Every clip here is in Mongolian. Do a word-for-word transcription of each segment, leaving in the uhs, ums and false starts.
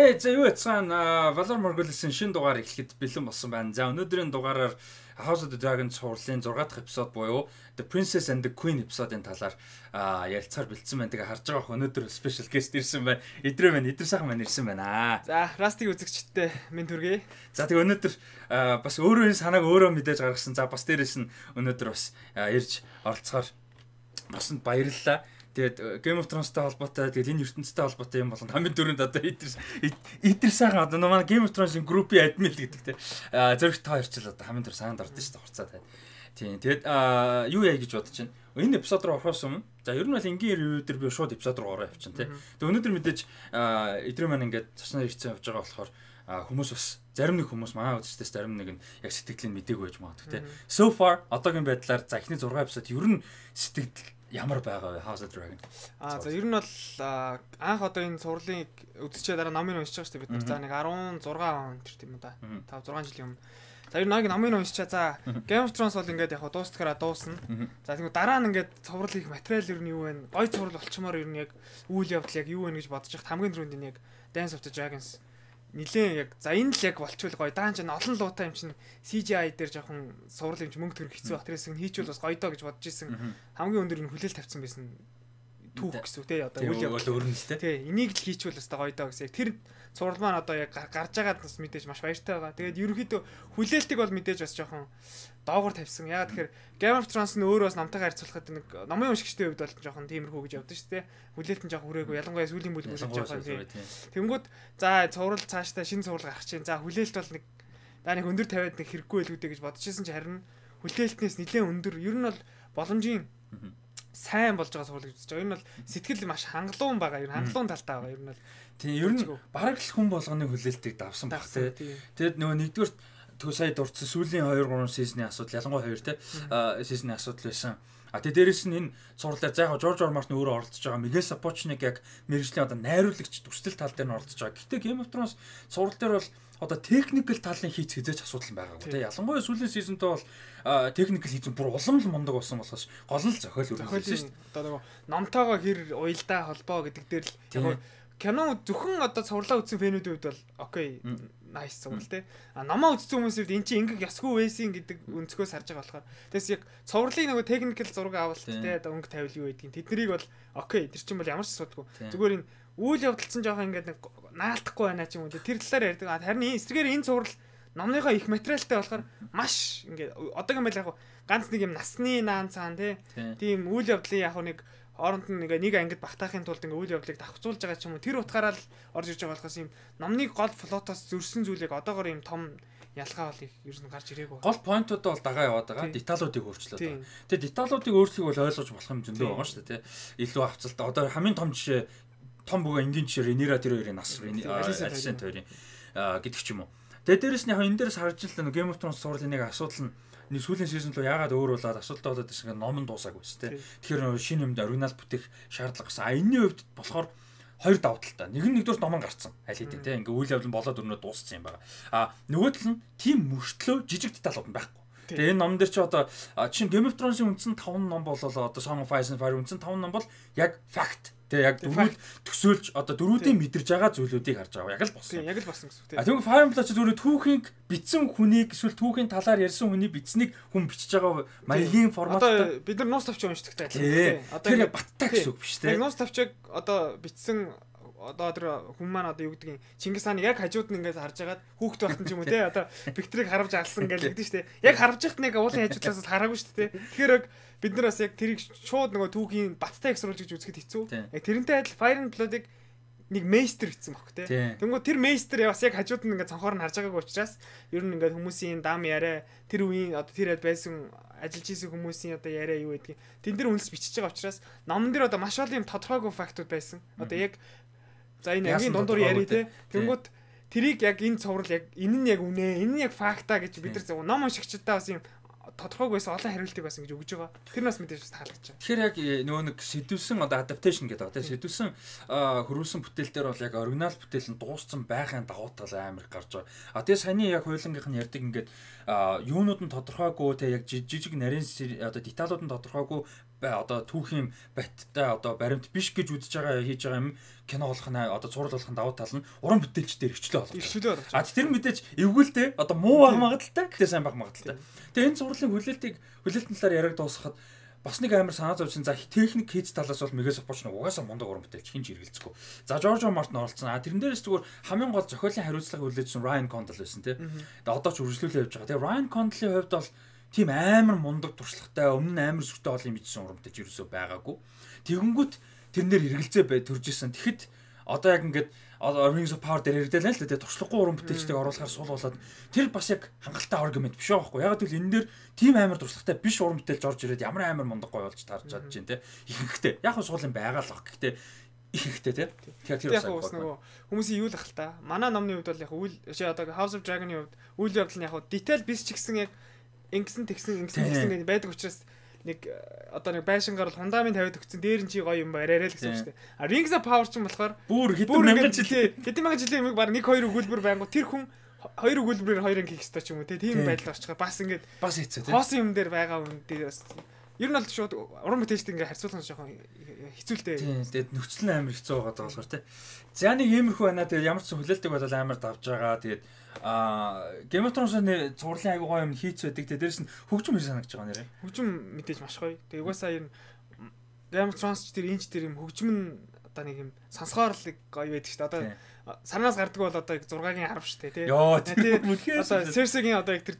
Ээ за юу яцгаан Valor Morghulis-ийн шинэ дугаар эхлэхэд бэлэн болсон байна. За өнөөдрийн дугаараар House of the Dragon цувралын зургаах дахь эпизод буюу The Princess and the Queen эпизодын талаар ярилцахаар бэлдсэн байна. Тэгээ харж байгаа өнөөдөр special guest ирсэн байна. Идрээ байна. Идэр сайхан маань ирсэн байна. За Rusty үзэгчтэй минь түргэе. За тэгээ өнөөдөр бас өөрөө энэ санааг өөрөө мэдээж гаргасан. За бас дээрэс нь өнөөдөр бас ирж оролцохоор баснд баярлалаа. Тэгээд Game of Thrones-тай холбоотой тэгээд энэ ертөнцтэй холбоотой юм болон хамгийн дөрөнд одоо идэр идэр сайхан одоо манай Game of Thrones-ийн группийн админ л гэдэг те зэрэг та хоёр ч л одоо хамгийн дөрөнд саанд ордсон шүү дээ хуцаа тань. Тийм тэгээд юу яа гэж бодож байна. Энэ эпизод руу орохоос өмнө за ер нь бол энгийн ревю дээр би шууд эпизод руу ороо явчихна те. Тэгээд өнөөдөр мэдээж идрээ маань ингээд цаснаа ирсэн явж байгаа болохоор хүмүүс бас зарим нэг хүмүүс манай үзэгчдээс зарим нэг нь яг сэтгэлийн мдэггүй байж магадгүй те. So far одоогийн байдлаар за эхний зураг эпизод ер нь сэтгэл ямар байгаа вэ House of the Dragon? Аа за ер нь бол анх одоо энэ цувралыг үзчихээ дараа номыг уншиж байгаа шүү дээ бид нар. За нэг дөрвөн зураг он тэр тийм үү да. пет зургаан жилийн өмнө. За ер нь нэг номыг уншичаа. За Game of Thrones бол ингээд яг дуустахаараа дуусна. За тэгвэл дараа нь ингээд цуврал их материал ер нь юу вэ? Гой цуврал болчмоор ер нь яг үйл явдал яг юу вэ гэж бодож байхад хамгийн түрүүнд энэ яг Dance of the Dragons нилээн яг за энэ л яг болчвол гоё даан ч олон луутай юм чинь си жи ай дээр жоохон суврал юм чи мөнгө төрөх хэцүү бах тэрээс нь хийчихвэл бас гоё доо гэж бодож исэн. Хамгийн өндөр нь хүлээл тавьсан байсан түүх гэсэн үг те одоо үйл явдал өөр нь л те. Тий энийг л хийчихвэл бас гоё доо гэсэн. Тэр цуврал маань одоо яг гарч байгаад бас мэдээж маш баяртай байгаа. Тэгээд ерөнхийдөө хүлээлтийг бол мэдээж бас жоохон доогор тавьсан. Ягаад тэгэхээр Game of Thrones нь өөрөө бас намтайгаа харьцуулахад нэг номын уншигчдын хувьд бол жоохон тиймэрхүү гэж явдаг шүү дээ. Хүлээлт нь жоохон хүрээгүй. Ялангуяа сүүлийн бүлэг үзэж байгаа юм. Тэнгүүд за цуврал цаашдаа шинэ цуврал гарах чинь. За хүлээлт бол нэг даа нэг өндөр тавиад нэг хэрэггүй байлгүй гэж бодчихсон чи харин хүлээлтнээс нэлээд өндөр. Ер нь бол боломжийн сайн болж байгаа цуврал гэж үзэж байгаа. Ер нь бол сэтгэл маш хангалуун байгаа. Ер нь хангалуун талтай байгаа. Ер нь бол тийм ер нь бараг л хүн болгоны хүлээлтийг давсан баг те. Тэгэд нөгөө нэгдүгээр түү сая дурдсан сүүлийн two three сизны асуудал ялангуяа хоёр те сизны асуудал байсан. А тэгээ дээрэс нь энэ цувралаар за яг Жорж Ор Мартин өөрөө оролцож байгаа. Мигэл Сапочник яг мэргэжлийн одоо найруулагч төсөл тал дээр нь оролцож байгаа. Гэтэ Game of Thrones цуврал дээр бол одоо техникэл талын хийц хизээч асуудал байгаагүй те. Ялангуяа сүүлийн сизонтой бол техникэл хийцэн бүр улам л мундаг болсон болохоос гол нь зохиол үргэлжлүүлсэн шүү дээ. Одоо нөгөө номтойгоо хэр уялдаа холбоо гэдэг дээр л яг кино зөвхөн одоо цувралаа үзсэн фэнүүдийн хувьд бол окей nice цуврал те. А номоо үзсэн хүмүүсүүд эн чинь ингэх ёсгүй байсан гэдэг өнцгөөс харж байгаа болохоор тэгээс яг цувралын нөгөө техникэл зураг авалт те одоо өнгө тавил юу гэдгийг тэднийг бол окей тэр чинь бол ямар ч асуудалгүй. Зүгээр энэ үйл явдал чинь жоохон ингээд нэг наалтахгүй байна ч юм уу тэр талаар ярьдаг. Харин энэ эсрэгээр энэ цуврал номныхоо их материалтай болохоор маш ингээд одоогийн байл яг ганц нэг юм насны наан цаан те. Тийм үйл явдлын яг нэг хооронд нь нэг нэг ангид багтаахын тулд ингээ үйл явдлыг давхцуулж байгаа ч юм уу тэр утгаараа л орж ирж байгаа болохоос юм номны гол флотоос зөрсөн зүйлийг одоогоор юм том ялгаа бол их ер нь гарч ирээгүй. Гол поинтууд бол дагаа яваад байгаа. Деталуудыг өөрчлөөд байгаа. Тэгээ деталуудыг өөрчлөхийг бол ойлгож болох юм зөндөө байгаа шүү дээ, тий. Илүү хавцалтай. Одоо хамгийн том жишээ том бүгэ энгийн жишээ Ренира тэр хоёрын нас Алисент хоёрын гэдэг ч юм уу. Тэгээ дээрэс нь яг энэ дээрс харж л Game of Thrones цувралын нэг асуудал нь нэг сүүлийн сизон руу яагаад өөр болоод асуудалтай болоод байсан ном нь дуусаагүй шүү дээ. Тэгэхээр шинэ юмд оригинал бүтээх шаардлага гэсэн. А энэний хувьд болохоор хоёр давуу талтай. Нэг нь нэгдүгээр ном гарцсан. Аль хэдийн те ингээ үйл явдал болоод өрнөө дууссан юм байна. А нөгөө тал нь тийм мөртлөө жижиг деталууд нь байхгүй. Тэгээ энэ ном дээр чи одоо чинь Game of Thrones-ийн үндсэн таван ном болоо одоо Song of Ice and Fire үндсэн таван ном бол яг fact. Тэгээ яг дөрвөл төсөөлж одоо дөрүүдийн мэдэрж байгаа зүйлүүдийг харж байгаа. Яг л босон. Яг л босон гэсэн үг тийм. А тэгвэл Fire Emblem ч зүгээр түүхийн бичсэн хүнийг эсвэл түүхийн талаар ярьсан хүний бичсэнийг хүн бичиж байгаа маягийн форматтай. Одоо бид нар нуус тавч уншдаг таа. Одоо яг баттай гэсэн үг биш тийм. Яг нуус тавчиг одоо бичсэн одоо тэр хүн маань одоо юу гэдгийг Чингис хааны яг хажууд нь ингээд харж агаад хүүхд байхтан ч юм уу те одоо Викторийг харавж алсан гэж хэлдэг шүү дээ. Яг харавж ихт нэг уулын хажуудлаас хараагүй шүү дээ. Тэгэхээр яг бид нар бас яг тэрийг шууд нөгөө түүхийн баттай эксруулж гэж үзэхэд хэцүү. Яг тэрнтэй адил Fire and Blood-ыг нэг мейстер гэсэн бохоо те. Тэнгүү тэр мейстер бас яг хажууд нь ингээд цонхоор нь харж байгаагүй учраас ер нь ингээд хүмүүсийн дам яриа тэр үеийн одоо тэр байсан ажиллаж исэн хүмүүсийн одоо яриа юу гэдгийг тэн дээр үнэлж бичиж байгаа учраас номон дээр одоо маш олон юм тодорхойгүй фактууд байсан. Одоо яг за энэ ангийн дундуур яри те. Тэнгүүд тэрийг яг энэ цуврал яг энэ нь яг үнэ, энэ нь яг факта гэж бид нар ном уншигчдаа бас юм тодорхойгүйсэн олон хариултыг бас ингэж өгж байгаа. Тэр нас мэдээж бас таалагдж байгаа. Тэгэхээр яг нөгөө нэг сэдвсэн одоо adaptation гэдэг байгаа тийм сэдвсэн хөрвүүлсэн бүтээлтэр бол яг оригинал бүтээл нь дууссан байхын давуу тал амар гарч байгаа. А тэгээ саяны яг хуулингийнх нь ярьдаг ингээд юунууд нь тодорхойгүй те яг жижиг нарийн одоо деталууд нь тодорхойгүй одоо түүхийн баттай одоо баримт биш гэж үзэж байгаа хийж байгаа юм кино болох нь одоо зураг болох нь давуу тал нь уран бүтээлч дээр хвчлээ болгож. Хвчлээ болгож. А тэр мэдээж эвгүүлтэй одоо муу баг магадaltaй гэхдээ сайн баг магадaltaй. Тэгээ энэ зурлалын хүлээлтийг хүлээлтэн талаар яриаг дуусгахад бас нэг амар санаа зовсон. За техник хийц талаас бол Мегас Апоч нэг угаасаа мундаг уран бүтээлч хинж эргэлцэхгүй. За Жорж Мартин оролцсон. А тэрэн дээрээс зүгээр хамгийн гол зохиолын хариуцлага хүлээжсэн Ryan Condal байсан тий. Тэгээ одоо ч үргэлжлүүлээ явж байгаа. Тэгээ Ryan Condal-ийн хувьд бол тийм амар мундаг туршлагатай өмнө нь амар сүртэй олон юм ийдсэн уран бүтээлч ерөөсөө байгаагүй. Тэгэнгүүт тэрнэр эргэлзээ бай төржсэн. Тэгэхэд одоо яг ингээд Rings of Power дээр ярьдаа л л дээ туршлагагүй уран бүтээлчтэйг оруулахаар сул болоод тэр бас яг хангалттай аргумент биш байхгүй. Яг л энэ дээр тийм амар туршлагатай биш уран бүтээлч орж ирээд ямар амар мундаг гоё болж таарч чадж байна те. Ихэнхдээ яг нь суулын байгаа л баг. Гэхдээ ихэнхдээ те. Тэгэхээр тэр бас нөгөө хүмүүсийн юу л ах л та. Манай номны хувьд бол яг үйл чи одоо House of Dragon-ы хувьд үйл явдал нь яг detail биш ч гэсэн яг ингэсэн тэгсэн ингэсэн тэгсэн гэдэг байдаг учраас нэг одоо нэг байшингаар бол фундамент тавиад өгсөн дээр нь чи гоё юм бариараа л гэсэн үг шүү дээ. А Rings of Power ч юм болохоор бүр хэдэн мянган жилийн хэдэн мянган жилийн юм баг нэг хоёр өгүүлбэр байнгут тэр хүн хоёр өгүүлбэрээр хоёр анги хийх ёстой ч юм уу тийм байдал болчихгоо бас ингээд бас хэцүү тийм. Хоосон юм дээр байгаа юм дээр бас ер нь бол шууд уран бүтээлчтэй ингээд харьцуулах нь жоохон хэцүүлтэй. Тийм. Тэгээд нөхцөл нь амар хэцүү байгаа болохоор тийм. За нэг иймэрхүү байна. Тэгээд ямар ч хүлээлтийг бол амар давж байгаа. Тэгээд а Game of Thrones-ны цувралын айгуу гоё юм хийц байдаг. Тэгээд дээрэс нь хөгжим хэрэг санагдаж байгаа нэрээ. Хөгжим мэдээж маш гоё. Тэгээд угаасаа ер нь Game of Thrones ч тэр инч тэр юм хөгжим нь одоо нэг юм сонсгоорлог гоё байдаг шүү дээ. Одоо саранаас гардаг бол одоо зургагийн харав шүү дээ тий. Йоо тэр мөлхөөс одоо Cersei-гийн одоо тэр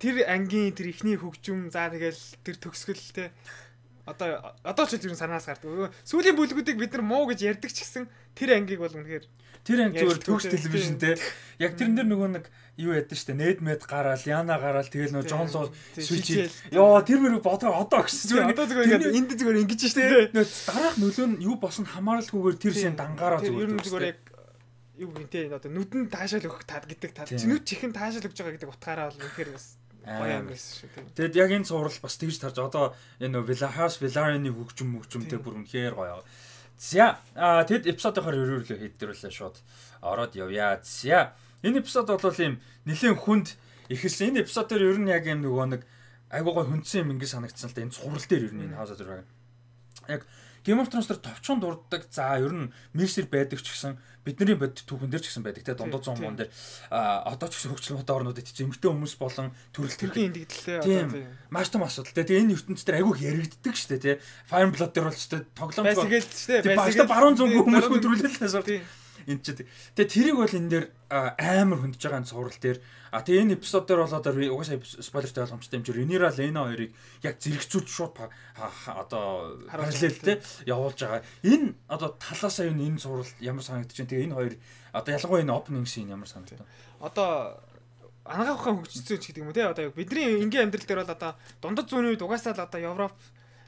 тэр ангийн тэр ихний хөгжим за тэгэл тэр төгсгөл тий. Одоо одоо ч тэр саранаас гардаг. Сүүлийн бүлгүүдийг бид нар муу гэж ярьдаг ч гэсэн тэр ангийг бол үнэхээр тэр анги зүгээр төгс телевизэн те. Яг тэрэн дээр нөгөө нэг юу ядсан штэ. Ned Med гараал, Yana гараал тэгэл нөгөө Jon Snow switch. Йоо тэр мөр бодоо одоо гэсэн зүгээр. Одоо зүгээр энд зүгээр ингэж штэ. Дараах нөлөө нь юу босон хамааралгүйгээр тэр шин дангаараа зүгээр. Ер нь зүгээр яг юу гэнтэй одоо нүдэн таашаал өгөх таад гэдэг таад. Нүд чихэн таашаал өгж байгаа гэдэг утгаараа бол үнэхээр бас гоё юм байсан шүү. Тэгэд яг энэ цуврал бас тэгж тарж одоо энэ Villahas Velaryon-ы хөгжим хөгжимтэй бүр үнэхээр гоё. За а тэгэд эпизодоор өрөөлөө хийдэрүүлээ шууд ороод явъя. За энэ эпизод бол ийм нэлээд хүнд эхэлсэн. Энэ эпизодоор ер нь яг юм нөгөө нэг айгуу гой хүндсэн юм ингэ санагдсан л да. Энэ цуврал дээр ер нь энэ House of Dragon. Яг Game of Thrones дээр товчхон дурддаг. За ер нь Mercer байдаг ч гэсэн бидний бодит түүхэн дээр ч гэсэн байдаг те дундад зам мон дээр а одоо ч гэсэн хөгжил мод орнуудад эцэг эмгтэй хүмүүс болон төрөл төрлийн эндэгдлээ одоо тийм маш том асуудал те тэгээ энэ ертөнцийн дээр айгүй яригддаг шүү дээ те Fire Blood дээр бол ч те тоглоом байсгээл шүү дээ байсгээл баруун зүүн хүмүүс төрүүлэлээс ор энэ ч тэгээ тэрийг бол энэ дээр амар хөндөж байгаа цуврал дээр а тэгээ энэ эпизод дээр бол одоо угаасаа спойлертэй ойлгомжтой юм чи Rhaenyra Lena хоёрыг яг зэрэгцүүлж шууд одоо параллел те явуулж байгаа. Энэ одоо талаасаа юу энэ цуврал ямар санагдаж байна. Тэгээ энэ хоёр одоо ялангуяа энэ opening scene ямар санагдав. Одоо ангаахын хөгжцөөч гэдэг юм те одоо бидний энгийн амьдрал дээр бол одоо дундад зүүнний үед угаасаа л одоо Европ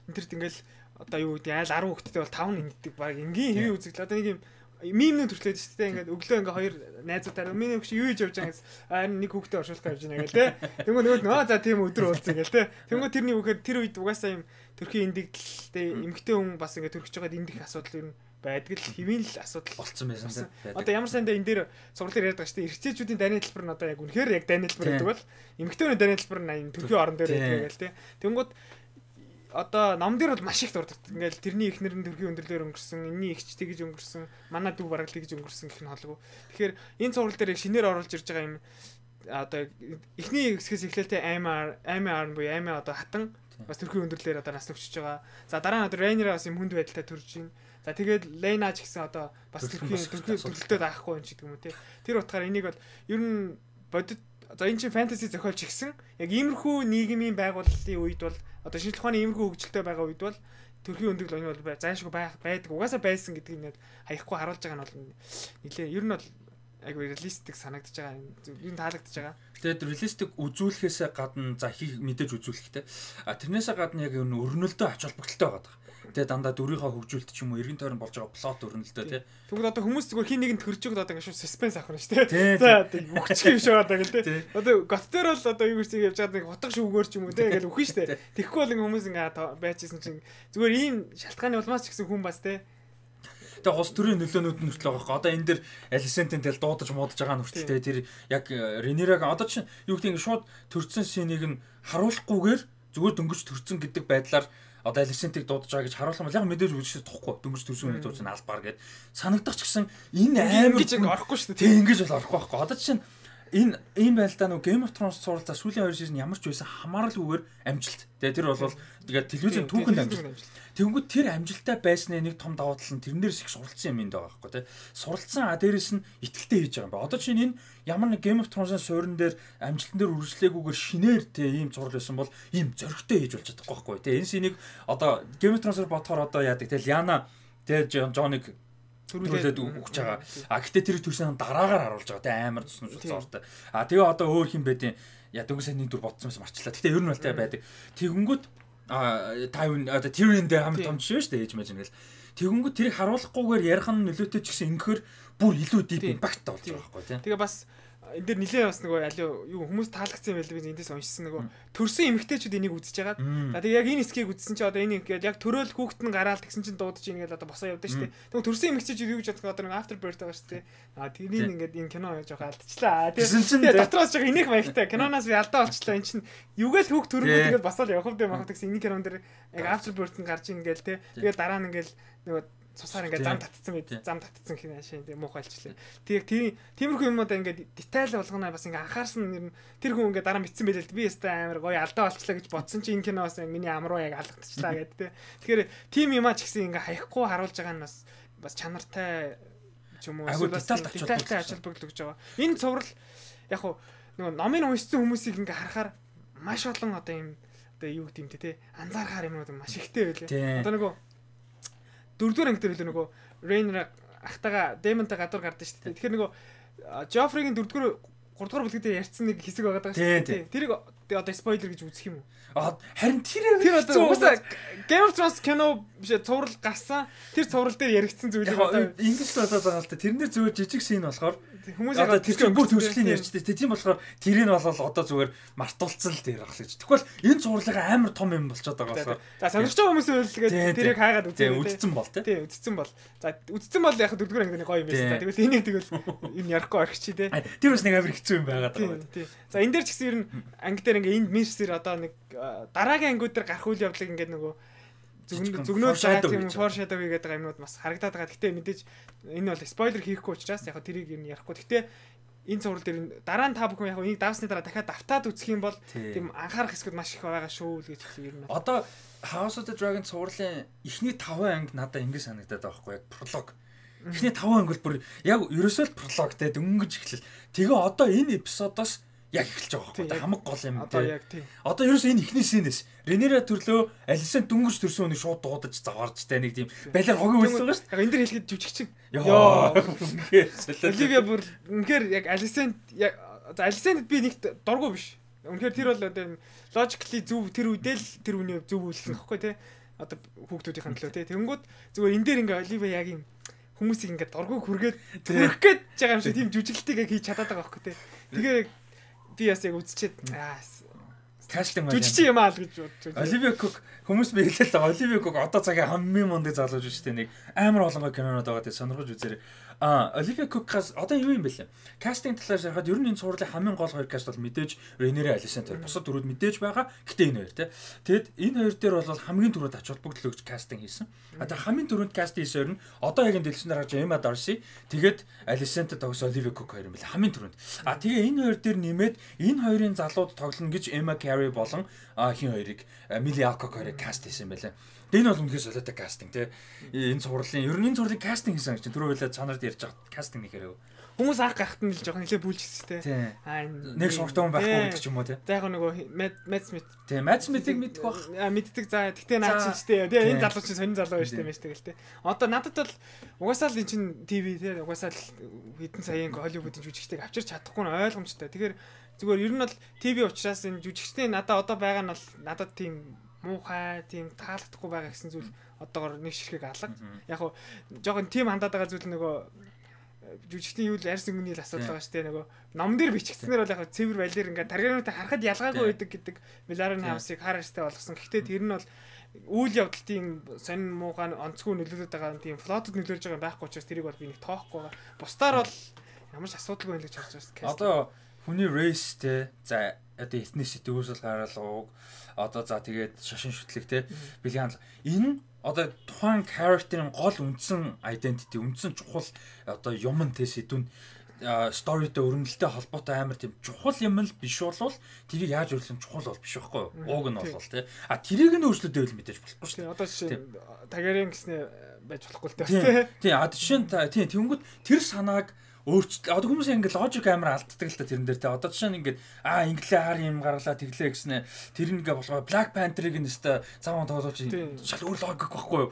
энэ төрт ингээл одоо юу гэдэг айл арав хүүхэдтэй бол таван нэгдэг баг энгийн хэвийн үзэгдэл одоо нэг юм мимнүүд төрчлээд шүү дээ ингээд өглөө ингээ хоёр найзуудаар миний хөш юу хийж явж байгаа гэсэн харин нэг хүүхдээ оршуулах гэж байна гэл те тэнгүү нөгөө нөө за тийм өдөр уулзъя гэл те тэнгүү тэрний үхээр тэр үед угаасаа юм төрхийн эндэгдэлтэй эмгтэй хүн бас ингээ төрчих жоод эндэх асуудал юу байдаг л хэвийн л асуудал болцсон байсан те одоо ямар сандаа энэ дээр цуглаар ярьдаг шүү дээ эрхцээчүүдийн дайны хэлбэр нь одоо яг үнэхээр яг дайны хэлбэр гэдэг бол эмгтээний дайны хэлбэр нь төрхийн орон дээр байдаг гэл те тэнгүүд одоо ном дээр бол маш их дурддаг. Ингээл тэрний эхнэр нь төрхийн өндөрлөөр өнгөрсөн, энэний эгч тэгж өнгөрсөн, манай дүү бараг тэгж өнгөрсөн гэх нь холгүй. Тэгэхээр энэ цуврал дээр шинээр оруулж ирж байгаа юм одоо эхний хэсгээс эхлэлтэй аймаар, аймаар буюу аймаа одоо хатан бас төрхийн өндөрлөөр одоо нас өгчөж байгаа. За дараа нь одоо Rhaenyra бас юм хүнд байдалтай төрж байна. За тэгээд Lena ч гэсэн одоо бас төрхийн төрхийн төлөлтөд аахгүй юм ч гэдэг юм уу те. Тэр утгаараа энийг бол ер нь бодит за энэ чинь фэнтези зохиолч гисэн яг иймэрхүү нийгмийн байгуулалтын үед бол одоо шинжлэх ухааны иймэрхүү хөгжилтэй байгаа үед бол төрхийн өндөрлөл оны бол зайлшгүй байх байдаг угаасаа байсан гэдгийг нэг хаяхгүй харуулж байгаа нь бол нэлээ ер нь бол айгу реалистик санагдаж байгаа юм таалагдж байгаа. Тэгээд реалистик үзүүлэхээс гадна за хийх мэдээж үзүүлэхтэй а тэрнээсээ гадна яг энэ өрнөлтөө ач холбогдолтой байгаа. Тэгээ дандаа дүрийнхаа хөгжүүлэлт ч юм уу эргэн тойрон болж байгаа плот өрнөлтөө тий. Тэгвэл одоо хүмүүс зүгээр хин нэгэнд төрж өгд одоо ингэ шүү саспенс авах нь шүү тий. За үхчих юм шиг одоо гэл тий. Одоо гот дээр бол одоо юу гэж явж байгаа нэг хутга шүүгээр ч юм уу тий гэл үхэн шүү тий. Тэгэхгүй бол ингэ хүмүүс ингэ байжсэн чинь зүгээр ийм шалтгааны улмаас ч гэсэн хүн бас тий. Тэгээ улс төрийн нөлөөнүүд нь хүртэл байгаа. Одоо энэ дэр Alicent-ийн тэл дуудаж муудаж байгаа нь хүртэл тэр яг Rhaenyra-г одоо чинь юу гэдэг ингэ шууд төрцөн синийг нь харуулахгүйгээр зүгээр дөнгөж төрцөн гэдэг байдлаар одоо Alicent-ийг дуудаж байгаа гэж харуулсан бол яг мэдээж үзчихсэн тохгүй дөнгөж төрсөн үнийг дууж албаар гэд санагдах ч гэсэн энэ амар гэж орохгүй шүү дээ. Тэг ингэж бол орохгүй байхгүй. Одоо чинь энэ ийм байл та нөгөө Game of Thrones суралцаа сүүлийн хоёр сизон ямар ч байсан хамааралгүйгээр амжилт. Тэгээ тэр бол тэгээд телевизийн түүхэнд амжилт. Тэгэнгүүт тэр амжилттай байсны нэг том давуу тал нь тэрнээс их суралцсан юм энэ байгаа байхгүй тий. Суралцсан а дээрэс нь итгэлтэй хийж байгаа юм ба. Одоо чинь энэ ямар нэг Game of Thrones-ын суурин дээр амжилтан дээр үргэлжлээгүйгээр шинээр тий ийм зураг байсан бол ийм зөрөгтэй хийж болж чадахгүй байхгүй тий. Энэ синийг одоо Game of Thrones-оор бодохоор одоо яадаг тий Lyanna тий Jon-ыг төрүүлээд өгч байгаа. А гэтээ тэр төрсөн дараагаар харуулж байгаа тий амар тусламж зортой. А тэгээ одоо өөр хин байдیں۔ Я дөнгөж сайн нэг дүр бодсон юмс марчлаа. Гэтээ ер нь бол тай байдаг. Тэгэнгүүт а тайван одоо Tyrion дээр хамт том жишээ шүү дээ ээж мэж ингээл. Тэгэнгүүт тэрийг харуулахгүйгээр ярих нь нөлөөтэй ч гэсэн ингэхэр бүр илүү deep impact болж байгаа байхгүй тий. Тэгээ бас энэ дэр нилээ бас нөгөө аль юу хүмүүс таалагдсан байл би эндээс уншсан нөгөө төрсөн эмэгтэйчүүд энийг үзэж байгаа. За тэгээ яг энэ скийг үзсэн чи одоо энэ ингээд яг төрөөл хүүхэд нь гараал тэгсэн чинь дуудаж ингээл одоо босоо явдаа шүү дээ. Тэгээ төрсөн эмэгтэйчүүд юу гэж бодох одоо нэг after birth байгаа шүү дээ. А тэрийг ингээд энэ кино жоох алдчихлаа. Тэгээ дотроос жоох инех маягтай киноноос би алдаа болчихлоо. Эн чинь юугээл хүүхд төрөнгөө тэгээд басаал явах юм байх гэсэн энэ кинон дэр яг after birth нь гарч ингээл те. Тэгээ дараа нь ингээл нөгөө цусаар ингээд зам татцсан байд зам татцсан хин ашаа тийм муухай алчлаа. Тэг тийм тиймэрхүү юмудаа ингээд детайл болгоно бас ингээд анхаарсан нэр тэр хүн ингээд дараа мэдсэн байлээ л би ястаа амар гоё алдаа болчлаа гэж бодсон чи энэ киноос миний амруу яг алдчихлаа гэдэг те. Тэгэхээр тийм юмаа ч гэсэн ингээд хаяхгүй харуулж байгаа нь бас бас чанартай ч юм уу бас детальтай ажил бүглэж байгаа. Энэ цуврал яг хуу нөгөө номын уншсан хүмүүсийг ингээд харахаар маш олон одоо юм одоо юу гэдэг юм те анзаархаар юмнууд маш ихтэй байлээ. Одоо нөгөө дөрөвдүгээр анги дээр л нөгөө Rhaenyra ахтаага Daemon-тай гадуур гардаг шүү дээ. Тэгэхээр нөгөө Joffrey-гийн дөрөвдүгээр гуравдугаар бүлэг дээр ярьсан нэг хэсэг байгаа даа шүү дээ. Тэрийг одоо спойлер гэж үзэх юм уу? Аа харин тэр тэр одоо уусаа Game of Thrones кино биш цуврал гарсан. Тэр цуврал дээр яригдсан зүйлийг одоо ингэж болоод байгаа л та. Тэрнэр зүгээр жижиг шин болохоор хүмүүс одоо тэр бүр төвшлийн ярьчтэй. Тийм болохоор тэрийг бол одоо зүгээр мартуулцсан л дээр ах л гэж. Тэгвэл энэ цувралын амар том юм болчиход байгаа болохоор. За сонирхож байгаа хүмүүс үлгээд тэрийг хаагаад үзээ. Үдцэн бол тий. Үдцэн бол. За үдцэн бол яг дөрөвдүгээр ангины гоё юм байсан. Тэгвэл энийг тэгвэл энэ ярихгүй орхич тий. Тэр бас нэг амар хэцүү юм байгаад байгаа. Тий. За энэ дээр ч гэсэн ер нь анги дээр ингээ энд мэрсэр одоо нэг дараагийн ангиуд дээр гарах үйл явдлыг ингээд нөгөө зүгнөөд байгаа тийм foreshadow хийгээд байгаа юмнууд бас харагдаад байгаа. Гэтэ мэдээж энэ бол спойлер хийхгүй учраас яг тэрийг юм ярихгүй. Гэтэ энэ цуврал дээр дараа нь та бүхэн яг энийг давсны дараа дахиад давтаад үзэх юм бол тийм анхаарах хэсгүүд маш их байгаа шүү л гэж хэлээ ер нь. Одоо House of the Dragon цувралын эхний таван анги надад ингэ санагдаад байгаа байхгүй яг пролог. Эхний таван анги бол бүр яг ерөөсөө л пролог те дөнгөж эхлэл. Тэгээ одоо энэ эпизодоос яг эхэлж байгаа байхгүй хамаг гол юм одоо яг тийм. Одоо ерөөсөө энэ ихний сценээс Rhaenyra төрлөө Alicent дөнгөж төрсөн үнийг шууд дуудаж заваарч та нэг тийм балиар хогийн үйлсэн байгаа шүү дээ. Яг энэ дэр хэлэхэд жүжигчин. Йоо. Оливия бүр үнэхээр яг Alicent яг Alicent би нэг дургу биш. Үнэхээр тэр бол одоо logically зөв тэр үедээ л тэр үний зөв үйлсэн гэхгүй те. Одоо хүүхдүүдийн төлөө те. Тэнгүүд зүгээр энэ дээр ингээ Оливия яг юм хүмүүсийг ингээ дургу хүргээд төрөх гээд байгаа юм шиг тийм жүжиглэлтийг хийж чадаад байгаа байхгүй те. Тэгээ би бас яг үзчихэд аа кастинг маань жүжигч юм аа л гэж бодож. Оливия Кук хүмүүс биелэл Оливия Кук одоо цагийн хамгийн мундаг залууж байна шүү дээ. Нэг амар олон кинонод байгаа тийм сонирхож үзээрэй. А Оливия Кукаас одоо юу юм бэ лээ? Кастинг талаас ярихад ер нь энэ цувралын хамгийн гол хоёр каст бол мэдээж Rhaenyra Alicent хоёр. Бусад дөрүүд мэдээж байгаа. Гэтэ энэ хоёр тий. Тэгэд энэ хоёр дээр бол хамгийн түрүүд ач холбогдол өгч кастинг хийсэн. А тэгээ хамгийн түрүүнд каст хийсэн хоёр нь одоо яг энэ дэлгэцээр гарч Emma Darcy тэгээд Alicent тогс Olivia Cook хоёр юм байна. Хамгийн түрүүнд. А тэгээ энэ хоёр дээр нэмээд энэ хоёрын залууд тоглоно гэж Emma Carey болон хин хоёрыг Millie Alcock хоёрыг каст хийсэн байлаа. Энэ бол үнэхээр солиотой кастинг тий. Энэ цувралын ер нь энэ цувралын кастинг хийсэн гэж түрүү байлаа цанард ярьж байгаа кастинг нэхэрэг. Хүмүүс анх гахт нь л жоохон нэлээ бүлжсэн тий. Аа нэг суртан байхгүй гэдэг ч юм уу тий. За яг нөгөө Matt Smith тий Matt Smith-ийг мэддэг бах. Аа мэддэг. За тэгтээ наад чинь тий. Тэгээ энэ залуу чинь сонин залуу байж тээ мэж тэгэл тий. Одоо надад бол угаасаа л эн чинь ТV тий. Угаасаа л хэдэн саяын Hollywood-ийн жүжигчдийг авчирч чадахгүй нь ойлгомжтой. Тэгэхээр зүгээр ер нь бол ТV учраас энэ жүжигчтэй надад одоо байгаа нь бол надад тийм муухай тийм таалагдахгүй байгаа гэсэн зүйл одоогор нэг ширхэг алга. Яг хуу жоохон тийм хандаад байгаа зүйл нөгөө жүжигчдийн юу л арьс өнгөний л асуудал байгаа шүү дээ. Нөгөө ном дээр бичигдснээр бол яг цэвэр балер ингээд таргинуудаа харахад ялгаагүй байдаг гэдэг Miller's House-ыг хараарстай болгосон. Гэхдээ тэр нь бол үйл явдлын сонин муухай онцгүй нөлөөлөд байгаа тийм флотод нөлөөлж байгаа байхгүй учраас тэрийг бол би нэг тоохгүй байгаа. Бусдаар бол ямар ч асуудалгүй л гэж харж байна. Одоо хүний race те за одоо ethnicity үүсэл гаргалгууг одоо за тэгээд шашин шүтлэг те бэлгийн хандлага энэ одоо тухайн character-ийн гол үндсэн identity үндсэн чухал одоо юм те сэдвүн story-тэй өрнөлттэй холбоотой амар тийм чухал юм л биш болвол тэрийг яаж өөрчлөх нь чухал бол биш байхгүй юу? Ууг нь болвол тий. А тэрийг нь өөрчлөлтөө л мэдээж болохгүй шүү дээ. Одоо жишээ Тагарин гэснээр байж болохгүй л дээ. Тий. А жишээ нь тий тэнгүүд тэр санааг өөрчлөлт одоо хүмүүс ингэ логик амар алддаг л та тэрэн дээр те одоо жишээ нь ингэ аа инглээ хар юм гаргалаа тэглээ гэснэ тэр нэгэ болгоо Black Panther-ыг нь өстой цааван тоглож шал өөр логик байхгүй юу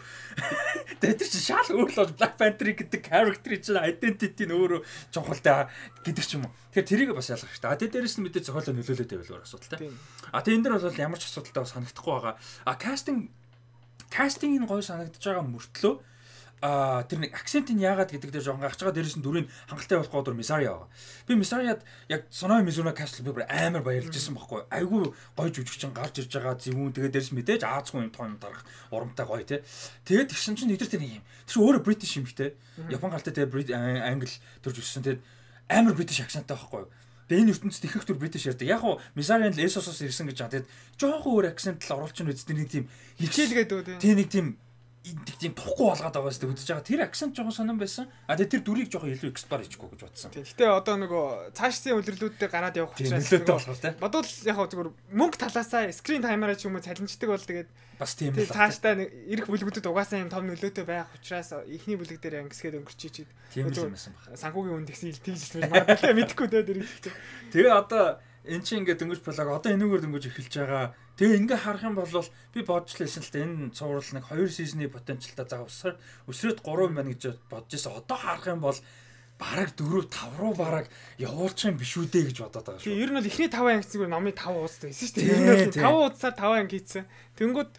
тэгээд тэр чинь шал өөр л Black Panther гэдэг character чинь identity нь өөрөө чухалтай гэдэг ч юм уу тэгэхээр тэрийг бас ялгах хэрэгтэй а тэгээд дээрэс нь мэдээ зохиолоо нөлөөлөд байвал өөр асуудалтай а тэгээд энэ дээр бол ямар ч асуудалтай санагдахгүй байгаа а casting casting нь гоё санагдаж байгаа мөртлөө а тэр нэг акцент нь яагаад гэдэг дээр жоохон гарч байгаа дээрээс нь дүрийн хангалттай болохоо дөр Мисария байгаа. Би Мисариад яг Сонои Мизуна Castle би амар баярлж байсан байхгүй. Айгүй гоё жүжигчин гарч ирж байгаа зөвүүн тэгээд дээрээс мэдээж Аазгүй юм том дарах урамтай гоё те. Тэгээд тэгсэн чинь нэгдэр тэр нэг юм. Тэр өөрөө British юм хтэй. Япон галтай тэгээд англи төрж өссөн тэгээд амар British акценттай байхгүй. Тэгээд энэ ертөнцид их их төр British ярьдаг. Яг уу Мисарианд л Эсосоос ирсэн гэж байгаа. Тэгээд жоохон өөр акцент л оруулж ийн үст нэг тийм хичээлгээд үү те. Тэ нэг тийм энэ тийм тухгүй болгоод байгаа шүү дээ үзэж байгаа. Тэр акцент жоохон сонирн байсан. А тэгээ тэр дүрийг жоохон илүү экспар хийчихгүй гэж бодсон. Гэтэ одоо нөгөө цаашдын үлрэлүүдээр гараад явах учраас нөлөөтэй болох тийм. Бодвол яг хөө зүгээр мөнгө талаасаа скрин таймераа ч юм уу цалинждаг бол тэгээд бас тийм л. Цаашдаа ирэх бүлгүүдэд угаасаа юм том нөлөөтэй байх учраас эхний бүлэг дээр ангисгээд өнгөрчиж чид. Тийм л юм байсан баг. Санхүүгийн үнд тэгсэн тэгж магадгүй мэдэхгүй дээ тэр. Тэгээ одоо эн чинь ингээд дөнгөж блог одоо энэгээр дөнгөж эхэлж байгаа. Тэгээ ингээ харах юм бол би бодж лээсэн л та энэ цуврал нэг хоёр сизны потенциалтай заа өсөр өсрөөд гурав байна гэж бодож байсан. Одоо харах юм бол бараг дөрөв тав руу бараг явуулчих юм биш үү дээ гэж бодоод байгаа шүү. Тэгээ ер нь бол эхний таван ангицгүй номын тав уустай байсан шүү дээ. Ер нь тав уусаар таван анги хийцэн. Тэнгүүд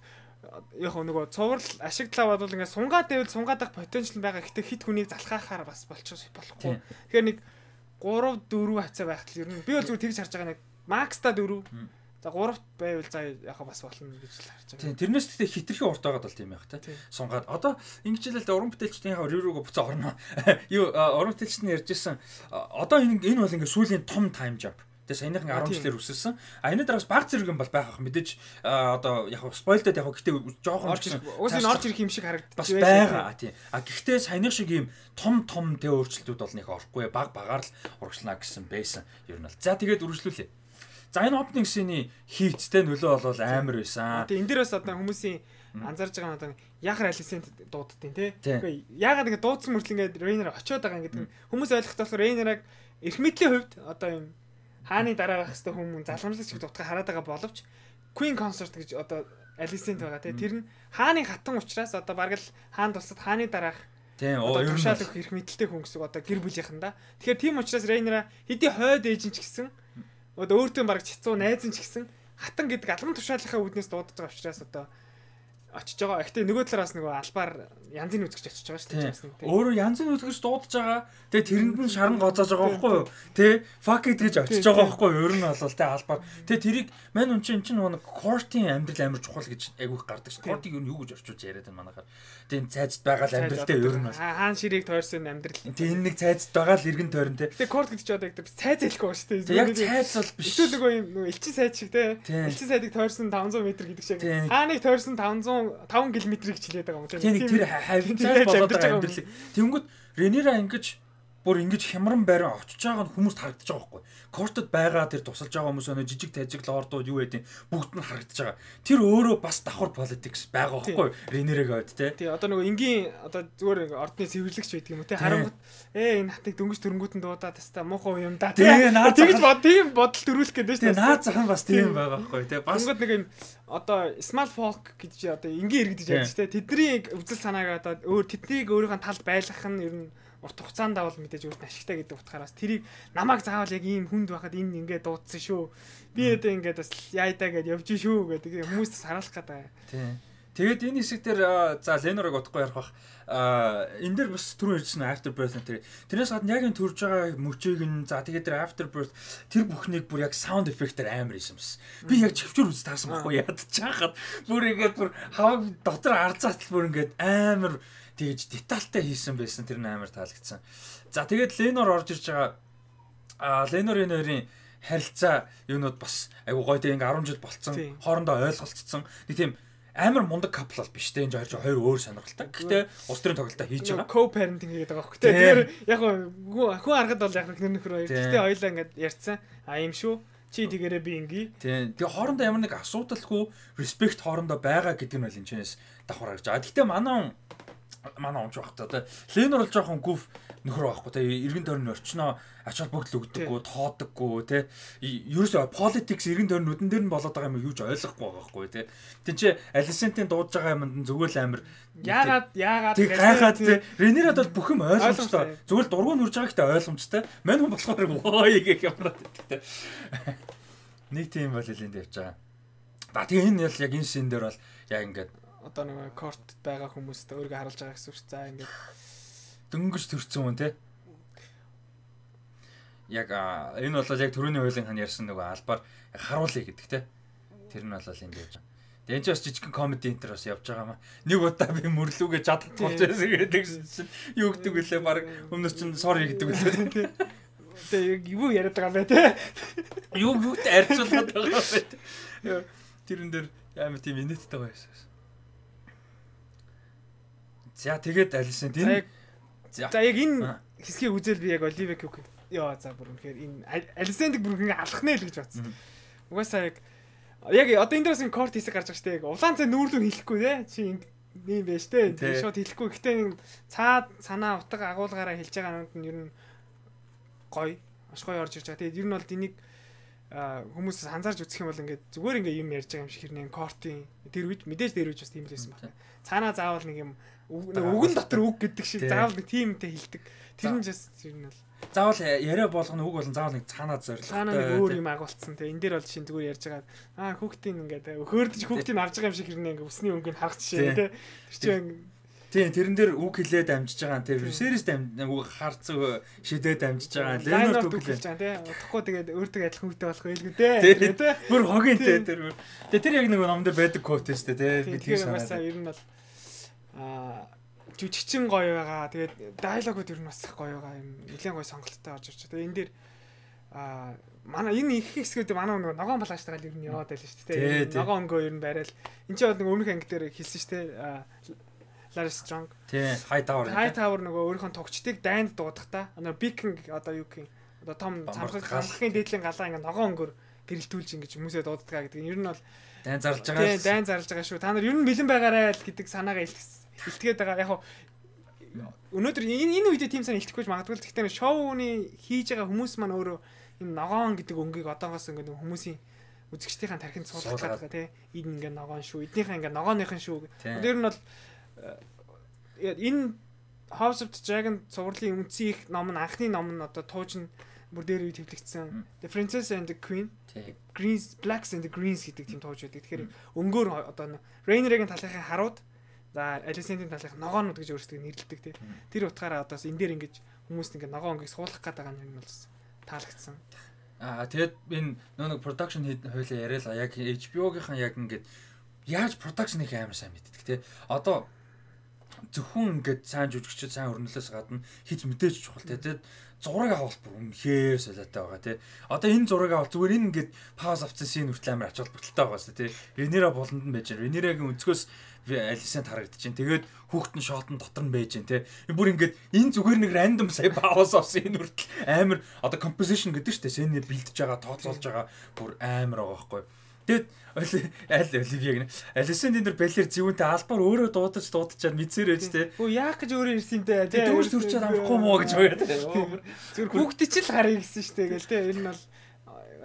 яг нөгөө цуврал ашиглаа бодвол ингээ сунгаад байвал сунгаад ах потенциал байгаа. Гэхдээ хит хүнийг залхаахаар бас болчих болохгүй. Тэгэхээр нэг гурав дөрөв хавцаа байхад ер нь би бол зүгээр тэгж харж байгаа нэг макста дөрөв за гуравт байвал за яхаа бас болно гэж л харж байгаа. Тийм тэрнээс тэгтээ хитрхи урт байгаад бол тийм байх та. Сунгаад одоо ингэжлээ л уран бүтээлчдийн ревюргөө буцаа орно. Юу уран бүтээлчд нь ярьжсэн одоо энэ энэ бол ингээ сүүлийн том тайм jump. Тэгээ саяныхан арван жилээр үсэлсэн. А энэ дараас баг зэрэг юм бол байх ах мэдээж одоо яг спойлдод яг гэхдээ жоохон орж ирэх. Уус энэ орж ирэх юм шиг харагддаг. Бас байгаа тийм. А гэхдээ саяных шиг юм том том тэ өөрчлөлтүүд бол нэг орохгүй баг багаар л урагшлана гэсэн байсан. Ер нь бол. За тэгээд үргэлжлүүлээ. За энэ opening scene-ийн хийцтэй нөлөө бол амар байсан. Тэгээ энэ дээр бас одоо хүмүүсийн анзаарж байгаа нь одоо яхаар Алисент дууддیں۔ Тэ. Үгүй яагаад ингэ дуудсан мөртл ингэ Рейнер очиод байгаа гэдэг хүмүүс ойлгох болохоор Рейнераг эрх мэдлийн хувьд одоо юм хааны дараа байх хэвээр хүмүүс залгамжлагч шиг дутгаа хараад байгаа боловч Queen Consort гэж одоо Алисент байгаа тэ. Тэр нь хааны хатан учраас одоо бараг л хаан тусад хааны дараах тийм оо ер нь шалах эрх мэдэлтэй хүн гэсэн одоо гэр бүлийнхэндаа. Тэгэхээр тийм учраас Рейнера хэдий хойд ээж нь ч гэсэн одоо өөртөө бараг цэцүү найз нь ч гэсэн хатан гэдэг алган тушаалынхаа үүднээс дуудаж байгаа учраас одоо очиж байгаа. Гэхдээ нөгөө талаас нөгөө албаар янзын үзэгч очиж байгаа шүү дээ. Өөрөө янзын үзэгч дуудаж байгаа. Тэгээ тэрэнд нь шаран гоцоож байгаа байхгүй юу? Тэ fuck it гэж очиж байгаа байхгүй юу? Ер нь бол тэ албаар. Тэгээ тэрийг мань үн чинь чинь нөгөө Кортийн амьдрал амар чухал гэж айгүйх гардаг шүү. Кортиг юу юу гэж орчуулж яриад байна манайхаар. Тэгээ цайзд байгаа л амьдралтай ер нь бол. Хаан ширийг тойрсон амьдрал. Тэгээ энэ нэг цайзд байгаа л иргэн тойрон тэ. Тэгээ Корт гэдэг чи одоо яг цайз хэлэхгүй шүү дээ. Яг цайз бол биш. Эсвэл нөгөө юм нөгөө элчин сайд шиг тэ. Элчин сайдыг тойрсон таван зуун метр гэдэг шиг. Хааныг тойрсон таван зуун таван километрийг хичлээд байгаа юм тийм. Тийм тэр хавцаас болоод байгаа амьдрал. Тэнгүүд Ренера ингэж бүр ингэж хямран байран очиж байгаа нь хүмүүст харагдаж байгаа байхгүй. Кортод байгаа тэр тусалж байгаа хүмүүс өнө жижиг тажиг лордууд юу гэдэг бүгд нь харагдаж байгаа. Тэр өөрөө бас давхар политикс байгаа байхгүй. Ренерэг ойд те. Тий одоо нөгөө энгийн одоо зүгээр ордны цэвэрлэгч байдаг юм уу те. Харангуут ээ энэ хатыг дөнгөж төрөнгүүтэн дуудаад тастаа муухай юм да. Тэгж бод тийм бодол төрүүлэх гэдэг шүү дээ. Наад зах нь бас тийм байгаа байхгүй те. Бас нэг юм одоо small folk гэж одоо энгийн иргэдэж ярьж те. Тэдний үзэл санааг одоо өөр тэднийг өөрийнхөө талд байлгах нь ер нь урт хугацаанд давал мэдээж өөрт нь ашигтай гэдэг утгаараас тэрийг намайг заавал яг ийм хүнд байхад энэ ингээд дуудсан шүү. Би одоо ингээд бас яйдаа гэдээ явж шүү гэдэг хүмүүст бас хараалах гэдэг. Тийм. Тэгээд энэ хэсэг дээр за Ленорыг утгагүй ярих бах. Аа энэ дэр бас түрүү ярьсан Afterbirth тэр. Тэрнээс гадна яг энэ төрж байгаа мөчийг нь за тэгээд тэр Afterbirth тэр бүхнийг бүр яг sound effect-ээр амар хийсэн юмс. Би яг чивчүр үз таарсан байхгүй ядаж чахаад бүр ингээд бүр хаваг дотор арзаатал бүр ингээд амар тэгж детальтай хийсэн байсан тэр нь амар таалагдсан. За тэгээд Ленор орж ирж байгаа а Ленорын нэрийн харилцаа юунууд бас айгу гоё тийм ингээ арван жил болцсон хоорондоо ойлголцсон нэг тийм амар мундаг капл бол биш те энэ хоёр хоёр өөр сонирхолтой. Гэхдээ улс төрийн тоглолтоо хийж байгаа. Co-parenting гэдэг байгаа байхгүй те. Тэгэхээр яг хүн аргад бол яг нэр нөхөр хоёр. Гэхдээ хоёлаа ингээд ярьсан. А юм шүү. Чи тэгээрээ би инги. Тийм. Тэгээ хоорондоо ямар нэг асуудалгүй respect хоорондоо байгаа гэдэг нь бол энэ чэнэс давхар гарч байгаа. Гэхдээ манай манай онч багтаа те. Ленор бол жоохон гүв нөхөр байхгүй те. Иргэн тойрны орчноо ач холбогдол өгдөггүй, тоодоггүй те. Ерөөсөө politics иргэн тойрны нүдэн дээр нь болоод байгаа юм юуж ойлгохгүй байгаа байхгүй те. Тин чи Alicent-ийн дуудаж байгаа юмд зүгээр л амир яагаад яагаад тэг гайхаад те. Ренерад бол бүх юм ойлгомжтой. Зүгээр л дургуун үрж байгаа гэхдээ ойлгомжтой. Мань хүн болохоор ой гэх юмраад те. Нэг тийм бол хэлэнд явж байгаа. Да тэгээ энэ яг энэ шин дээр бол яг ингээд одоо нэг корт байгаа хүмүүст өөрийгөө харуулж байгаа гэсэн үг. За ингээд дөнгөж төрсөн хүн те. Яг энэ бол яг түрүүний хуулийн хан ярьсан нөгөө албаар харуулъя гэдэг те. Тэр нь бол энд явж байгаа. Тэгээ энэ ч бас жижигхэн комеди энтер бас явж байгаа маа. Нэг удаа би мөрлүүгээ жадах болж байсан гэдэг чинь юу гэдэг вүлээ баг өмнөс чинь sorry гэдэг вүлээ. Тэгээ юу яриад байгаа бай те. Юу юутай арьцуулаад байгаа бай. Тэрэн дээр амар тийм инээдтэй байсан. За тэгээд Alicent энэ за яг энэ хэсгийг үзэл би яг Olivia Cook яа за бүр үнэхээр энэ Alicent-ийг бүр ингэ алах нэ л гэж бодсон. Угаасаа яг яг одоо энэ дээрээс корт хэсэг гарч байгаа шүү дээ. Улаан цай нүүрлүү хэлэхгүй те. Чи ийм байж те. Шууд хэлэхгүй. Гэтэ нэг цаад санаа утга агуулгаараа хэлж байгаа нь ер нь гоё. Маш гоё орж ирж байгаа. Тэгээд ер нь бол энийг хүмүүс анзаарч үзэх юм бол ингээд зүгээр ингээ юм ярьж байгаа юм шиг хэрнээ кортын тэр үед мэдээж тэр үед бас тийм л байсан байна. Цаанаа заавал нэг юм үгэн дотор үг гэдэг шиг заавал нэг тиймтэй хэлдэг. Тэр нь just ер нь бол заавал яриа болгоно үг болон заавал нэг цаанаа зорилготой. Цаанаа нэг өөр юм агуулсан. Тэгээ энэ дээр бол шин зүгээр ярьж байгаа. Аа хүүхдийн ингээд хөөрдөж хүүхдийн авч байгаа юм шиг хэрнээ ингээ өсний өнгөнд харах жишээ те. Тэр чинь тийм тэрэн дээр үг хэлээд амжиж байгаа. Тэр сервис үг харцаг шидээд амжиж байгаа. Ленор үг хэлж байгаа те. Утахгүй тэгээд өөртөө адилхан үгтэй болох байлгүй те. Тэ. Бүр хогийн те тэр. Тэгээ тэр яг нэг ном дээр байдаг код шүү дээ те. Би тийм санаа. Ер нь бол аа жүжигчин гоё байгаа. Тэгээд диалогууд ер нь бас гоё байгаа. Юм нэлээд гоё сонголттой орж ирж байгаа. Тэгээд энэ дээр аа манай энэ их хэсгүүд манай нэг ногоон балаачтайгаа ер нь яваад байлаа шүү дээ. Ногоон өнгөө ер нь барайл. Энд чинь бол нэг өмнөх анги дээр хэлсэн шүү дээ. Larry Strong. Тий, High Tower. High Tower нөгөө өөрийнхөө тогчдыг дайнд дуудахдаа одоо Viking одоо юу гэх юм одоо том цамхаг хамхын дээдлийн галаа ингээ ногоон өнгөөр гэрэлтүүлж ингээ хүмүүсээ дууддаг гэдэг. Ер нь бол дайн зарлж байгаа. Тий, дайн зарлж байгаа шүү. Та нар ер нь бэлэн байгаарай л гэдэг санаагаа илтгэхэд байгаа. Яг өнөөдөр энэ энэ үедээ тийм санаа илтгэхгүй магадгүй л гэхдээ шоуны хийж байгаа хүмүүс маань өөрөө энэ ногоон гэдэг өнгийг одоогоос ингээ хүмүүсийн үзэгчдийн тархинд суулгах гэдэг тий. Энэ ингээ ногоон шүү. Эднийхээ ингээ ногооныхын шүү. Ер нь бол энэ House of the Dragon цувралын үндсэн их ном нь анхны ном нь одоо тууж нь бүр дээр үе төвлөгдсөн. The Princess and the Queen, Greens, Blacks and the Greens гэдэг тийм тууж байдаг. Тэгэхээр өнгөөр одоо Rhaenyra-гийн талынхаа харууд, за Alicent-ийн талынхаа ногоонууд гэж өөрсдөө нэрлэдэг тийм. Тэр утгаараа одоо энэ дээр ингэж хүмүүст ингэ ногоон өнгөийг суулгах гэдэг байгаа юм бол таалагдсан. Аа тэгээд энэ нэг production хуулиа яриалаа яг H B O-гийнхан яг ингэж яаж production-ыг амар сайн мэддэг те. Одоо зөвхөн ингээд сайн жүжигчд сайн өрнөлөөс гадна хит мэдээж чухал те. Тэгээд зураг авалт бүр үнэхээр солиотой байгаа те. Одоо энэ зураг авалт зүгээр энэ ингээд пауз авцсан син хүртэл амар ач холбогдолтой байгаа шүү те. Rhaenyra болонд нь байж байна. Rhaenyra-гийн өнцгөөс Alicent харагдаж байна. Тэгээд хүүхдэн шотон дотор нь байж байна те. Бүр ингээд энэ зүгээр нэг рандом сая пауз авсан энэ хүртэл амар одоо composition гэдэг шүү те. Сэнэ бэлдэж байгаа, тооцоолж байгаа бүр амар байгаа байхгүй. Тэгэд аль Оливия гэнэ. Alicent энэ балер зөвөнтэй албаар өөрөө дуудаж дуудачаад мэдсээр байж те. Өө яах гэж өөрөө ирсэн те. Тэгээ дүүж төрчөөд амрахгүй мó гэж байгаа те. Зүгээр хүүхдээ ч л харъя гэсэн шүү дээ гэл те. Энэ нь бол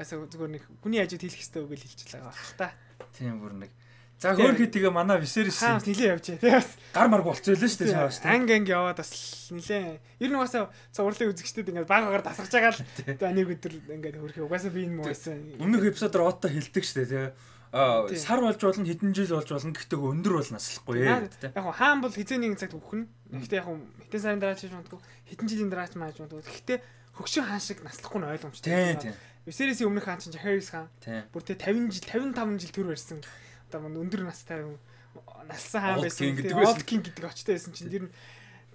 зүгээр нэг хүний ажид хэлэх хэрэгтэй үг л хэлчихэл байгаа баг та. Тийм бүр нэг. За хөөрхий тэгээ манай Viserys хаа нилээ явжээ те. Гар марг болцоо лээ шүү дээ шааш те. Анги анги яваад бас нилээ. Ер нь угаасаа цувралын үзэгчдэд ингээд баг багаар тасгаж байгаа л за нэг өдөр ингээд хөөрхий угаасаа би энэ муу байсан. Өмнөх эпизодоор отто хэлдэг шүү дээ те. Аа сар болж болно хэдэн жил болж болно гэхдээ өндөр бол наслахгүй ээ. Яг хаан бол хизээ нэгэн цагт өгөх нь. Гэхдээ яг хэдэн сарын дараа ч хийж магадгүй хэдэн жилийн дараа ч мааж магадгүй. Гэхдээ хөгшин хаан шиг наслахгүй нь ойлгомжтой. Тийм. Viserys-ийн өмнөх хаан чинь Harris хаан. Бүр тэ тавин жил тавин таван жил төр барьсан. Одоо мөн өндөр настай налсан хаан байсан. Old King гэдэг очтой байсан чинь тэр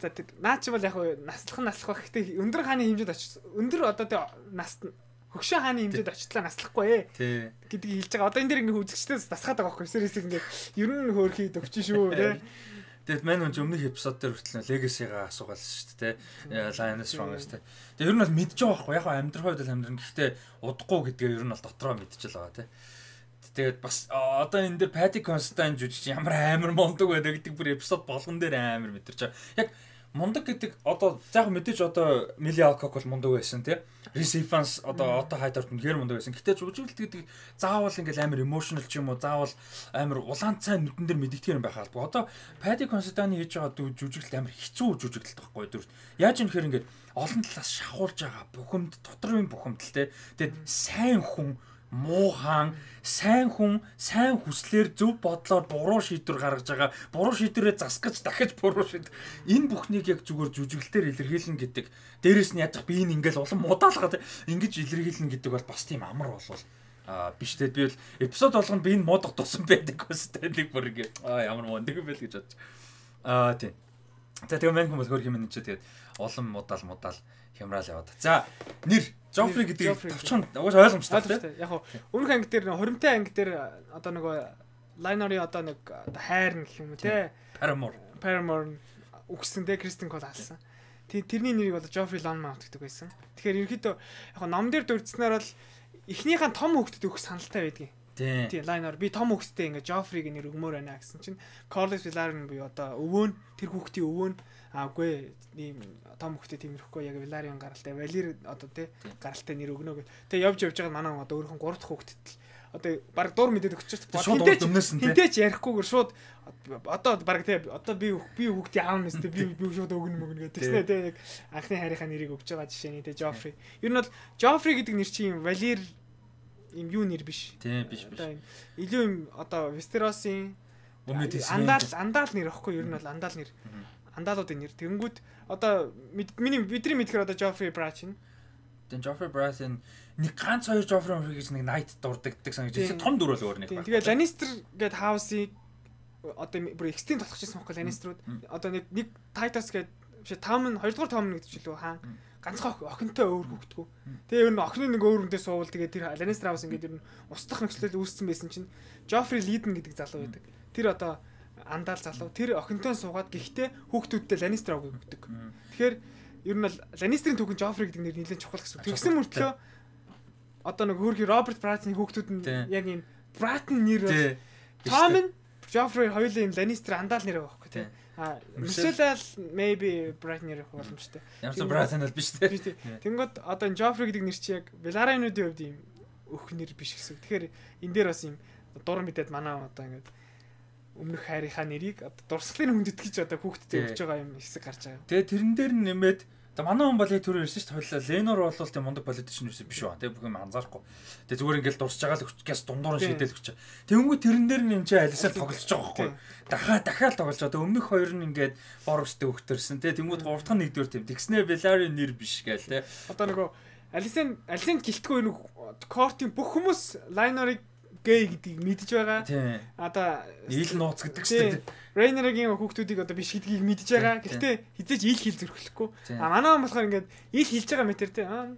за наа чи бол яг наслах нь наслах ба гэхдээ өндөр хааны хэмжээд очиж өндөр одоо тэ нас хөгшөө хааны хэмжээд очихлаа наслахгүй ээ. Тий. Гэдгийг хэлж байгаа. Одоо энэ дэр ингээ үзэгчдээс дасгаад байгаа байхгүй сервисийг ингээ ер нь хөөрхий төгчин шүү тий. Тэгээд мань өнч өмнөх эпизод дээр хүртэл Legacy-га асуугаалсан шүү дээ. Lioness Strongest тий. Тэгээд ер нь бол мэдж байгаа байхгүй. Яг амьдрах хувьд л амьдрын. Гэхдээ удахгүй гэдгээ ер нь бол дотроо мэдчихэл байгаа тий. Тэгээд бас одоо энэ дээр Paddy Considine жүжигч ямар амар мундаг байдаг гэдэг бүр эпизод болгон дээр амар мэдэрч байгаа. Яг мундаг гэдэг одоо заах мэдээж одоо Millie Alcock бол мундаг байсан тий. Reese Evans одоо Otto Hightower үнэхээр мундаг байсан. Гэтэ жүжиглэлт гэдэг заавал ингээл амар emotional ч юм уу заавал амар улаан цай нүдэн дээр мэддэгдэх юм байх албагүй. Одоо Paddy Considine хийж байгаа жүжиглэлт амар хэцүү жүжиглэлт байхгүй дөрөв. Яаж юм хэрэг ингээд олон талаас шахуулж байгаа бухимд доторын бухимдал тий. Тэгээд сайн хүн муухан сайн хүн сайн хүслээр зөв бодлоор буруу шийдвэр гаргаж байгаа буруу шийдвэрээ засгаж дахиж буруу шийд энэ бүхнийг яг зүгээр жүжиглэлээр илэрхийлнэ гэдэг дээрэс нь яаж би энэ ингээл улам муудаалгаад ингэж илэрхийлнэ гэдэг бол бас тийм амар болвол а биш тэгээд би бол эпизод болгонд би энэ муудах тусан байдаг гэсэн нэг бүр ингэ а ямар мундаг юм бэ л гэж бодож а тийм за тэгээ мань хүмүүс хөр юм энэ ч тэгээд улам муудаал муудаал хямраал яваад за нэр Joffrey гэдэг товчхон угаасаа ойлгомжтой тийм. Яг хөө өмнөх анги дээр хуримтай анги дээр одоо нөгөө Lionor-ийн одоо нэг хайр гэх юм уу те. Paramore. Paramore үгсэн те Kristen Cole алсан. Тэрний нэрийг одоо Joffrey Lonmount гэдэг байсан. Тэгэхээр ерөөхдөө яг ном дээр дурдсанаар бол эхнийхэн том хөвгтөд өгөх саналтай байдгийн. Тийм Lionor би том хөвгтөд ингээ Joffrey-г нэр өгмөр байна гэсэн чинь Corlys Velaryon буюу одоо өвөө нь тэр хүүхдийн өвөө нь аагүй ийм том хөвгтөд тиймэрхгүй яг Velaryon гаралтай Valyr одоо тий гаралтай нэр өгнө гэх. Тэгээ явж явж байгаа манай одоо өөрхөн гурав дахь хөвгтөд л одоо баг дур мэдээд өгч шууд хинтээч ярихгүйгээр шууд одоо баг тий одоо би би хүүхдийн аав нэстэй би би шууд өгнө мөгнө гэдэг тийм тий яг анхны хайрынхаа нэрийг өгч байгаа жишээний тий Joffrey. Ер нь бол Joffrey гэдэг нэр чинь Valyr им юу нэр биш. Тийм биш биш. Илүү юм одоо Westeros-ийн андаал андаал нэр аахгүй ер нь бол андаал нэр. Андалуудын нэр. Тэнгүүд одоо миний бидний мэдхээр одоо Joffrey Baratheon. Тэн Joffrey Baratheon нэг ганц хоёр Joffrey гэж нэг night дурдаг гэдэг санаж байна. Том дүр бол өөр нэг байна. Тэгээ Lannister гэдэг house-ийг одоо бүр extend толгочихсон байхгүй Lannister-ууд. Одоо нэг нэг Titus гэдэг биш Tommen хоёр дахь Tommen гэдэг ч илүү хаан ганцхан охинтой өөр хөвгтгүү. Тэгээ ер нь охины нэг өөр хүнтэй суувал тэгээ тэр Lannister house ингээд ер нь устдах нөхцөлөд үүссэн байсан чинь Joffrey Leiden гэдэг залуу байдаг. Тэр одоо андаал залуу тэр охинтой суугаад гэхдээ хүүхдүүдтэй Lannister авыг өгдөг. Тэгэхээр ер нь бол Lannister-ийн түүхэн Joffrey гэдэг нэр нэлээд чухал гэсэн. Тэгсэн мөртлөө одоо нэг хөрхи Robert Baratheon-ийн хүүхдүүд нь яг ийм Baratheon нэр Tommen Joffrey хоёулаа ийм Lannister андаал нэр байгаа байхгүй тийм. А Michelle maybe Baratheon нэр боломжтой. Ямар Baratheon бол биш тийм. Тэнгод одоо энэ Joffrey гэдэг нэр чи яг Velaryon-уудын хувьд ийм өөх нэр биш гэсэн. Тэгэхээр энэ дээр бас ийм дур мэдээд манай одоо ингээд өмнөх хайрынхаа нэрийг одоо дурсгалын хүндэт гэж одоо хүүхдэд өгч байгаа юм хэсэг гарч байгаа. Тэгээ тэрэн дээр нэмээд одоо манай хүн бол яг түрүү ирсэн шүү дээ. Lenor бол тийм мундаг политician биш үү? Тэгээ бүх юм анзаарахгүй. Тэгээ зүгээр ингээл дурсж байгаа л өгчгээс дундуур нь шийдэл өгч. Тэнгүү тэрэн дээр нь юм чи алисаар тоглож байгаа байхгүй. Дахиад дахиад тоглож байгаа. Тэгээ өмнөх хоёр нь ингээд Borosтэй өгтөрсөн. Тэгээ тэнгүүд гурав дахь нь нэгдүгээр тийм. Тэгснээ Velaryon нэр биш гээл те. Одоо нөгөө Alicent Alicent гэлтгүй нэг Court-ийн бүх хүмүүс Lionor-ыг гэй гэдгийг мэдж байгаа. Одоо ил нууц гэдэг чинь Rhaenyra-гийн хүүхдүүдийг одоо биш гэдгийг мэдж байгаа. Гэхдээ хизээч ил хил зөрөхлөхгүй. А манай хүн болохоор ингээд ил хэлж байгаа мэтэр те. Аа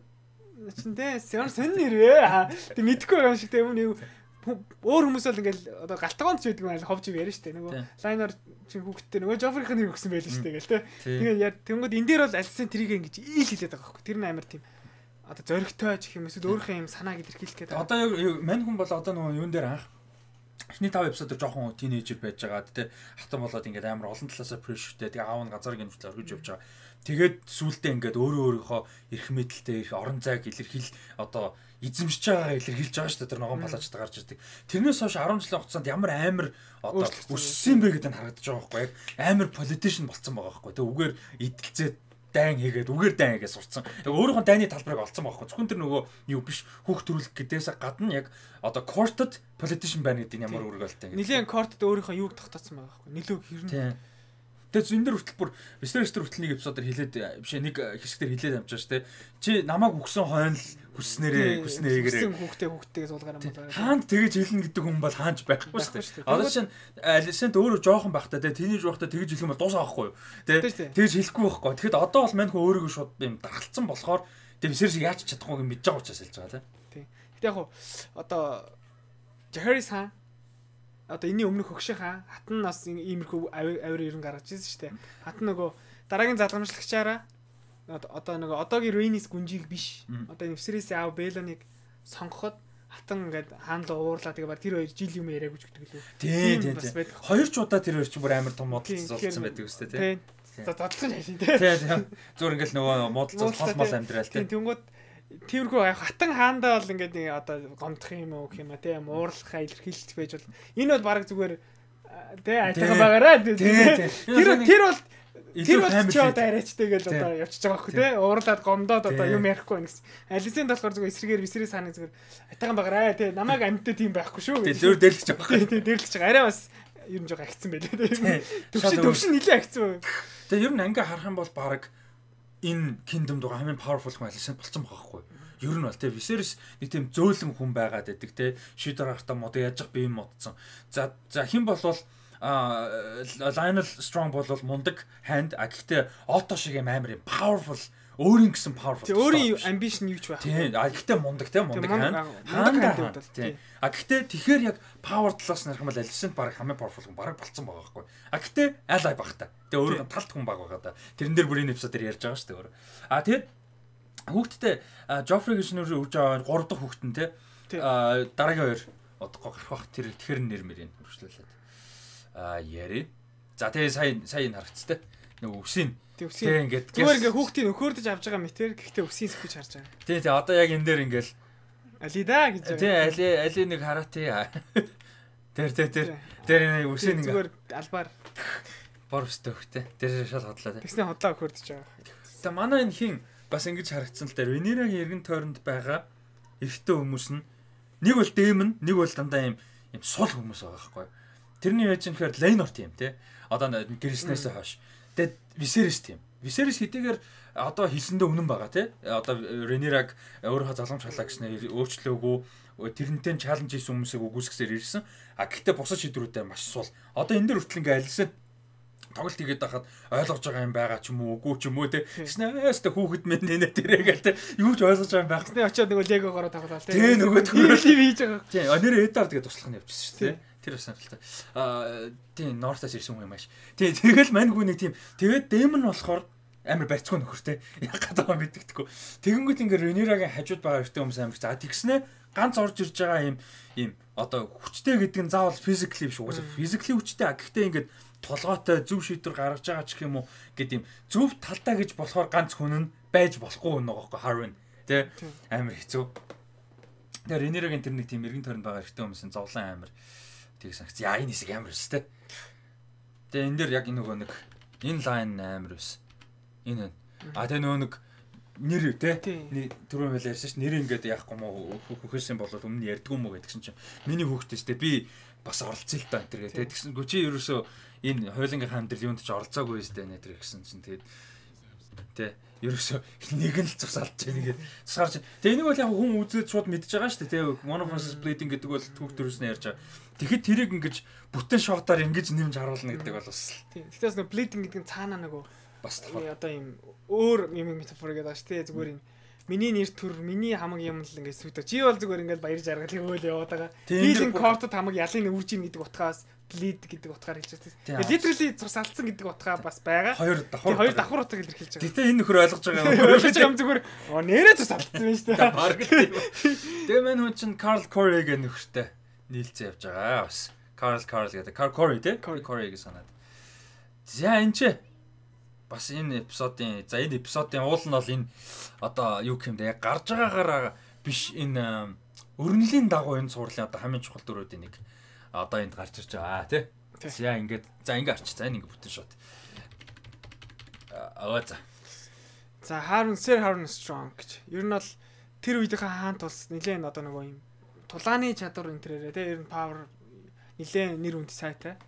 чин те сэн сэн нэрээ. Тэг мэдхгүй байгаа юм шиг те өмнө өөр хүмүүс бол ингээд одоо галтгоонд ч байдаг юм ховж яриа штэ. Нөгөө Lionor чин хүүхдтэй нөгөө Joffrey-ийн нэр өгсөн байл штэ гэл те. Тэгээд тэнгууд энэ дээр бол Alicent тэрийг ингэж ил хэлээд байгаа байхгүй. Тэр нь амар тийм одоо зөрөгтэй ч юм эсвэл өөрийнхөө юм санааг илэрхийлэх гэдэг. Одоо мань хүн бол одоо нөгөө юун дээр анх эхний тав эпизодоор жоохон тинейжер байж байгаа тэ хатан болоод ингээд амар олон талаасаа прештэй тэгээ аав нь газар гинвчл оргиж явж байгаа. Тэгээд сүултээ ингээд өөрөө өөрийнхөө эрх мэдэлтэй их орон зайг илэрхийл одоо эзэмшиж байгаа илэрхийлж байгаа шүү дээ тэр ногоон палаачтай гарч ирдэг. Тэрнээс хойш арван жилийн хугацаанд ямар амар одоо өссөн бэ гэдэг нь харагдаж байгаа байхгүй яг амар politician болцсон байгаа байхгүй. Тэг үгээр идэлцээд дайн хийгээд үгээр дайн хийгээд сурцсан. Яг өөрийнхөө дайны талбарыг олцсон байхгүй. Зөвхөн тэр нөгөө юу биш хүүхд төрүүлэх гэдээс гадна яг одоо courted politician байна гэдэг нь ямар үргэлтэй. Нилийн courted өөрийнхөө юуг тогтооцсон байгаа байхгүй. Нилүү хэрнээ. Тэгээд энэ дэр хүртэл бүр Westeros хүртэл нэг эпизодоор хэлээд биш нэг хэсгээр хэлээд амжаа шүү дээ. Чи намайг өгсөн хойно л хүснээрээ хүснээгээр хүүхдээ хүүхдтэйгээ суулгаар юм болоо. Хаанд тэгэж хэлнэ гэдэг хүн бол хаанч байхгүй шүү дээ. Одоо чинь Alicent өөрөө жоохон байхдаа те тэнийж байхдаа тэгэж хэлэх юм бол дуусаа байхгүй юу? Тэ тэгэж хэлэхгүй байхгүй. Тэгэхэд одоо бол мань хүн өөрийгөө шууд юм дархалцсан болохоор Тэгээ Viserys яаж чадахгүй юм мэдж байгаа учраас хэлж байгаа тий. Гэтэ яг одоо Jaehaerys хаан одоо энэний өмнөх хөгшин хаан хатан нас иймэрхүү авир ерөн гаргаж ирсэн шүү дээ. Хатан нөгөө дараагийн залгамжлагчаараа одоо нөгөө одоогийн Rhaenys гүнжийг биш. Одоо Viserys-ийн аав Baelon-ыг сонгоход хатан ингээд хаан л уурлаа тэгээ баг тэр хоёр жил юм яриаггүй ч гэдэг лөө. Тий, тий. Хоёр ч удаа тэр хоёр ч бүр амар том модалцсан байдаг үстэй тий. За задлах нь хайшин тий. Тий, тий. Зүгээр ингээд нөгөө модалцсан хол мол амьдрал тий. Тэнгүүд тэрхүү хатан хаандаа бол ингээд нэг одоо гомдох юм уу гэх юм а тий уурлахаа илэрхийлж байж бол энэ бол баг зүгээр тий айтайхан байгаараа тий. Тэр тэр бол тэр бол ч одоо арайчтай гэж одоо явчихж байгаа хөө тий уурлаад гомдоод одоо юм ярихгүй гэсэн. Алисент болохоор зүгээр эсрэгээр Viserys хааны зүгээр айтайхан байгаараа тий намайг амьтад тийм байхгүй шүү. Тий зөөр дэрлэж байгаа. Тий дэрлэж байгаа. Арай бас ер нь жоо агцсан байлээ тий. Төвшин төвшин нилээ агцсан. Тэгээ ер нь ингээ харах юм бол баг энэ Kingdom дугаар хамгийн powerful хүн Alicent болцсон байгаа байхгүй. Ер нь бол тий Viserys нэг тийм зөөлөн хүн байгаад байдаг тий. Шийдэр гарахтаа мод яаж би юм модсон. За за хэн болвол а Lionel Strong бол мундаг hand а гэхдээ Otto шиг юм амар юм powerful өөрийн гэсэн powerful. Тий өөрийн ambition юу ч байх. Тий а гэхдээ мундаг тий мундаг hand. Hand тий. А гэхдээ тэгэхээр яг power талаас нь харах юм бол Alicent баг хамгийн powerful хүн баг болцсон байгаа байхгүй. А гэхдээ ally баг та. Тэгээ өөрөө талт хүн баг байгаа да. Тэрэн дээр бүрийн эпизод дээр ярьж байгаа шүү дээ өөрөө. А тэгээд хүүхдтэй Joffrey гэж нэр үрж байгаа гурав дахь хүүхэд нь тий. А дараагийн хоёр одохгүй гарах бах тэр тэгэхэр нэр мэрийн үргэлжлүүлээд. А яри. За тэгээ сая сая н харагцтай. Нэг үсийн. Тэг үсийн. Ингээд зүгээр ингээ хүүхдийн нөхөрдөж авч байгаа мэтэр гэхдээ үсийн сэвэж харж байгаа. Тий, тий одоо яг энэ дээр ингээл алида гэж байгаа. Тий, али али нэг хараа тий. Тэр тэр тэр тэр нэг үсийн ингээ зүгээр албаар бор өстэй хөхтэй. Тэр шал хотлоо тий. Тэгснэ хотлоо хөхөрдөж байгаа. Тэ манай энэ хин бас ингэж харагдсан л дээр Rhaenyra-гийн эргэн тойронд байгаа эрэгтэй хүмүүс нь нэг бол дээм нь, нэг бол дандаа юм юм сул хүмүүс байгаа байхгүй. Тэрний яаж юм гэхээр Laenor тийм тий. Одоо гэрснээс хойш. Тэгээд Viserys тийм. Viserys хэдийгээр одоо хэлсэндээ үнэн байгаа тий. Одоо Rhaenyra-г өөрөө залгамж халаа гэснээр өөрчлөөгүй тэрнтэй чаленж хийсэн хүмүүсийг үгүйсгэсээр ирсэн. А гэхдээ бусад шийдвэрүүдээр маш сул. Одоо энэ дэр хүртэл ингээ альсан тоглолт хийгээд байхад ойлгож байгаа юм байгаа ч юм уу үгүй ч юм уу те гэснээс тэ хүүхэд мэд нэ тэрээгээл те юу ч ойлгож байгаа юм байх. Гэснээ очиод нөгөө легогоороо тоглоо те. Тэ нөгөө тв хийж байгаа. Тий, нэр Эдвард тэгээд туслах нь явчихсан шүү дээ. Тэр бас сонирхолтой. Аа тий, Нортаас ирсэн хүн юм ааш. Тий, тэгэл мань хүн нэг тийм тэгээд Дэмон болохоор амар барьцгүй нөхөртэй. Яг гадаа мэддэгдэхгүй. Тэгэнгүүт ингээ Rhaenyra-гийн хажууд байгаа эртний хүмүүс амар. За тэгснэ ганц орж ирж байгаа юм юм одоо хүчтэй гэдэг нь заавал physically биш угаасаа physically хүчтэй. Гэхдээ ингээ толгойтой зөв шийдвэр гаргаж байгаа ч юм уу гэдэг юм зөв талдаа гэж болохоор ганц хүн нь байж болохгүй нэг байхгүй Harwin тий амар хэцүү. Тэгээ Rhaenyra-гийн тэр нэг тийм эргэн тойронд байгаа эртний хүмүүсийн зовлон амар тийг санагц. Яа энэ хэсэг амар өстэй. Тэгээ энэ дээр яг энэ нөгөө нэг энэ лайн амар өс. Энэ а тэгээ нөгөө нэг нэр тий түрүүн хэл ярьсан ш нэр ингээд яахгүй мó хөхөрсөн болоод өмнө ярьдгүй мó гэдгсэн чинь миний хүүхдтэйстэй би бас оролцсон л та энэ төр гэ тэгсэн гү чи ерөөсөө энэ хойлонгийн хамтрал юунд ч оролцоогүй өстэй нэ тэр гэсэн чинь тэгээд тий ерөөсөө нэг нь л цус алдж байгаа нэгээд цусгаарч тэгээ энийг бол яг хүн үзээд шууд мэдж байгаа шүү дээ тий one of us bleeding гэдэг бол түүх төрөөснөө ярьж байгаа тэгэхэд тэрийг ингэж бүтэн шотоор ингэж нэмж харуулна гэдэг бол бас тий тэгтээс нэг bleeding гэдэг нь цаанаа нөгөө бас одоо юм өөр юм метафор гэдэг ааш тий зүгээр юм миний нэр төр миний хамаг юм л ингээд сүдэ чи бол зүгээр ингээд баяр жаргал хөөл яваад байгаа хийлэн кортод хамаг ялын үрж ийн гэдэг утгаас bleed гэдэг утгаар хэлж байгаа. Literally цус алдсан гэдэг утгаа бас байгаа. Хоёр давхар хоёр давхар утгаар илэрхийлж байгаа. Гэтэ энэ нөхөр ойлгож байгаа юм. Ойлгож байгаа юм зүгээр оо нэрээ цус алдсан юм шүү дээ. Бараг тийм. Тэгээ мэн хүн чинь Carl Corey гэх нөхөртэй нийлцээ явж байгаа бас. Carl Carl гэдэг. Carl Corey тий? Corey гэж санаад. За энэ ч бас энэ эпизодын за энэ эпизодын уул нь бол энэ одоо юу гэмдэ яг гарч байгаагаараа биш энэ өрнөлийн дагуу энэ цуурлын одоо хамгийн чухал дөрүүдийн нэг одоо энд гарч ирж байгаа тий. За ингээд за ингээд арч за энэ ингээд бүтэн шот. Аа за. За Harwin Sir Harwin Strong гэж. Ер нь бол тэр үеийнхээ хаан тус нилээн одоо нөгөө юм тулааны чадвар энэ төрөө тий ер нь power нилээн нэр хүнд сайтай.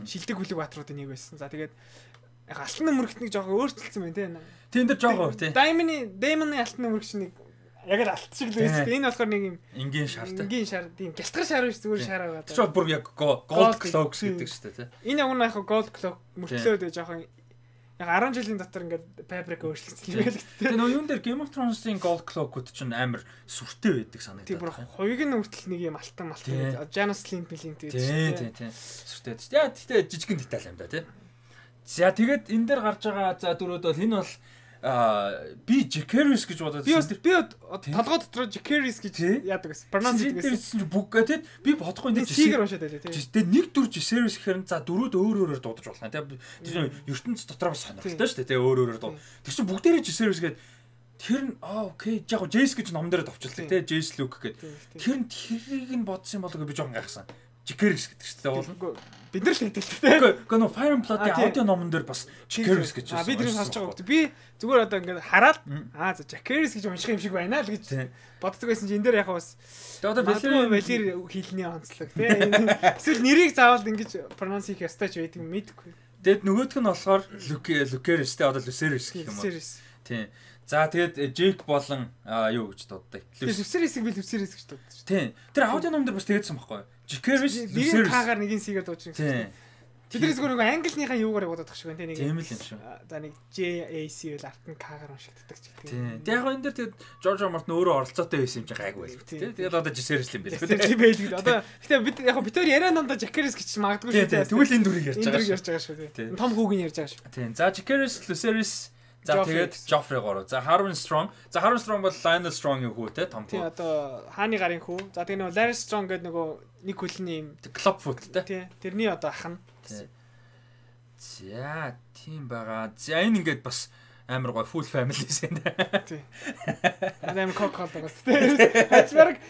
Шилдэг хүлэг баатруудын нэг байсан. За тэгээд яг алтан мөрөгт нэг жоохон өөрчлөлтсөн байна тий. Тийм дээр жоохон тий. Diamond Diamond-ы алтан мөрөгч нэг яг л алт шиг л байсан. Энэ болохоор нэг юм энгийн шартай. Энгийн шар тийм гялтгар шар биш зүгээр шар байгаа. Тэр бүр яг gold cloaks гэдэг шүү дээ тий. Энэ яг нь яг gold cloak мөртлөөд жоохон Яг арван жилийн дотор ингээд Paprika өөрчлөгдсөн юм байл. Тэгээ нөгөө юун дээр Game of Thrones-ийн Gold Cloak-ууд чинь амар сүртэй байдаг санагдаад. Тийм бүр хоёуг нь хүртэл нэг юм алтан малтан. Janus Slint-ийн тийм тийм тийм сүртэй. Яа тэгтээ жижигэн деталь юм да тий. За тэгээд энэ дээр гарч байгаа за дөрөд бол энэ бол а би Jacaerys гэж бодоод би би толгой дотор Jacaerys гэж яадаг гэсэн. Pronounce гэсэн чинь бүгд гэдэг би бодохгүй энэ Seeger уншаад байлаа тий. Тэгээд нэг дүр Jacaerys гэхээр за дөрүүд өөр өөрөөр дуудаж болох юм тий. Тэр ертөнц дотор бас сонирхолтой шүү дээ тий өөр өөрөөр дуу. Тэр чинь бүгдээрээ Jacaerys гэдэг тэр нь аа окей яг Jace гэж ном дээр товчлаа тий. Jace Luke гэдэг. Тэр нь тэрийг нь бодсон болоо би жоохон гайхсан. Jacaerys гэдэг чинь бол бид нар л хэлдэг тийм. Гэхдээ нөө Fire and Blood-ийн аудио номон дээр бас Jacaerys гэж байна. А би тэрийг сонсож байгаа. Би зүгээр одоо ингээд хараад аа за Jacaerys гэж унших юм шиг байна л гэж боддог байсан чинь энэ дээр яг бас одоо Valyr Valyr хэлний онцлог тийм. Эсвэл нэрийг заавал ингэж pronounce хийх ёстой ч байдаг юм мэдэхгүй. Тэгэд нөгөөх нь болохоор Lucerys тийм одоо Lucerys гэх юм уу. Тийм. За тэгээд Jake болон юу гэж дууддаг. Lucerys-ийг би Lucerys гэж дууддаг. Тийм. Тэр аудио номон дээр бас тэгээдсэн байхгүй юу? Jacaerys Lucerys кагаар нэгэн Seeger дууж байгаа. Тэдний зүгээр нэг английнхаа юугаар бодоод тах шиг байна тийм нэг. Тийм л юм шүү. За нэг J A C бол арт нь кагаар уншигддаг ч гэдэг. Тийм. Тэгээд яг энэ дээр тэгээд George R. Martin өөрөө оролцоотой байсан юм чи гайгүй байл тийм. Тэгээд одоо Jacaerys юм байл. Тийм байл гэдэг. Одоо гэтээ бид яг бид хоёр яриа намда Jacaerys гэж магадгүй шүү дээ. Тэгвэл энэ дүрийг ярьж байгаа. Энэ дүрийг ярьж байгаа шүү тийм. Том хүүгийн ярьж байгаа шүү. Тийм. За Jacaerys Lucerys за тэгээд Joffrey гурав. За Harwin Strong. За Harwin Strong бол Lionel Strong-ийн хүү те том хүү. Тийм одоо хааны гарын хүү. За тэгээд нөгөө Larry Strong гэдэг нөгөө нэг хөлний юм Clubfoot те. Тийм. Тэрний одоо ах нь. За тийм байгаа. За энэ ингээд бас амар гой full family-с энэ. Тийм. Адам кокол байгаа тийм. Хачмарг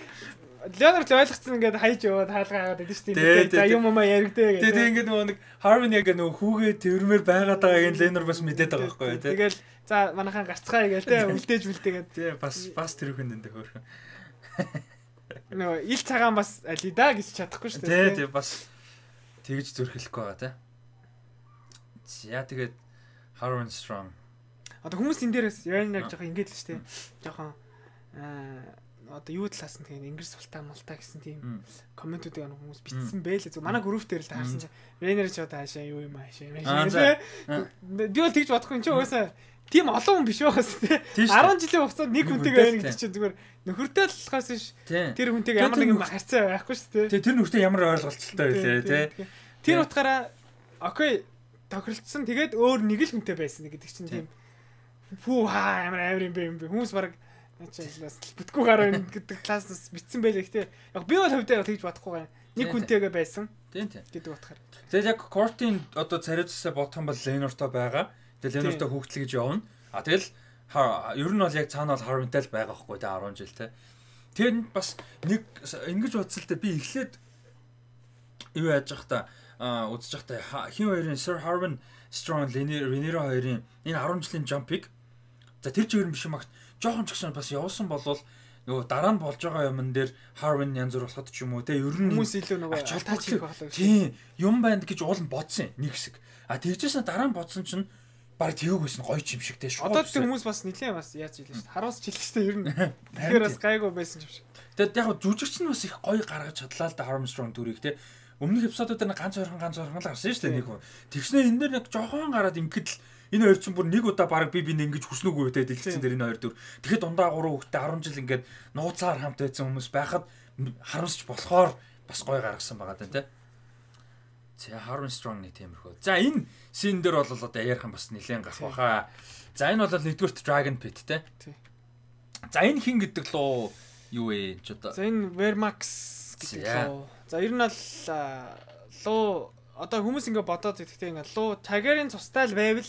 Leonard л ойлгоцсон ингээд хайж яваад хаалгаа аваад байдаг шүү дээ. За юм юм яригдээ гэдэг. Тэгээд ингээд нөгөө нэг Harwin яг нөгөө хүүгээ тэрмээр байгаад байгааг энэ Leonard бас мэдээд байгаа байхгүй юу тийм. Тэгэл за манайхан гарцгаая гээл тийм үлдээж үлдээгээд. Тийм бас бас тэр хүн энэ хөөрхөн. Нөгөө ил цагаан бас али да гэж чадахгүй шүү дээ. Тийм тийм бас тэгж зөрхөлөхгүй байгаа тийм. За тэгээд Harwin Strong. Одоо хүмүүс энэ дээрээс Leonard жоохон ингээд л шүү дээ. Жоохон аа одоо юу талаас нь тэгээд Ингээс султаа мултаа гэсэн тийм комментүүдийг ань хүмүүс бичсэн байлээ. Зөв манай групп дээр л таарсан чинь Ренер ч одоо хаашаа юу юм хаашаа юм хаашаа. Би бол тэгж бодохгүй чи угаасаа тийм олон хүн биш байгаас тий. арван жилийн хугацаанд нэг хүнтэйг байна гэдэг чинь зүгээр нөхөртэй л болохоос ш. Тэр хүнтэйг ямар нэгэн харьцаа байхгүй ш тий. Тий тэр нөхөртэй ямар ойлголцолтой байлээ тий. Тэр утгаараа окей тохиролцсон тэгээд өөр нэг л хүнтэй байсан гэдэг чинь тийм фүү хаа ямар амар юм бэ юм бэ хүмүүс баг ачаалаас бүтггүй гараа гэдэг класснаас битсэн байлээ гэхдээ яг би бол хөвдөө тэгж бодохгүй байна. Нэг хүнтэйгээ байсан. Тийм тийм. гэдэг утгаар. Тэгээд яг Court-ийн одоо цариуцсаа бодох юм бол Leonard-той байгаа. Тэгээд Leonard-той хүүхдэл гэж явна. А тэгэл ер нь бол яг цаана бол Harwin-тай л байгаа байхгүй тэ арван жил тэ. Тэгээд бас нэг ингэж бодсолтой би эхлээд юу яаж явах та үзэж явах та хин хоёрын Sir Harwin Strong Rhaenyra хоёрын энэ арван жилийн jump-ыг за тэр ч ер нь биш юм агт жоохон ч гэсэн бас явуулсан болвол нөгөө дараа нь болж байгаа юмн дээр Harwin янз бүр болоход ч юм уу те ер нь хүмүүс илүү нөгөө таач хийх болоо. Тийм юм байна гэж уул нь бодсон нэг хэсэг. А тэгжсэн дараа нь бодсон чинь баг тэвгүйсэн гоё ч юм шиг те шууд. Одоо тэр хүмүүс бас нилээ бас яаж хэлээ шүү дээ. Харуус ч хэлээ шүү дээ ер нь. Тэгэхээр бас гайгүй байсан юм шиг. Тэгэд яг жүжигч нь бас их гоё гаргаж чадлаа л да Harwin Strong дүрийг те. Өмнөх эпизодууд дээр ганц ойрхон ганц ойрхон л гарсан шүү дээ нэг. Тэгснэ энэ дээр нэг жоохон гараад ингээд л энэ хоёр чинь бүр нэг удаа баг би бинд ингэж хүснүүгүй те дэлгэцэн дээр энэ хоёр дүр. Тэгэхэд дундаа гурван хүүхдээ арван жил ингээд нууцаар хамт байсан хүмүүс байхад харамсч болохоор бас гоё гаргасан байгаа даа те. За Harwin Strong нэг тиймэрхүү. За энэ син дээр бол одоо ярих юм бас нэлээд гах баха. За энэ бол нэгдүгürt Dragon Pit те. За энэ хин гэдэг луу юу вэ ч одоо. За энэ Vermax гэдэг луу. За ер нь бол луу одоо хүмүүс ингээ бодоод идэхтэй ингээ луу Targaryen цустай л байвал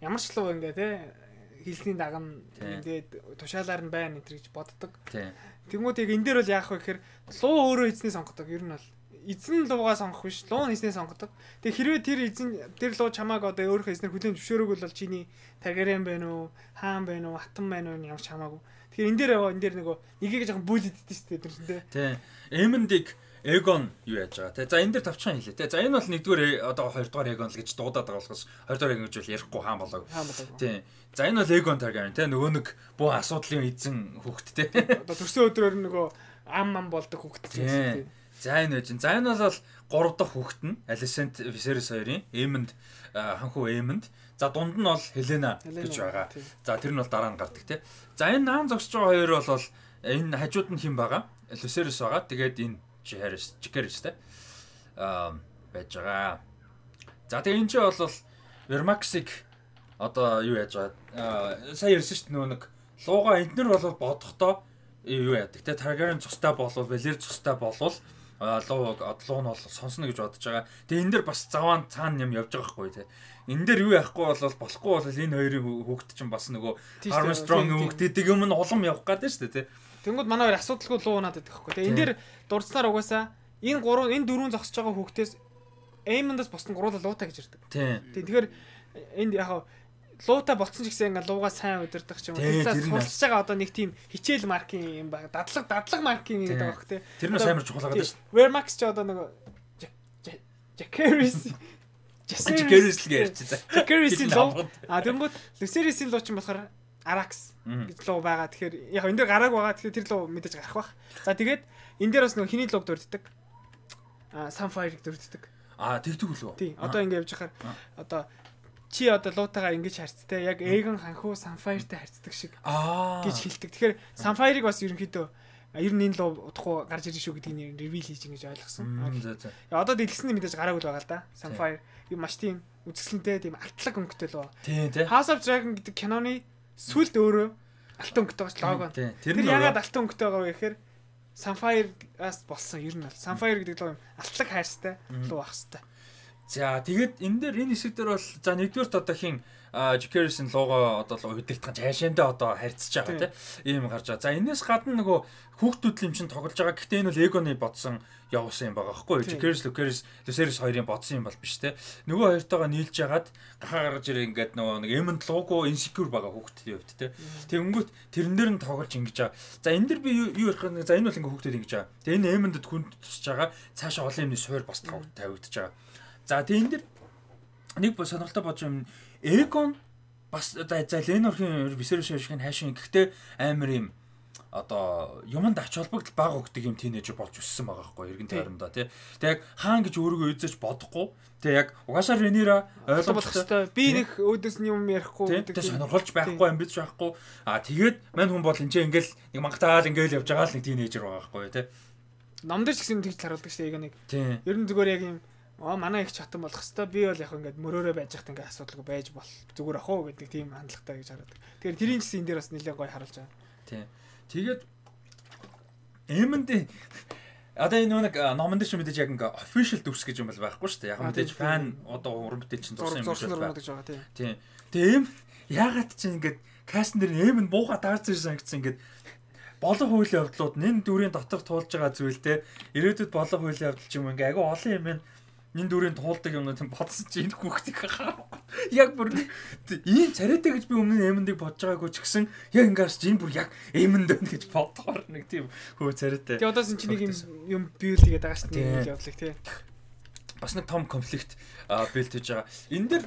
ямар ч луу ингээ те хэлсний даган ингээд тушаалаар нь байна энэ гэж боддог. Тэгмүүд яг энэ дээр бол яах вэ гэхээр луу өөрөө эзний сонгодог. Ер нь бол эзэн луугаа сонгох биш, луу нь эзний сонгодог. Тэг хэрвээ тэр эзэн тэр луу чамааг одоо өөрийнхөө эзнэр хүлээн зөвшөөрөөг бол чиний Targaryen байна уу, хаан байна уу, хатан байна уу ямар ч хамаагүй. Тэгэхээр энэ дээр энэ дээр нөгөө нэгийг жоохон бүлэддэж штэ тэр нь те. Тий. Эмэндик Egon юу яаж байгаа те. За энэ дээр тавчхан хэлээ те. За энэ бол нэгдүгээр одоо хоёрдугаар Egon л гэж дуудаад байгаа болохоос хоёрдугаар Egon гэж бол ярихгүй хаан болоог. Тий. За энэ бол Egon Targaryen те. Нөгөө нэг бүх асуудлын эзэн хүүхэд те. Одоо төрсөн өдрөөр нөгөө ам ам болдог хүүхэд гэсэн. За энэ байж. За энэ бол гурав дахь хүүхэд нь Alicent Viserys хоёрын Aemond ханхуу Aemond. За дунд нь бол Helena гэж байгаа. За тэр нь бол дараа нь гардаг тий. За энэ наан зогсож байгаа хоёр бол энэ хажууд нь хэн байгаа? Viserys байгаа. Тэгээд энэ Jaehaerys, Jaehaerys тий. Аа байж байгаа. За тэгээ энэ ч бол Vermax-ыг одоо юу яаж байгаа? Сая ярьсан шүү дээ нөгөө нэг лууга эднэр бол бодохдоо юу яадаг те Targaryen цустай болвол Valyrian цустай болвол луу луу нь бол сонсно гэж бодож байгаа. Тэгээ энэ дэр бас заваан цаана юм явж байгаа хгүй те. Энэ дэр юу яахгүй бол болохгүй бол энэ хоёрын хүүхэд чинь бас нөгөө Armstrong хүүхдэдэг юм нь улам явах гэдэг шүү дээ те. Тэнгүүд манай хоёр асуудалгүй луу наад байдаг хгүй те. Энэ дэр дурдсанаар угаасаа энэ гурав энэ дөрвөн зогсож байгаа хүүхдээс Aemond-аас босдон гуруула луутай гэж ирдэг. Тийм. Тэгэхээр энд яг луутай болцсон ч гэсэн ингээ луугаа сайн удирдах ч юм уу. Тэглээс суралцж байгаа одоо нэг тийм хичээл маркийн юм байна. Дадлаг дадлаг маркийн гэдэг байгаа хөх те. Тэр нь амар чухал байгаа шүү дээ. Vermax ч одоо нэг Jaehaerys Jaehaerys л ярьж байгаа. Jaehaerys-ийн луу. А тэнгууд Viserys-ийн луу ч болохоор Arax гэж луу байгаа. Тэгэхээр яг энэ дэр гарааг байгаа. Тэгэхээр тэр луу мэдээж гарах бах. За тэгээд энэ дээр бас нэг хиний лууг дурддаг. А Sunfire-ыг дурддаг. А тэгдэг үлээ. Тий. Одоо ингэ явж хахаар одоо чи одоо луутайгаа ингэж харцтай яг Aegon ханхуу Sunfire-тай харцдаг шиг гэж хэлдэг. Тэгэхээр Sunfire-ыг бас ерөнхийдөө ер нь энэ луу удахгүй гарч ирэх шүү гэдгийг reveal хийж ингэж ойлгосон. За за. Одоо дэлгэсний мэдээж гараагүй л байгаа л да. Sunfire юм маш тийм үзэсгэлэнтэй тийм алтлаг өнгөтэй луу. Тий, тий. House of Dragon гэдэг киноны сүлд өөрөө алтан өнгөтэй байгаа лого. Тэр ягаад алтан өнгөтэй байгаа вэ гэхээр Sunfire-аас болсон ер нь бол Sunfire гэдэг луу юм алтлаг хайрстай луу байх хэвээр. За тэгээд энэ дээр энэ хэсэг дээр бол за нэгдүгээрт одоо хин Jaehaerys-ийн лугаа одоо удирдах цаашаандаа одоо харьцаж байгаа тийм ийм гарч байгаа. За энэс гадна нөгөө хүүхдүүд юм чинь тоглож байгаа. Гэхдээ энэ бол Aegon-ы бодсон явуулсан юм байгаа байхгүй юу? Jaehaerys, Lucerys, Lucerys хоёрын бодсон юм бол биш тийм. Нөгөө хоёртойгоо нийлж ягаад гахаа гарч ирээ ингээд нөгөө нэг Aemond луугаа insecure байгаа хүүхдийн хувьд тийм. Тэгэнгүүт тэрэн дээр нь тоглож ингэж байгаа. За энэ дэр би юу ярих вэ? За энэ бол ингээд хүүхдүүд ингэж байгаа. Тэгээ энэ Aemond-д хүнд тусч байгаа. Цаашаа олон юмны суур бас тавигдаж байгаа. За тэгээ энэ дэр нэг сонирхолтой бодож юм Aegon бас за Lenor-ийн Viserys шиг хайшин гэхдээ амар юм одоо юмд ач холбогдол бага өгдөг юм тийнейжер болж өссөн байгаа байхгүй эргэн тойрондоо тий. Тэг яг хаан гэж өөрийгөө үзэж бодохгүй. Тэг яг угаасаа Rhaenyra ойлгох хэрэгтэй. Би нэг өөдөөс нь юм ярихгүй гэдэг. Тэг сонирхолж байхгүй амбиц байхгүй. Аа тэгээд мань хүн бол энэ ингээл нэг мангатаал ингээл явж байгаа л нэг тийнейжер байгаа байхгүй тий. Намдэр ч гэсэн тэгж харуулдаг шүү дээ Aegon-ыг. Ер нь зүгээр яг юм аа манай их чатан болох хэвээр би бол яг ингээд мөрөөрөө байж хат ингээд асуудалгүй байж бол зүгээр ах уу гэдэг тийм хандлагатай гэж хараад. Тэгэхээр тэрийн гэсэн энэ дээр бас нэлээд гоё харуулж байгаа. Тийм. Тэгээд Aemond одоо энэ нэг номон дээр ч мэдээж яг ингээд official дүрс гэж юм бол байхгүй шүү дээ. Яг мэдээж фан одоо уран бүтээл чинь зурсан юм шиг байна. Тийм. Тэгээ Aemond яагаад ч ингээд кастн дээр Aemond бууга даарч ирсэн гэсэн ингээд болон хуулийн явдлууд энэ дүрийн дотор туулж байгаа зүйл те ирээдүйд болон хуулийн явдал ч юм ингээ агай олон юм байна. Энэ дүрийн туулдаг юм тийм бодсон чи энэ хүүхдийг хаа. Яг бүр ийм царайтай гэж би өмнө нь Aemond-ыг бодож байгаагүй ч гэсэн яг ингээс чи энэ бүр яг Aemond байна гэж бодохоор нэг тийм хөө царайтай. Тэгээ одоос чи нэг юм build хийгээд байгаа шүү дээ явдлыг тий. Бас нэг том конфликт build хийж байгаа. Энэ дэр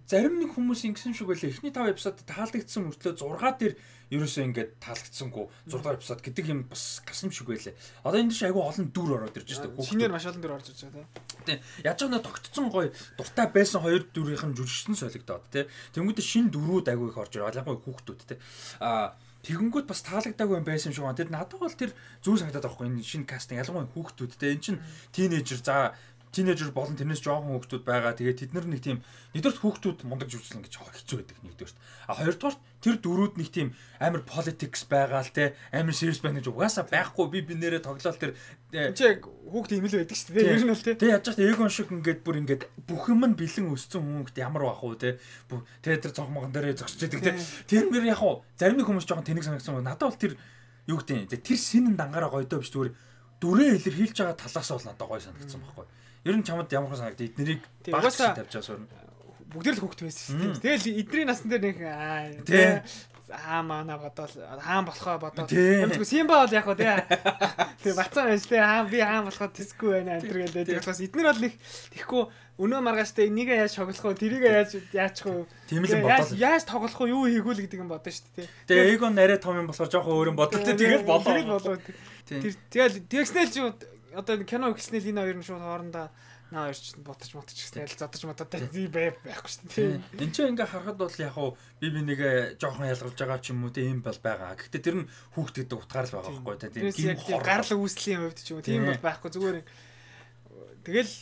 зарим нэг хүмүүс ингэсэн шиг байлаа. Эхний таван эпизод таалагдсан мөртлөө зургаа дээр ерөөсөө ингээд таалагдсангүй зураг дахь эпизод гэдэг юм бас гарсан шиг байлаа. Одоо энэ чинь айгүй олон дүр ороод ирж байгаа. Шинээр маш олон дүр орж ирж байгаа тийм. Яаж ч нэг тогтцсон гоё дуртай байсан хоёр дүрийнх нь жүжигчсэн солигдоод тийм. Тэнгүүдээ шинэ дүрүүд айгүй их орж ирээ. Ялангуяа хүүхдүүд тийм. Аа тэгэнгүүт бас таалагдаагүй юм байсан юм шиг байна. Тэгэд надад бол тэр зүйл санагдаад байгаа хгүй. Энэ шинэ кастинг ялангуяа хүүхдүүд тийм. Энэ чинь тийнейжер за тинейжер болон тэрнээс жоохон хүүхдүүд байгаа. Тэгээд тэд нар нэг тийм нэгдүгээр хүүхдүүд мундаг жүжиглэн гэж хэцүү байдаг нэгдүгээр. А хоёрдугаар тэр дөрүүд нэг тийм амар politics байгаа л те амар serious байна гэж угаасаа байхгүй би би нэрээ тоглоал тэр чи яг хүүхд юм л байдаг шүү дээ. Ер нь л те. Тэг яаж ч Aegon шиг ингээд бүр ингээд бүх юм нь бэлэн өссөн хүн ихтэй ямар бах уу те. Тэгээд тэр цогмогон дээрээ зогсож байдаг те. Тэр мөр яг уу зарим нэг хүмүүс жоохон тэнэг санагдсан. Надад бол тэр юу гэдэг тэр синэн дангаараа гойдоо биш зүгээр дүрээ илэрхийлж байгаа талаас бол надад гоё санагдсан байхгүй. Ер нь чамд ямар хэн санагдав эднэрийг багш тавьж байгаа суурна. Бүгд л хүүхд байсан шүү дээ. Тэгэл эдний насн дээр нэг аа аа мана бодоол хаан болохоо бодоод юмгүй Симба бол яг хөө тий. Тэгээ бацаа байж тий хаан би хаан болохоо тэсгүй байна энэ төр гэдэг. Бас эднэр бол нэг тэгэхгүй өнөө маргааштай энийг яаж тоглох вэ? Тэрийг яаж яачих вэ? Тийм л бодоол. Яаж тоглох вэ? Юу хийгүүл гэдэг юм бодсон шүү дээ. Тэгээ Aegon нарай том юм болохоор жоохон өөр юм бодлоо. Тэгэл болоо. Тэр тэгэл тэгснэл чи одоо кино ихснээр энэ хоёр нь шууд хоорондоо наа хоёр ч ботч мотч гэсэн л зодож мототой байхгүй шүү дээ. Энд чинь ингээ харахад бол яг хуу би би нэгэ жоохон ялгарч байгаа ч юм уу тийм бол байгаа. Гэхдээ тэр нь хүүхдэд утгаар л байгаа байхгүй та тийм гим гарал үүслийн хувьд ч юм уу тийм бол байхгүй зүгээр тэгэл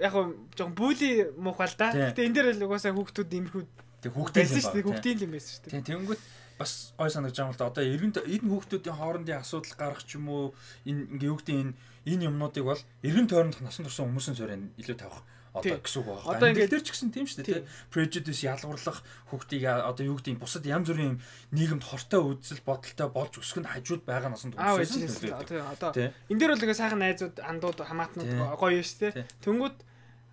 яг хуу жоохон бүли муухай л да. Гэхдээ энэ дээр л угаасаа хүүхдүүд имэрхүүд тэг хүүхдийн байсан шүү дээ. Хүүхдийн юм байсан шүү дээ. Тийм тэгэнгүүт бас гой санагдаж байгаа юм л да. Одоо эргэн энэ хүүхдүүдийн хоорондын асуудал гарах ч юм уу энэ ингээ юу гэдэг энэ энэ юмнуудыг бол эргэн тойрондох насан турш хүмүүсийн суурийн илүү тавих одоо гэсэн үг байна. Одоо ингээд тэр ч гэсэн тийм шүү дээ. Prejudice ялгуурлах хүүхдийг одоо юу гэдэг бусад янз бүрийн нийгэмд хортой үзэл бодолтой болж өсгөх нь хажууд байгаа насан турш. Одоо энэ дээр бол ингээ сайхан найзууд андууд хамаатнууд гоё шүү дээ. Тэнгүүд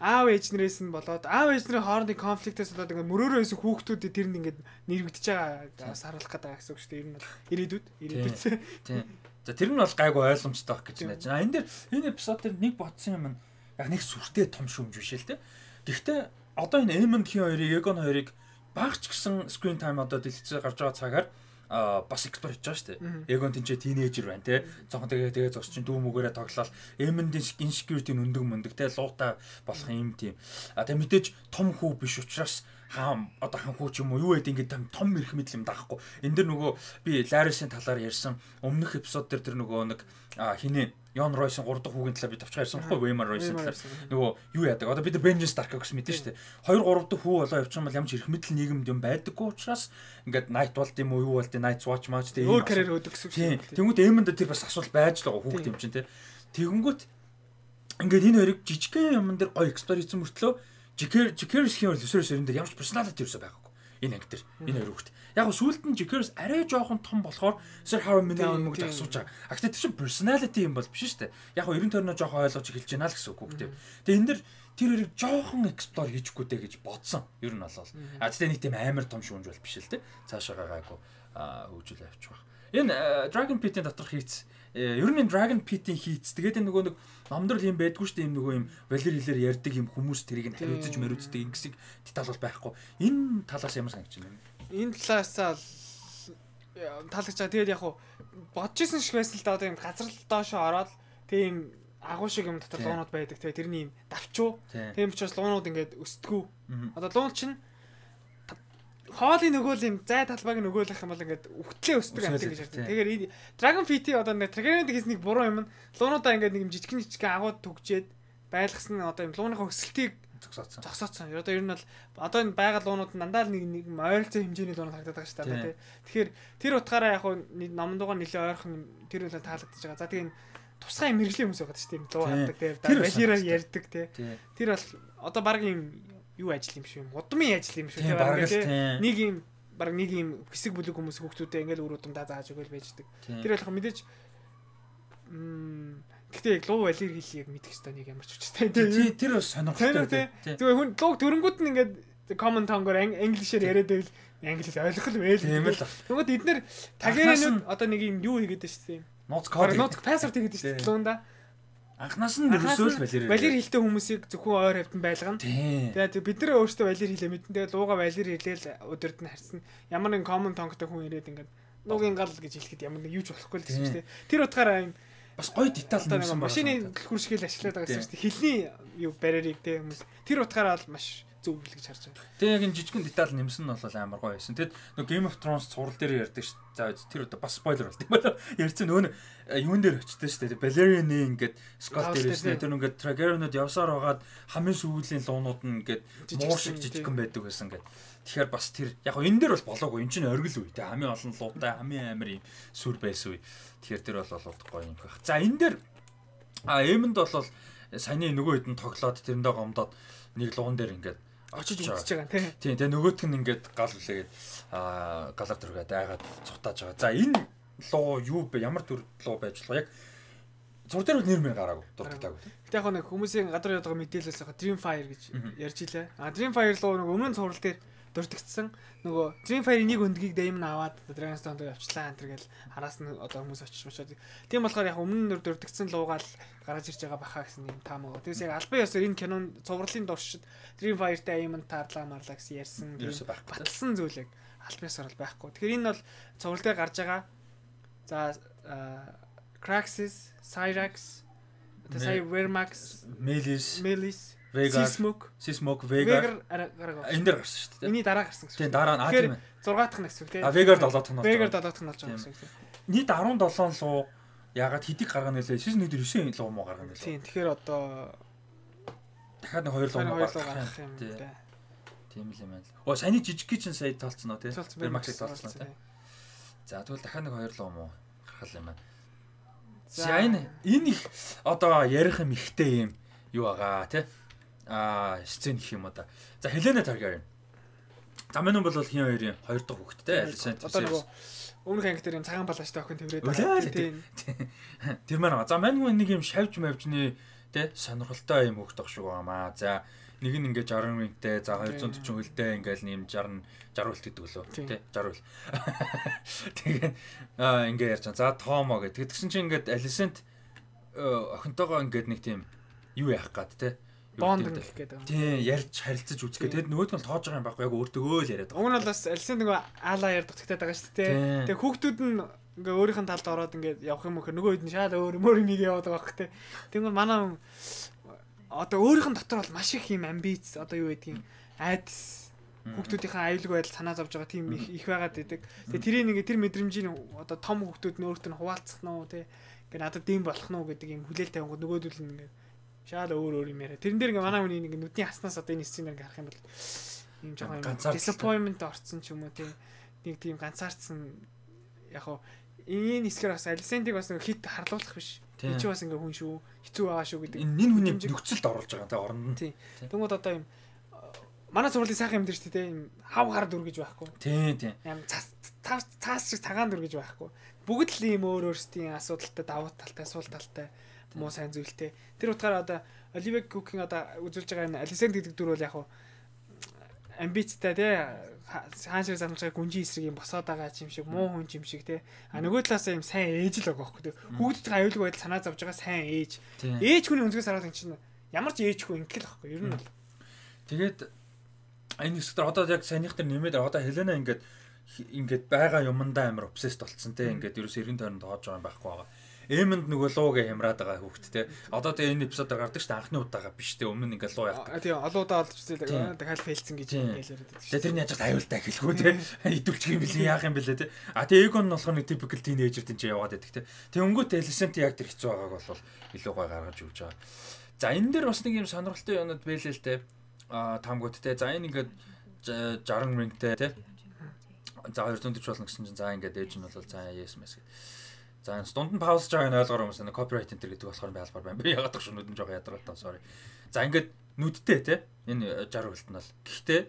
аав ээж нэрээс нь болоод аав ээж нарын хоорондын конфликтээс болоод ингээ мөрөөрөө исэн хүүхдүүд тэрэнд ингээ нэрвэгдэж байгаа саруулах гэдэг гэсэн үг шүү дээ. Ер нь бол ирээдүйд ирээдүйд. Тийм. За тэр нь бол гайгүй ойлгомжтой байх гэж найж байна. Энэ дэр энэ эпизод дээр нэг бодсон юм нь яг нэг сүртэй том шүүмж биш л те. Гэхдээ одоо энэ Эймонд хин хоёрыг Егон хоёрыг багч гэсэн screen time одоо дэлгэцээр гарч байгаа цагаар бас экспорт хийж байгаа шүү дээ. Егон тэнцээ тинейжер байна те. Зохон тэгээ тэгээ зогс чин дүү мүгээрээ тоглоод Эймондын insecurity нүндэг мөндөг те луутай болох юм тийм. А тэгээ мэдээж том хүү биш учраас хаам одоо хан хүү ч юм уу юу гэдэг ингээд том мэрх мэдл юм даахгүй. Энд дэр нөгөө би Ларисын талаар ярьсан өмнөх эпизод дээр тэр нөгөө нэг хинээ Yon Royce-ын гурав дахь хүүгийн талаар би тавчгаа ярьсан байхгүй Waymar Royce-ын талаар нөгөө юу яадаг. Одоо бид нар Benjamin Stark гэсэн мэдэн шүү дээ. хоёр гурав дахь хүү болоо явчих юм бол ямар ч эрх мэдэл нийгэмд юм байдаггүй учраас ингээд Night болд юм уу юу болд Night Watch match тэгээ өөр карьер өгдөг гэсэн үг шүү. Тэнгүүд Эймонд тэр бас асуулт байж л байгаа хүүхд юм чинь те. Тэгэнгүүт ингээд энэ хоёрыг жижигхэн юм дээр гоё эксплор хийсэн мөртлөө Jikers Jikers-ийн өсөрөөс өрөн дээр ямар ч персоналити ерөөсөй байгаагүй. Энэ анги дээр энэ хоёр хүүхд. Яг нь сүүлд нь Jikers арай жоохон том болохоор Sir Harry Minnie мөгд асууж байгаа. А гэхдээ тэр чинь personality юм бол биш шүү дээ. Яг нь ерөн тойрноо жоохон ойлгож эхэлж байна л гэсэн үг хүүхдээ. Тэгээ энэ дэр тэр хоёрыг жоохон explore хийчихгүй дээ гэж бодсон. Ер нь болол. А тэгтээ нэг тийм амар том шүүмж бол биш л дээ. Цаашаа гайгүй хөгжүүл авчих байх. Энэ Dragon Pit-ийн доторх хийц ер нь Dragon Pit-ийн хийц тэгээд энэ нөгөө нэг номдор юм байдгүй шүү дээ. Юм нөгөө юм Валер хэлээр ярьдаг юм хүмүүс тэрийг нь хариуцж мөрөөцдөг ингэсийг деталь бол байхгүй. Энэ талаас ямар санагч байна? Энэ талаасаа таалагдж байгаа. Тэгээд яг хуу бодож исэн шиг байсан л да одоо юм газар доошоо ороод тийм агуу шиг юм дотор луунууд байдаг. Тэгээд тэрний юм давчуу. Тийм учраас луунууд ингээд өсдгүү. Одоо луун чинь хоолын нөгөөл юм зай талбайг нөгөөлөх юм бол ингээд өвтлээ өсдөг амт гэж ярьдаг. Тэгэхээр Dragon Pit одоо нэг Dragon Pit хийснийг буруу юм. Луунуудаа ингээд нэг юм жижигэн жижигэн агууд түгжээд байлгасан одоо юм лууныхаа өсөлтийг зогсооцсон. Зогсооцсон. Одоо ер нь бол одоо энэ байгаль луунууд дандаа л нэг нэг ойролцоо хэмжээний луунууд харагдаад байгаа шүү дээ. Тэгэхээр тэр утгаараа яг нь номдуугаа нэлээ ойрхон тэр үл таалагдчихж байгаа. За тэгээ тусгай мэрэгжлийн хүмүүс байгаа шүү дээ. Луу хаадаг тэгээ балераа ярьдаг тий. Тэр бол одоо баг юм юу ажил юм шиг юм. Удмын ажил юм шиг тий. Нэг юм баг нэг юм хэсэг бүлэг хүмүүс хүүхдүүдээ ингээл үр удамдаа зааж өгөөл байждаг. Тэр болох мэдээж м гэтээ яг луу валер хэлийг мэдэх хэвээр нэг ямар ч үчтэй. Тий, тэр бас сонирхолтой. Зүгээр хүн лууг дөрөнгүүд нь ингээд common tongue-оор англишээр яриад байвал англи хэл ойлгох л байл. Тийм л. Тэгмээд эднэр тагээрэнүүд одоо нэг юм юу хийгээд байна шүү дээ. Нууц код. Нууц пассворд хийгээд байна шүү дээ луунда. Анхнаас нь ерөөсөө л валер. Валер хэлтэй хүмүүсийг зөвхөн ойр хавтан байлгана. Тэгээд бид нар өөрсдөө валер хэлээ мэдэн. Тэгээд лууга валер хэлээл өдөрт нь харьсан. Ямар нэг common tongue-тай хүн ирээд ингээд луугийн гал гэж хэлэхэд ямар нэг юу ч болохгүй л гэсэн шүү дээ. Тэр утгаараа юм бас гоё деталь нэмсэн байна. Машины дэлгүүр шиг л ашиглаад байгаа гэсэн чинь хэлний юу барьерыг те хүмүүс тэр утгаараа бол маш зөв л гэж харж байгаа. Тэгээ яг энэ жижигэн деталь нэмсэн нь бол амар гоё байсан. Тэгэд нөгөө Game of Thrones цуврал дээр ярьдаг ш. За тэр одоо бас спойлер болт юм байна. Ярьсан нөгөө юун дээр очтой ш. Balerion-ы ингээд Scott дээр ирсэн. Тэр ингээд Targaryen-ууд явсаар байгаад хамгийн сүүлийн луунууд нь ингээд муур шиг жижигэн байдаг байсан ингээд. Тэгэхээр бас тэр яг энэ дээр бол болоогүй. Энд чинь оргил үе. Тэ хамгийн олон луутай, хамгийн амар юм сүр байсан үе. Тэгэхээр тэр бол болоод гоё юм байх. За энэ дээр а Эймонд бол саяны нөгөө хэдэн тоглоод тэрэндээ гомдоод нэг луун дээр ингээд очиж үзэж байгаа тийм. Тийм тэгээ нөгөөтг нь ингээд гал үлээгээд аа галар түргээд айгаад цутааж байгаа. За энэ луу юу бэ? Ямар төр луу байж болох яг зур дээр нэр мэр гараагүй дуртагтаагүй. Гэтэ яг нэг хүмүүсийн гадар яадаг мэдээлэлээс хаа Dreamfire гэж ярьж илээ. А Dreamfire луу нэг өмнө цуврал дээр дуртагдсан нөгөө Dreamfire нэг өндгийг Damon аваад Dragonstone дээр явчлаа энэ гэл араас нь одоо хүмүүс очиж мочоод. Тийм болохоор яг өмнө нөр дуртагдсан луугаал гараж ирж байгаа баха гэсэн юм таамаг. Тэгээс яг албан ёсоор энэ кинон цувралын дуршид Dreamfire-тай Damon таарлаа марлаа гэсэн ярьсан. Баталсан зүйлэг албан ёсоор л байхгүй. Тэгэхээр энэ бол цуврал дээр гарч байгаа. За Craxus, Cyrax Тэ сая Vermax, Melis, Melis, Sismok, Sismok, Vegar энэ дээр гарсан шүү дээ. Эний дараа гарсан гэсэн. Тийм дараа нь аа тийм ээ. сix дахь нь гэсэн үг тийм. А Vegar seven дахь нь. Vegar seven дахь нь болж байгаа гэсэн үг. Нийт sevenseven луу ягаад хэдийг гаргана нэлээ? Season nine луу муу гаргана нэлээ. Тийм тэгэхээр одоо дахиад нэг two луу гаргах юм дээ. Тийм л юм байна. Оо саяны жижиг чинь сая толцсон уу тий? Vermax-ыг толцсон тий. За тэгвэл дахиад нэг two луу муу гаргах юм байна. За энэ энэ их одоо ярих юм ихтэй юм юу байгаа тий? Аа сцен гэх юм одоо. За Helena Targaryen. За мань бол хин хоёрын хоёр дахь хүүхэдтэй Alicent. Одоо нөгөө өмнөх анги дээр юм цагаан балаачтай охин тэмрээд байгаа. Тийм. Тэр маань. За мань нэг юм шавж мавжны тий сонирхолтой юм хүүхэд байх шүү байгаамаа. За нэг нь ингээд sixty ringтэй, за two forty хөлтэй ингээл нэм sixty sixty үлт гэдэг лөө тий sixty үл. Тэгээ аа ингээд ярьж байгаа. За Томо гэдэг. Тэгсэн чинь ингээд Alicent охинтойгоо ингээд нэг тийм юу яах гад тий бонд гэх гэдэг юм. Тийм ярьж харилцаж үзэх гэдэг. Тэгэд нөгөөд нь тоож байгаа юм байхгүй яг өөртөө л яриад байгаа. Уг нь бол бас Alicent нөгөө аалаа ярддаг тагтаад байгаа шүү дээ. Тэгээ хүүхдүүд нь ингээ өөрийнх нь талд ороод ингээ явах юм хөр нөгөө хэд нь шал өөр мөр нэг яваад байгаа байхгүй тий. Тэгвэл манай одоо өөрийнх нь дотор бол маш их юм амбиц одоо юу гэдгийг айдас хүүхдүүдийнхээ аюулгүй байдал санаа зовж байгаа тийм их их байгаад байдаг. Тэгээ тэрийг ингээ тэр мэдрэмжийн одоо том хүүхдүүд нь өөртөө хуваалцах нь уу тий. Ингээ надад дэм болох нь уу гэдэг юм хүлээлт тавингууд нөгөөдөл нь ингээ шал өөр өөр юм яриа. Тэрэн дээр ингээ манай хүний нэг нүдний хаснаас одоо энэ сценээр ингээ харах юм бол юм жоохон disappointment орцсон ч юм уу тий. Нэг тийм ганцаардсан яг хоо энэ хэсгээр бас Alicent-ийг бас нэг хит харлуулах биш. Энд чи бас ингээ хүн шүү. Хэцүү байгаа шүү гэдэг. Энэ нин хүний нөхцөлд оруулж байгаа тий оронд нь. Тий. Тэгмээд одоо юм манай сургуулийн сайхан юм дээр ч тий юм хав гар дүр гэж байхгүй. Тий, тий. Ям цаас цаас шиг цагаан дүр гэж байхгүй. Бүгд л ийм өөр өөрсдийн асуудалтай давуу талтай, сул талтай муу сайн зүйлтэй. Тэр утгаараа одоо Olivia Cook-ийн одоо үзүүлж байгаа энэ Alicent гэдэг дүр бол яг хуу амбицтай тий хаан шиг санамжаа гүнжин эсрэг юм босоод байгаа юм шиг муу хүн юм шиг тий. А нөгөө талаасаа юм сайн ээж л байгаа байхгүй тий. Хүүхдүүдийн аюулгүй байдал санаа зовж байгаа сайн ээж. Ээж хүний өнцгөөс хараад ин чинь ямар ч ээж хүн ингэл байхгүй ер нь бол. Тэгээд энэ хэсгээр одоо яг саяных дээр нэмээд одоо Helena ингээд ингээд байгаа юмдаа амар obsessed болцсон тий. Ингээд ерөөс эргэн тойронд тоож байгаа юм байхгүй байгаа. Эмэнд нөгөө луугээ хямраад байгаа хүүхэд те. Одоо тэгээ энэ эпизодоор гардаг шүү дээ анхны удаага биш те. Өмнө нь ингээ луу явдаг. Тийм олоодаа олж үзээ дахиад фейлцэн гэж ингээл яриад байдаг шүү. Тэгээ тэрний яжгаад аюултай хэлэхгүй те. Идүүлчих юм билээ яах юм бэлээ те. А тэгээ Egon нь болохоор нэг typical teenager тийм ч яваад байдаг те. Тэгээ өнгөт Alicent яг тэр хэцүү байгааг бол илүү гой гаргаж өгч байгаа. За энэ дээр бас нэг юм сонирхолтой юмуд байлээ л те. А таамгууд те. За энэ ингээд sixty ringтэй те. За two forty болно гэсэн чинь за ингээд ээж нь бол за yes мэс гэ. За энэ дунд нь паузж байгааг нь ойлгоор юмсан copyright enter гэдэг болохоор байлбар байна. Би ягаад гэж нүд нь жоохон ядаргатай sorry. За ингээд нүдтэй те энэ sixty үлт нь бол. Гэхдээ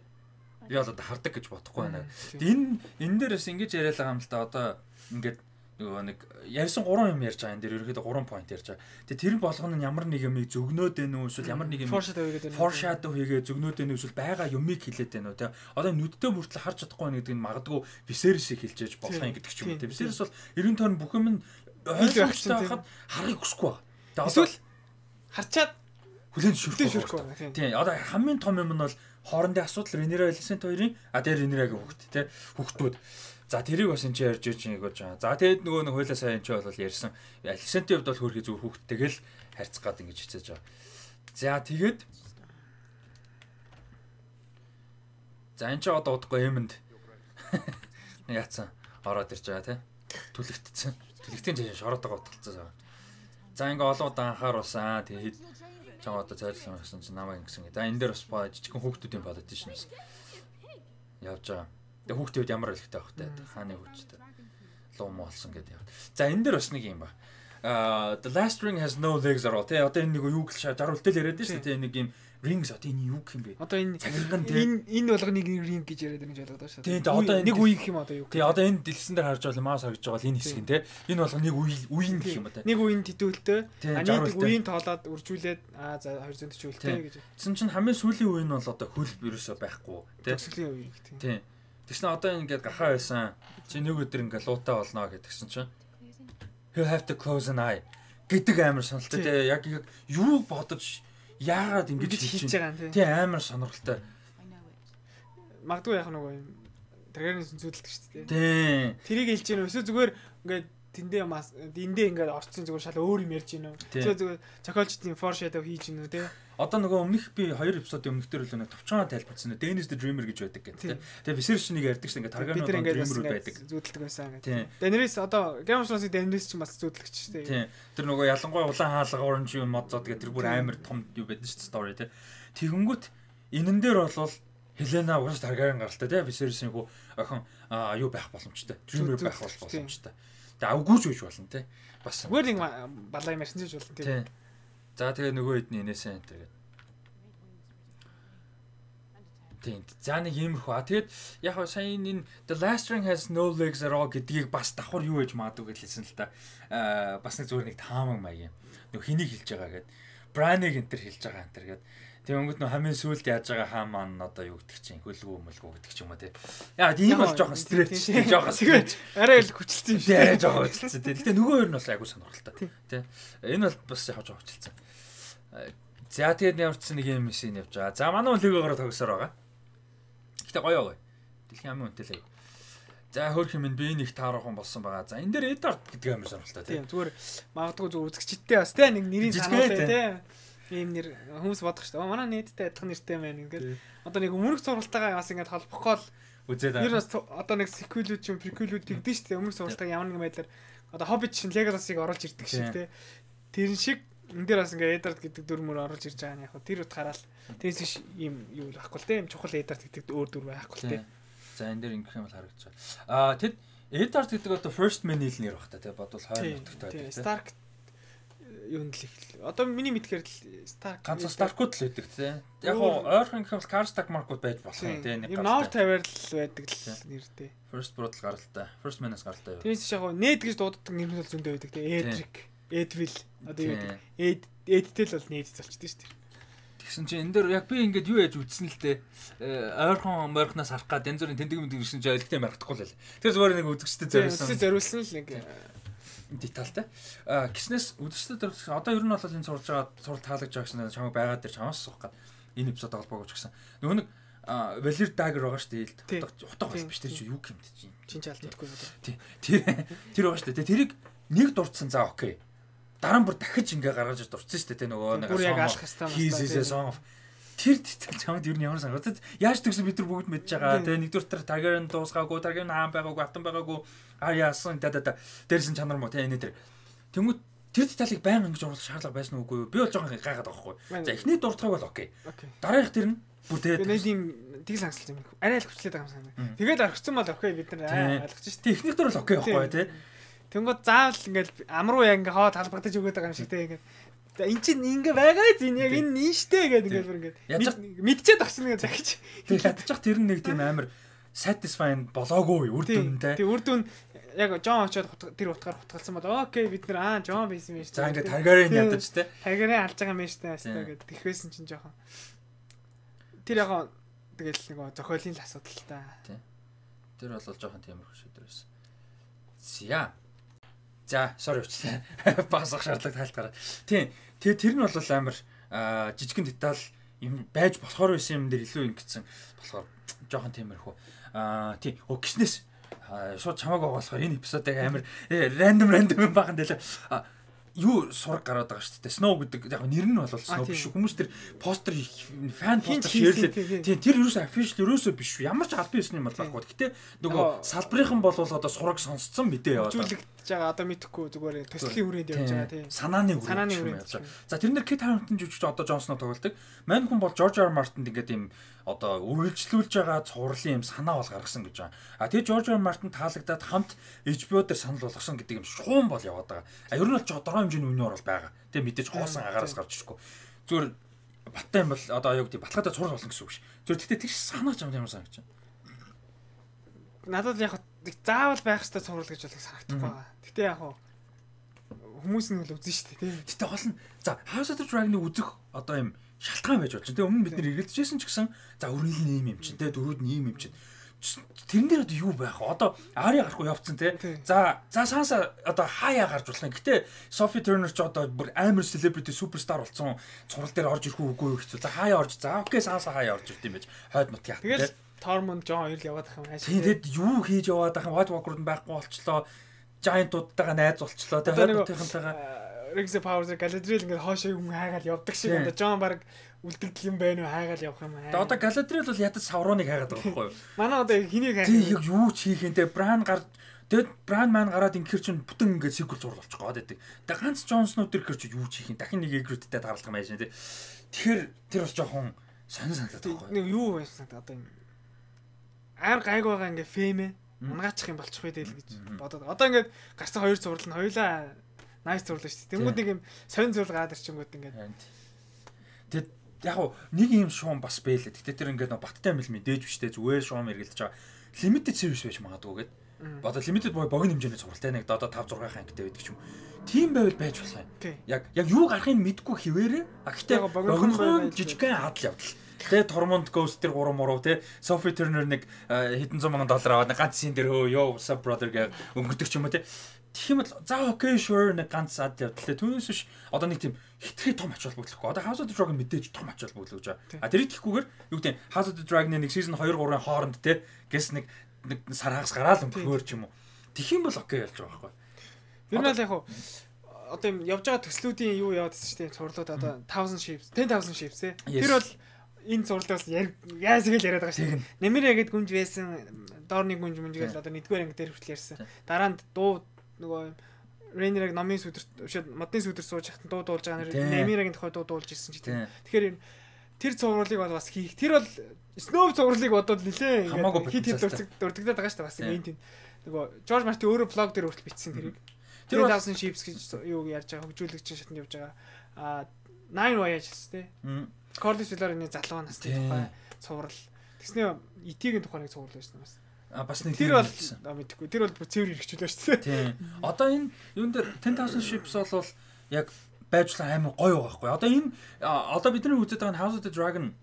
би бол одоо хардаг гэж бодохгүй байна. Энэ энэ дээрээс ингэж яриад байгаа юм л да одоо ингээд нөгөө нэг ярьсан three юм ярьж байгаа. Энэ дээр ерөөхдөө three point ярьж байгаа. Тэгээ тэр болгоно нь ямар нэг юм зөгнөөд байна уу эсвэл ямар нэг юм foreshadow хийгээ зөгнөөд байна уу эсвэл байгаа юмыг хэлээд байна уу те. Одоо нүдтэй бүртэл харж чадахгүй байна гэдэг нь магадгүй Viserys-ийг хэлжээж болох юм гэдэг ч юм уу те. Viserys бол эргэн тойрон бүх юм нь ойлгомжтой байхад харахыг хүсэхгүй байна. Тэгээ эсвэл харчаад хүлэн зөвшөөрөхгүй байна. Тийм. Одоо хамгийн том юм нь бол хоорондын асуудал Rhaenyra Alicent хоёрын а дээр Rhaenyra-гийн хүүхэд те. Хүүхдүүд. За тэрийг бас энэ ч ярьж иж нэг гэж байгаа. За тэгээд нөгөө нэг хойлоо сайн ч бол ярьсан. Alicent-ийн хувьд бол хөрхий зүгээр хүүхдтэйгэл харьцах гад ингэж хичээж байгаа. За тэгээд за энэ ч одоо удахгүй юмд яатсан ороод ирж байгаа те. Түлэгдсэн. Түлэгтийн жишээ шороод байгаа утгалцсан. За ингээ олон удаа анхааруулсан. Тэгээд чам одоо цайрлсан гэсэн чинь намайг ингэсэн. За энэ дээр бас жижигхэн хүүхдүүдийн politicians явж байгаа. Тэгээ хүүхдүүд ямар хэлэхтэй байх вэ? Хааны хүүхдтэй. Луу моолсон гэдэг яг. За энэ дээр бас нэг юм ба. Аа the last ring has no legs at all. Тэ одоо энэ нэг юу гэл жаруултал яриад байна шүү дээ. Нэг юм rings одоо энэ юу гэх юм бэ? Одоо энэ энэ энэ болгоныг ring гэж яриад байгаа гэж ойлгоод байна шүү дээ. Тийм одоо нэг үе гэх юм одоо юу гэх. Тийм одоо энэ дэлгэсэн дээр харж байгаа маас харж байгаа энэ хэсэг нь те. Энэ болгоо нэг үе үеийн гэх юм одоо. Нэг үеийн тэтүүлтэй. Нэг үеийн тоолоод үржүүлээд аа за two forty чүүлтэй гэж. Тэсэн чинь хамгийн сүүлийн үе нь бол одоо хөл ерөөсөө байхгүй те. Сүүлийн үе гэх тийм. Тийм. Тэгсэн одоо ингээд гахаа байсан. Чи нэг өдөр ингээд луутай болно гэдгсэн чинь you have to close an eye гэдэг амар сонирхолтой тий яг юу бодож яагаад ингэж хийж байгаа юм тий амар сонирхолтой. Магадгүй яах нөгөө юм Таргариен зүйдэлдэг шүү дээ. Тий. Тэрийг хэлж гэнэ өсөө зүгээр ингээд тэндээ мас эндээ ингээд орцсон зүгээр шал өөр юм ярьж гинөө. Зүгээр зүгээр зохиолчдын foreshadow хийж гинөө те. Одоо нөгөө өмнөх би хоёр эпизодын өмнөх дээр л нэг товчхон тайлбарсан. Dennis the Dreamer гэж байдаг гэдэг. Тэгээ Viserys нэг ярьдаг шүү. Ингээд Targaryen Dreamer байдаг. Зүүдлэг байсан гэдэг. Daenerys одоо Game of Thrones-ийн Daenerys ч бас зүүдлэгч шүү дээ. Тийм. Тэр нөгөө ялангуяа улаан хаалга оранж юм мод зод гэдэг тэр бүр амар том юу байдаг шүү story те. Тэгэнгүүт энэн дээр болвол Helena уус Targaryen гаралтай те. Viserys-ийн хүү охин юу байх боломжтой. Dreamer байх боломжтой. Тэгээ авгүйж үж болно те. Бас зүгээр нэг балаа юм ярьсан ч болно тийм. За тэгээ нөгөө хэд нэнээсээ энэ тэгээд. Тийм. За нэг иймэрхүү. А тэгээд яг хаа сайн энэ The Last Ring has no legs at all гэдгийг бас давхар юу гэж маадгүй гэж хэлсэн л та. Аа бас нэг зүгээр нэг таамаг маяг юм. Нөгөө хэнийг хэлж байгаа гэд. Bran-ыг энэ төр хэлж байгаа энэ төр гэд. Тэгээ өнгөд нөө хамгийн сүүлд яаж байгаа хаан маань одоо юу гэдэг чинь хөлгөө мөлгөө гэдэг ч юм уу тий. Яа тийм бол жоохон стретч тий жоохон стретч. Арай л хүчилсэн юм шиг. Арай жоохон хүчилсэн тий. Гэтэ нөгөө хоёр нь бас айгуу сонирхолтой тий. Энэ бол бас яг жоохон хүчилсэн. За тэгээд явуулсан нэг юм шин явж байгаа. За манай лигоогоор тогсоор байгаа. Гэтэ гоё гоё. Дэлхийн амын үнэтэй л. За хөөх юм би нэг таарахын болсон байгаа. За энэ дээр Eddard гэдэг амар сонирхолтой тий. Тийм зүгээр магадгүй зөв үзэгчтэй бас тий нэг нэрийн санаатай тий. Ийм нэр хүмүүс бодох шүү дээ. Манай нийтдээ адилхан нэртэй байна ингээд. Одоо нэг өмнөх зургалтайгаа бас ингээд холбохгүй л үзээд аа. Ер нь одоо нэг sequel-үүд юм, prequel-үүд тэгдэж шүү дээ. Өмнөх зургалтайгаа ямар нэгэн байдлаар одоо Hobbit шин Legolas-ыг оруулж ирдэг шиг тий. Тэр шиг энэ дээр бас ингээд Eddard гэдэг дүр мөр оруулж ирж байгаа нь яг тэр утгаараа л тэрс биш ийм юу байхгүй л тий. Ийм чухал Eddard гэдэг өөр дүр байхгүй л тий. За энэ дээр ингэх юм бол харагдаж байна. Аа тэд Eddard гэдэг одоо first man нэр баг та тий. Бодвол хоёр нутагтай байдаг тий. Stark юу нэл их. Одоо миний мэдхээр л Stark ганц Stark-ууд л байдаг тий. Яг гоо ойрхон гэх юм бол Karstark Mark-ууд байж болох юм тий. Нэг North тавиар л байдаг л нэртэй. First Blood гаралтай. First Man-аас гаралтай юу. Тэрс яг гоо нээд гэж дууддаг нэр нь бол зөндөө байдаг тий. Edric, Edwil одоо юу гэдэг. Ed Edtel бол нээд залчдаг шүү дээ. Тэгсэн чинь энэ дээр яг би ингээд юу яаж үтсэн л дээ. Ойрхон морхнаас харах гад янз бүрийн тэндэг мэддэг ирсэн чинь ойлгохтой мархдахгүй л. Тэр зүгээр нэг үзэгчтэй зориулсан. Үзэгчтэй зориулсан л нэг детальтай. А гиснээс үдшилтэд одоо ер нь бол энэ сурж байгаа сурал таалагдж байгаа гэсэн чамайг байгаад дээр чамаас суух гад энэ эпизод холбоогооч гэсэн. Нөгөө нэг Valir Dagger байгаа шүү дээ. Утга бас биш тэр чинь юу гэмт чинь. Чин чаалт гэдэггүй одоо. Тий. Тэр тэр байгаа шүү дээ. Тэрийг нэг дурдсан за окей. Дараа нь бүр дахиж ингээ гаргаж дурдсан шүү дээ. Нөгөө нэг бүр яг алах хэвээр. Тэр деталь чамд ер нь ямар санагдаад яаж төгсөн бид нар бүгд мэдж байгаа. Тэгээ нэгдүгээр тэр Targaryen дуусгаагүй, Targaryen хаан байгаагүй, автан байгаагүй. А яасан да да да. Дээрсэн чанар мó тэ энэ тэр. Тэнгүүд тэр деталийг байнга ингэж оруулах шаардлага байсан уугүй юу? Би бол жоохон гайхаад байгаа байхгүй. За эхний дуртайг бол окей. Дараагийнх тэр нь бүр тэгээд нэг юм тэгэл хангалтсан юм. Арай л хүчлээд байгаа юм санаа. Тэгээд орхисон бол окей бид нар ойлгож шүү. Тэг эхнийх дөр бол окей байхгүй тий. Тэнгүүд заавал ингээл амруу яг ингээ хоо талбагдаж өгöd байгаа юм шиг тий ингээ. За эн чинь ингээ байгаа зин яг энэ нişтэй гэдэг ингээ бүр ингээ мэдчихэд багчна ингээ захиж. Тэг ядчих тэр нэг тийм амар satisfying болоогүй үр дүнтэй. Тэг үр дүн яг Жон очоод тэр утгаар хутгалсан бол окей бид нар аа Жон байсан юм шүү. За ингээ Targaryen ядаж те. Targaryen алж байгаа юм шүү дээ хастаа гэдэг. Тэхвэсэн чинь жоохон. Тэр яг тэгэл нэг зохиолын л асуудал л та. Тий. Тэр бол жоохон тиймэрхүү шийдвэр байсан. За. За, sorry уучлаа. Багсах шаардлага тайлтгаараа. Тийм. Тэгээ тэр нь бол амар жижигэн деталь юм байж болохоор байсан юм дээр илүү ингэсэн болохоор жоохон тиймэрхүү. Аа тий. Оо гиснээс шууд чамааг оголохоор энэ эпизодыг амар рандом рандом юм бахан дэлээ. Юу сураг гараад байгаа шүү дээ. Snow гэдэг яг нэр нь бол Snow биш шүү. Хүмүүс тэр постэр фан постэр шеэрлээ. Тийм тэр ерөөсөө official ерөөсөө биш шүү. Ямар ч албан ёсны юм бол байхгүй. Гэтэ нөгөө салбарынхан бол одоо сураг сонсцсон мэдээ яваад байгаа. Жүжиглэж байгаа одоо мэдхгүй зүгээр төслийн хүрээнд явж байгаа тийм. Санааны хүрээнд явж байгаа. За тэрнэр Kit Harington жүжигч одоо Jon Snow тоглодог. Мань хүн бол George R. R. Martin ингээд юм одоо үргэлжлүүлж байгаа цувралын юм санаа бол гаргасан гэж байгаа. А тэгээ George R. R. Martin таалагдаад хамт H B O дээр санал болгосон гэдэг юм шуум бол яваад байгаа. А ер нь бол жодороо хэмжээний үнэ орол байгаа. Тэгээ мэдээж хоосон агаараас гарч ирэхгүй. Зүгээр баттай юм бол одоо аяа гэдэг баталгаатай цуврал болно гэсэн үг ш. Зүгээр тэгтээ тэр санаа ч ямар санагч байна. Надад яг заавал байх хэрэгтэй цуврал гэж бол санагдахгүй байгаа. Гэтэ яг хүмүүс нь бол үзэн штэ тийм. Гэтэ гол нь за House of the Dragon-ыг үзэх одоо юм шалтгаан байж болж байна. Тэгээ өмнө бид нэр эргэлдэжсэн ч гэсэн за өрнөл нь ийм юм чинь те дөрүүд нь ийм юм чинь. Тэрэн дээр одоо юу байх вэ? Одоо Ари гарахгүй явцсан те. За за Санса одоо хаяа гарч болох. Гэтэ Sophie Turner ч одоо бүр амар celebrity superstar болсон цуврал дээр орж ирэх үгүй юу хэцүү. За хаяа орж за окей Санса хаяа орж ирд юм байж. Хойд нут яах те. Тэгэл Tormund Jon хоёр л яваад ах юм ааш. Тэгэд юу хийж яваад ах юм White Walker-д байхгүй болчлоо. giant-уудтайгаа найз болчлоо. Тэгээ хотынхантайгаа Rings of Power Galadriel ингээд хоошоо юм хайгаал явдаг шиг одоо John баг үлдэгдэл юм байна уу хайгаал явах юм аа. Одоо Galadriel бол ядаж Sauron-ыг хайгаад байгаа байхгүй юу? Манай одоо хэнийг хайгаад. Тий яг юу ч хийх юм те Bran гар тэгэд Bran маань гараад инкер чинь бүтэн ингээд sequel зур болчих гоод байдаг. Тэгээ ганц Jon Snow тэр ихэр чи юу ч хийх юм дахин нэг Ygritte-тэй тааралдах юм байна те. Тэгэхээр тэр бас жоохон сонир санагдаад байгаа байхгүй юу? Нэг юу байсан одоо юм аар гайг байгаа ингээд фэмэ унгаачих юм болчих вэ дээл гэж бодоод. Одоо ингээд гарсан хоёр зурлал нь хоёлаа nice зурлаа шүү дээ. Тэнгүүд нэг юм сонир зурлал гаад ирчингүүд ингээд. Тэгэд яг уу нэг юм шуум бас бэлээ. Гэтэ тэр ингээд баттай юм л мэдээж биштэй зүгээр шуум эргэлдэж байгаа. Limited series байж магадгүй гээд. Одоо limited boy богино хэмжээний зургалтай нэг одоо five six ангитай байдаг ч юм. Тийм байвал байж болох юм. Яг яг юу гарахыг мэдэхгүй хിവэрээ. А гэтээ богино жижигхэн адал явдал. Тэ Tormund Ghost тэр гурван муруу тэ Sophie Turner нэг хэдэн зуун мянган доллар аваад ганц син дээр хөө ёо what's up brother гэж өнгөрдөг ч юм уу тэ. Тэгэх юм бол за окей sure нэг ганц ад явдал. Түүнээс биш одоо нэг тийм хитрхи том ач холбогдлохгүй. Одоо House of the Dragon мэдээж том ач холбогдлож байгаа. А тэрийг тийхгүйгээр юу гэдэг House of the Dragon-ы нэг season two three-ын хооронд тэ гэс нэг нэг сар хагас гараал өнгөхөр ч юм уу. Тэгэх юм бол окей ялж байгаа байхгүй. Тэр нь л яг хуу одоо юм явж байгаа төслүүдийн юу яваад гэсэн чинь цурлууд одоо one thousand ships ten thousand ships те. Тэр бол энэ зурлаас яас гэл яриад байгаа шүү. Нэмэрэ гэд гүнж байсан доорны гүнж мөнж гэл одоо нэгдүгээр анги дээр хүртэл ярьсан. Дараа нь дуу нөгөө Rainer-ыг номын сүдэрт модны сүдэр сууж хахад дуу дуулж байгаа нэр Нэмэрэгийн тухай дуу дуулж ирсэн ч тийм. Тэгэхээр тэр цувралыг бол бас хийх. Тэр бол Snow цувралыг бодоод нилээ ингээд хит хит дурддагдаад байгаа шүү бас энэ тийм. Нөгөө George Martin өөрөө блог дээр хүртэл бичсэн тэрийг. Тэр one thousand ships гэж юу ярьж байгаа хөгжүүлэгч шатнд явж байгаа. А nine voyages тий. Corlys Velaryon-ы залуу насны тухай цуврал. Тэгснээ E T-ийн тухай нэг цуврал байсан юм бас. А бас нэг тэр бол мэдгүй. Тэр бол цэвэр хэрэгжүүлээ шүү дээ. Тийм. Одоо энэ юун дээр ten thousand ships бол яг байжлаа амар гоё байгаа байхгүй. Одоо энэ одоо бидний үзэж байгаа House of the Dragon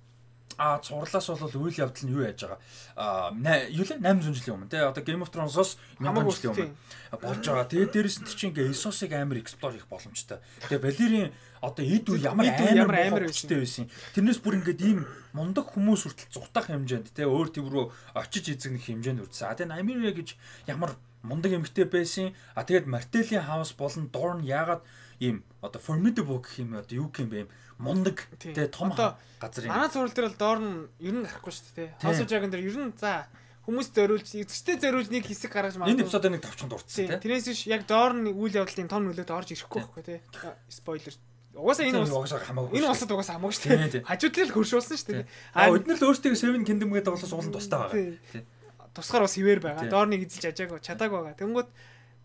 а цуурлаас бол үйл явдал нь юу яаж байгаа. А юу лээ eight hundred жилийн өмнө тий. Одоо Game of Thrones-оос one thousand жилийн өмнө болж байгаа. Тэгээд дээрэс нь чинь ингээ Essos-ыг амар explore хийх боломжтой. Тэгээд Valyrian одоо эд үе ямар амар амар өстэй байсан. Тэрнээс бүр ингээд ийм мундаг хүмүүс хүртэл зугатах хэмжээнд тий өөр төв рүү очиж эзэгнэх хэмжээнд үрдсэн. А тэгээд Nymeria гэж ямар мундаг эмэгтэй байсан. А тэгээд Martell-ийн house болон Dorne яагаад ийм одоо formidable гэх юм одоо юу гэх юм бэ? Мундаг тий том газар юм. Манай зурвал дээр бол Dorne ер нь гарахгүй шүү дээ тий. House of Dragon дээр ер нь за хүмүүс зориулж эзэгчтэй зориулж нэг хэсэг гаргаж магадгүй. Энэ эпизодыг нэг тавчхан дурдсан тий. Тэрнээс биш яг Dorne үйл явдлын том нөлөөд орж ирэхгүй байхгүй тий. Спойлер. Угаасаа энэ угаасаа хамаагүй. Энэ улсад угаасаа хамаагүй шүү дээ. Хажуудлал л хөршүүлсэн шүү дээ. А өднөр л өөртөө Seven Kingdom гэдэг болоос уулын тустай байгаа. Тий. Тусгаар бас хിവэр байгаа. Dorne-ыг эзэлж ажаагүй, чадаагүй байгаа. Тэнгүүд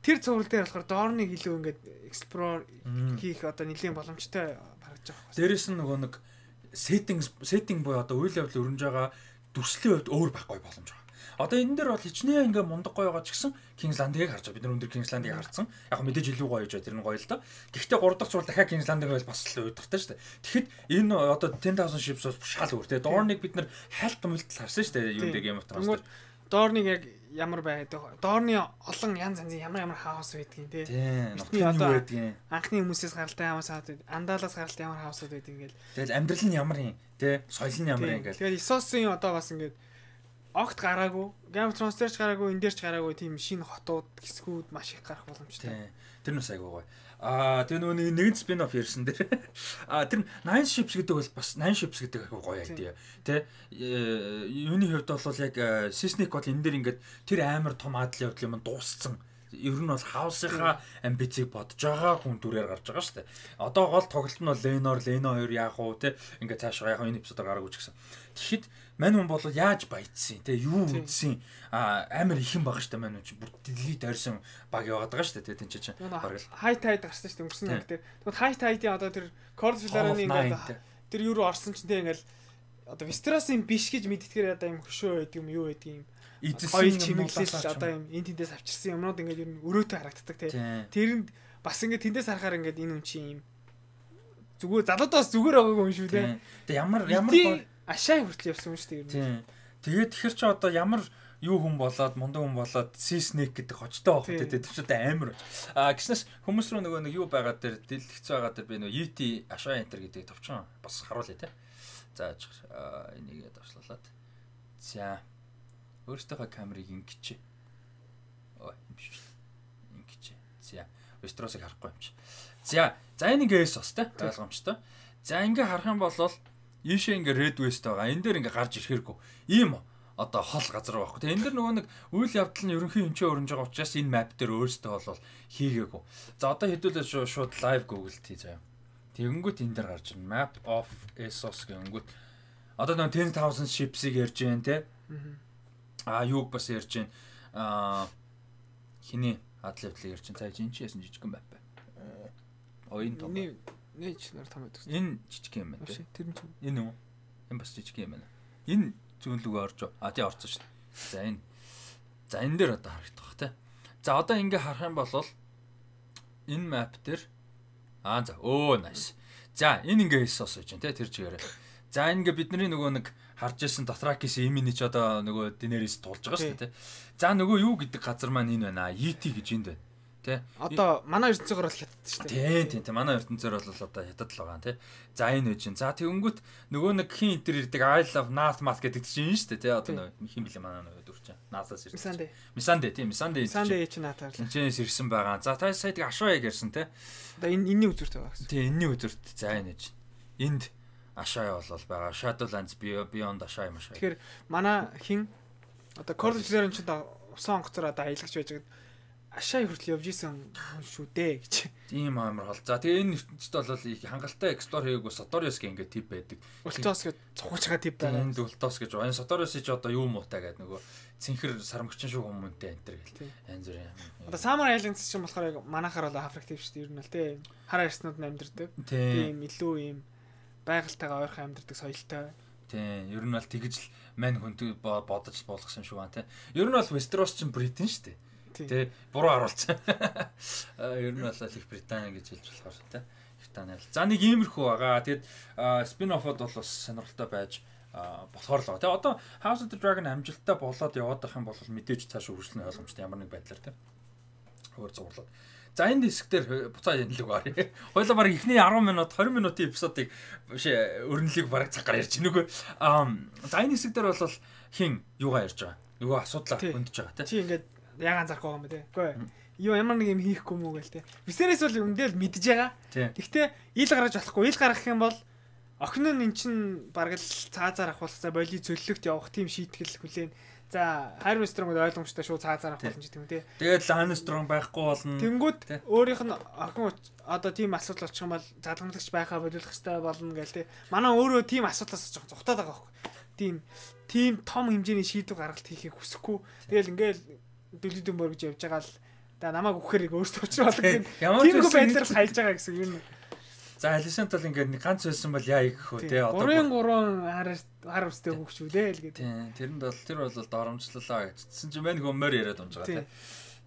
тэр цуврал дээр болохоор Dorne-ыг илүү ингээд explore хийх одоо нэлийн боломжтой харагдаж байгаа. Дээрээс нь нөгөө нэг setting setting буюу одоо үйл явдал өрнөж байгаа дүрслийн хувьд өөр байхгүй боломж байгаа. Одоо энэ дээр бол хичнээн ингээ мундаг гоё байгаа ч гэсэн King's Landing-ыг харж байгаа. Бид нар өндөр King's Landing-ыг харсан. Яг мэдээж илүү гоё гэж байна. Тэр нь гоё л да. Гэхдээ гурав дахь зураг дахиад King's Landing байл бас л уйдгартай шүү дээ. Тэгэхэд энэ одоо ten thousand ships бас шал өөр те. Dorne-ыг бид нар хайлт мэлтэл харсан шүү дээ. Юу нэг Game of Thrones. Dorne-ыг яг ямар байдаг. Dorne-ы олон янз янзын ямар ямар хаус байдгийг те. Нутгийн юу байдгийг. Анхны хүмүүсээс гаралтай хаус байдаг. Андалаас гаралтай ямар хаусууд байдаг ингээл. Тэгэл амьдрал нь ямар юм те. Соёл нь ямар юм ингээл. Тэгээд Essos-ын одоо бас ингээд огт гараагүй, Game of Thrones дээр ч гараагүй, энэ дээр ч гараагүй тийм шинэ хотууд, хэсгүүд маш их гарах боломжтой. Тэр нь бас айгүй гоё. Аа тэр нөгөө нэгэн спин-офф ярьсан дээр. Аа тэр nine ships гэдэг бол бас nine ships гэдэг айгүй гоё айдаа. Тэ юуны хувьд бол яг Seismic бол энэ дээр ингээд тэр амар том адал явдал юм дууссан. Ер нь бол House-ийнхаа амбицийг бодож байгаа хүн дүрээр гарч байгаа шүү дээ. Одоо гол тоглолт нь бол Lenor, Leno two яах вэ те ингээд цаашаа яг энэ эпизодоор гараагүй ч гэсэн. Тэгэхэд мань хүн бол яаж баяжсан те юу үдсэн а амар ихэн байгаа шүү дээ мань хүн чи бүр дэлхийд ойрсон баг яваад байгаа шүү дээ те тэн чинь баг л High Tide гарсан шүү дээ өнгөрсөн нэг дээр. Тэгвэл High Tide-ийн одоо тэр Corlys Velaryon-ы ингээд тэр юу руу орсон чинь те ингээл одоо Westeros-ийн биш гэж мэдтгэхээр одоо юм хөшөө байдаг юм юу байдаг юм эзэлсэн чимэглэл одоо юм энэ тэндээс авчирсан юмнууд ингээд ер нь өрөөтэй харагддаг тий. Тэрэнд бас ингээд тэндээс харахаар ингээд энэ юм чи юм зүгээр залуудаас зүгээр байгаагүй юм шүү дээ. Тэгээ ямар ямар ашаа хүртэл явсан юм шүү дээ ер нь. Тэгээд тэгэхэр чи одоо ямар юу хүн болоод мундаг хүн болоод Seismic гэдэг хочтой байх гэдэг тэр ч одоо амар байна. А гиснээс хүмүүс рүү нөгөө нэг юу байгаа дээр дэлгэц байгаа дээр би нөгөө Yeti ашаа энтер гэдэг товчхон бас харуулъя тий. За энийг давшлуулаад. За өөртөөхөө камерыг ингэч. Ой юм биш. Ингэч. За Westeros-ыг харахгүй юм чи. За за энэ ингээ Essos-тэй ойлгомжтой. За ингээ харах юм бол ийшээ ингээ Red West байгаа. Энэ дээр ингээ гарч ирэхэргүй. Ийм одоо хол газар байхгүй. Тэгээ энэ дэр нөгөө нэг үйл явдал нь ерөнхий хэмжээ өрнж байгаа учраас энэ map дээр өөрөөсөө бол хийгээгүй. За одоо хэдүүлээ шууд live Google тий заяа. Тэгэнгүүт энэ дээр гарч ирнэ. Map of Essos гэнгүүт одоо нэг ten thousand ships-ийг ярьж байна те. Аа юуг бас ярьж байна. Аа хиний хад левлийг ярьж байна. За энэ чи яасан жижигхэн map бай. Оин том. Нэг нэг ч нар том байдаг. Энэ жижиг юм байна те. Тэр нь ч энэ үү? Энэ бас жижиг юм байна. Энэ зүүнлүгөө орж а тий орсон шүү дээ. За энэ за энэ дээр одоо харагдах бах те. За одоо ингээ харах юм бол энэ map дээр аа за өө nice. За энэ ингээ Essos гэж байна те тэр чигээрээ. За энэ ингээ бидний нөгөө нэг харж ирсэн Dothraki-с имини ч одоо нөгөө Daenerys тулж байгаа шүү дээ те. За нөгөө юу гэдэг газар маань энэ байна. Yeti гэж энд байна. Тэ. Одоо манай ертөнцөөр бол хятад шүү дээ. Тийм тийм. Манай ертөнцөөр бол одоо хятад л байгаа тий. За энэ үе чинь. За тэгэнгүүт нөгөө нэг хин энтер ирдэг I love Nathmat гэдэг чинь шүү дээ тий. Одоо хин бэлээ манай нөгөө дүр чинь. Наасаас ирсэн. Мисанде. Мисанде тийм. Мисанде. Мисанде чинь наатаар. Энэчнээс ирсэн байгаа. За та сая тийг ашааяг ярьсан тий. Одоо энэ энэний үзүүрт байгаа гэсэн. Тийм энэний үзүүрт. За энэ чинь. Энд ашаая бол байгаа. Shadowlands Beyond ашаая машаа. Тэгэхээр манай хин одоо Corlys дээр чинь усан онгоцоор одоо аялагч байж байгаа. Ашаа хүртэл явж исэн шүү дээ гэж. Тийм амар хол. За тэгээ энэ ертөнцид бол их хангалттай эксплор хийгээгүй Sotorius гэх ингээд тип байдаг. Ultos гэж цухаж байгаа тип байна. Энд Ultos гэж байна. Sotorius чи одоо юу муутай гэдэг нөгөө цэнхэр сармагчин шүү хүмүүнтэй энэ төр гэл. Янз бүр юм. Одоо Summer Islands чинь болохоор яг манахаар бол афрактив шүү дээ. Ер нь л тийм. Хараа ирснүүд нь амьдэрдэг. Тийм илүү ийм байгальтайгаа ойрхон амьдэрдэг соёлтой. Тийм. Ер нь бол тэгж л мань хүнд бодож болгосон шүү байна тийм. Ер нь бол Westeros чинь Бритэн шүү дээ. Тэ буруу харуулсан. Ер нь бол их Британи гэж хэлж болохоор тэ. Британи. За нэг иймэрхүү байгаа. Тэгэд спин-оффод бол бас сонирхолтой байж болохоор л байгаа. Тэ одоо House of the Dragon амжилттай болоод яваад байх юм бол мэдээж цааш үргэлжлэн ойлгомжтой ямар нэг байдлаар тэ. Өөр зурлаад. За энэ хэсгээр буцаа янлаг баарь. Хойлоо баг ихний ten минут twenty минутын эпизодыг биш өрнөлийг баг цагаар ярьж гинэгүй. Аа за энэ хэсгээр бол хин юугаа ярьж байгаа. Юугаа асуудлаа хөндөж байгаа тэ. Чи ингээд ягаан зарах байгаа юм бэ те. Үгүй. Юу ямар нэг юм хийхгүй мүү гээл те. Висерээс бол үндэл мэдж байгаа. Гэхдээ ил гаргаж болохгүй. Ил гаргах юм бол охин нь эн чин бараг л цаазаар авахулсаа боли цөллөгт явах тийм шийтгэл хүлээн. За Harry Strong-д ойлгомжтой шүү цаазаар авах болно ч тийм үү те. Тэгээд Lance Strong байхгүй болно. Тэнгүүд өөрийнх нь охин одоо тийм асуудал очих юм бол залгамжлагч байхаа болиулах хэрэгтэй болно гээл те. Манай өөрөө тийм асуудлаас жоохон зүхтаад байгаа байхгүй. Тийм тийм том хэмжээний шийдвэр гаргалт хийхийг хүсэхгүй. Тэгэл ингээл Дүлдэн бор гэж явж байгаа л да намайг өгөхөр өөртөө очрол гэх юм. Тийм байдлаар хайлж байгаа гэсэн юм. За Алисант бол ингээд нэг ганц байсан бол яа гэх хөө те одоо гурван гурван хар хар устэй хөвчүүлээ л гэдэг. Тийм тэрэнд бол тэр бол доромжлолоо гэжсэн чинь мань хөмөр яриад унж байгаа те.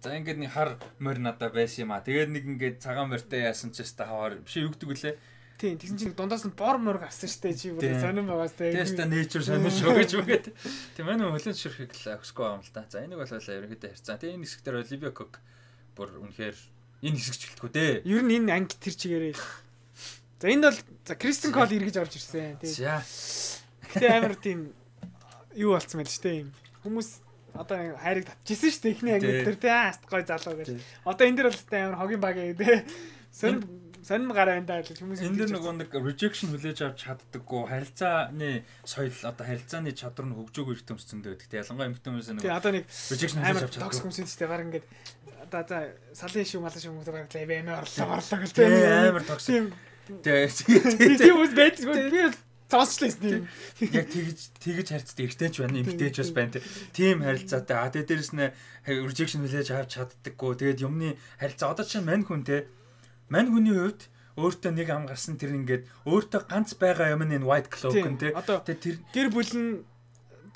За ингээд нэг хар мөр надаа байсан юм а. Тэгээд нэг ингээд цагаан мөртэй яасан ч өстой хаваар биш юу гэдэг үлээ. Тийм тэгсэн чинь дундаас нь бор мөр гарсан штэ чи бүр сонирн байгаас те. Тэстэ nature сонирн шүү гэж үгээд. Тийм ээ нөлөө ширхэг л өсгөө юм л да. За энийг бол ерөнхийдөө ярьцгаа. Тэгээ энэ хэсгээр Olivia Cook бүр үнэхээр энэ хэсэгч гэлтгүй дээ. Ер нь энэ анги тэр чигээрээ. За энд бол за Kristen Cole эргэж орж ирсэн. Тийм. Тэгээ амар тийм юу болцсон байл штэ юм. Хүмүүс одоо хайрыг татчихсан штэ ихний анги дээр те аст гой залуу гэж. Одоо энэ дэр бол амар хогийн баг ээ. Сонир сонир гараа энэ даа хүмүүс энэ дэр нөгөө нэг rejection хүлээж авч чаддаггүй харилцааны соёл одоо харилцааны чадвар нь хөгжөөгүй иртэмцсэн дээ гэдэг. Ялангуяа эмэгтэй хүмүүс нэг одоо нэг rejection хүлээж авч чаддаггүй хүмүүс шүү дээ. Баг ингээд одоо за салын шүү малын шүү хүмүүс баг лав эмээ орлоо орлоо гэл тийм амар токсик. Тийм хүмүүс байдгүй би цааслаа юм. Яг тэгж тэгж харьцдаг эргэжтэйч байна, эмэгтэйч бас байна тийм харилцаатай. А тэгээ дээрэс нь rejection хүлээж авч чаддаггүй. Тэгээд юмны харилцаа одоо чинь мань хүн те мань хүний хувьд өөртөө нэг ам гарсан тэр ингээд өөртөө ганц байгаа юм энэ white cloak нь те тэр гэр бүл нь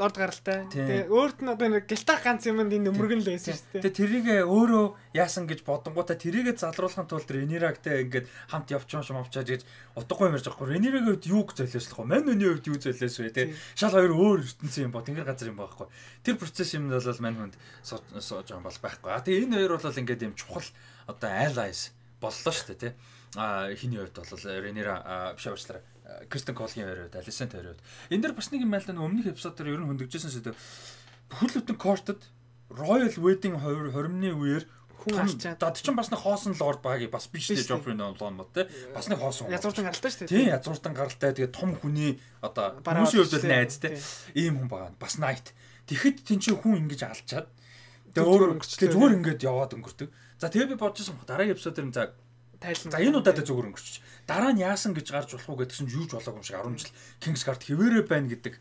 дорд гаралтай. Тэгээ өөрт нь одоо нэг гялтах ганц юм энэ өмөргөн л байсан шүү дээ. Тэгээ тэрийг өөрөө яасан гэж бодонгуудаа тэрийгэ залруулахын тулд Ренирагтай ингээд хамт явчих юм авчаад гэж утгагүй юмэрж байгаа. Ренирагийн хувьд юуг золиослох вэ? Мань хүний хувьд юу золиос вэ те? Шал хоёр өөр ертөнцийн юм бо тэнгэр газар юм байхгүй. Тэр процесс юм бол мань хүнд сууж байгаа бол байхгүй. А тэгээ энэ хоёр бол ингээд юм чухал одоо allies боллоо шүү дээ те. А хиний хувьд бол Ренира биш уучлаарай. Kristen Cole-ийн хувьд, Alicent хувьд. Энд дээр бас нэг юм байлаа өмнөх эпизод дээр ер нь хөндөжсэн сэдв. Бүхэл бүтэн кортод Royal Wedding хоримны үеэр хүн алчаад. За тэр чинь бас нэг хоосон лорд баги бас биш дээ Joffrey Nolan те. Бас нэг хоосон. Язгууртан гаралтай шүү дээ. Тийм язгууртан гаралтай. Тэгээ том хүний одоо хүмүүсийн хувьд найз те. Ийм хүн байгаа. Бас night. Тэгэхэд тэн чинь хүн ингэж алчаад тэгээ өөр өнгөрчлээ зүгээр ингэж яваад өнгөрдөг. За тэгээ би бодчихсон дараагийн эпизод дээр за тайлна. За энэ удаад зүгээр өнгөрчих. Дараа нь яасан гэж гарч болох уу гэдгсэн чинь юу ч болоогүй юм шиг арван жил Kingsguard хэвээрээ байна гэдэг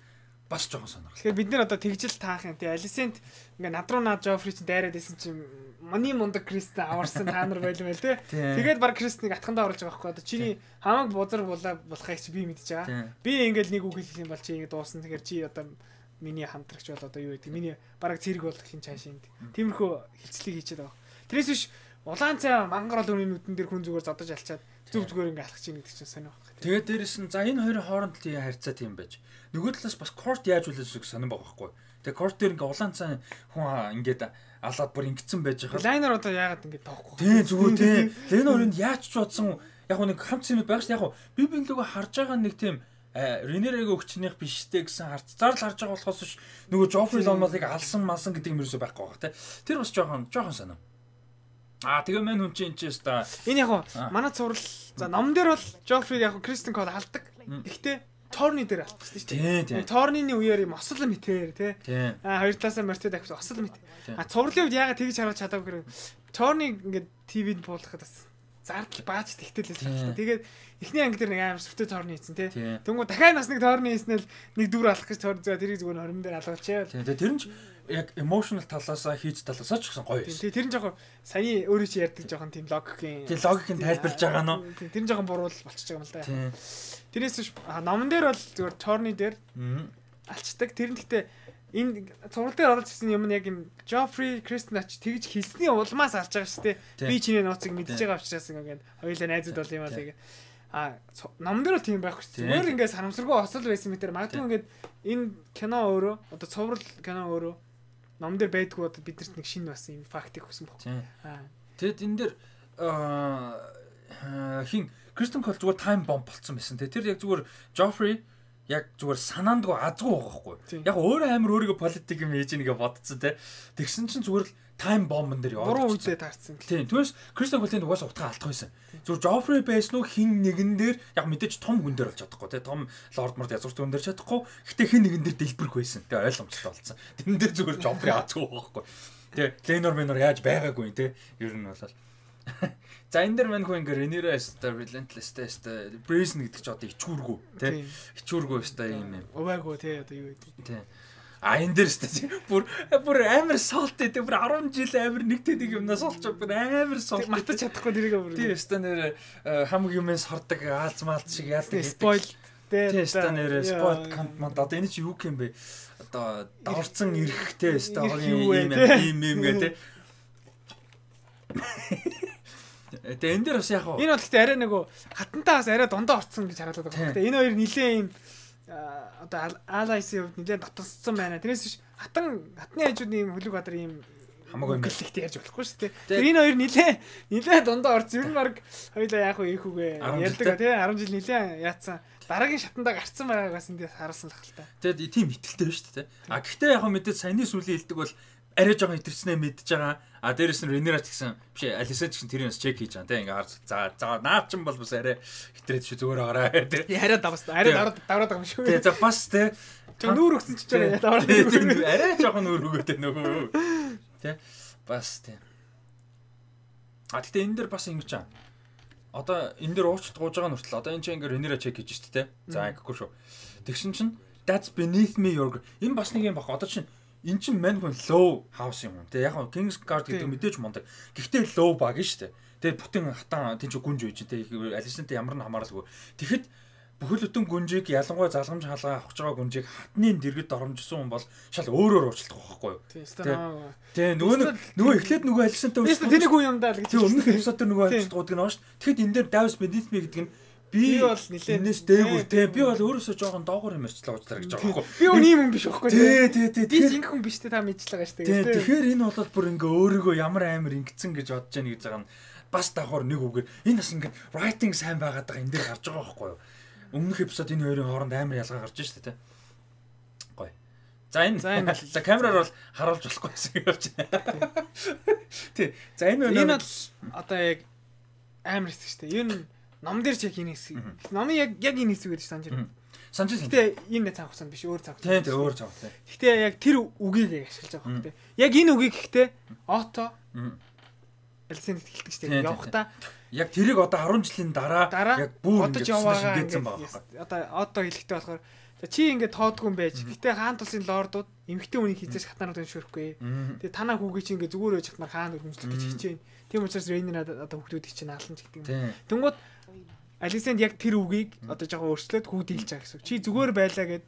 бас жоохон сонирхол. Тэгэхээр бид нэр одоо тэгжил таах юм. Тэгээ Alicent ингээ над руу наад Joffrey чинь дайраад исэн чинь мани мундаг Кристен аварсан та нар байлм байл те. Тэгээд баг Кристнийг атхандаа оруулж байгаа байхгүй. Одоо чиний хамаг бузар булаа болохыг чи би мэдж байгаа. Би ингээл нэг үг хэлэх юм бол чи ингээ дуусна. Тэгэхээр чи одоо миний хамтрагч бол одоо юу гэдэг. Миний бараг цэрэг болох хин цаашинд. Тиймэрхүү хилцлийг хийчихэд байгаа. Тэрээс биш улаан цай мангар бол үнийн нүдэн дээр хүн зүгээр зодож алчаад зүг зүгээр ингээ алхаж ийн гэдэг чинь сонио байна. Тэгээд дээрэс нь за энэ хоёрын хооронд тийм харьцаа тийм байж. Нөгөө талаас бас Court яаж үлээсэх сонирн байгаа байхгүй. Тэгээд Court дээр ингээ улаан цай хүн ингээд алаад бүр ингэсэн байж байгаа. Лайнер одоо яагаад ингээ тоохгүй. Тийм зүгээр тийм. Тэр хоёрын яаж ч бодсон яг нэг хамт зэмэд байгаа шүү. Яг би биелгөө харж байгаа нэг тийм Ренерэгийн өгчнийх биштэй гэсэн харцаар л харж байгаа болохоос ш нөгөө Joffrey Lonmouth-ыг алсан малсан гэдэг юм ерөөсөй байхгүй байгаа те. Тэр бас жоохон жоохон сонио. Аа тэгээ мань хүн чинь энэ ч та энэ яг манай цуврал за ном дээр бол Joffrey яг Kristen Cole алдаг. Гэхдээ Torny дээр алдсан шүү дээ. Torny-ны үеэр юм осол мэтээр тий. Аа хоёр талаасаа мортод авчих осол мэт. А цувралын үед ягаад тэгж харуулж чадаагүй гэвэл Torny ингээд ти вид буулгахад бас зардал бааж тэгтэлээс байна. Тэгээд эхний анги дээр нэг амар сүртэй Torny хийсэн тий. Тэнгүү дахиад бас нэг Torny хийснээр нэг дүр алах гэж Torny зөө тэрийг зүгээр хорон дээр алгуулчихъя. Тий. Тэр нь яг emotional талаасаа хийж талаасаа ч гэсэн гоё. Тий. Тэр нь жоохон саяны өөрөө чи ярьдаг жоохон тийм логикийн тий логикийг тайлбарлаж байгаа нь. Тэр нь жоохон буруу болчихж байгаа юм л да. Тэрээс номон дээр бол зүгээр Torny дээр алчдаг. Тэр нь гэхдээ энэ цуврал дээр орж ирсэн юм нь яг юм Joffrey Kristen ач тэгж хэлсний улмаас алж байгаа шүү дээ. Би чиний нууцыг мэдчихэж байгаа учраас ингээд хоёулаа найзууд бол юм аа тэгээ. А номон дээр бол тийм байхгүй шүү. Зүгээр ингээд санамсаргүй осол байсан мэтэр магадгүй ингээд энэ кино өөрөө одоо цуврал кино өөрөө номон дээр байдгүй одоо бидэрт нэг шинэ бас юм фактик өгсөн байхгүй. Аа. Тэгэд энэ дээр хин Kristen Cole зүгээр time bomb болцсон байсан. Тэр яг зүгээр Joffrey яг зүгээр санаандгүй азгүй байгаа хгүй. Яг өөрөө амар өөрийгөө политик юм хийж нэгэ бодцсон те. Тэгсэн чинь зүгээр л time bomb-н дээр яваад. Буруу үедээ таарсан. Тийм. Түүнээс Kristen Cole-ийн угаасаа утгаа алдах байсан. Зүгээр Joffrey байсан уу хин нэгэн дээр яг мэдээж том хүн дээр болж чадахгүй те. Том Lord Mord язгуурт хүн дээр чадахгүй. Гэтэ хин нэгэн дээр дэлбэрх байсан. Тэгээ ойлгомжтой болсон. Тэн дээр зүгээр Joffrey азгүй байгаа хгүй. Тэгээ Lenor Menor яаж байгаагүй те. Ер нь болол. За энэ дэр мань хөө ингээ Rhaenyra өстө Relentless өстө Brazen гэдэг чи одоо ичүүргүү тий ичүүргүү өстө юм юм. Уваагүй тий одоо юу гэдэг. Тий. А энэ дэр өстө бүр бүр амар солт тий бүр арван жил амар нэг тэдэг юмнаас олч бүр амар солт матаж чадахгүй тэрийг бүр. Тий өстө нэр хамаг юмээс хордог аалз маалт шиг яадаг. Spoil тий өстө нэр spoil конт манд одоо энэ чи юу юм бэ? Одоо даварцсан эрэхтэй өстө юм юм юм гэдэг. Тэгээ энэ дээр бас яг энэ бол гэхдээ арай нөгөө хатантаа бас арай дундаа орцсон гэж харуулдаг байна. Тэгээ энэ хоёр нилээ юм одоо алайсын хувьд нилээ дотгоссон байна. Тэрээс биш хатан хатны хажууд ийм хөлөг бадар ийм хамаагүй гэлэгтэй ярьж болохгүй шүү дээ. Тэгээ энэ хоёр нилээ нилээ дундаа орц ер нь баг хоёлаа яах вэ ийх үгээ ярьдаг тий арван жил нилээ яатсан. Дараагийн шатандаа гарцсан байгааг бас эндээс харуулсан л хэл та. Тэгээд тийм итгэлтэй байна шүү дээ. А гэхдээ яг мэдээд саяны сүлийн хэлдэг бол арай жоохон хитэрснээ мэдж байгаа. А дээрэс нь Rhaenyra ч гэсэн биш Alicent ч гэсэн тэрнээс чек хийж байгаа тийм ингээ харж за за наад ч юм бол бас арай хитрээд шүү зүгээр байгаарай тийм арай давс арай давраад давраад байгаа юм шүү. Тийм за бас тийм нүүр өгсөн ч чинь давраад арай жоохон нүүр өгөөтэй нөгөө тийм бас тийм. А тэгтээ энэ дэр бас ингэж чам. Одоо энэ дэр уучт гууж байгаа нүртэл одоо энэ чинь ингээ Rhaenyra чек хийж шүү дээ. За ингэхгүй шүү. Тэгсэн чинь that's beneath me your энэ бас нэг юм баг. Одоо чинь эн чинь мань хүн low house юм. Тэ яг нь Kingsguard гэдэг мэдээж мундаг. Гэхдээ low баг нь шүү дээ. Тэгээд бүтэн хатан тийч гүнж үйж тэ Alicent ямар нь хамааралгүй. Тэгэхэд бүхэл бүтэн гүнжийг ялангуяа залгамж хаалгаа авах байгаа гүнжийг хатны дэргэд оромжсон хүн бол шал өөрөөр уучлах байхгүй юу? Тэ нөгөө нөгөө эхлээд нөгөө Alicent-тэй уучлах. Тэнийг хүн юм даа л гэж. Тэ өмнөх эпизод дээр нөгөө уучлах гуйдаг нь шүү. Тэгэхэд энэ дээр Davis beneath me гэдэг нь би бол нилээ энэс дээгүүр те би бол өөрөөсөө жоохон доогоор юмэрчлээ уучлаа гэж байгаа байхгүй. Би өөр юм биш байхгүй те. Тий, тий, тий. Би зинх хүн биш те та мэдчихлээ гэж те. Тэгэхээр энэ бол бүр ингээ өөрийгөө ямар амар ингэцэн гэж бодож яана гэж байгаа нь бас давхар нэг үгээр энэ бас ингээ writing сайн байгаад байгаа энэ дээр гарч байгаа байхгүй юу. Өмнөх эпизод энэ хоёрын хооронд амар ялгаа гарч шээ те. Гоё. За энэ за камераар бол харуулж болохгүй гэсэн явж байна. Тий. За энэ энэ бол одоо яг амар хэсэг шүү дээ. Ер нь ном дээр ч яг энэ хэсэг. Номын яг яг энэ хэсэг гэж санаж байна. Санаж байна. Гэтэ энэ цаг хугацаанд биш өөр цаг хугацаанд. Тий, өөр цаг хугацаанд. Гэтэ яг тэр үгийг ашиглаж байгаа юм. Яг энэ үгийг гэхдээ ото Алисент хэлдэг шүү дээ. Явахта яг тэрийг одоо арван жилийн дараа яг бүр ингэж шингээсэн байгаа. Одоо ото хэлэхдээ болохоор чи ингээд тоодгүй юм байж. Гэтэ хаан тусын лордууд эмгтэй үнийг хизээс хатнаар өншөөрөхгүй. Тэгээ танаа хүүгээ чи ингээд зүгээр байж хатмаар хаан өргөмжлөх гэж хичээн. Тийм учраас Рейнер одоо хүүхдүүдийг чинь наална ч гэдэг юм. Тэнгууд Алисент яг тэр үгийг одоо жоохон өөрчлөөд хүүхд хэлж байгаа гэсэн. Чи зүгээр байлаа гэд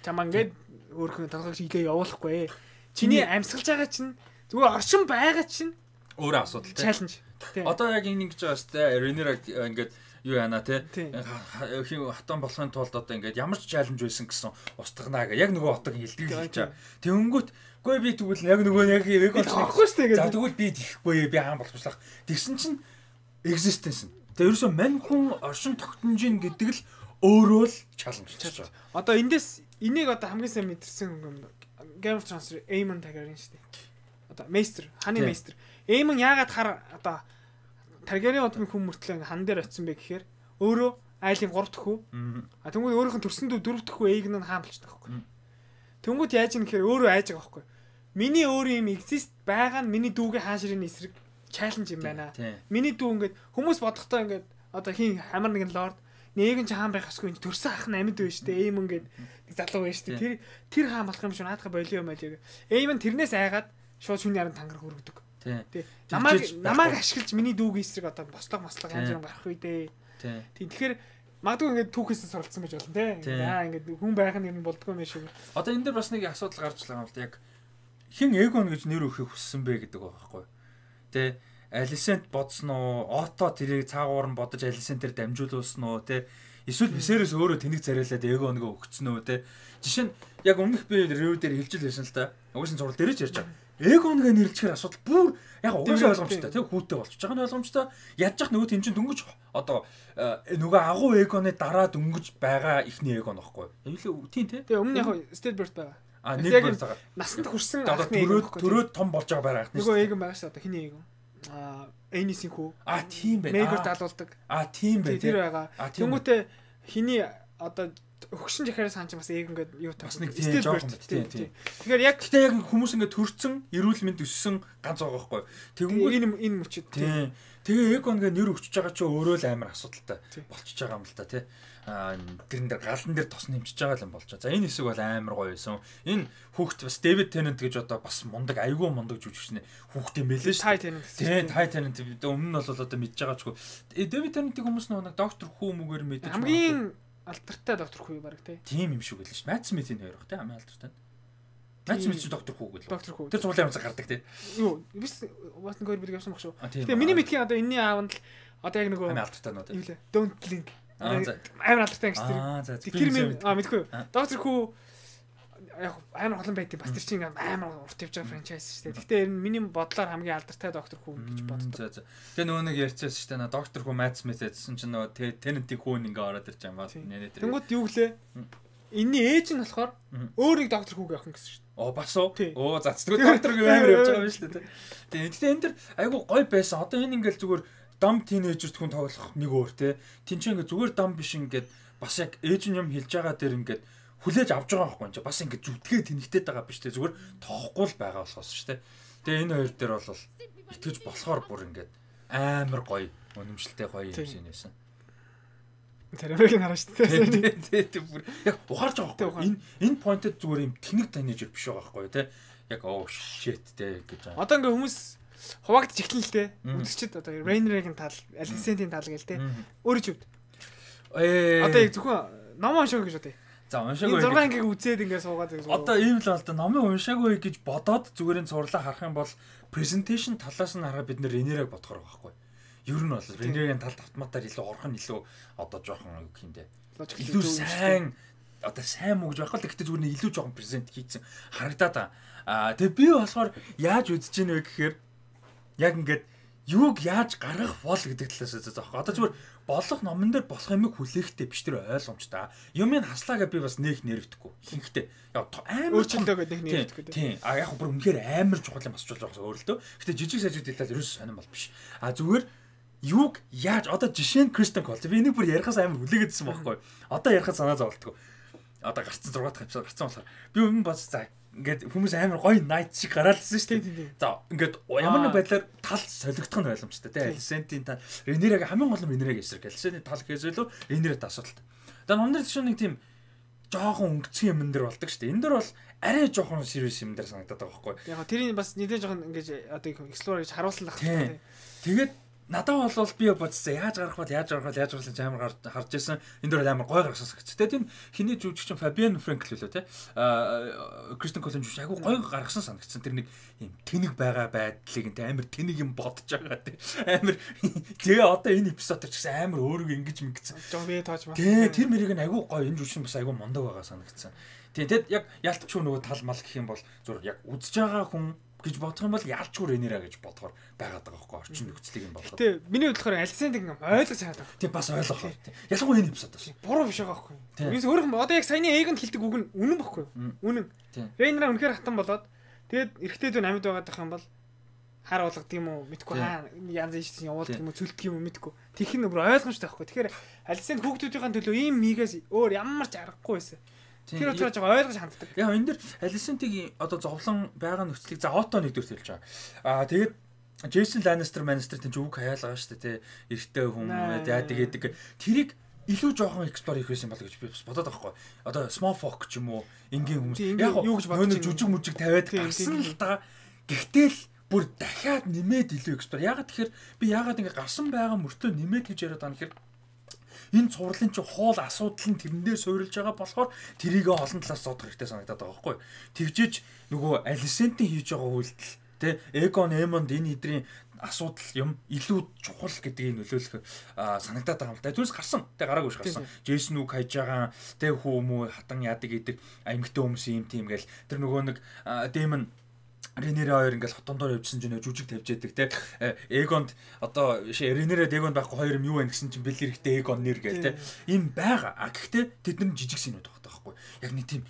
чамаа ингээд өөрхөн толгойг шиглээ явуулахгүй. Чиний амьсгалж байгаа чинь зүгээр оршин байгаа чинь өөрөө асуудал тийм. Чаленж. Одоо яг ингэ гэж байгаа шүү дээ. Рейнер ингээд юу яана те хин хатан болохын тулд одоо ингээд ямар ч чаленж байсан гэсэн устгахнаа гэ яг нөгөө отог хэлдэг гэж байгаа. Тэнгүүт гүй би тэгвэл яг нөгөө яг яг болохгүй шүү дээ. За тэгвэл би тийхгүй би хаан болчихлаа. Тэгсэн чинь existence. Тэгээ ерөөсөө мань хүн оршин тогтножин гэдэг л өөрөө л чаленж болж байгаа. Одоо эндээс энийг одоо хамгийн сайн мэдэрсэн юм Game of Thrones Aemon Targaryen шүү дээ. Одоо Maester, ханы Maester. Aemon яагаад хар одоо Targaryen одгийн хүн мөртлөө хан дээр очсон бэ гэхээр өөрөө айлын гурав дахь хүү. А тэнгууд өөрийнх нь төрсөн дүү дөрөв дахь хүү Aegon нь хаан болчихдог байхгүй. Тэнгууд яаж юм гэхээр өөрөө айж байгаа байхгүй. Миний өөр юм exist байгаа нь миний дүүгийн хаан ширээний эсрэг challenge юм байна. Миний дүү ингээд хүмүүс бодохдоо ингээд одоо хин хамар нэгэн лорд нэг нь ч хаан байх хэсгүй төрсөн ах нь амьд байж штэ Aemon гээд нэг залуу байж штэ тэр тэр хаан болох юм шиг наадах болио юм аа. Aemon тэрнээс айгаад шууд шүний харан тангар хүргэдэг. Тий. Намайг намайг ашиглаж миний дүүгийн эсрэг одоо бослог маслаг янз бүр гарах үедээ. Тий. Тэгэхээр магадгүй ингээд түүхээсээ суралцсан байж болно те. Аа ингээд хүн байх нь юм болдгоо юм шиг. Одоо энэ дээр бас нэг асуудал гарч байгаа юм л да. Яг хин Aegon гэж нэр өгөхийг хүссэн бэ гэдэг байгаа байхгүй. Тэ Alicent бодсон уу? Ото тэрийг цаагуур нь бодож Alicent тэр дамжуулсан уу? Тэ эсвэл Viserys өөрөө тэнэг царайлаад Aegon-гоо өгцөн үү? Тэ жишээ нь яг өмнөх би review дээр хэлж байсан л да. Угсаа зураг дээр ч ярьж байгаа. Aegon-г нэрлэхээр асуудал бүр яг угаасаа ойлгомжтой. Тэг хүүтэй болчих. Жахан ойлгомжтой. Ядчих нөгөө тэн чин дөнгөж одоо нөгөө агуу Aegon-ы дараа дөнгөж байгаа ихний Aegon байхгүй. Эвлээ тийм тий. Тэгээ өмнө яг Stedbert байгаа. А нэг бүр цагаа. Насанд хүрсэн төрөөд төрөөд том болж байгаа байх нь. Нөгөө Aegon байгаа шүү. Одоо хиний Aegon. А Aenys-ийн хүү. А тийм байх. Maegor даалуулдаг. А тийм байх. Тэр байгаа. Тэнгүүтээ хиний одоо хөгшин жахараас хаан ч бас Aegon гэдэг юу бас нэг тийм жоохон тийм тийм. Тэгэхээр яг гэтээ яг хүмүүс ингээд төрцөн эрүүл мэнд өссөн ганц байгаа байхгүй. Тэгэнгүүт энэ энэ мөчөд тийм. Тэгээ Aegon гээ нэр өгчөж байгаа ч өөрөө л амар асуудалтай болчихж байгаа юм л та тий. Аа тэрэн дээр галан дээр тос нэмчихэж байгаа юм болж байгаа. За энэ хэсэг бол амар гоё байсан. Энэ хүүхд бас David Tennant гэж одоо бас мундаг айгүй мундаг жүжигчнээ хүүхд юм байлээ шүү. Ty Tennant. Тийм Ty Tennant өмнө нь бол одоо мэдж байгаа ч гоо. David Tennant-ийг хүмүүс нэг доктор хүү мүгээр мэдэж байгаа. Хамгийн алдартай доктор хүү баг тий. Тийм юм шиг байлээ шүү. Matt Smith-ийн хоёр бах тий хамгийн алдартай. Matt Smith чинь доктор хүү гэлээ. Доктор хүү. Тэр цуглаан юмцаг гардаг тий. Юу биш Watson хоёр бид явсан баг шүү. Тэгээ миний мэдхийн одоо энэний аавд л одоо яг нөгөө хамгийн алдартай нөө тий. Юу лээ. Don't Blink. Амар алдартай ангич тэр. Тэр минь а мэдгүй. Доктор хүү яг амар олон байт бас тэр чинь амар урт явж байгаа франчайз шүү дээ. Гэхдээ миний бодлоор хамгийн алдартай доктор хүү гэж боддог. Тэгээ нөгөө нэг ярьчихсан шүү дээ. Доктор хүү Matt Smith гэсэн чинь нөгөө Tennant-ийн хүүн ингээ ороод ирж байгаа юм байна. Тэнгүүд юу гэлээ? Энийн ээж нь болохоор өөрийг доктор хүүг явах гэсэн шүү дээ. Оо бас уу? Оо за тэгвэл доктор гээ амар явж байгаа юм шүү дээ. Тэгээ гэхдээ энэ дэр айгу гоё байсан. Одоо энэ ингээл зүгээр дам тинейжерт хүн тоглох нэг өөр те. Тинчээ ингээ зүгээр дам биш ингээд бас яг ээж нь юм хэлж байгаа дээр ингээд хүлээж авч байгаа байхгүй юм. Бас ингээ зүтгээ тэнэгтэй байгаа биш те. Зүгээр тоохгүй л байгаа болохоос шүү дээ. Тэгээ энэ хоёр дээр бол итгэж болохоор бүр ингээд амар гоё өнөмшлтэй гоё юм шиг нээсэн. Тэрийг нь хараа шүү дээ. Тэ бүр яг ухаарч байгаа байхгүй. Энэ энэ поинтэд зүгээр юм тэнэг тинейжер биш байгаа байхгүй те. Яг оо shit те гэж байгаа. Одоо ингээ хүмүүс хуваагдчих эхлэн л те. Үзэгчд одоо Rainer-ийн тал, Alicent-ийн тал гээл те. Өөрөө ч үд. Ээ одоо яг зөвхөн ном уншаагүй гэж бодъё. За уншаагүй. Энэ зураг ангийг үзээд ингээ суугаад яг. Одоо ийм л бол да номыг уншаагүй гэж бодоод зүгээр энэ сурлаа харах юм бол presentation талаас нь хараа бид нэр Rainer-ыг бодохоор байгаа байхгүй. Ер нь бол Rainer-ийн талд автоматар илүү орхон илүү одоо жоохон юу гэх юм бэ. Илүү сайн одоо сайн муу гэж байхгүй л гэхдээ зүгээр нэг илүү жоохон презент хийцэн харагдаад аа. Тэгээ би болохоор яаж үзэж ийн вэ гэхээр яг ингээд юуг яаж гаргах бол гэдэг талаас заа заа. Одоо зүгээр болох номон дээр болох юмыг хүлээхтэй биш тэр ойлгомжтой. Юмыг хаслаа гэж би бас нэг нэрвдэхгүй. Ихэнхдээ яа амар өөрчлөлтөө гэдэг нэг нэрвдэхгүй. Тийм. А яг бүр үнэхээр амар чухал юм асууж байгаа өөр л дөө. Гэтэ жижиг сажиг дэлтал ерөөс сонирм бол биш. А зүгээр юуг яаж одоо жишээ нь Кристен Кол. Би энийг бүр ярихаас амар хүлээгээдсэн байхгүй. Одоо ярихад санаа зовлтгүй. Одоо гарцсан зургаад тавьсан гарцсан болохоор би өмнө бас за ингээд хүмүүс амар гоё найт шиг гараалсан шүү дээ. За ингээд ямар нэг байдлаар тал солигдох нь ойлгомжтой тий. Алисентийн тал Ренераг хамгийн гол нь Ренераг эсрэг. Алисентийн тал гэзэлөө Ренерад асуудалтай. Тэгээ номдэр чинь нэг тийм жоохон өнгөцгөн юм дээр болдог шүү дээ. Энэ дэр бол арай жоохон serious юм дээр санагдаад байгаа байхгүй. Яг тэрийг бас нэлээд жоохон ингээд одоо explore гэж харуулсан л байна. Тэгээд надад бол би бодсон яаж гарах бол яаж гарах бол яаж гарах гэж амар харж байсан. Энэ дөр амар гой гаргасан гэж. Тэгээ тийм хиний жүжигч Фабиан Франкл лөө те. Аа Кристен Колин жүжигч айгу гой гаргасан санагдсан. Тэр нэг юм тэнэг байгаа байдлыг энэ амар тэнэг юм бодож байгаа те. Амар тэгээ одоо энэ эпизод ч гэсэн амар өөрийгөө ингэж ингэсэн. Жон би тоож маа. Тэгээ тэр мэрийг нь айгу гой энэ жүжигч бас айгу мондог байгаа санагдсан. Тийм тэгэд яг ялтч нөгөө тал мал гэх юм бол зур яг үзэж байгаа хүн гэж бодох юм бол яалчгүй Ренера гэж бодохоор байгаад байгаа байхгүй орчин нөхцөлийг юм болгоод. Тэ миний бодлохоор Алисент ингэ ойлгож чадаад байгаа. Тийм бас ойлгох. Ялангуяа энэ эпизод бас. Буруу биш байгаа байхгүй. Юус өөрөөр одоо яг саяны Эгонд хэлдэг үг нь үнэн байхгүй. Үнэн. Ренера үнэхээр хатан болоод тэгээд эрэгтэй дүү амьд байгаад байх юм бол хар болгодог юм уу мэдгүй хаа янз янз явуулдаг юм уу цөлдөг юм уу мэдгүй. Тэрх нь бүр ойлгомжтой байхгүй. Тэгэхээр Алисент хүүхдүүдийн төлөө ийм мигээс өөр ямар ч аргагүй байсан. Тэр учраас жоо ойлгож ханддаг. Яг энэ дэр Алисентийн одоо зовлон байгаа нөхцөлийг за Ото нэгдүгээр хэлж байгаа. Аа тэгээд Джейсон Ланнистер Маннистер тийм үг хаяалгаа шүү дээ. Эрэгтэй хүн яа тэгээд тэрийг илүү жоохон эксплор хийх байсан бол гэж би бас бодоод байгаа хгүй. Одоо Small Fox ч юм уу энгийн хүмүүс яг юу гэж бодож жүжиг мүжиг тавиад гарсан л та. Гэхдээ л бүр дахиад нэмээд илүү эксплор. Ягаад тэгэхээр би ягаад ингэ гарсан байгаа мөртөө нэмээд гэж яриад байгаа нөхөр энэ цувралын чи хоол асуудал нь тэрнээр суурилж байгаа болохоор тэрийг олон талаас зодох хэрэгтэй санагдаад байгаа байхгүй. Тэгжиж нөгөө Алисентийн хийж байгаа үйлдэл тэ Эгон Эмонд энэ хэдрийн асуудал юм илүү чухал гэдгийг нөлөөлөх санагдаад байгаа юм л да. Түүнээс гарсан. Тэ гараагүй ш гарсан. Джейсон үг хайж байгаа тэ хүү мүү хатан яадаг гэдэг аймагтай хүмүүс юм тийм гээл тэр нөгөө нэг Дэмон Ренера хоёр ингээл хотондоор явжсэн чинь жүжиг тавьж яадаг те Эгонд одоо Ренера Эгонд байхгүй хоёр юм юу вэ гэсэн чинь бэл хэрэгтэй Эгон нэр гээл те им байгаа. А гэхдээ тэд нар жижиг синүүд багтаа байхгүй. Яг нэг тийм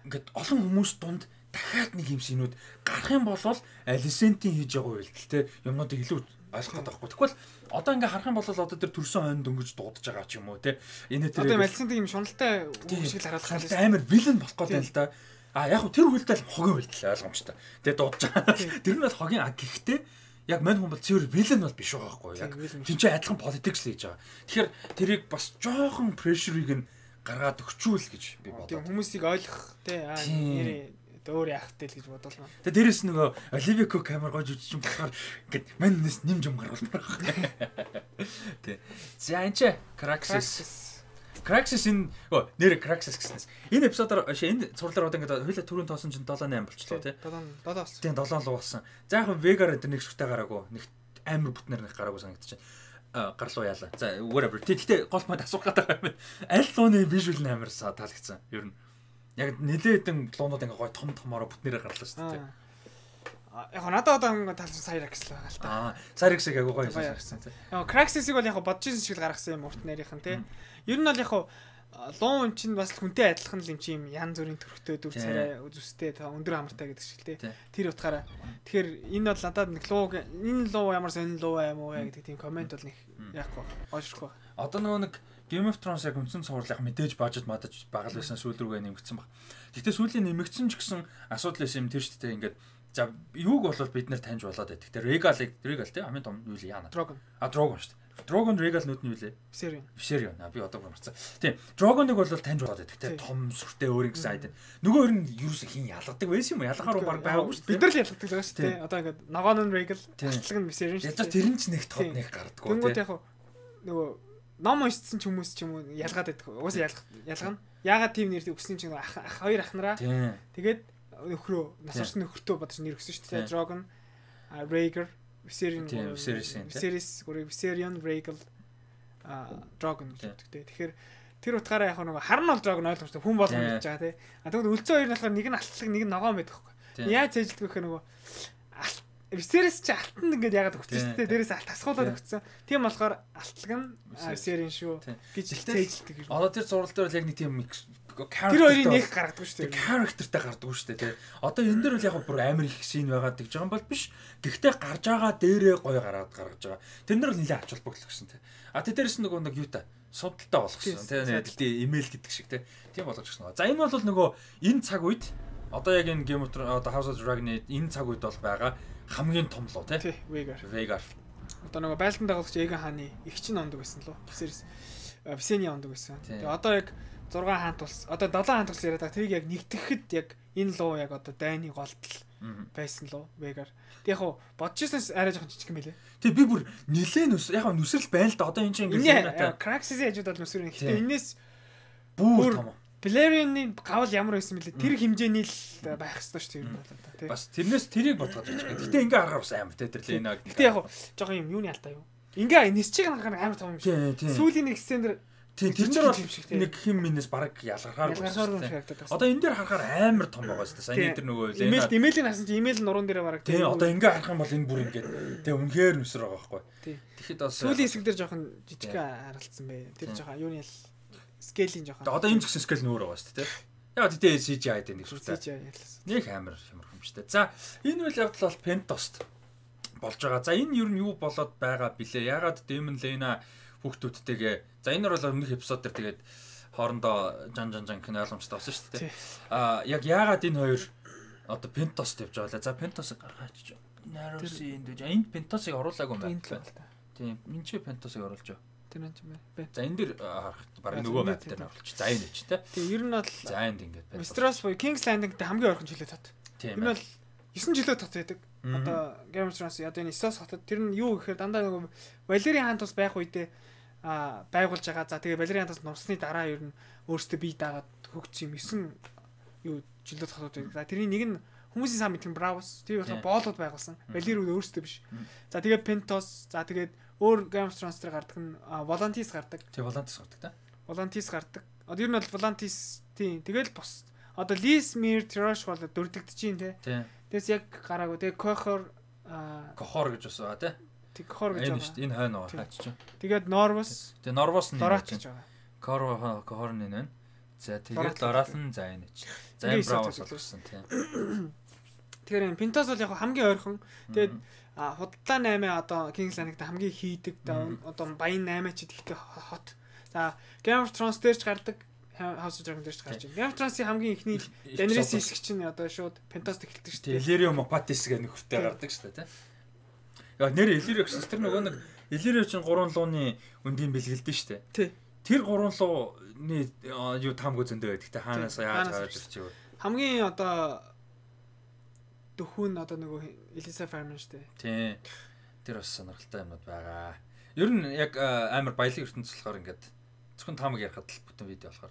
ингээд олон хүмүүс дунд дахиад нэг юм синүүд гарах юм бол Алисентийн хийж байгаа үйлдэл те юмнуудыг илүү ойлгох гэдэг байхгүй. Тэгвэл одоо ингээ харах юм бол одоо тэр төрсөн хойно дөнгөж дуудаж байгаа ч юм уу те энэ тэр одоо Алисентийн юм шуналтай үг шиг л харуулах юм амар вилэн болох гэдэг л да. А яг хөө тэр үйлдэл хогийн үйлдэл ойлгомжтой. Тэгээ дуудаж байгаа. Тэр нь бол хогийн а гэхдээ яг мань хүн бол цэвэр вилэн бол биш байгаа байхгүй яг. Тин ч адилхан политикс л хийж байгаа. Тэгэхээр тэрийг бас жоохон прешерийг нь гаргаад өгчүүл гэж би бодлоо. Тийм хүмүүсийг ойлгох тий аа нэр өөр яахтай л гэж бодлоо. Тэгээ дээрэс нөгөө Оливия Кук камер гож үжиж юм болохоор ингээд маннээс нэмж юм гаргалмаар байгаа. Тий. За энэ ч Craxis Craxis энэ нэр Craxis гэснээс энэ эпизодоор энэ цувралаар одоо ингээд хоёлаа түрүүн тоосон чинь seven eight болчихлоо тий. seven seven Тийм seven луу болсон. За яг Vegar энэ нэг шүртэй гараагүй. Нэг амар бүтнээр нэг гараагүй санагдчихэв. Гарлуу яалаа. За whatever. Тэгтээ гол мод асуух гэдэг юм. Аль лууны visual нь амар таалагдсан. Ер нь яг нэлээдэн луунууд ингээ гой том томороо бүтнээрээ гарлаа шүү дээ. Яг надад одоо ингээ таалсан Cyrix л байгаа л та. Аа, Cyrix-ийг агай гоё санагдсан тий. Яг Craxis-ийг бол яг бодож ирсэн шиг л гаргасан юм урт нарийнхан тий. Ер нь бол яг луун чинь бас хүнтэй адилхан л юм чи юм ян зүрийн төрхтэй дүр царай зүстэй өндөр амартай гэдэг шиг л тий. Тэр утгаараа тэгэхээр энэ бол надад нэг луу энэ луу ямар сонин луу юм уу гэдэг тийм комент бол нэг яахгүй гоошрхгүй. Одоо нөгөө нэг Game of Thrones яг үндсэн цуврал яг мэдээж бажет мадаж багал байсан сүүл рүүгээ нэмэгдсэн баг. Гэхдээ сүүлийн нэмэгдсэн ч гэсэн асуудал байсан юм тэр шүү дээ ингээд за юуг бол бид нэр таньж болоод байдаг. Тэр Regal Regal тий хамгийн том юу л яана. Dragon. А Dragon шүү дээ. Dragon Regal нүд нь юу лээ? Viserion. Viserion. А би одоо марцсан. Тийм. Dragon-ыг бол таньж болоод байдаг тий том сүртэй өөр ингэсэн айд. Нөгөө өөр нь юус хин ялгадаг байсан юм уу? Ялгахаар баг байгаагүй шүү дээ. Бид нар л ялгадаг байгаа шүү дээ. Одоо ингээд Nogон нь Regal, хатлаг нь Viserion шүү дээ. Ядаж тэр нь ч нэг тод нэг гардггүй тий. Тэнгүүд яг нөгөө ном уншсан ч хүмүүс ч юм уу ялгаад байдаг. Угаасаа ялгах ялгана. Яагаад тийм нэр өгсөн чинь ах хоёр ахнараа. Тэгээд нөхрөө нас орсон нөхөртөө бодож нэр өгсөн шүү дээ. Dragon, Rhaegar, Viserion, Viserys, Viserion, Rhaegal, Dragon гэдэг дээ. Тэгэхээр тэр утгаараа яг нэг харна бол Dragon ойлгомжтой хүн болгоно гэж байгаа тий. А тэгвэл үлцэн хоёр нь болохоор нэг нь алтлаг нэг нь ногоон байдаг байхгүй. Яаж цээжилдэг вэ гэхээр нөгөө Viserys ч алтан ингээд ягаад өгсөн шүү дээ. Дээрээс алт тасгуулаад өгсөн. Тийм болохоор алтлаг нь Viserys шүү гэж хэлцээжлдэг. Одоо тэр зураг дээр л яг нэг тийм тэр хоёрын нэг гаргадаг шүү дээ. Characterтай гардаг шүү дээ. Одоо энэ дээр бол яг бүр амар их шин байгаад гэж байгаа юм бол биш. Гэхдээ гарч байгаа дээрээ гоё гаргаад гаргаж байгаа. Тэр нар бол нэлээд ач холбогдол гэсэн тий. А тэ дээрээс нөгөө нэг юу та судалтай болгосон тий. Имэйл гэдэг шиг тий. Тийм болгож гисэн. За энэ бол нөгөө энэ цаг үед одоо яг энэ Game of Thrones одоо House of Dragon-ы энэ цаг үед бол байгаа хамгийн том луу тий. Vhagar. Vhagar. Одоо нөгөө байлдан дагуулгач Aegon хааны их чинь ондог байсан лөө. Viserys Visenya ондог байсан. Тэгээ одоо яг зураг хаант тулс одоо долоо хаант тулс яриад байгаа. Тэрийг яг нэгтгэхэд яг энэ луу яг одоо дайны голдол байсан лөө Vhagar. Тэг яг бодчихсон арай жоохон жижиг юм байлээ. Тэг би бүр нилээн нүс яг нүсрэл байна л да. Одоо энэ чинь ингээд Craxis-ийн хажууд бол нүсрэл. Гэхдээ энэс бүр том. Valerian-ийн гавал ямар байсан бэлээ. Тэр хэмжээний л байх ёстой шүү дээ бол одоо тий. Бас тэрнээс тэрийг бодгож байж байгаа. Гэтэ ингээ харахаар бас амар тий тэр Lena. Гэтэ яг жоохон юм юуны алдаа юу. Ингээ нисчиг харахаар амар том юм шиг. Сүүлийн нэг сцен дэр тий тэр нар бол нэг хэм минээс баг ялгархаар байна. Одоо энэ дээр харахаар амар том байгаа шүү дээ. Саяны тэр нөгөө Lena. Имэйл имэйлийг харсан чи имэйл нуруунд дээрээ баг тий. Одоо ингээ харах юм бол энэ бүр ингээ тий үнэхээр нүсэр байгаа байхгүй. Тэгэхэд бас сүүлийн хэсэг дээр жоохон жижиг харалтсан бэ. Тэр жоохон юуны л скейлийн жоохон. Одоо энэ згсэн скейл нөр байгаа шүү дээ. Яг тэгтээ си жи ай дээр нэг сүртэй. си жи ай ялсан. Нэг амар ямар юм шүү дээ. За энэ үйл явдал бол Pentost болж байгаа. За энэ юу нь юу болоод байгаа билээ? Ягаад Demon Lena хүүхдүүдтэйгээ. За энэ нар бол өмнөх эпизод дээр тэгээд хоорондоо жан жан жан гэх ойлгомжтой болсон шүү дээ. Аа яг ягаад энэ хоёр одоо Pentost явж байгаа лээ. За Pentost гаргаач. Narusi энэ энд Pentost-ыг оруулаагүй юм байна. Тийм. Энд чи Pentost-ыг оруулж байгаа. Тэр нь юм байна. За энэ дэр харах баг нөгөө мap дээр оруулчих. За энэ ч тий. Тэгээ ер нь бол за энд ингээд байна. Westeros буюу King's Landing-тэй хамгийн ойрхон жилээ тат. Энэ бол есөн жилөө тат байдаг. Одоо Game of Thrones одоо энэ Essos хотод тэр нь юу гэхээр дандаа нөгөө Valerian хаант ус байх үедээ а байгуулж байгаа. За тэгээ Valerian хаантаас нурсны дараа ер нь өөртөө бие даагаад хөгжсөн юм есөн юу жилөө хотод байдаг. За тэрний нэг нь хүмүүсийн сан мэдхэн Bravos. Тэр болохоор боолууд байгуулсан. Valyrian өөртөө биш. За тэгээ Pentos. За тэгээд өөр Game of Thrones дээр гардаг нь Volantis гардаг. Тий Volantis гардаг та. Volantis гардаг. Одоо ер нь бол Volantis тий тэгэл бос. Одоо Lismere Tyrosh бол дөрдөгдөж чинь тий. Тэгээс яг гараагүй. Тэгээ Cohor Cohor гэж бас байгаа тий. Тэг Cohor гэж байгаа. Энэ хойно байгаа хаач чинь. Тэгээд Norvos. Тэгээ Norvos нь Dorat гэж байгаа. Cohor Cohor нь нэ. За тэгээд Dorat нь за энэ чи. За энэ Bravos болсон тий. Тэгэхээр энэ Pentos бол яг хамгийн ойрхон. Тэгээд худалдаа наймын одоо King's Landing-д хамгийн хийдэг одоо баян наймаа ч ихтэй хот. За Game of Thrones дээр ч гардаг, House of Dragon дээр ч гарч байна. Game of Thrones-ийн хамгийн ихний Daenerys хэсэг чинь одоо шууд Pentos эхэлдэг шүү дээ. Illyrio Mopatis гэх нөхөртэй гардаг шүү дээ, тий. Яа нэр Illyrio гэсэн тэр нөгөө нэг Illyrio чинь гурван лууны өндийн бэлгэлдэн шүү дээ. Тий. Тэр гурван лууны юу таамаг зөндөө байдаг. Тэ хаанаас яаж гарч ирчих вэ? Хамгийн одоо дөхүүн одоо нөгөө Elisa Farman шүү дээ. Тий. Тэр бас сонирхолтой юмуд байгаа. Ер нь яг амар баялаг ертөнцийн болохоор ингээд зөвхөн таамаг ярихад л бүтэн видео болохоор.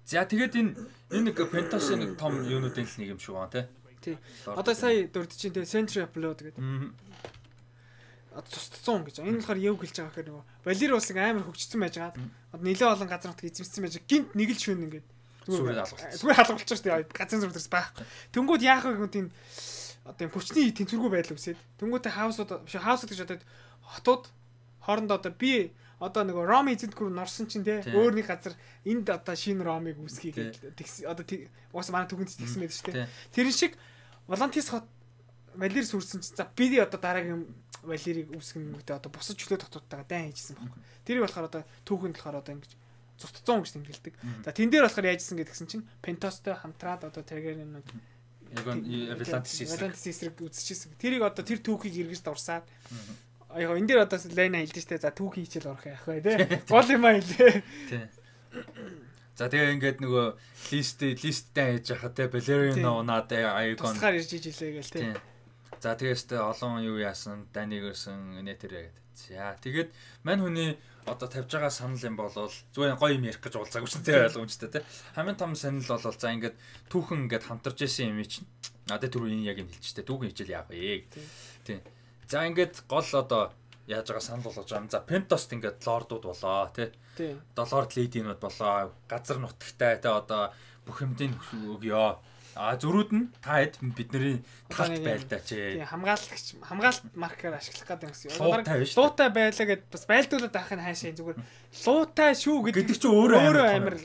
За тэгээд энэ энэ нэг Pentos-ийн нэг том юунуудын л нэг юм шүү аа тий. Одоо сая дурд чинь тий Century of Blood гэдэг. Одоо тусцсан гэж. Энэ болохоор яв гэлж байгаа гэхээр нөгөө Valyria улсын амар хөгжсөн байж байгаа. Одоо нэлээд олон газар нутаг эзэмссэн байж гинт нэг л шүүн ингээд зүгээр алгуулчих. Зүгээр алгуулчих шүү дээ. Газрын зур дээрс байхгүй. Тэнгүүд яах вэ гэнт энэ одоо юм хүчний тэнцвэргүй байдал үсээд тэнгуүтэй хаусууд биш хаусууд гэж одоо хотууд хоорондоо одоо би одоо нөгөө Роми эзэнтгүр норсон чинь те өөр нэг газар энд одоо шинэ Ромиг үүсгий гэж одоо уус манай түгэнд тэгсэн байдаг шүү дээ. Тэрэн шиг Volantis хот Valyria сүрсэн чинь за би одоо дараагийн Valyria-г үүсгэн гэдэг одоо бусад чөлөө дотоодтойгоо дайн хийжсэн байхгүй. Тэрийг болохоор одоо түүхэнд болохоор одоо ингэж цуццсан гэж тэмдэглэдэг. За тэн дээр болохоор яажсэн гэдгсэн чинь Pentosтой хамтраад одоо Targaryen-ууд яг нь Volantis эсрэг үзчихсэн. Тэрийг одоо тэр түүхийг эргэж дурсаад яг энэ дээр одоо Lena хэлдэж штэ за түүхий хичээл орох яах вэ те. Гол юм аа хэлээ. Тий. За тэгээ ингээд нөгөө лист листтэй хийж яхаа те Valerian унаад Aegon тусгаар ирж иж илээ гээл те. За тэгээс тэ олон юу яасан Даниг өрсөн инээ тэрэ гэдэг. За тэгээд мань хүний одоо тавьж байгаа санал юм болвол зүгээр гоё юм ярих гэж уулзаагүй ч тийм ойлгомжтой те. Хамгийн том санал бол за ингээд түүхэн ингээд хамтарч исэн юм чинь. Надад түрүү энэ яг юм хэлчихтэй. Түүхэн хичээл яах вэ? Тийм. За ингээд гол одоо яаж байгаа санал болгож байгаа юм. За Pentost ингээд лордууд болоо тий. Тийм. Долоор лединууд болоо. Газар нутагтай тий одоо бүх юмдын өгөө. А зөрүүд нь та хэд бидний талт байлдаа чи. Тийм хамгаалагч хамгаалт маркаар ашиглах гэдэг юм гэсэн. Луутай биш. Луутай байлаа гэд бас байлдуулаад авах нь хаашаа зүгээр луутай шүү гэдэг чи өөрөө амар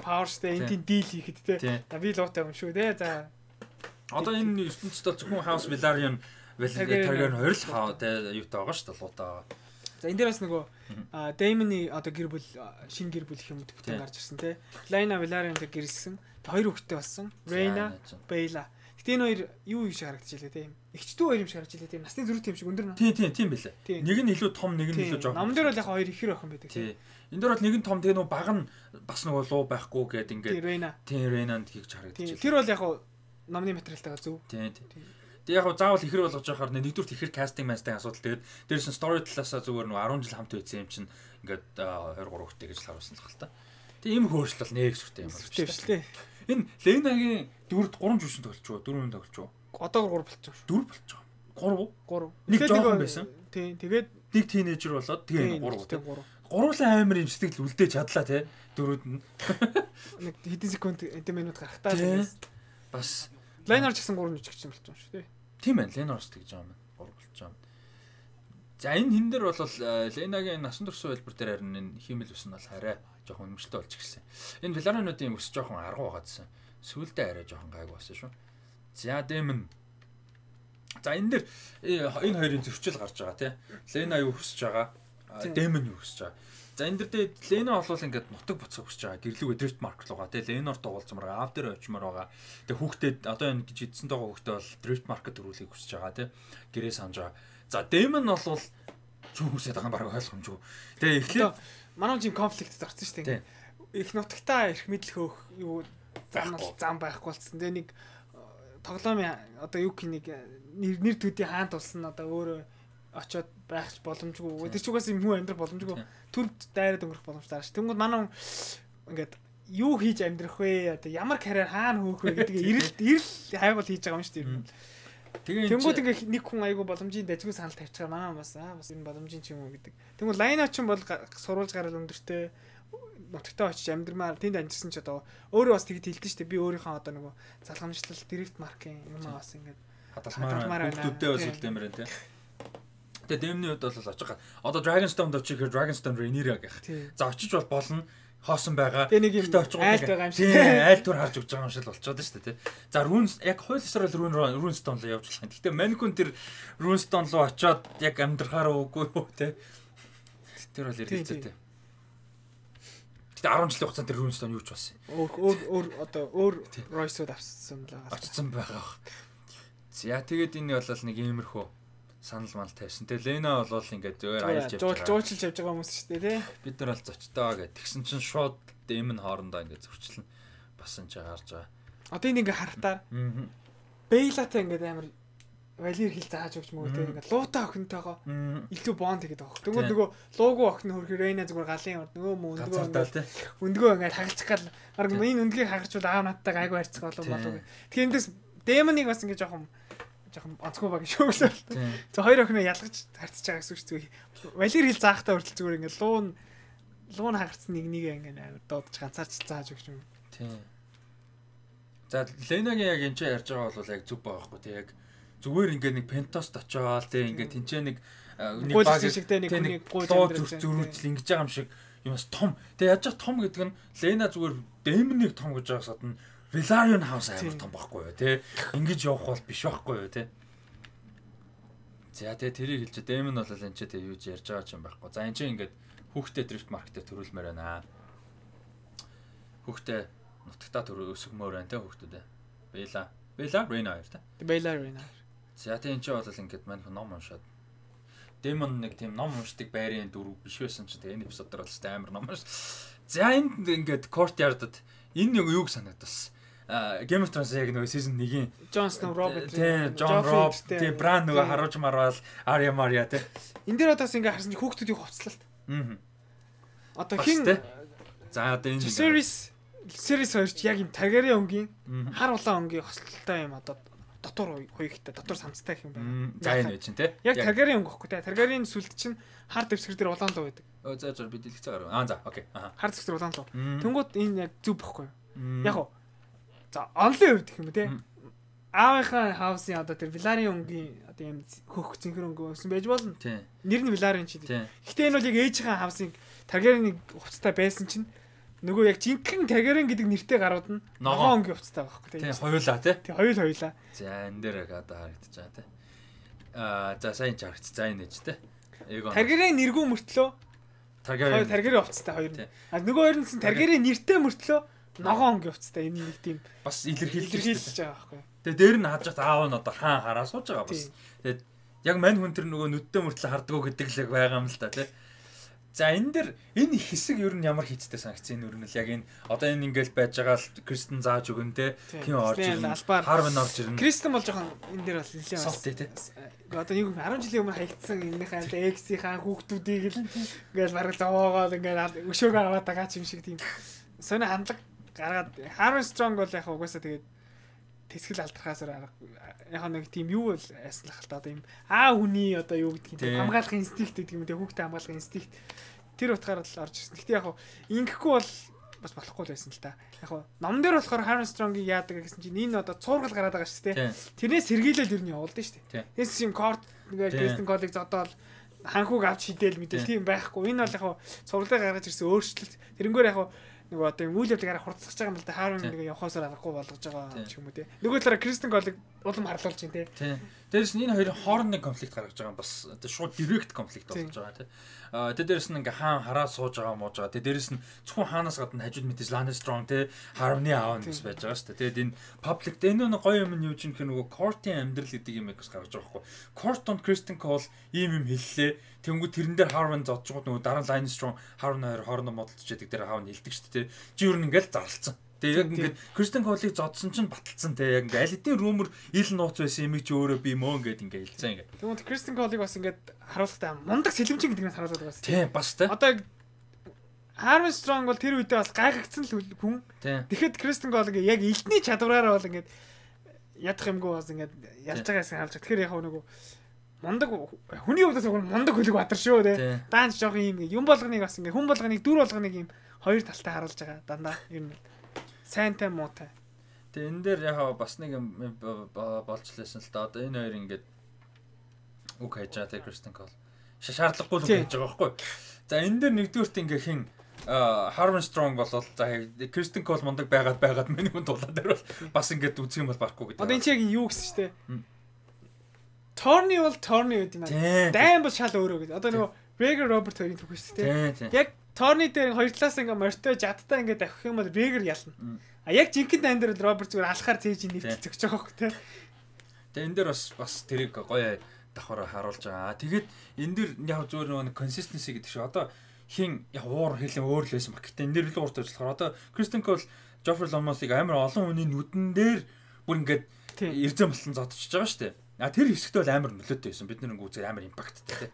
паверстэй энтийн дийл хийхэд те. Би луутай юм шүү те. За одоо энэ ертөнцид бол зөвхөн House Velaryon Targaryen хоёр л хаа те юутай байгаа шүү дээ луутай. За энэ дээр бас нөгөө Daemon-ы одоо гэр бүл шинэ гэр бүл их юм төвтэй гарч ирсэн те. Laena Velaryon-тэй гэрэлсэн. Хоёр хүүхэдтэй болсон. Rhaena, Baela. Гэтэ энэ хоёр юу юм шиг харагдаж илээ тийм. Игчдүү хоёр юм шиг харагдаж илээ тийм. Насны зүрх тийм шиг өндөр нөө. Тийм тийм тийм билээ. Нэг нь илүү том, нэг нь илүү жоо. Намн дээр бол яг хоёр ихэр охин байдаг тийм. Энэ дээр бол нэг нь том тэгээ нөө баг нь бас нөгөө луу байхгүй гээд ингээд. Тийм Rhaena. Тийм Rhaena-нд хийж харагдаж илээ. Тэр бол яг номны материалтайгаа зөв. Тийм тийм. Тэгээ яг заавал ихэр болгож яхаар нэгдүгürt ихэр кастинг мастинг асуудал тэгээд дээрээс нь story талаасаа зүгээр нөгөө арван жил хамт үйсэн юм чинь ингээд хоёр гурав хүүхдээ гэж харуулсан л хэл та. Тэгээ ийм хөөрчлөл бол нэг зүгтэй юм байна шүү дээ. Энэ Ленагийн дөрөвд гурван жүжигчин тоглож байгаа. Дөрвөн тоглож байгаа. Одоо гурав болчихсон шүү. Дөрв болчихсон. Гурав. Гурав. Нэг жоохон байсан. Тийм. Тэгээд нэг тийнейжер болоод тэгээ гурав. Гурвлаа амар юм сэтгэл үлдээж чадлаа те. Дөрөвд нь. Нэг хэдэн секунд эдэн минут гарахтаа бас Ленар ч гэсэн гурван жүжигчин болчихсон шүү дээ. Тийм ээ. Ленарс тэгж байгаа юм. Гурав болчихсон. За энэ хин дээр бол Ленагийн насан турш хэлбэр дээр харин энэ хиймэл ус нь бол хараа жоохон өмчлөлтөө болж ирсэн. Энэ Velaryon-уудын ус жоохон аргу байгаадсан. Сүүлдээ арай жоохон гайг болсон шүү. За Daemon. За энэ дээр энэ хоёрын зөрчил гарч байгаа тий. Lena юу хүсэж байгаа? Daemon юу хүсэж байгаа? За энэ дээр Lena бол ингээд нутаг буцах хүсэж байгаа. Гэрлүүгээ Drift Mark руугаа тий. Lenor тоглолцмор байгаа. Ав дээр очимоор байгаа. Тэгээ хүүхдэд одоо энэ гэж эдсэн байгаа хүүхдээ бол Drift Mark-д төрүүлэхийг хүсэж байгаа тий. Гэрээ санаж байгаа. За Daemon бол юу хүсэж байгаа баг ойлгомжгүй. Тэгээ эхлээд манай жим конфликтэд орсон шүү дээ. Их нутагтаа ирэх мэдл хөөх юу зам байхгүй болцсон. Тэгээ нэг тоглоомын одоо юу гэх нэг нэр төдий хаант болсон одоо өөрөө очиод байхч боломжгүй. Тэр ч угаас юм хүн амьдрах боломжгүй. Төрд дайраад өнгөрөх боломжтой ааш. Тэнгүүд манай ингээд юу хийж амьдрах вэ? Одоо ямар карьер хаана хөөх вэ гэдгийг ирэл ирэл хайгуул хийж байгаа юм шүү дээ. Тэгээ тэнгууд ингээ нэг хүн айгу боломжийн дажгүй санал тавьчихаар манай бас аа бас энэ боломжийн ч юм уу гэдэг. Тэнгууд Laena ч юм бол сурвалж гарал өндөртэй нутагтаа очиж амьдрмаар тэнд амьдсан ч одоо өөрөө бас тэгж хэлдэж штэ би өөрийнхөө одоо нөгөө залгамжлал Drift Mark-ийн юм аа бас ингээ хадгалмаар хүмүүстээ бас үлдээмэр энэ. Тэгээ Daemon-ийн хувьд бол очиж одоо Dragonstone очихээр Dragonstone Rhaenyra гэх. За очиж бол болно. Хоосон байгаа. Гэтэ очих айлт байгаа юм шиг. Тийм, айл тур харж өгч байгаа юм шиг л болчиход шүү дээ, тий. За Runes яг хуулисаар л Rune Runestone руу явж болох юм. Гэтэ Mancun тэр Runestone руу очиод яг амьдрахаар үгүй юу, тий. Тэр бол эргэлзээтэй. Гэтэ арван жилийн хугацаанд тэр Runestone юу ч болсон юм. Өөр өөр одоо өөр Royce-ууд авсан л байгаа. Очсон байгаа. За тэгээд энэ бол нэг иймэрхүү санал мал тавьсан. Тэгээ Lena бол ингээд зөөр аялж явж байгаа. Жуулчилж явж байгаа хүмүүс шүү дээ, тий. Бид нар бол зочтой гэд. Тэгсэн чинь шууд Daemon хоорондоо ингээд зөрчлөн басан ч гарч байгаа. Одоо энэ ингээ харахтаа. Аа. Baela-тай ингээд амар Valyr хэл зааж өгч мөгөө тий. Ингээд луутай охинтойгоо илүү бонд хийгээд байгаа. Тэгвэл нөгөө луугүй охин хөрх Rhaena зүгээр галын урд нөгөө мөн өндгөө ингээд өндгөө ингээд хагалчих гал. Бараг энэ өндгийг хагарчвал аав надтай гайгүй харьцах болов болов. Тэгэхээр эндээс Daemon-ыг бас ингээд жоохон жоохон онцгой баг шүүглээ. За хоёр охиноо ялгаж харьцаж байгаа гэсэн үг зүгээр. Valyr хэл заахтаа хүртэл зүгээр ингээд луун луун хагарцсан нэг нэг ингээд амар дуудаж ганцаарч зааж өгч юм. Тийм. За Lena-гийн яг энэ ч ярьж байгаа бол яг зүг байгаа байхгүй тий яг зүгээр ингээд нэг Pentost очоод тий ингээд тэнцээ нэг нэг баг шигтэй нэг нэг гоо зүрхжүүл ингэж байгаа юм шиг юмс том. Тэгээ яаж том гэдэг нь Lena зүгээр Daemon-ыг том гэж байгаасад нь Velaryon House амар том байхгүй юу тий. Ингэж явах бол биш байхгүй юу тий. За тэгээ тэрийг хэлж Daemon бол энэ ч тэгээ юу ч ярьж байгаа юм байхгүй. За энэ чинь ингээд хүүхдээ Drift Mark-тэй төрүүлмээр байна. Хүүхдээ нутагтаа төр өсгмөр байна тий хүүхдүүдээ. Baela, Baela, Rhaena хоёр та. Baela, Rhaena. За тэгээ энэ чинь бол ингээд мань ном уншаад. Daemon нэг тийм ном уншдаг байрын дүр биш байсан чинь тэгээ энэ эпизод дээр бол амар ном унш. За энд ингээд courtyard-д энэ нэг юуг санагдсан. Game of Thrones яг нөгөө season one-ийн Jon Snow, Robert, тий, Jon Robb, тий, Bran нөгөө харуулж марвал Arya Marya тий. Энд дээр одоос ингээ харсан чи хүүхдүүдийн хувцлалт. Аа. Одоо хин за одоо энэ series series хоёрч яг юм Targaryen өнгийн хар улаан өнгийн хослолтой юм одоо дотор хоёртой дотор самцтай гэх юм байна. За энэ чинь тий. Яг Targaryen өнгө гэхгүй тий. Targaryen сүлд чинь хар дэвсгэр дээр улаан луу байдаг. Өө за за би дэлгэцээ гарав. Аа за окей. Аа. Хар дэвсгэр улаан луу. Тэнгууд энэ яг зүв бохгүй юу? Яг уу За онлын хувьд гэх юм те. Аавынхаа хаусын одоо тэр Виларион өнгийн одоо юм хөх цэнхэр өнгө өсөн байж болно. Нэр нь Виларион ч тийм. Гэхдээ энэ бол яг ээжийнхээ хаусын Таргариены хувцастай байсан чинь нөгөө яг жинхэнэ Таргариен гэдэг нэртэй гарууд нь ногоон өнгийн хувцастай байхгүй тийм. Хоёулаа тий. Тий хоёул хоёулаа. За энэ дээр яг одоо харагдаж байгаа тий. Аа за сайн ч харагц. За энэ ч тий. Таргариен нэргүй мөртлөө Таргариен Таргариен хувцастай хоёр нь. А нөгөө хоёр нь Таргариен нэртэй мөртлөө ногоон өнгийн хувцастай энэ нэг тийм бас илэрхийлж байгаа байхгүй. Тэгээ дээр нь хажууд аав нь одоо хаан хараа сууж байгаа бас. Тэгээд яг мань хүн тэр нөгөө нүдтэй мөртлөө хардгуу гэдэг л яг байгаа юм л та тий. За энэ дэр энэ хэсэг ер нь ямар хийцтэй санагцсан ер нь л яг энэ одоо энэ ингээл байж байгаа л Кристен зааж өгөн те тийм орж ирнэ Харвин орж ирнэ. Кристен бол жоохон энэ дэр бас нэлээд салт тий. Одоо нэг арван жилийн өмнө хаягдсан энэхээ X-ийн хүүхдүүдийг л ингээл бараг зовоогоод ингээл өшөөгөө аваад байгаа ч юм шиг тийм сони хандлага гаргаад Harvin Strong бол яг угаасаа тэгээд тэсгэл алдрахаасаар яг нэг тийм юу л айслах л та одоо юм аа хүний одоо юу гэдгийг хамгаалах инстинкт гэдэг юм те хүүхдээ хамгаалах инстинкт тэр утгаараа л орж ирсэн. Гэхдээ яг ингэхгүй бол бас болохгүй л байсан л та. Яг ном дээр болохоор Harvin Strong-ийг яадаг гэсэн чинь энэ одоо цуургал гараад байгаа шүү дээ. Тэрнээс сэргийлэл ер нь явуулдаг шүү дээ. Тэс юм корт ингээд Kristen Cole-ыг зодоол ханхуг авч хидэл мэдэл тийм байхгүй. Энэ бол яг цуглаа гаргаж ирсэн өөрчлөлт. Тэрнгээр яг нөгөө одоо юм үйл явдлыг хурцсаж байгаа юм л да Харвин нэг явахаасаар аргагүй болгож байгаа ч юм уу те. Нөгөө талаараа Кристен Колыг улам харлуулж байна те. Тийм. Дээрээс нь энэ хоёрын хоорондын конфликт гаргаж байгаа юм бас шууд директ конфликт болж байгаа те. Аа тэ дээрээс нь ингээ хаан хараа сууж байгаа мууж байгаа. Тэ дээрээс нь зөвхөн хаанаас гадна хажууд мэдээж Lana Strong те Harvin-ы аав нь бас байж байгаа шүү дээ. Тэгээд энэ public энэ нэг гоё юм нь юу ч юм нөгөө Court-ийн амьдрал гэдэг юм бас гаргаж байгаа байхгүй. Court-онд Kristen Cole ийм юм хэллээ. Тэнгүү тэрэн дээр Harvin зодчгууд нөгөө дараа Lana Strong Harvin хоёр хоорондоо модалж яадаг дээр хаав нь хэлдэг шүү дээ. Чи юу нэгэл зарлцсан. Тэгээ яг ингээд Kristen Cole-ыг зодсон чинь баталсан те яг ингээд аль хэдийн rumor ил нууц байсан юм чи өөрөө би мөө ингээд ингээд хэлцэн ингээд. Тэгвэл Kristen Cole-ыг бас ингээд харуулхтай мундаг сэлэмчин гэдгээс харуулдаг бас. Тийм бас те. Одоо Harvin Strong бол тэр үедээ бас гайхагдсан л хүн. Тэгэхэд Kristen Cole ингээд яг элдний чадвараараа бол ингээд ядах юмгүй бас ингээд ялж байгаас хаалж. Тэгэхээр яг нөгөө мундаг хүний хувьд бол мундаг хөлөг батар шүү те. Даанч жоох юм юм болгоныг бас ингээд хүн болгоныг дүр болгоныг юм хоёр талтай харуулж байгаа дандаа ер нь сайнтай муутай. Тэгээ энэ дээр яг бас нэг юм болж лээсэн л да. Одоо энэ хоёр ингээд үг хайж байгаа те Kristen Cole. Шаардлагагүй л үг хийж байгаа байхгүй. За энэ дээр нэгдүгürt ингээ хин Harvin Strong болол за Kristen Cole мундаг байгаад байгаад миний хүн дулаад дээр бол бас ингээд үзэх юм бол барахгүй гэдэг. Одоо энэ чинь юу гэсэн ч те. Торни бол Торни гэдэг юм аа. Дайм бол шал өөрөө гэдэг. Одоо нөгөө Breaker Robert хоёрын түүх шүү дээ. Яг Торни дээр хоёр талаас ингээ мортой жадтай ингээ давхих юм бол Breaker ялна. А яг жинхэнэ дан дээр Роберт зүгээр алхахаар цээж нэвтэлж өгч байгаа хөх те. Тэгээ энэ дээр бас бас тэрийг гоё давхараа харуулж байгаа. Тэгээд энэ дэр яг зүгээр нэг consistency гэдэг шиг одоо хин яг уур хэлэн өөр л байсан баг. Гэтэ энэ дэр л ууртай ажиллахаар одоо Kristen Cole Joffrey Lomos-ыг амар олон хүний нүдэн дээр бүр ингээд эрзэн болон зодчихж байгаа шүү дээ. А тэр хэсэгт бол амар нөлөөтэй байсан. Бид нэг үзээ амар импакттай те.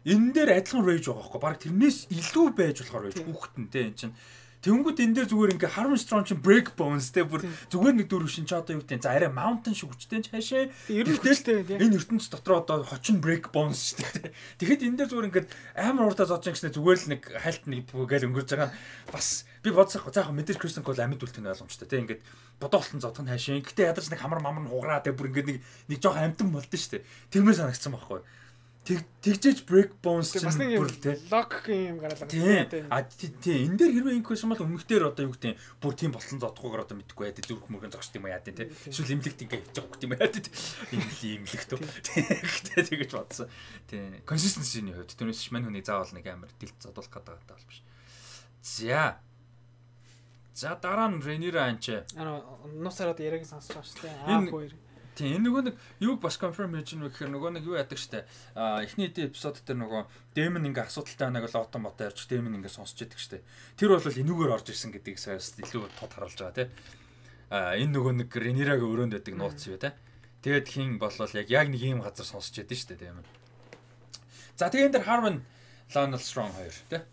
Энэ дээр адилхан rage байгаа байхгүй. Бараг тэрнээс илүү байж болохоор байж хүүхдэн те эн чинь. Тэнгүүд энэ дээр зүгээр ингээ Harvin Strong чинь break bones те бүр зүгээр нэг дөрөв шин ч одоо юу гэдэг за арай mountain шиг хүчтэй хаашаа. Ерөнхийдөө энэ ертөнц дотор одоо хочин break bones шүү дээ. Тэгэхэд энэ дээр зүгээр ингээ амар уртаа зодж гэсэн зүгээр л нэг хальт нэг гээл өнгөрж байгаа нь бас би бодсохгүй заахаа мэдээж Kristen Cole амьд үлдэх нь ойлгомжтой те ингээд бодоолтон зодох нь хаашаа. Гэтэ ядарч нэг хамар мамар хугараа те бүр ингээ нэг нэг жоох амтан болдсон шүү дээ. Тэгмээр санагдсан байхгүй. Тэг тэгжээж break bones чинь бүр те lock юм гараалаа. Тийм. А тийм энэ дээр хэрвээ инк байсан бол өмнөхдөр одоо юу гэдэг бүр тийм болсон зодохгүйгээр одоо мэдгүй яа. Зүрх мөргөн зогсд юм яа те. Эсвэл имлэгт ингээ явж байгаа юм яа те. Имлэг имлэгт. Тэгтээ тэгэж бодсон. Тийм. Consistency-ний хувьд түүнээс мань хүний заавал нэг амар дэлт зодуулах гэдэг байгаа биш. За. За дараа нь Rhaenyra анч. Аа нуусаар одоо яриаг сонсож байгаа шүү дээ. Аа хоёр. Тийм энэ нөгөө нэг юуг бас confirm хийж гэнэ гэхээр нөгөө нэг юу яадаг штэ а эхний эпизод дээр нөгөө Damon ингээ асуудалтай байгааг л отон мото ярьж Damon ингээ сонсч яадаг штэ тэр бол энүүгээр орж ирсэн гэдгийг саяас илүү тод харуулж байгаа тий а энэ нөгөө нэг Rhaenyra-гийн өрөөнд байдаг нууц юу тий тэгэд хин болол яг яг нэг юм газар сонсч яадаг штэ Damon за тэгээ энэ дэр Harvin Lana Strong хоёр тий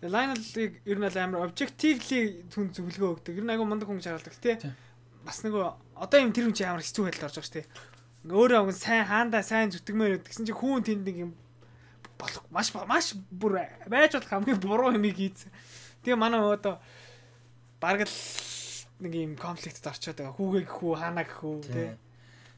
Lionel-ыг ер нь амар objectively түн зөвлөгөө өгдөг ер нь агай мундаг хүн шаардлагатай тий бас нөгөө одоо юм тэр хүн чи амар хэцүү байдал орж байгаа шүү дээ. Ингээ өөрөө огн сайн хаандаа сайн зүтгэмээр гэдгсэн чи хүн тэнд нэг юм болох маш маш бүр байж болох хамгийн буруу юмыг хийсэн. Тэгээ манай одоо бараг л нэг юм конфликтэд орчоод байгаа. Хүүгээ гэх үү, хаана гэх үү тий.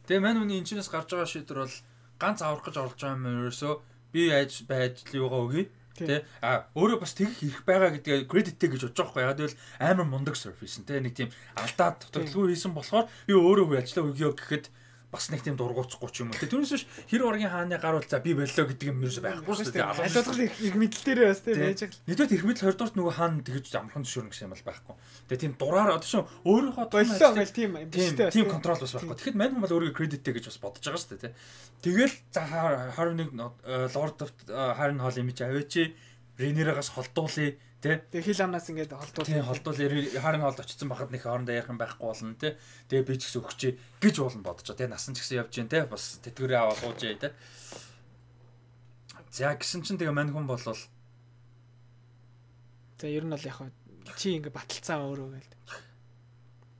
Тэгээ мань үний энэчнээс гарч байгаа шийдвэр бол ганц аврах гэж орлож байгаа юм ерөөсөө би айж байж юугаа өгье. Тэ а өөрөө бас тэгэх хэрэг байгаа гэдгээ кредиттэй гэж бодож байгаа байхгүй. Яг л амар мундаг сервис нь тэ нэг тийм алдаад дутагдaltaгүй хийсэн болохоор би өөрөө хөө ажиллаа өгье гэхэд бас нэг тийм дургуутсахгүй ч юм уу. Түүнээс биш хэр оргийн хааны гар бол за би боллоо гэдэг юм ерөөсөй байхгүй шүү дээ. Алуулгал их мэдэл дээрээ бас тийм байж байгаа. Нэгдүгээр их мэдэл хоёрдугаар нөгөө хаана тэгэж амархан зөвшөөрнө гэсэн юм бол байхгүй. Тэгээ тийм дураар одоо шин өөрийнхөө боллоо гэл тийм биштэй тийм контрол бас байхгүй. Тэгэхэд мань хүмүүс өөрийгөө кредиттэй гэж бас бодож байгаа шүү дээ. Тэгэл за харин нэг Lord of Harren Hall имиж аваач Ренерагаас холдуулъя тий. Тэгээ хил амнаас ингээд холдуул. Тий холдуул Харин Холд очсон байхад нэг хоорондоо ярих юм байхгүй болно тий. Тэгээ би ч гэсэн өгчээ гэж уулна бодож байгаа тий. Насан ч гэсэн явж гин тий. Бас тэтгэврээ аваад суужээ тий. За гисэн чинь тэгээ мань хүн болвол за ер нь бол яг чи ингээд баталцаа өөрөө гээл.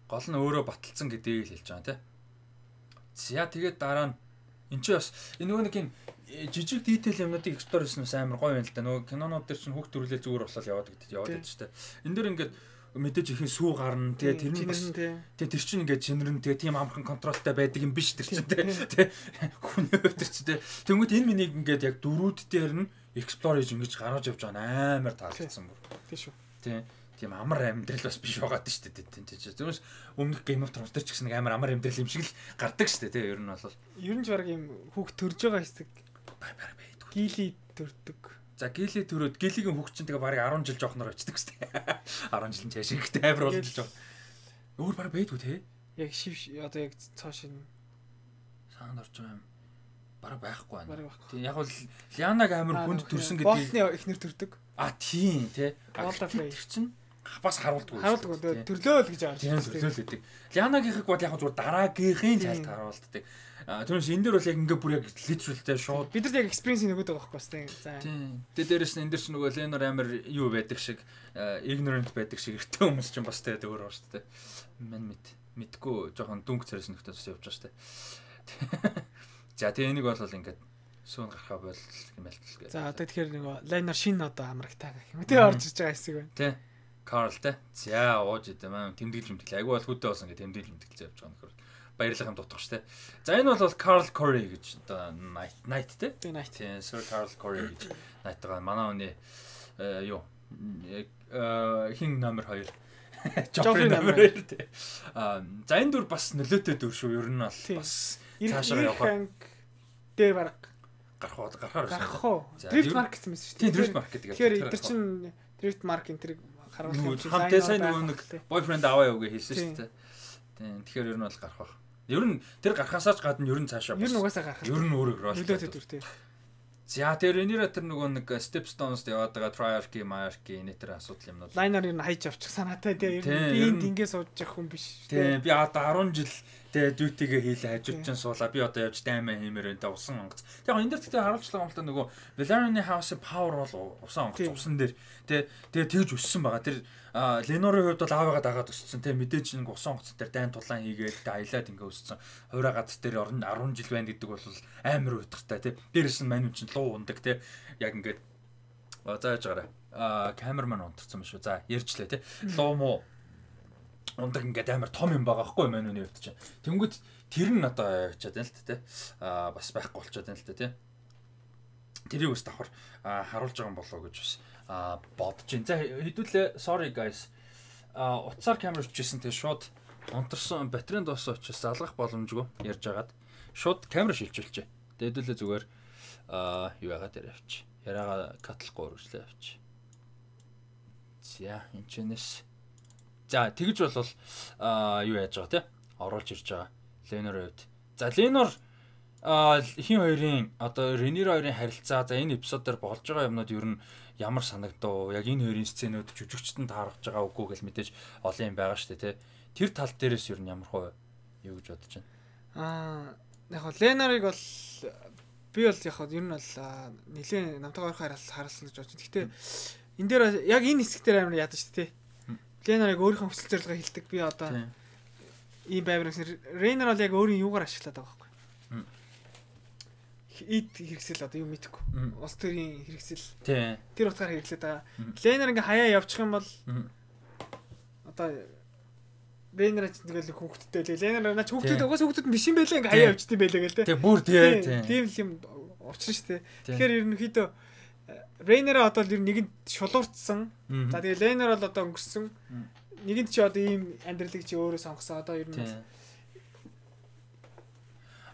Гол нь өөрөө баталцсан гэдгийг л хэлж байгаа тий. За тэгээд дараа нь энэ чи бас энэ нөгөө нэг юм жижиг detail юмнуудыг explore хийсэн нь амар гоё юм л да. Нөгөө кинонууд дээр чинь хүүхд төрүүлээ зүгээр болол яваад гэдэг яваад байдаг шүү дээ. Энэ дээр ингээд мэдээж ихэн сүү гарна тэгээ тэр нь бас тэгээ тэр чинь ингээд чинэрэн тэгээ тийм амархан контролтой байдаг юм биш тэр чинь тэгээ хүний хувьд тэр чинь тэгмэд энэ минийг ингээд яг дөрүүд дээр нь explore хийж ингэж гаргаж явж байгаа амар таалагдсан бүр. Тийм шүү. Тийм тийм амар амьдрал бас биш байгаад шүү дээ тийм тийм. Зөвхөн өмнөх Game of Thrones дээр ч гэсэн нэг амар амар амьдрал юм шиг л гардаг шүү дээ тийм ер нь бол. Ер нь ч баг юм хүүхд төрж байгаа хэсэг баг баг байдаг. Гили төрдөг. За гили төрөөд гилигийн хүүхд чинь тэгээ барыг арван жил жоохноор очдөг шүү дээ. арван жилийн цааш ихтэй амар болж жоо. Өөр баг байдгүй те. Яг шив одоо яг цааш нь саанд орж байгаа юм. Бараг байхгүй байна. Тийм яг бол Лианаг амар хүнд төрсөн гэдэг. Болтны эхнэр төрдөг. А тийм те. Тэр чинь бас харуулдаг. Харуулдаг. Төрлөөл гэж байгаа шүү. Тийм төрлөөл гэдэг. Лианагийнхыг бол яг зүгээр дараагийнхын цайлт харуулдаг. Түүнээс энэ дээр бол яг ингээ бүр яг literalтэй шууд бид нар яг experience нөгөөд байгаа байхгүй бас тийм. За. Тийм. Тэгээ дээрэс нь энэ дээр ч нөгөө Ленор амар юу байдаг шиг ignorant байдаг шиг эртний хүмүүс ч бас тэгээд өөр байна шүү дээ. Мэн мэд мэдгүй жоохон дүнг царайс нөхдөс явж байгаа шүү дээ. За тэгээ энийг бол ингээд сүүн гарахаа бол юм л гэлээ. За одоо тэгэхээр нөгөө Ленор шин одоо амрагтаа гэх юм. Тэгээ орж иж байгаа хэсэг байна. Тийм. Карл те. За ууж идэм аа тэмдэглэж мэдгэлээ. Айгу бол хөдөө болсон гэж тэмдэглэж мэдгэлээ явж байгаа нөхөр. Баярлах юм дутгах штэ. За энэ бол Carl Corey гэж одоо Knight Knight те. Тийм Knight. Тийм Sir Carl Corey гэж Knight байгаа. Манай хүний юу э хин номер хоёр. Joffrey номер хоёр те. Аа за энэ дүр бас нөлөөтэй дүр шүү. Ер нь бол бас цаашаа явах. Дээр баг гарах уу гарахаар байна. Гарах уу? Drift Mark гэсэн мэт шүү. Тийм Drift Mark гэдэг. Тэгэхээр эдгээр чинь Drift Mark энэ тэр харуулах юм. Хамтаа сайн нөгөө нэг boyfriend аваа яваа хэлсэн шүү дээ. Тийм тэгэхээр ер нь бол гарах баг. Ер нь тэр гарахаасаач гадна ер нь цаашаа бас. Ер нь угаасаа гарах. Ер нь өөрөөр рол. Нөлөөтэй дүр тийм. За тэр энийра тэр нөгөө нэг Stepstones-д яваад байгаа Triarchy, Monarchy энэ тэр асуудал юмнууд. Liner ер нь хайж авчих санаатай тийм. Би энд ингэ сууж явах хүн биш. Тийм би одоо арван жил тэгээ duty-гээ хийлээ хажууд чинь суулаа. Би одоо явж даймаа хиймээр энэ усан онгоц. Тэгээ энэ дэр тэгтээ харуулчлаа юм л да нөгөө Valerian House-ийн power бол усан онгоц усан дээр тэгээ тэгээ тэгж өссөн байгаа. Тэр Ленорын хувьд бол аавыгаа дагаад өссөн тийм мэдээж нэг усан онгоц дээр дайн тулаан хийгээд тэ аялаад ингээ өссөн. Хувраа гац дээр арван жил байна гэдэг бол амар уйтгартай тийм. Дээрээс нь мань чинь луу ундаг тийм. Яг ингээд зааж гараа. Аа камерман унтарсан юм шүү. За ярьчлаа тийм. Луу муу ундаг ингээд амар том юм байгаа байхгүй мань үний хувьд чинь. Тэнгүүд тэр нь одоо явчихад байна л та тийм. Аа бас байхгүй болчиход байна л та тийм. Тэрийг бас давхар харуулж байгаа юм болоо гэж бас а бодож байна. За хэдүүлээ sorry guys. А утсаар камер өчсөн тэгээ шууд унтарсан батарейн дууссан учраас залгах боломжгүй ярьж агаад шууд камер шилжүүлчихэ. Тэгээ хэдүүлээ зүгээр а юу яагаад дээр авч. Яриагаа катлахгүй үргэлжлээ авч. За энэ чинээс за тэгж болвол а юу яаж байгаа те оруулж ирж байгаа Ленор хувьд. За Ленор а хин хоёрын одоо Ренир хоёрын харилцаа за энэ эпизод дээр болж байгаа юмнууд ер нь ямар санагдав? Яг энэ хоёрын сценүүд жүжигчтэн таарах байгаа үгүй гэж мэдээж олон юм байгаа шүү дээ, тэ. Тэр тал дээрээс ер нь ямар хөө юу гэж бодож байна? Аа, яг хоо Ленарыг бол би бол яг хоо ер нь бол нэлээд намтайгаа ойрхон харалсан гэж бодож байна. Гэхдээ энэ дээр яг энэ хэсэг дээр амар яадаг шүү дээ, тэ. Ленарыг өөрийнхөө хүсэл зорилгоо хэлдэг. Би одоо ийм байварс Рейнер бол яг өөрийн юугаар ашиглаад байгаа байхгүй. Ид хэрэгсэл одоо юу мэдэхгүй. Улс төрийн хэрэгсэл. Тэр утгаар хэрэглээд байгаа. Ленер ингээ хаяа явчих юм бол одоо Рейнер ч тэгэл хүүхдтэй лээ. Рейнер наач хүүхдүүд угаас хүүхдүүд биш юм байлаа ингээ хаяа явждсан байлаа гэл тэ. Тэг бүр тий. Тийм л юм учрна штэ. Тэгэхээр ерөнхийдөө Рейнер одоо ер нь нэгэнд шулуурцсан. За тэгээ Рейнер бол одоо өнгөрсөн. Нэгэнд чи одоо ийм амьдралыг чи өөрөө сонгосон. Одоо ер нь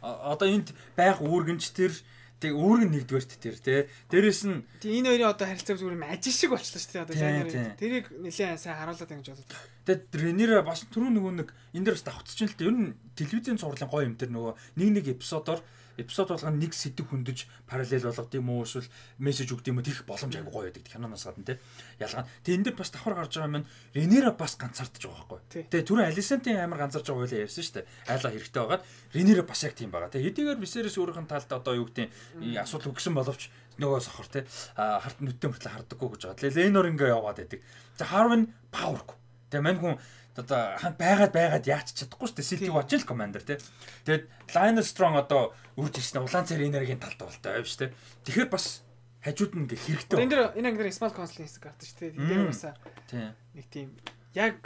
одоо энд байх үүргэнч тэр тэг үүргэн нэгдүгээрт тэр тий. Дээрээс нь энэ хоёрын одоо харилцаа зүгээр юм ажил шиг болчихлоо шүү дээ. Одоо Рейнер тэрийг нэлээд сайн харуулдаг гэж бодод. Тэгээд Рейнер бас түрүү нөгөө нэг энэ дээр бас давхцчихын л дээ. Ер нь телевизийн цувралын гоё юм тэр нөгөө нэг нэг эпизодоор эпизод болгоно нэг сэдв хөндөж параллел болгох юм уу эсвэл мессеж өгд юм уу тэрх боломж айгүй гоё байдаг киноноос гадна тий. Ялгаа. Тэгээ энэ дээр бас давхар гарч байгаа юм. Рейнера бас ганцаардж байгаа байхгүй. Тэгээ түрүү Алисентийн амар ганцаарж байгаа байлаа ярьсан шүү дээ. Айлаа хэрэгтэй байгаад Рейнера бас яг тийм байгаа. Тэгээ хэдийгээр Висерис өөрийнх нь талд одоо юу гэдэг асуудал өгсөн боловч нөгөө сохор тий. Харт нүдтэй мөртлөө хардаггүй гэж байгаа. Тэгээ Ленор ингээ яваад байдаг. За Харвин павергүй. Тэгээ мань хүн одоо ханд байгаад байгаад яач чадахгүй шүү дээ. Сэлтиг бачил командер тий. Тэгээд Lionel Strong одоо үрж ирсэн улаан цар энергийн талд болтой байв шүү дээ. Тэгэхээр бас хажууд нь ингээ хэрэгтэй. Энэ дэр энэ ангидэр small console хэсэг гардаг шүү дээ. Тэр бас тий. Нэг тийм яг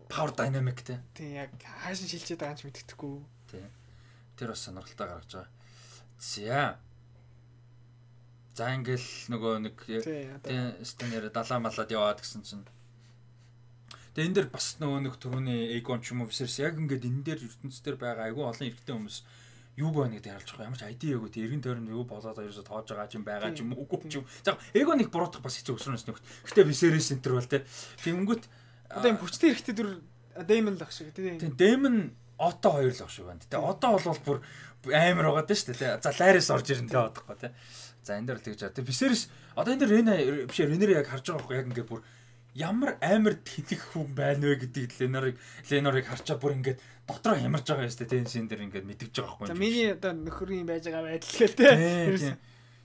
power dynamic тий. Тий яг хаашин шилжээд байгаа юм ч мэддэхгүй. Тий. Тэр бас сонирхолтой гаргаж байгаа. За. За ингээл нөгөө нэг тий станер далаа малаад яваад гэсэн чинь тэгээ энэ дэр бас нөгөө нэг түрүүний Egon ч юм уу Viserys яг ингээд энэ дээр ертөнцийн дээр байгаа айгүй олон эрэгтэй хүмүүс юуг байна гэдэг харж байгаа. Ямар ч айди яггүй тий эргэн тойронд юу болоод ерөөсө тоож байгаа юм байгаа ч юм уу үгүй ч юм. За Egon-ыг буруутгах бас хэцүү өсрөнөөс нөхд. Гэтэ Viserys центр бол тий. Тэнгүүт одоо юм хүчтэй эрэгтэй дүр Daemon л ах шиг тий. Тий Daemon Otto хоёр л ах шиг байна. Тий Otto бол бүр амар байгаа даа шүү дээ тий. За Larys орж ирэн тий одохгүй тий. За энэ дээр л тэгж байгаа. Тий Viserys одоо энэ дээр Rhaena биш Rhaenyra яг харж байгаа байхгүй яг ингээд бүр ямар амар тэнэг хүн байна вэ гэдгийг Ленорыг Ленорыг харчаа бүр ингээд дотроо ямарж байгаа юм шүү дээ. Тэншин дээр ингээд мэдгэж байгаа байхгүй. За миний одоо нөхөрийн байж байгаа байдал гээл те.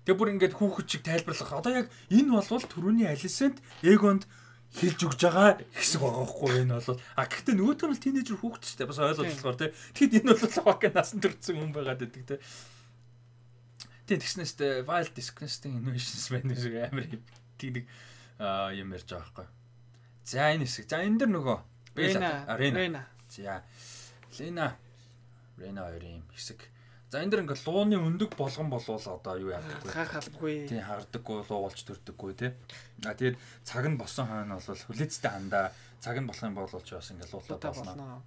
Тэгээ бүр ингээд хүүхэд чиг тайлбарлах. Одоо яг энэ болвол түрүүний Alicent Aegon-д хэлж өгж байгаа хэсэг байгаа байхгүй энэ бол. А гэхдээ нөгөөт нь л тинейжер хүүхэд шүү дээ. Бас ойлгож болохоор те. Тэгэхэд энэ бол хаваа насан төрсэн хүн байгаад байдаг те. Тэгээ тэгснээс Wild Disgusting Innovations байна шиг амар тийм нэг а юм ярьж байгаа байхгүй. За энэ хэсэг. За энэ дэр нөгөө Rhaena. Rhaena. За Lena. Rhaena хоёрын хэсэг. За энэ дэр ингээ лууны өндөг болгон болвол одоо юу яадаг вэ? Хаахалгүй. Тийм хардаггүй, луу болж төрдөггүй тий. А тэгээд цаг нь босон хойно бол хүлээцтэй хандаа цаг нь болох юм бол ч бас ингээ луулаад болно.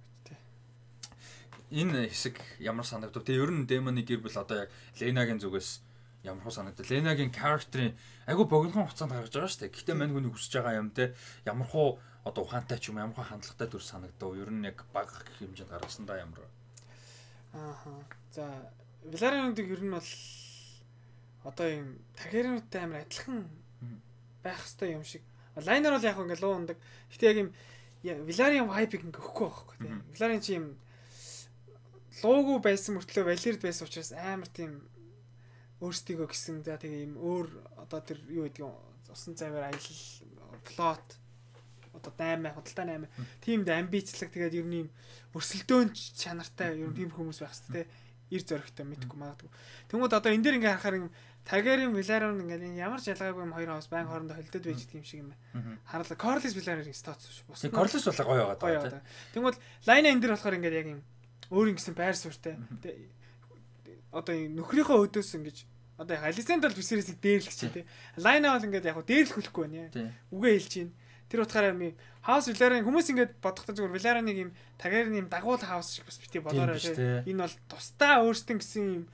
Энэ хэсэг ямар санагдав? Тэгээ ер нь Daemon-ы гэр бүл одоо яг Lena-гийн зүгээс ямар хөө санагдав? Lena-гийн character-ийн айгу богинохон хугацаанд гаргаж байгаа шүү дээ. Гэхдээ мань хүний хүсэж байгаа юм те ямар хөө одоо ухаантай ч юм ямар хөө хандлагатай дүр санагдав. Ер нь яг баг хэмжээнд гаргасан да ямар. Ааха. За Velaryon-ыг ер нь бол одоо юм Targaryen-тэй амар адилхан байх хэвээр юм шиг. Liner бол яг ингээ луу ундаг. Гэтэ яг юм Velaryon vibe-ыг ингээ өгөхгүй байхгүй те. Velaryon чи юм луугүй байсан мөртлөө Valyriad байсан учраас амар тийм өөрсдийгөө гисэн за тэгээ юм өөр одоо тэр юу гэдэг юм усан цайвар аялал плот одоо наймаа худалдаа наймаа тиймд амбицлаг тэгээд ер нь юм өрсөлдөөн чанартай ер нь тийм хүмүүс байх хэрэгтэй ир зөрөгтэй мэдгүй магадгүй. Тэнгүүд одоо энэ дээр ингээ харахаар юм Targaryen Velaryon ингээ ямар ч ялгаагүй юм хоёр хаус байн хоорондоо холдод байж байгаа юм шиг юм байна. Харлаа Corlys Velaryon статус шүү. Corlys бол гоё байгаа даа. Тэнгүүд Lina энэ дээр болохоор ингээ яг юм өөр ингэсэн байр суурьтай. Одоо нөхрийнхөө өдөөс ингэж одоо Alicent бол Viserys-ийг дээрлэх чинь тий. Lina бол ингээд яг хуу дээрлэхгүй байна. Үгээ хэлж чинь. Тэр утгаараа юм House Velaryon хүмүүс ингээд бодохдоо зүгээр Velaryon-ыг юм Targaryen юм дагуул хаус шиг бас бити бодоорой тий. Энэ бол тусдаа өөрсдөө гэсэн юм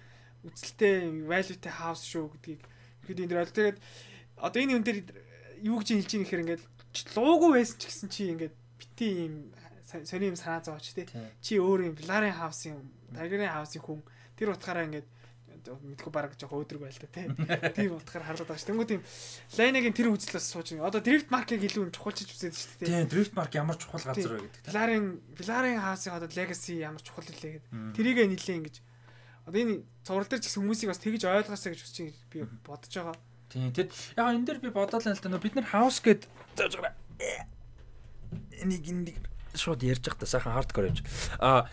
үзэлтэй valueтэй хаус шүү гэдгийг ихэд энэ дээр тэгээд одоо энэ хүн дээр юу гэж хэлж ийм ихээр ингээд луугүй байсан ч гэсэн чи ингээд бити юм сони юм санаа зовооч тий. Чи өөр юм Velaryon хаус юм Targaryen хаусын хүн тэр утгаараа ингээд мэдгүй бараг жоох өөдрөг байл та тий. Тийм утгаар харлаад байгаа ш. Тэнгүүд юм Lina-гийн тэр үзлээс сууж одоо Drift Mark-ыг илүү чухалчилж үзээд шүү дээ. Тийм Drift Mark ямар чухал газар вэ гэдэг. Velaryon Velaryon хаусын одоо legacy ямар чухал илээ гэдэг. Тэрийгэ нийлээ ингэж одоо энэ цуврал дээр ч гэсэн хүмүүсийг бас тэгж ойлгоосаа гэж хүсэж би бодож байгаа. Тийм тэгэд яг энэ дээр би бодоол л та нөө бид нар house гэд зааж байгаа. Энийг энийг шууд ярьж явах та сайхан hardcore явж. А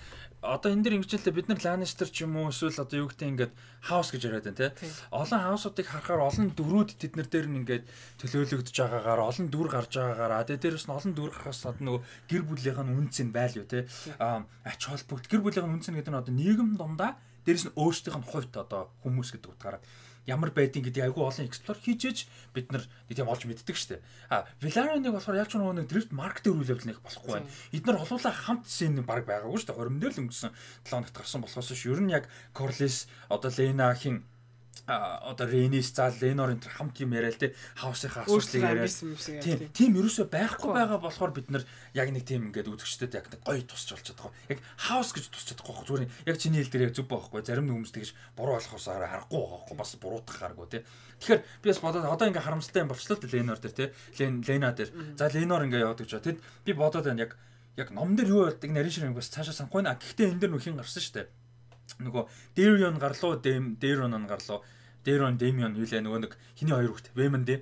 одоо энэ дэр ингэжлээ бид нар Lannister ч юм уу эсвэл одоо юу гэдэг ингээд house гэж яриад байна те. Олон house-уудыг харахаар олон дүрүүд тэднэр дээр нь ингээд төлөөлөгдөж байгаагаар олон дүр гарч байгаагаар тэгээ дээрээс нь олон дүр гарахаас одоо нөгөө гэр бүлийнх нь үнц нь байлуу те. А ач холбогд гэр бүлийнх нь үнц нь гэдэг нь одоо нийгэм дундаа дээрээс нь өөрсдийнх нь хувьд одоо хүмүүс гэдэг утгаараа ямар байдгийг гэдэг айгүй олон эксплор хийжээж бид нар тийм олж мэддэг штэ. А Velaryon-ыг болохоор яг ч нөгөө Drift Mark дээр үйл явдал нэг болохгүй байна. Эдгээр холуулаа хамт сцен баг байгаагүй штэ. Хорим дээр л өнгөрсөн долоо хоногт гарсан болохоос ш. Ер нь яг Corlys одоо Lena-хийн а одоо Rhaenys зал Lenor энэ хамт юм яриа л те хаусынхаа асуудлыг яриа. Тийм тийм ерөөсөй байхгүй байгаа болохоор бид нар яг нэг тийм ингээд үзэгчдэд яг гоё тусч болж чадахгүй. Яг хаус гэж тусч чадахгүй. Зүгээр яг чиний хэл дээр яг зүв байхгүй. Зарим нэг хүмүүс тэгж буруу болохоос харахгүй байхгүй. Бас буруутгах харгүй те. Тэгэхээр би бас бодоод одоо ингээд харамсалтай юм болчлоо те Lenor дээр те. Lena дээр. За Lenor ингээд яваад гэж байна. Тэд би бодоод байна яг яг ном дээр юу болдог нарийн ширээ бас цаашаа санахгүй наа. Гэхдээ энэ дээр нөхин гарсан шүү дээ. Нөгөө Darion гарлуу, Darion нь гарлуу. Darion, Damion юу лээ нөгөө нэг хиний хоёр хүүхд. Waemon дээ.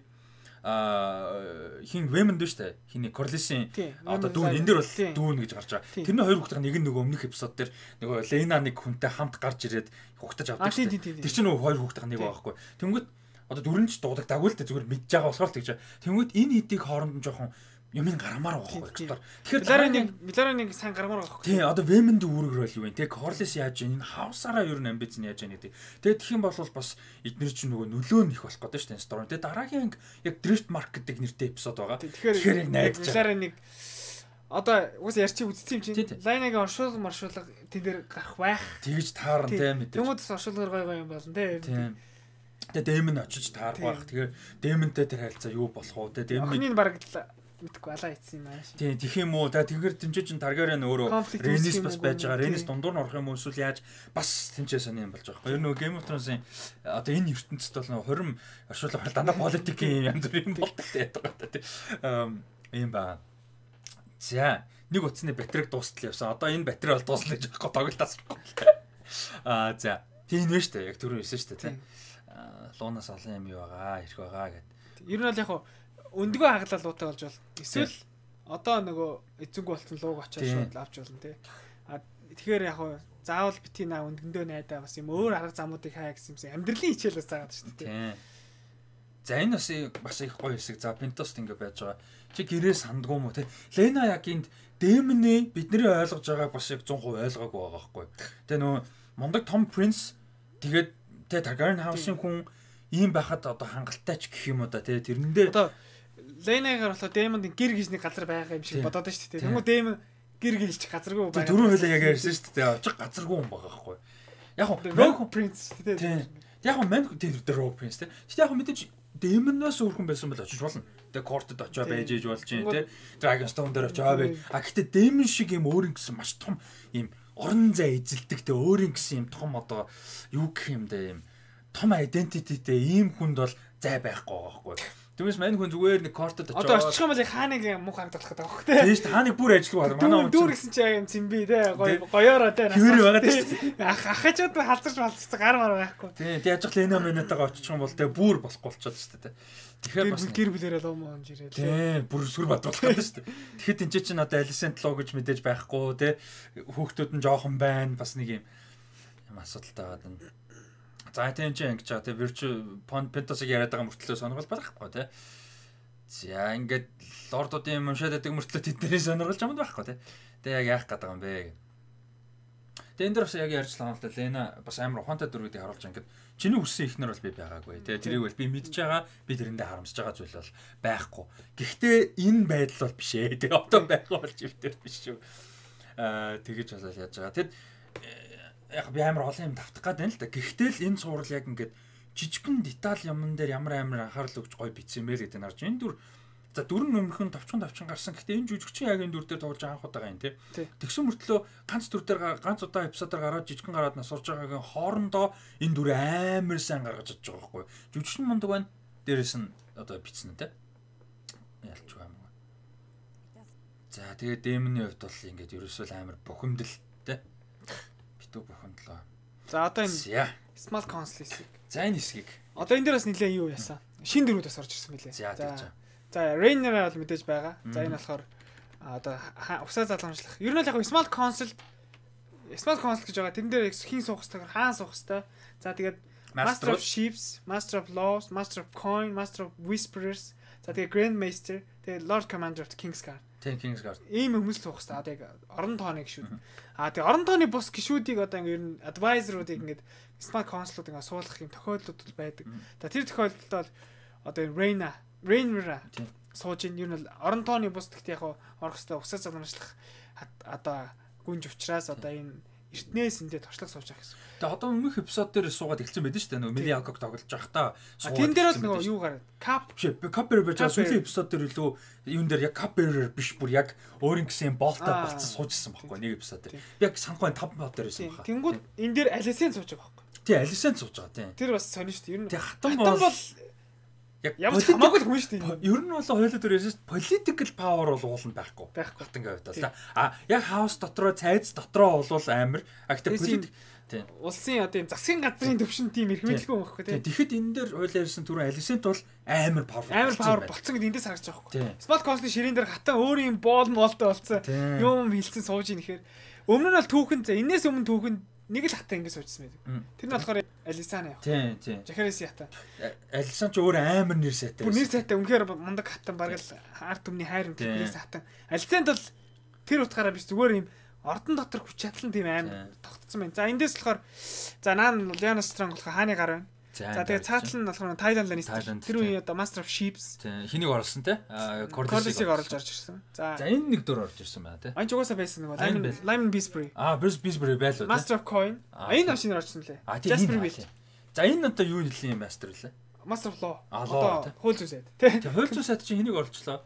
Аа хин Waemon дээ штэ. Хиний Corlys-ийн одоо дүүн энэ дээр бол дүүн гэж гарч байгаа. Тэрний хоёр хүүхдийн нэг нь нөгөө өмнөх эпизод дээр нөгөө Lena нэг хүнтэй хамт гарч ирээд хугтаж авдаг штэ. Тэр чинь нөгөө хоёр хүүхдийн нэг байхгүй. Тэнгүүт одоо дөрөнч дуудагдаагүй л дээ зүгээр мэдж байгаа болохоор л тэгж. Тэнгүүт энэ хэдийг хооронд нь жоохон юм ин гарамаар байгаа байхгүй. Тэгэхээр Velaryon Velaryon сайн гарамаар байгаа байхгүй. Тийм одоо Waemon-д үүрэг рөл юу вэ? Тэг Corlys яаж вэ? Энэ хаусаараа ер нь амбиц нь яаж вэ гэдэг. Тэгээд тэгэх юм бол бас эдгээр чинь нөгөө нөлөө нь их болох гэдэг шүү дээ story. Тэгээд дараагийн яг Drift Mark гэдэг нэртэй эпизод байгаа. Тэгэхээр яг найдаж Velaryon одоо уус ярьчих үзсэн юм чинь. Lena-гийн оршуулга маршуулга тэн дээр гарах байх. Тэгж таарна те мэдээ. Тэмүүдэс оршуулгаар гой гой юм болно те. Тийм. Тэгээд Daemon очиж таарах байх. Тэгэхээр Daemon-тэй тэр харилцаа юу болох вэ? Тэгээд Daemon-ийн баг мэдгүй алаа ийцсэн юм ааш. Тийм тэгэх юм уу? За тэгэхээр тэмцээ чин Targaryen өөрөө Rhaenys бас байж байгаа. Rhaenys дундуур нь орох юм уу эсвэл яаж бас тэмцээ сони юм болж байгаа. Ер нь Game of Thrones-ийн одоо энэ ертөнцид бол нэг хорим оршуулга дандаа политикийн янз бүрийн болдог гэдэг байгаа тийм. Ийм ба. За нэг утасны батарейг дуустал явсан. Одоо энэ батарей бол дуусна гэж байхгүй тоглолтоос. Аа за тийм нэ штэ яг түрүү хэлсэн штэ тийм. Луунаас олон юм юу байгаа, ирэх байгаа гэдэг. Ер нь бол яг өндгөө хаглал луутай болж бол эсвэл одоо нөгөө эзэнгүй болсон лууг очоод шууд авч болно тий. А тэгэхээр яг хуу заавал бити наа өндгөндөө найдаа бас юм өөр арга замуудыг хаа гэсэн юмсан амьдралын хичээлээс заагаад шүү дээ тий. За энэ бас бас их гоё хэсэг. За Pentos ингэ байж байгаа. Чи гэрээ сандгүй мó тий. Lena яг энд Daemon-ы бидний ойлгож байгааг бас яг цан хувь ойлгоогүй байгаа байхгүй. Тэгээ нөгөө мундаг Tom Prince тэгээд тэ Targaryen House-ын хүн ийм байхад одоо хангалттай ч гэх юм уу да тий. Тэрэндээ одоо Lena-гаар болохоор Daemon-ын гэр гэж нэг газар байгаа юм шиг бодоод байна шүү дээ. Тэгмээ Daemon гэр гэлч газаргүй байгаа. Дөрөв хөлөө яг ярьсан шүү дээ. Очих газаргүй юм байгаа байхгүй. Яг нь Rogue Prince шүү дээ. Яг нь man тэр Rogue Prince тий. Тэгтээ яг мэдээж Daemon-оос өөрхөн байсан бол очиж болно. Тэгээ Court-д очиж байж ээж болж чинь тий. Dragonstone дээр очиж бай. А гэхдээ Daemon шиг юм өөр ингэсэн маш том юм орон зай эзэлдэг тий. Өөр ингэсэн юм том одоо юу гэх юм дээ юм том identityтэй ийм хүнд бол зай байхгүй байгаа байхгүй. Тэгмээс мань хүн зүгээр нэг кортод очиж одоо очих юм бол хааныг муу хагдах гэдэг байхгүй тий. Тийм шүү дээ. Хааныг бүр ажилгүй байна. Манай дүүр гэсэн чи юм цэмби тий. Гоё гоёороо тий. Хэр байгаа тий. Ах ахачууд халзарч малцсан гар мар байхгүй. Тий. Тэг яж Lena Minette-аагаа очих юм бол тий бүр болохгүй болчиход шүү дээ. Тэгэхээр бас гэр бүлэрээ лом оомж ирээ. Тий. Бүр сүр бадуулах гэдэг шүү дээ. Тэгэхэд энэ чинь одоо Alicent Law гэж мэдээж байхгүй тий. Хүүхдүүд нь жоохон байна. Бас нэг юм юм асуудалтай байгаа. За тийм ч ингэж байгаа. Тэ Virtue Pentos-ыг яриад байгаа мөртлөө сонирхол байхгүй тий. За ингээд лордуудын юм уншаад байдаг мөртлөө тэдний сонирхолж амд байхгүй тий. Тэ яг яах гээд байгаа юм бэ. Тэ энэ дэр бас яг ярьжлаа л да. Lena бас амар ухаантай дөрүүдийг харуулж ингээд чиний хүссэн ихнэр бол би байгаагүй тий. Тэрийг бол би мэдж байгаа. Би тэрэндээ харамсаж байгаа зүйл бол байхгүй. Гэхдээ энэ байдал бол биш ээ. Тэ одоо байхгүй болж өвтөр биш шүү. Аа тэгэж болол яаж байгаа. Тэгэд яг би амар олон юм давтах гээд байна л да. Гэхдээ л энэ цуврал яг ингээд жижигхэн деталь юмн дээр ямар амар анхаарал өгч гоё бичсэн мэл гэдэг нь харж энэ дүр за дөрөн нөмөрхөн товчхон товчхон гарсан. Гэхдээ энэ жүжигчин яг энэ дүр дээр тоглож анх удаа юм тий. Тэгсэн мөртлөө ганц дүр дээр ганц удаа эпизодоор гараад жижигхэн гараад нас сурж байгаагийн хоорондоо энэ дүр амар сайн гаргаж чадж байгаа байхгүй. Жүжигчин мундаг байна. Дээрээс нь одоо бичсэн тий. Ялч байгаа юм. За тэгээд Daemon-ийн хувьд бол ингээд ерөөсөө амар бухимдал тий. Битүү бухимдлаа. За одоо энэ Small Council хэсэг. За энэ хэсгийг. Одоо энэ дээрээс нэлээд юу яасан? Шин дөрүүд бас орж ирсэн мөлий. За. За Rhaenyra бол мэдээж байгаа. За энэ болохоор одоо усаа залгамжлах. Ер нь л яг Small Council Smart console гэж байгаа. Тэрэн дээр хин суух хэвээр хаан суух хэвээр. За тэгээд Master of Ships, Master of Laws, Master of Coin, Master of Whisperers. За тэгээд Grand Master, тэгээд Lord Commander of the Kingsguard. Тийм Kingsguard. Ийм хүмүүс л суух хэвээр. Одоо яг орон тооны гişүүд. Аа тэгээд орон тооны бус гişүүдийг одоо ингэ ер нь advisor-уудыг ингээд Smart console-ууд ингээ суулгах юм тохиолдлууд байдаг. За тэр тохиолдолд бол одоо Reina, Rhaenyra сууж ин ер нь орон тооны бус гэхдээ яг орох хэвээр усаа загнамжлах одоо гүнж учраас одоо энэ эртнээс эндээ туршлага сууж байгаа гэсэн. Тэгээ одоо өмнөх эпизод дээр суугаад эхэлсэн байдаг шүү дээ. Нөгөө Мили Агог тоглож байхдаа суугаад. Тэн дээр бол нөгөө юу гараад Cap биш Cap Bearer байж байгаа сүүлийн эпизод дээр илүү юун дээр яг Cap Bearer биш бүр яг өөрийн гэсэн болтоо болцсон суужсэн байхгүй нэг эпизод дээр. Яг санахгүй таван бот дээр байсан байна. Тэнгүүд энэ дээр Алисен сууж байгаа байхгүй. Тий Алисен сууж байгаа тий. Тэр бас сонир шүү дээ. Ер нь хатан бол яг хамаагүй хүн шүү дээ. Ер нь бол хоёулаа дөрөөс political power бол ууланд байхгүй. Байхгүй. Хатангаа хувьд л. А яг house дотроо цайз дотроо бол амар. А гэхдээ politic тийм улсын одоо юм засгийн газрын төвшин тийм эрх мэдлгүй байхгүй тийм. Тэгэхэд энэ дээр хоёулаа ярьсан түрүү Алисент бол амар power. Амар power болцсон гэдэг эндээс харагдаж байгаа байхгүй. Smart console-ийн ширээн дээр хатан өөрийн боол моолтой болцсон. Юм хилцэн сууж ийн ихээр өмнө нь бол түүхэн за энээс өмнө түүхэн нэг л хатаа ингэ суужсан байдаг. Тэр нь болохоор Алисана яа. Тийм тийм. Жахариси хатаа. Алисан ч өөр амар нэр сайтай. Бүр нэр сайтай үнэхээр мундаг хатан баг л арт өмнө хайр нэрээс хатан. Алисанд бол тэр утгаараа биш зүгээр юм ордон дотор хүч чадлан тийм амар тогтцсон байна. За эндээс болохоор за наан Lyanna Strong болохоор хааны гар байна. За тэгээ цаатал нь болохоор Tywin Lannister. Тэр үе одоо Master of Ships. Тийм. Хэнийг оруулсан те? Corlys-ыг оруулж орж ирсэн. За за энэ нэг дөр орж ирсэн байна те. Анч угаасаа байсан нөгөө Lyman Beesbury. Аа, Beesbury байлуу те. Master of Coin. Энэ машинаар орчихсон лээ. Jasper Wild. За энэ одоо юу нэлийн Master лээ? Master of Law. Одоо хууль зүйн сайд те. Тэгээ хууль зүйн сайд чинь хэнийг оруулчлаа?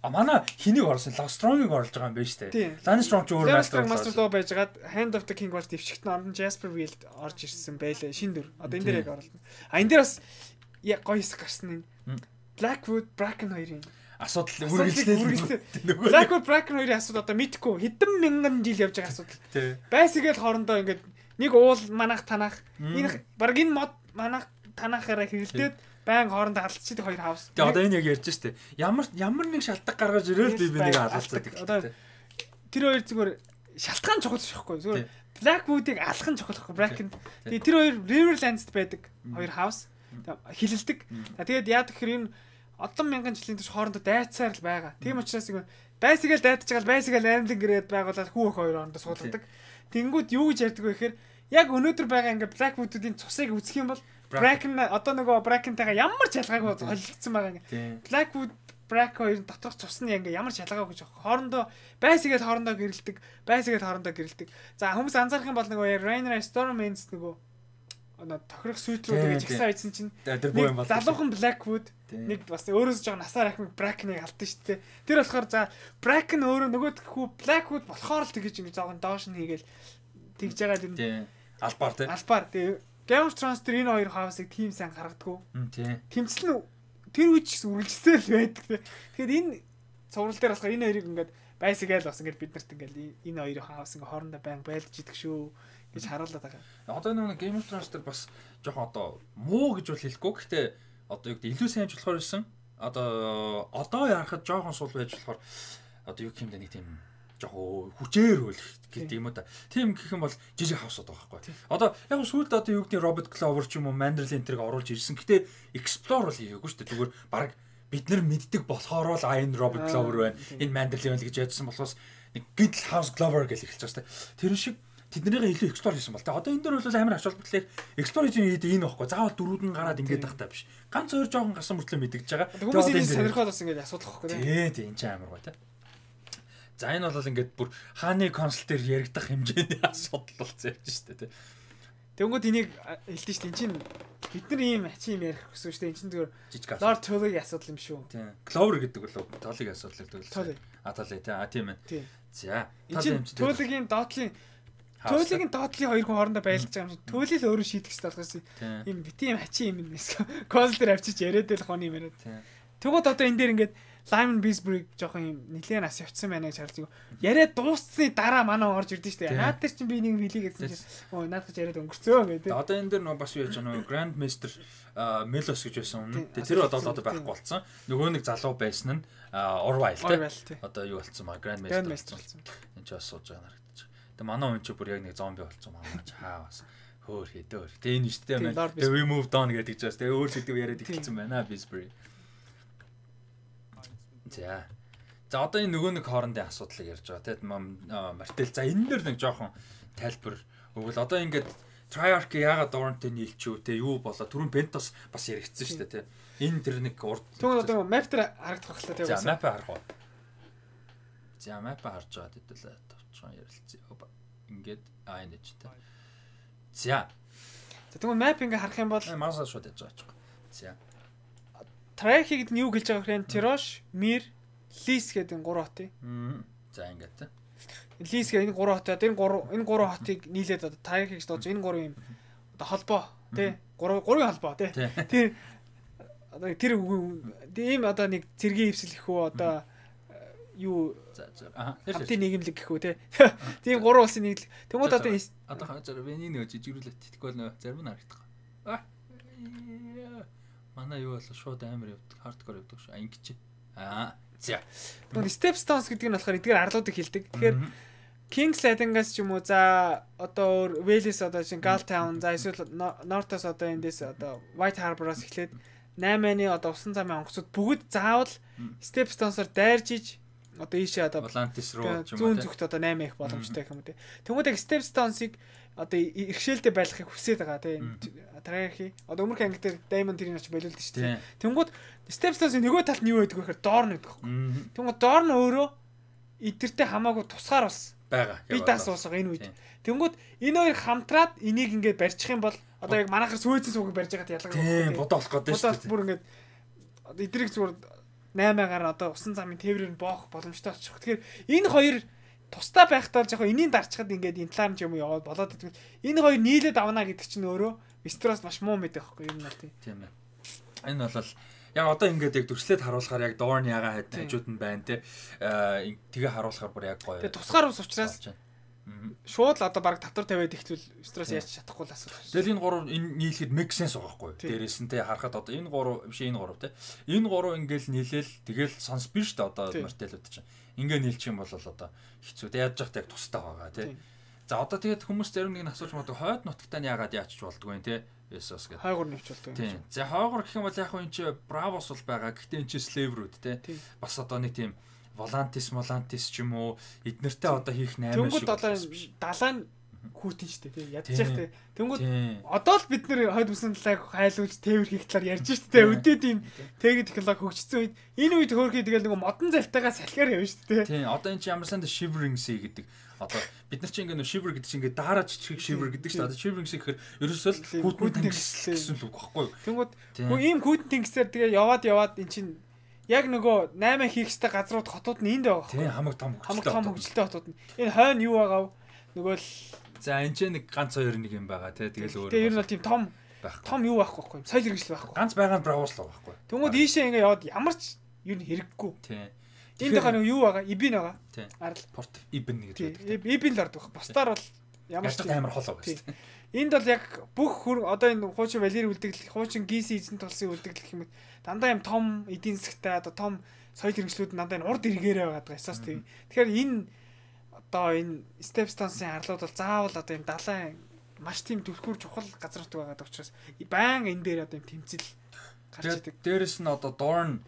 А манай хэнийг оруулсан? Strong-ыг оруулж байгаа юм байна шүү дээ. Lance Strong ч өөр Master Master Law байжгаад Hand of the King болж дэвшигт нь Jasper Wild орж ирсэн байлээ. Шин дөр. Одоо энэ дээр яг оруулсан. А энэ дээр бас яг гоё хэсэг гарсан энэ. Blackwood Bracken хоёрын асуудал үргэлжлээ. Blackwood Bracken хоёрын асуудал одоо мэдхгүй хэдэн мянган жил явж байгаа асуудал. Байсгээл хоорондоо ингээд нэг уул манах танах энэ баг энэ мод манах танахаараа хэрэлдээд байн хоорондоо халдчихдаг хоёр хаус. Тэгээ одоо энэ яг ярьж штэ. Ямар ямар нэг шалтгаан гаргаж ирэл би би нэг халддаг. Одоо тэр хоёр зүгээр шалтгаан чухал шахгүй. Зүгээр Blackwood-ыг алах нь чухал байхгүй. Bracken. Тэгээ тэр хоёр Riverlands-д байдаг хоёр хаус. Хилэлдэг. Тэгээд яа гэхээр энэ олон мянган жилийн турш хоорондоо дайцсаар л байгаа. Тийм учраас ингэ байсгээл дайдаж байгаа байсгээл аймлан гэрээд байгуулаад хүүх хоёр хоорондоо суулгадаг. Тэнгүүд юу гэж ярьдаг вэ гэхээр яг өнөөдөр байгаа ингээ Blackwood-уудын цусыг үзэх юм бол Bracken одоо нөгөө Bracken-тайгаа ямар ч ялгаагүй холилдсон байгаа ингээ. Blackwood Bracken хоёрын доторх цус нь ингээ ямар ч ялгаагүй гэж байгаа. Хоорондоо байсгээл хоорондоо гэрэлдэг, байсгээл хоорондоо гэрэлдэг. За хүмүүс анзаарах юм бол нөгөө Rhaenyra Stormwind нөгөө одоо тохирох сүйтрүүд гэж ихсэн айдсан чинь залуухан Blackwood нэг бас өөрөөс жоо насаар ахмаг Bracken-ыг алдсан шүү дээ. Тэр болохоор за Bracken өөрөө нөгөө хүү Blackwood болохоор л тэгэж ингээ жоохон доош нь хийгээл тэгж байгаа юм. Албаар тий. Албаар тий. Game of Thrones тэр энэ хоёр хаусыг тийм сайн гаргадаггүй. Тий. Тэмцэл нь тэр үеч гэсэн үргэлжлээ л байдаг тий. Тэгэхээр энэ цуврал дээр болохоор энэ хоёрыг ингээд байсгээл бас ингээд бид нарт ингээд энэ хоёрын хаус ингээд хоорондоо байн байлдж идэг шүү гэж харуулдаг байгаа. Одоо нэг Game of Thrones дээр бас жоохон одоо муу гэж бол хэлэхгүй. Гэхдээ одоо юу гэдэг илүү сайн ч болохоор байсан. Одоо одоо ярахад жоохон сул байж болохоор одоо юу гэх юм бэ нэг тийм жоохон хүчээр хөлөх гэдэг юм уу та. Тийм гэх юм бол жижиг хавсууд байгаа байхгүй. Одоо яг сүүлд одоо юу гэдэг Robert Clover ч юм уу Manderley энтрийг оруулж ирсэн. Гэтэ explore бол хийгээгүй шүү дээ. Зүгээр баг бид нар мэддэг болохоор л а энэ Robert Clover байна. Энэ Manderley байна гэж ядсан болохоос нэг Gidl House Clover гэж эхэлж байгаа шүү дээ. Тэр шиг тэднийгээ илүү explore хийсэн бол та. Одоо энэ дөр бол амар ач холбогдлыг explore хийж энэ байхгүй. Заавал дөрүүд нь гараад ингээд тахтай биш. Ганц хоёр жоохон гарсан мөртлөө мэдгэж байгаа. Хүмүүс энэ сонирхоод бас ингээд асуудал واخхой тийм. Тий, тий энэ ч амар гоо тий. За энэ бол ингээд бүр хааны консол дээр яригдах хэмжээний асуудал болсон явж штэ тий. Тэнгүүд энийг хэлдэж штэ эн чинь бид нар ийм ачи юм ярих гэсэн штэ эн чинь зүгээр Lord Tully-гийн асуудал юм шүү. Тий. Clover гэдэг бол Tully-гийн асуудал гэдэг. Tully. А Tully тий. А тийм ээ. За. Tully-гийн доотлын Tully-гийн доотлын хоёр хүн хоорондоо байлдаж байгаа юм шиг Tully л өөрөө шийдэх хэрэгтэй болохоос юм бити юм ачи юм юм эсвэл консол дээр авчиж яриад л хоны юм яриад. Тэгвэл одоо энэ дээр ингээд Lyman Beesbury жоохон юм нэлээд нас явцсан байна гэж харж яриад дууссны дараа манай орж ирдэ штэ. Наад дээр чинь би нэг хэлий гэсэн чинь өө наад гэж яриад өнгөрцөө гэдэг. Одоо энэ дээр нөө бас юу яаж байгаа нөө Grand Master Melos гэж байсан өмнө. Тэр одоо одоо байхгүй болсон. Нөгөө нэг залуу байсан нь Orwell тий. Одоо юу болсон маа Grand Master болсон. Энд ч бас сууж байгаа харагдаж. Тэгээ манай хүн чи бүр яг нэг зомби болцсон манай чаа бас хөөр хэдөө. Тэгээ энэ шүү дээ маань. Тэгээ we moved on гэдэг чаас. Тэгээ өөр сэдв яриад ихэлсэн байна Bisbury. За. За одоо энэ нөгөө нэг хоорондын асуудлыг ярьж байгаа тийм Мартел. За энэ дэр нэг жоохон тайлбар өгвөл одоо ингээд Treyarch яагаад Dorn-тэй нийлчихв те юу болоо түрүүн Pentos бас яригдсан шүү дээ те. Энэ тэр нэг урд. Тэгвэл одоо map дээр харагдах байлаа те. За map харах уу. За map харж байгаа хэдүүлээ товчхон ярилцъя. Ингээд аа энэ ч те. За. За тэгвэл map ингээ харах юм бол маусаа шууд яж байгаа ч. За. Treyarch-ийг нь юу гэлж байгаа вэ? Tirosh, Mir, Lis гэдэг энэ гурван хот. За ингээд те. Лис гэх энэ гурван хот одоо энэ гурван энэ гурван хотыг нийлээд одоо Treyarch гэж дооч энэ гурван юм одоо холбоо тий гурван гурван холбоо тий тэр одоо тэр ийм одоо нэг цэргийн хөвсөлөх үү одоо юу хамтын нийгэмлэг гэх үү тий тийм гурван улсын нийл тэгмүүд одоо одоо хажаар вэний нэг жижигрүүлээд тэтгэл нөө зарим нь харагдах аа манай юу болоо шууд амар явдаг хардкор явдаг шүү ангич аа за нөгөө Stepstones гэдэг нь болохоор эдгээр арлуудыг хилдэг. Тэгэхээр King's Landing-аас ч юм уу за одоо өөр Wales одоо чинь Galtown за эсвэл North-ос одоо эндээс одоо White Harbour-аас эхлээд наймааны одоо усан замын онгоцууд бүгд заавал Stepstones-оор дайржиж одоо ийшээ одоо Atlantis руу ч юм уу зүүн зүгт одоо наймаа их боломжтой юм тий. Тэгмээд яг Stepstones-ыг одоо иргэшээлтэй байлгахыг хүсээд байгаа тий. Treyarch одоо өмнөх анги дээр Diamond тэрийг ч болиулдаг шүү дээ. Тэнгүүд Stepstones-ийн нөгөө талд нь юу байдаг вэ гэхээр Dorn гэдэг байхгүй. Тэнгүүд Dorn өөрөө эдгэртэй хамаагүй тусгаар бас байгаа. Би даас уусгаа энэ үед. Тэнгүүд энэ хоёр хамтраад энийг ингээд барьчих юм бол одоо яг манайхаар сүйцэн суугийг барьж байгаад ялгаа байхгүй. Тийм бодоо болох гэдэг шүү дээ. Бүр ингээд одоо эдрийг зүгээр наймаагаар одоо усан замын тээврээр боох боломжтой болчих. Тэгэхээр энэ хоёр тусдаа байхдаа жоохон энийн дарчхад ингээд энэ талаар ч юм уу яваад болоод идэх. Энэ хоёр нийлээд авна гэдэг чинь өөрөө Westeros маш муу мэд байхгүй юм наа тийм ээ. Энэ бол яг одоо ингээд яг төрслээд харуулахаар яг Dorn ягаа хажууд нь байна те. Тэгээ харуулахаар бүр яг гоё. Тэгээ тусгаар ус учраас шууд л одоо баг татвар тавиад ихтэл Westeros яаж чадахгүй л асуудал. Тэгэл энэ гурав энэ нийлэхэд make sense байгаа байхгүй. Дээрээс нь те харахад одоо энэ гурав биш энэ гурав те. Энэ гурав ингээд нийлээл тэгэл сонс биш дээ одоо Martell-ууд чинь. Ингээ нийлчих юм бол одоо хэцүү. Тэ яаж яхад яг тустай байгаа тий. За одоо тэгээд хүмүүс зарим нэг нь асууж магадгүй хойд нутагтаа нь яагаад яачих болдгоо юм тий. Есос гэдэг. Хойгор нэвч болдгоо. Тий. За хойгор гэх юм бол яг хөө энэ чи Bravos бол байгаа. Гэхдээ энэ чи slaverүүд тий. Бас одоо нэг тийм Volantis, Volantis ч юм уу эднэртэй одоо хийх наймаа шиг. Тэнгүүд одоо далайн хүүтэн штэ тий. Ядчих тий. Тэнгүүд одоо л бид нэр хойд бүсэн талааг хайлуулж тээвэр хийх талаар ярьж штэ тий. Өдөө тийм техник технологи хөгжсөн үед энэ үед хөөрхий тэгэл нэг модон залтайгаа салхиар явна штэ тий. Тий. Одоо энэ чи ямар санд shivering sea гэдэг. Одоо бид нар чи ингээ нөө shiver гэдэг чи ингээ daarаач чихэг shiver гэдэг штэ. Одоо shivering sea гэхээр ерөөсөө хүүтэн тэнгис гэсэн үг багхгүй. Тэнгүүд хөө ийм хүүтэн тэнгисээр тэгээ яваад яваад эн чин яг нөгөө наймаа хийх хэвээр газрууд хотууд нь энд байгаа. Тий. Хамаг том хөгжилтэй. Хамаг том хөгжилтэй хотууд нь. Энэ хойно юу байгаа вэ? Нөгөө л за энэ ч нэг ганц хоёр нэг юм байгаа тий. Тэгэл өөр. Тэгээ ер нь бол тийм том том юу байхгүй байхгүй юм. Соёл хэрэгжил байхгүй. Ганц байгаа нь Bravos л байхгүй. Тэнгүүд ийшээ ингээ яваад ямар ч юу н хэрэггүй. Тий. Энд байгаа нэг юу байгаа? Ибин байгаа. Тий. Арал Port Ibn гэдэг. Ибин л ордог. Бусдаар бол ямар ч амар хол байгаа шүү дээ. Энд бол яг бүх одоо энэ хуучин Валери үлдэгдэл, хуучин Гиси эзэн тулсын үлдэгдэл гэх юм. Дандаа юм том эдийн засгтай одоо том соёл хэрэгжлүүд дандаа энэ урд эргээрээ байгаа даа. Эсос тийм. Тэгэхээр энэ одоо энэ Stepstones-ын арлууд бол заавал одоо энэ далайн маш тийм түлхүүр чухал газрууд байгаа учраас баян энэ дээр одоо юм тэмцэл гарч идэг. Дээрэс нь одоо Dorn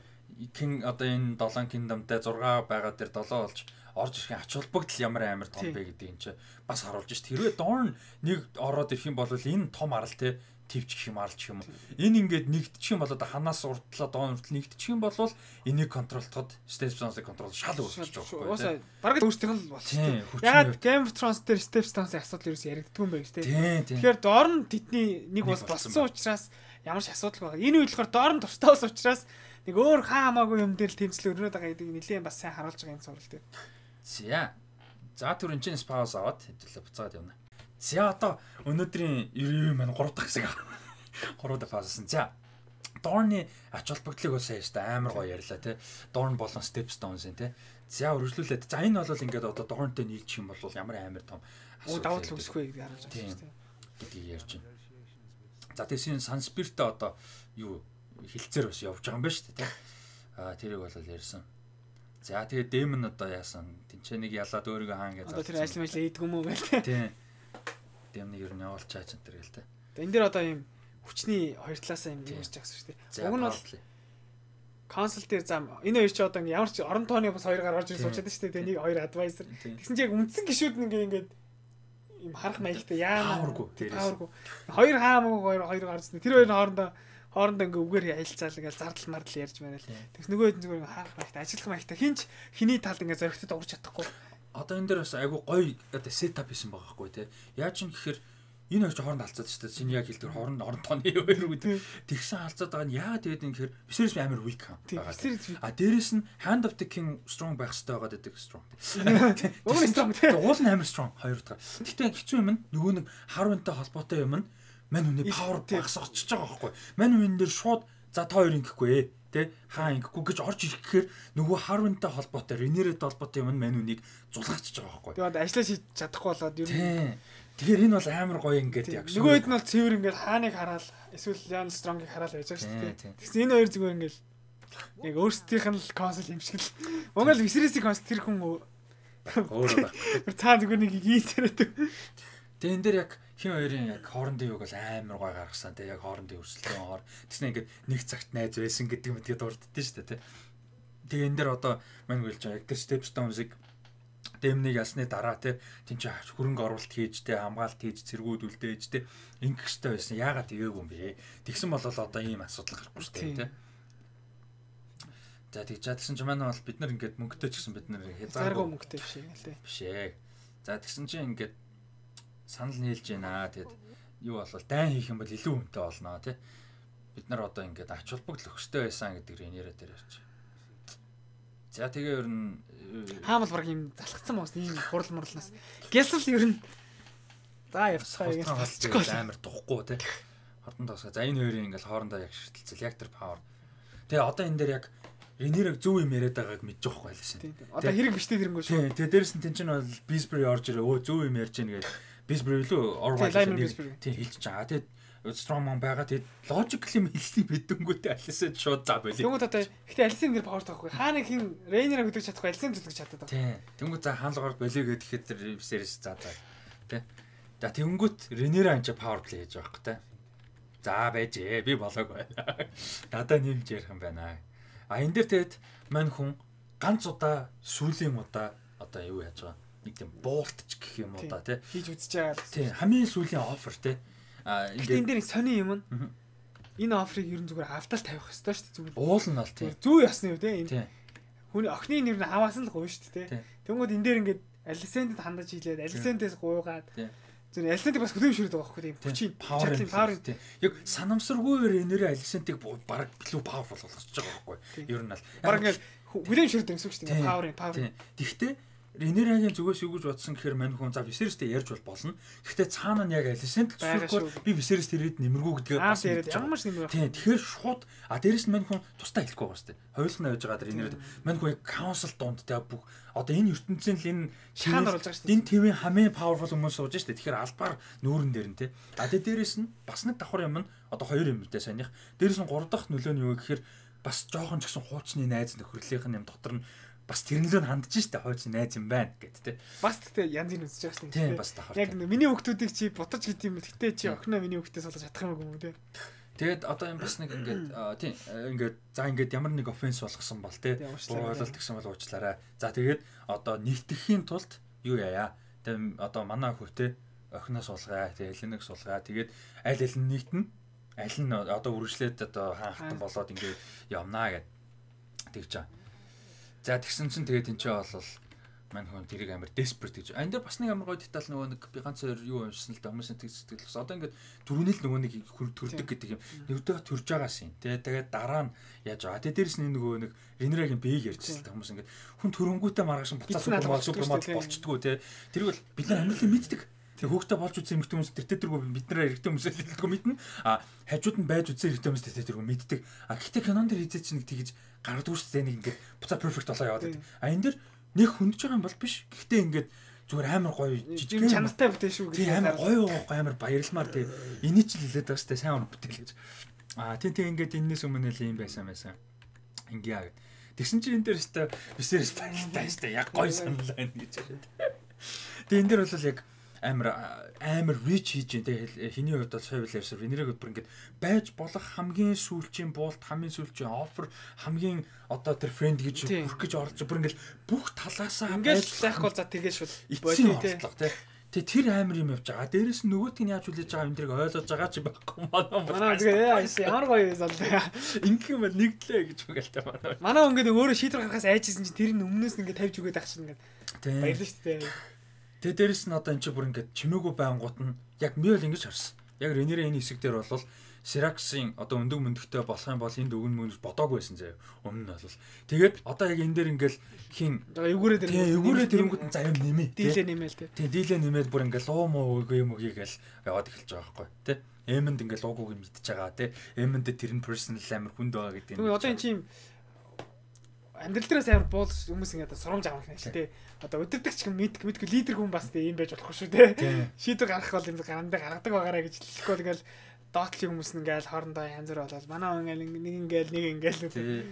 King одоо энэ долоон Kingdom-тай зураг байгаа дээр долоо болж орж ирэх ач холбогдол ямар амар том бэ гэдэг юм чи бас харуулж шít. Хэрвээ Dorn нэг ороод ирэх юм бол энэ том арал те твчих юм аралч юм. Энэ ингээд нэгдчих юм бол одоо ханаас урдлаа доон уртл нэгдчих юм бол энийг контролтоход Stepstones-ыг контрол шал өөрчилж байгаа байхгүй. Бараг өөртөө л болчихсон. Яг Game of Thrones дээр Stepstones-ын асуудал ерөөс яригддаг юм байх тий. Тэгэхээр Dorn тэдний нэг бас болсон учраас ямар ч асуудал байгаа. Энэ үед болохоор Dorn тустай ус учраас нэг өөр хаа хамаагүй юм дээр л тэмцэл өрнөд байгаа гэдэг нэлээд бас сайн харуулж байгаа юм сурал дээр. За. За түр энэ чинь спаус аваад хэвлээ буцаад явна. За одоо өнөөдрийн ерөө маань гурав дахь хэсэг. гурав дахь фазсан. За. Dorn-ы ач холбогдлыг бас яаж та амар гоё ярьлаа тий. Dorn болон Stepstones-ын тий. За өргөжлүүлээд. За энэ бол ингээд одоо Dorn-тэй нийлчих юм бол ямар амар том асуудал давуу тал үүсэхгүй гэж харуулж байгаа шүү дээ. Гэдгийг ярьж байна. За тэгсэн Sunspirit-тэй одоо юу хилцээр бас явж байгаа юм байна шүү дээ тий. Аа тэрийг бол ярьсан. За тэгээд дэм нь одоо яасан тэнцээ нэг ялаад өөрийгөө хаан гэж. Одоо тэр ажил мэл хийдэг юм уу гээл. Тийм. Дэм нэг ер нь явуулчаач энэ төр гээл те. Тэгээд энэ дэр одоо юм хүчний хоёр талаасаа юм ярьж байгаа шүү дээ. Уг нь бол консул дээр зам энэ хоёр ч одоо ямар ч орон тооны бас хоёр гаргаж ирж суучаад шүү дээ. Нэг хоёр адвайзер. Тэгсэн чинь яг үндсэн гişүүд нь ингээ ингээд юм харах маягтай яана. Паургүй. Хоёр хаамаг хоёр хоёр гарсан. Тэр хоёр хоорондоо хоорондоо ингээ үгээр аялцаал ингээ зардал мардал ярьж байна л. Тэгс нөгөө хэд зүгээр ингээ харах маягтай ажиллах маягтай хинч хиний талд ингээ зоригтод урж чадахгүй. Одоо энэ дээр бас айгу гоё одоо сетап хийсэн байгаа байхгүй те. Яаж юм гэхээр энэ хоёр ч хооронд алцаад шүү дээ. Чиний яг хэлдэг хооронд орон тооны хоёр гэдэг. Тэгсэн алцаад байгаа нь яагаад тэгээд ингэхээр Viserys амар weak хаа. А дээрэс нь Hand of the King strong байх хэрэгтэй байгаа гэдэг strong. Уг нь strong тийм. Уул нь амар strong хоёр дахь. Гэтэ хэцүү юм нь нөгөө нэг Harwin-тай холбоотой юм нь мань хүний power багсгаж байгаа байхгүй. Мань хүн дээр шууд за та хоёр ингэхгүй ээ. Тэ хаа ингэхгүй гэж орж ирэх гэхээр нөгөө Harwin-тай холбоотой Rhaenyra-тай холбоотой юм нь мань хүнийг зулгаачихж байгаа байхгүй. Тэгээд ажиллаж хийж чадахгүй болоод ер нь тэгэхээр энэ бол амар гоё ингээд яг нөгөө хэд нь бол цэвэр ингээд хааныг хараал эсвэл Lyanna Strong-ыг хараал байж байгаа шүү дээ. Тэгсэн энэ хоёр зүгээр ингээд яг өөрсдийнх нь л консул юм шиг л. Монгол Viserys-ийн консул тэр хүн өөрөө байна. Цаа зүгээр нэг ийтэрэд. Тэгээ энэ дээр яг хин хоёрын яг хоорондын юг бол амар гоё гаргасан. Тэгээ яг хоорондын өрсөлдөөн хоор тэгснэ ингээд нэг цагт найз байсан гэдэг юм тэгээд дурддээ шүү дээ. Тэгээ энэ дээр одоо мань гэлж байгаа яг тэр Stepstones-ыг дэмнийг ясны дараа те тэнцээ хөрөнгө оруулалт хийж те хамгаалт хийж цэргүүд үлдээж те ингэх хэрэгтэй байсан. Яагаад ивээгүй юм бэ? Тэгсэн бол одоо ийм асуудал гарахгүй шүү дээ те. За тэгж чадсан ч манай бол бид нар ингээд мөнгөтэй ч гэсэн бид нар хязгааргүй мөнгөтэй биш юм л те. Биш ээ. За тэгсэн чинь ингээд санал нийлж байна. Тэгэд юу болвол дайн хийх юм бол илүү хүнтэй болно те. Бид нар одоо ингээд ач холбогдол өгөхтэй байсан гэдэг Rhaenyra дээр ярьж. За тэгээ ер нь хаамал баг юм залхацсан моос ийм хурал мурлнаас гэсэл ер нь за явцгаа яг холцчихгүй амар тухгүй те хортон тосгоо за энэ хоёрын ингээл хоорондоо яг ширтэлцэл яг тэр power тэгээ одоо энэ дээр яг Rhaenyra зөв юм яриад байгааг мэдж байгаа байлаа шин одоо хэрэг биштэй тэрнгөө шүү тэгээ дээрс нь тэн чинь бол Beesbury орж ирээ өө зөв юм ярьж гэнэ гэдэг Beesbury лөө Orwell тий хэлж байгаа тэгээ Strongman байгаа тэгээд logically хэлсний бидэнгүүтэй Alicent шууд заа байли. Тэнгүүд одоо ихтэй Alicent нэр power таахгүй. Хаана хин Rhaenyra хөдөлж чадахгүй Alicent хөдөлж чаддаг. Тий. Тэнгүүд за хаалгаар болиё гэхэд тэр Viserys заа заа. Тий. За тэнгүүд Rhaenyra анча power play хийж байгаа хөөх тий. За байж ээ би болоог байна. Надаа нэмж ярих юм байна. А энэ дээр тэгээд мань хүн ганц удаа сүүлийн удаа одоо юу яаж байгаа. Нэг тийм буултч гэх юм уу да тий. Хийж үзэж байгаа. Тий. Хамгийн сүүлийн offer тий. А энэ дээр сони юм нь энэ офрыг ер нь зүгээр автал тавих хэрэгтэй шүү дээ зүгээр. Уул нь бол тий. Зүү ясны үү те энэ. Хүний охины нэр нь хаваас нь л гоё шүү дээ те. Тэнгүүд энэ дээр ингээд Alicent-д хандаж хийлээд Alicent-ээс гуйгаад зөв Alicent-ийг бас хөдөөмшөрөд байгаа байхгүй тийм. Хүчийн power power тий. Яг санамсаргүй Rhaenyra Alicent-ийг баг билүү powerful болгож байгаа байхгүй. Ер нь л баг ингээд хөдөөмшөрөд гэсэн үг шүү дээ. Power power. Тэгтээ Rhaenyra-гийн зүгээс юу гэж бодсон гэхээр мань хүн за Viserys-тэй ярьж бол болно. Гэхдээ цаана нь яг Alicent зөвхөн би Viserys тэрээд нэмэргүй гэдгээ бас ямар ч нэмэр. Тийм тэгэхээр шууд а дээрэс нь мань хүн тустай хэлэхгүй байгаа сте. Хоёулаа явж байгаа Rhaenyra мань хүн council донд тэ бүх одоо энэ ертөнцийн л энэ шаан оруулж байгаа шүү дээ. Энэ твийн хамгийн powerful хүмүүс сууж штэ. Тэгэхээр албаар нүүрэн дээр нь тэ. А тэгээ дээрэс нь бас нэг давхар юм нь одоо хоёр юм дээ санийх. Дээрэс нь гурав дахь нөлөө нь юу гэхээр бас жоохон ч гэсэн хуучны найз нөхөрлийнх нь юм дотор нь бас тэрнлөө хандж штэ хойч найз юм байна гэд тэ. Бас тэгтээ янз бүр үзэж байгаа штэ. Тийм бас давхар. Яг миний хүүхдүүдийг чи бутаж гэдэг юм. Тэгтээ чи охиноо миний хүүхдээс олж чадах юм уу тэ. Тэгээд одоо юм бас нэг ингээд тийм ингээд за ингээд ямар нэг offense болгосон бол тэ. Боололт гэсэн бол уучлаарай. За тэгээд одоо нэгтгэхийн тулд юу яая. Тэгээд одоо манай хүүхдээ охиноо суулгая. Тэгээд Элленийг суулгая. Тэгээд аль аль нь нэгтэн аль нь одоо үргэлжлээд одоо хаахтан болоод ингээд явнаа гэд тэгж байгаа. За тэгсэн чинь тэгээд энэ ч бол мань хүн тэрийг амар desperate гэж. А энэ дээр бас нэг амар гоё деталь нөгөө нэг би ганц хоёр юу уншсан л да хүмүүсийн тэг сэтгэл бас. Одоо ингээд түрүүнэл нөгөө нэг төрдөг гэдэг юм. Нэгдөө төрж байгаас юм. Тэгээд тэгээд дараа нь яаж байгаа. Тэгээд дээрэс нь нөгөө нэг Rhaenyra-гийн бэйг ярьчихсан л да хүмүүс ингээд хүн төрөнгүүтээ маргааш буцаа супермод супермод болчдгоо те. Тэрийг бол бид нар амьдралыг мэддэг. Тэгээ хүүхдээ болж үзсэн эмэгтэй хүмүүс тэр тэргүй бид нараа эрэгтэй хүмүүсээ хэлдэггүй мэднэ. А хажууд нь байж үзсэн эрэгтэй хүмүүс тэр тэргүй мэддэг. А гэхдээ кинон дээр хийжээ чинь нэг тэгж гаргадаг шүү дээ. Нэг ингээд буцаа perfect болоо яваад байдаг. А энэ дэр нэг хөндөж байгаа юм бол биш. Гэхдээ ингээд зүгээр амар гоё жижиг чанартай бүтээн шүү гэж. Амар гоё гоё амар баярламаар тий. Энийг ч л хэлээд байгаа шүү дээ. Сайн уран бүтээл гэж. А тий тий ингээд энэс өмнө л юм байсан байсан. Ингээ. Тэгсэн чинь энэ дээр өстэй Viserys баяртай өстэй яг гоё саналаа энэ гэж байна. Тэгээ энэ дээр бол яг амар амар rich хийж дээ хэний хувьд бол сая билэрсэр Ренерийг бүр ингээд байж болох хамгийн сүүлчийн буулт хамгийн сүүлчийн offer хамгийн одоо тэр friend гэж хүрх гэж орж бүр ингээд бүх талаасаа ингээд байхгүй за тэгээ шууд бодлоо тий. Тэгээ тэр амар юм явж байгаа. Дээрээс нь нөгөөт нь яаж хүлээж байгаа юм дэрэг ойлгож байгаа ч байхгүй манай. Манай тэгээ ямар гоё юм залуу. Ингээ юм нэгдлээ гэж үгэлтэй манай. Манай ингээд өөрөө шийдвэр гаргахаас айжсэн чинь тэр нь өмнөөс нь ингээд тавьж өгөөд ах чинь ингээд баярлаа шүү дээ. Тэгээ дээрэс нь одоо эн чинь бүр ингээд чимээгүй байнгут нь яг ми бол ингэж харсан. Яг Ренерийн энэ хэсэг дээр бол Сираксын одоо өндөг мөндөгтэй болох юм бол энд өгөн мөн бодоагүй байсан заяа. Өмнө нь бол. Тэгээд одоо яг энэ дээр ингээл хин эвгүүрээ дээр эвгүүрээ тэрэнгүүд нь заяа нэмээ. Дийлээ нэмээл тий. Тий, дийлээ нэмээд бүр ингээл луу муу үгүй юм үгийгээл яваад эхэлж байгаа байхгүй тий. Эмэнд ингээл луугууг мэдчихэж байгаа тий. Эмэнд тэр нь personal амар хүнд байгаа гэдэг юм. Одоо эн чинь амьдрал дээрээс амар буул хүмүүс ингээд сурамж авах юм шүү дээ. Одоо өдөртөгч юм мэдг мэдгүй лидер хүн бас тийм байж болохгүй шүү дээ. Шийдвэр гаргах бол юм гарандаа гаргадаг байгаараа гэж хэлэхгүй бол ингээл доотлын хүмүүс нь ингээл хоорондоо янз бүр болоод манай ингээл нэг ингээл нэг ингээл үү.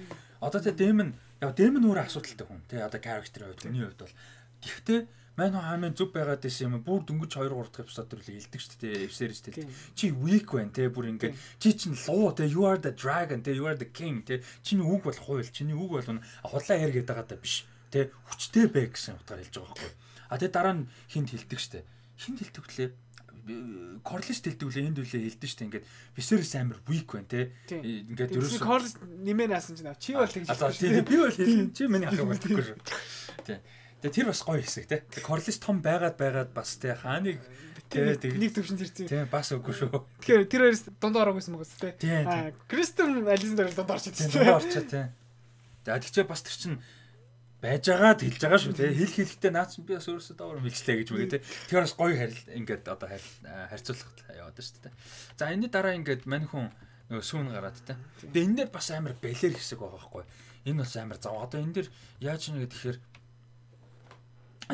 Одоо тэ Дэмэн яг Дэмэн өөрөө асуудалтай хүн тий. Одоо character хувьд хүний хувьд бол гэхдээ мань хаамын зүв байгаад байсан юм бүр дөнгөж two three дахь эпизод төрлөө хэлдэг шүү дээ. Viserys тэл чи weak байна тий. Бүр ингээд чи чинь луу тий. You are the dragon тий. You are the king тий. Чиний үг бол хууль. Чиний үг бол худлаа хэр гэдэг байгаа даа биш. Тэ хүчтэй бай гэсэн утгаар хэлж байгаа байхгүй. А тэгээ дараа нь хинт хэлдэг штэ. Хинт хэлдэг лээ. Corlys хэлдэг лээ энд үлээ хэлдэг штэ. Ингээд Viserys амар weak байна те. Ингээд ерөөсөө Corlys нэмээ наасан чинь чи бол тэгж хэлсэн. Тийм би бол хэлсэн. Чи миний ахыг болтгүй шүү. Тийм. Тэгээ тэр бас гоё хэсэг те. Corlys том байгаад байгаад бас те хааныг нэг төвшин зэрцээ. Тийм бас үгүй шүү. Тэгэхээр тэр хоёроос дундаа ороогүй юм уус те. Аа Kristen Alison дээр дундаа орчихсон. Тийм дундаа орчоо те. За тэгчээ бас тэр чин байж байгаад хэлж байгаа шүү те. Хэл хэлэхдээ наад чинь би бас өөрөөсөө даавар мэлжлээ гэж үгээ те. Тэгэхээр бас гоё харил ингээд одоо харьцуулах яваад шүү те. За энэний дараа ингээд мань хүн нөгөө сүүн гараад те. Тэгээ энэ дээр бас амар бэлэр хэсэг байгаа байхгүй. Энэ бас амар зав. Одоо энэ дээр яаж нэг гэхээр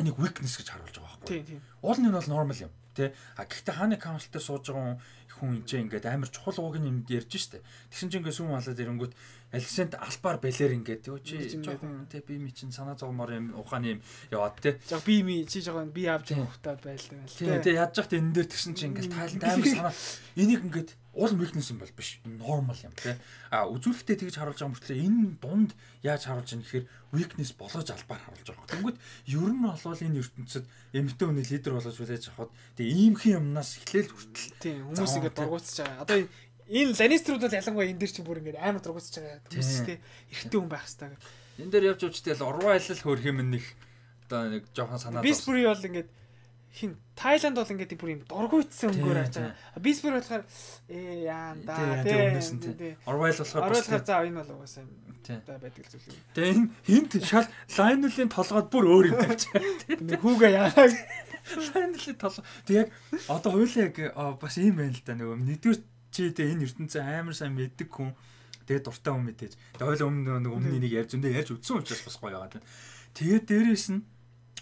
энийг weakness гэж харуулж байгаа байхгүй. Тийм тийм. Уул нь бол normal юм те. А гэхдээ хааны council дээр сууж байгаа хүн энэ ингээд амар чухал ууг нь ярьж штэ. Тэгсэн чинь ингээд сүүн малаад ирэнгүүт Александ албаар бэлэр ингээд юу чи жоохон те би ми чин санаа зовмоор юм ухааны юм яваад те. Жог би ми чи жоохон би авч явахтаа байлаа байл. Тий, те яаж яхад энэ дээр тэгсэн чинь ингээд тайланд амар санаа энийг ингээд уул weakness юм бол биш. Normal юм те. А үзүүлэхдээ тэгж харуулж байгаа мөртлөө энэ дунд яаж харуулж байгаа гэхээр weakness болгож албаар харуулж байгаа. Тэнгүүд ер нь болвол энэ ертөнцид эмэгтэй хүний лидер болгож хүлээж авахд тэгээ иймхэн юмнаас эхлээл хүртэл тий хүмүүс ингээд дургуутсаж байгаа. Одоо энэ Lannister-ууд бол ялангуяа энэ дээр чинь бүр ингээд амар дургуутсаж байгаа. Хүмүүс тий эрэгтэй хүн байх хэрэгтэй гэдэг. Энэ дээр явж явж тэгэл урваа айлал хөрх юм нэг одоо нэг жоохон санаа зовсон. Bisbury бол ингээд хин Тайланд бол ингээд бүр юм дургуутсан өнгөөр хааж байгаа. Bisbury болохоор ээ яан да тий. Урваа айлал болохоор Орвойлохоор за энэ бол угаасаа та байдаг зүйл юм. Тэгээ энэ хинт шал Lionel-ийн толгойд бүр өөр юм тавьж байгаа. Нэг хүүгээ яагаа Lionel-ийн толгой. Тэг яг одоо хоёулаа яг бас ийм байна л да нөгөө нэгдүгээр чи тэ энэ ертөнцийн амар сайн мэддэг хүн тэгээ дуртай хүн мэдээж. Тэгээ хоёул өмнө нэг өмнө нэг ярьж өндөө ярьж үтсэн учраас бас гоё яваад байна. Тэгээд дээрээс нь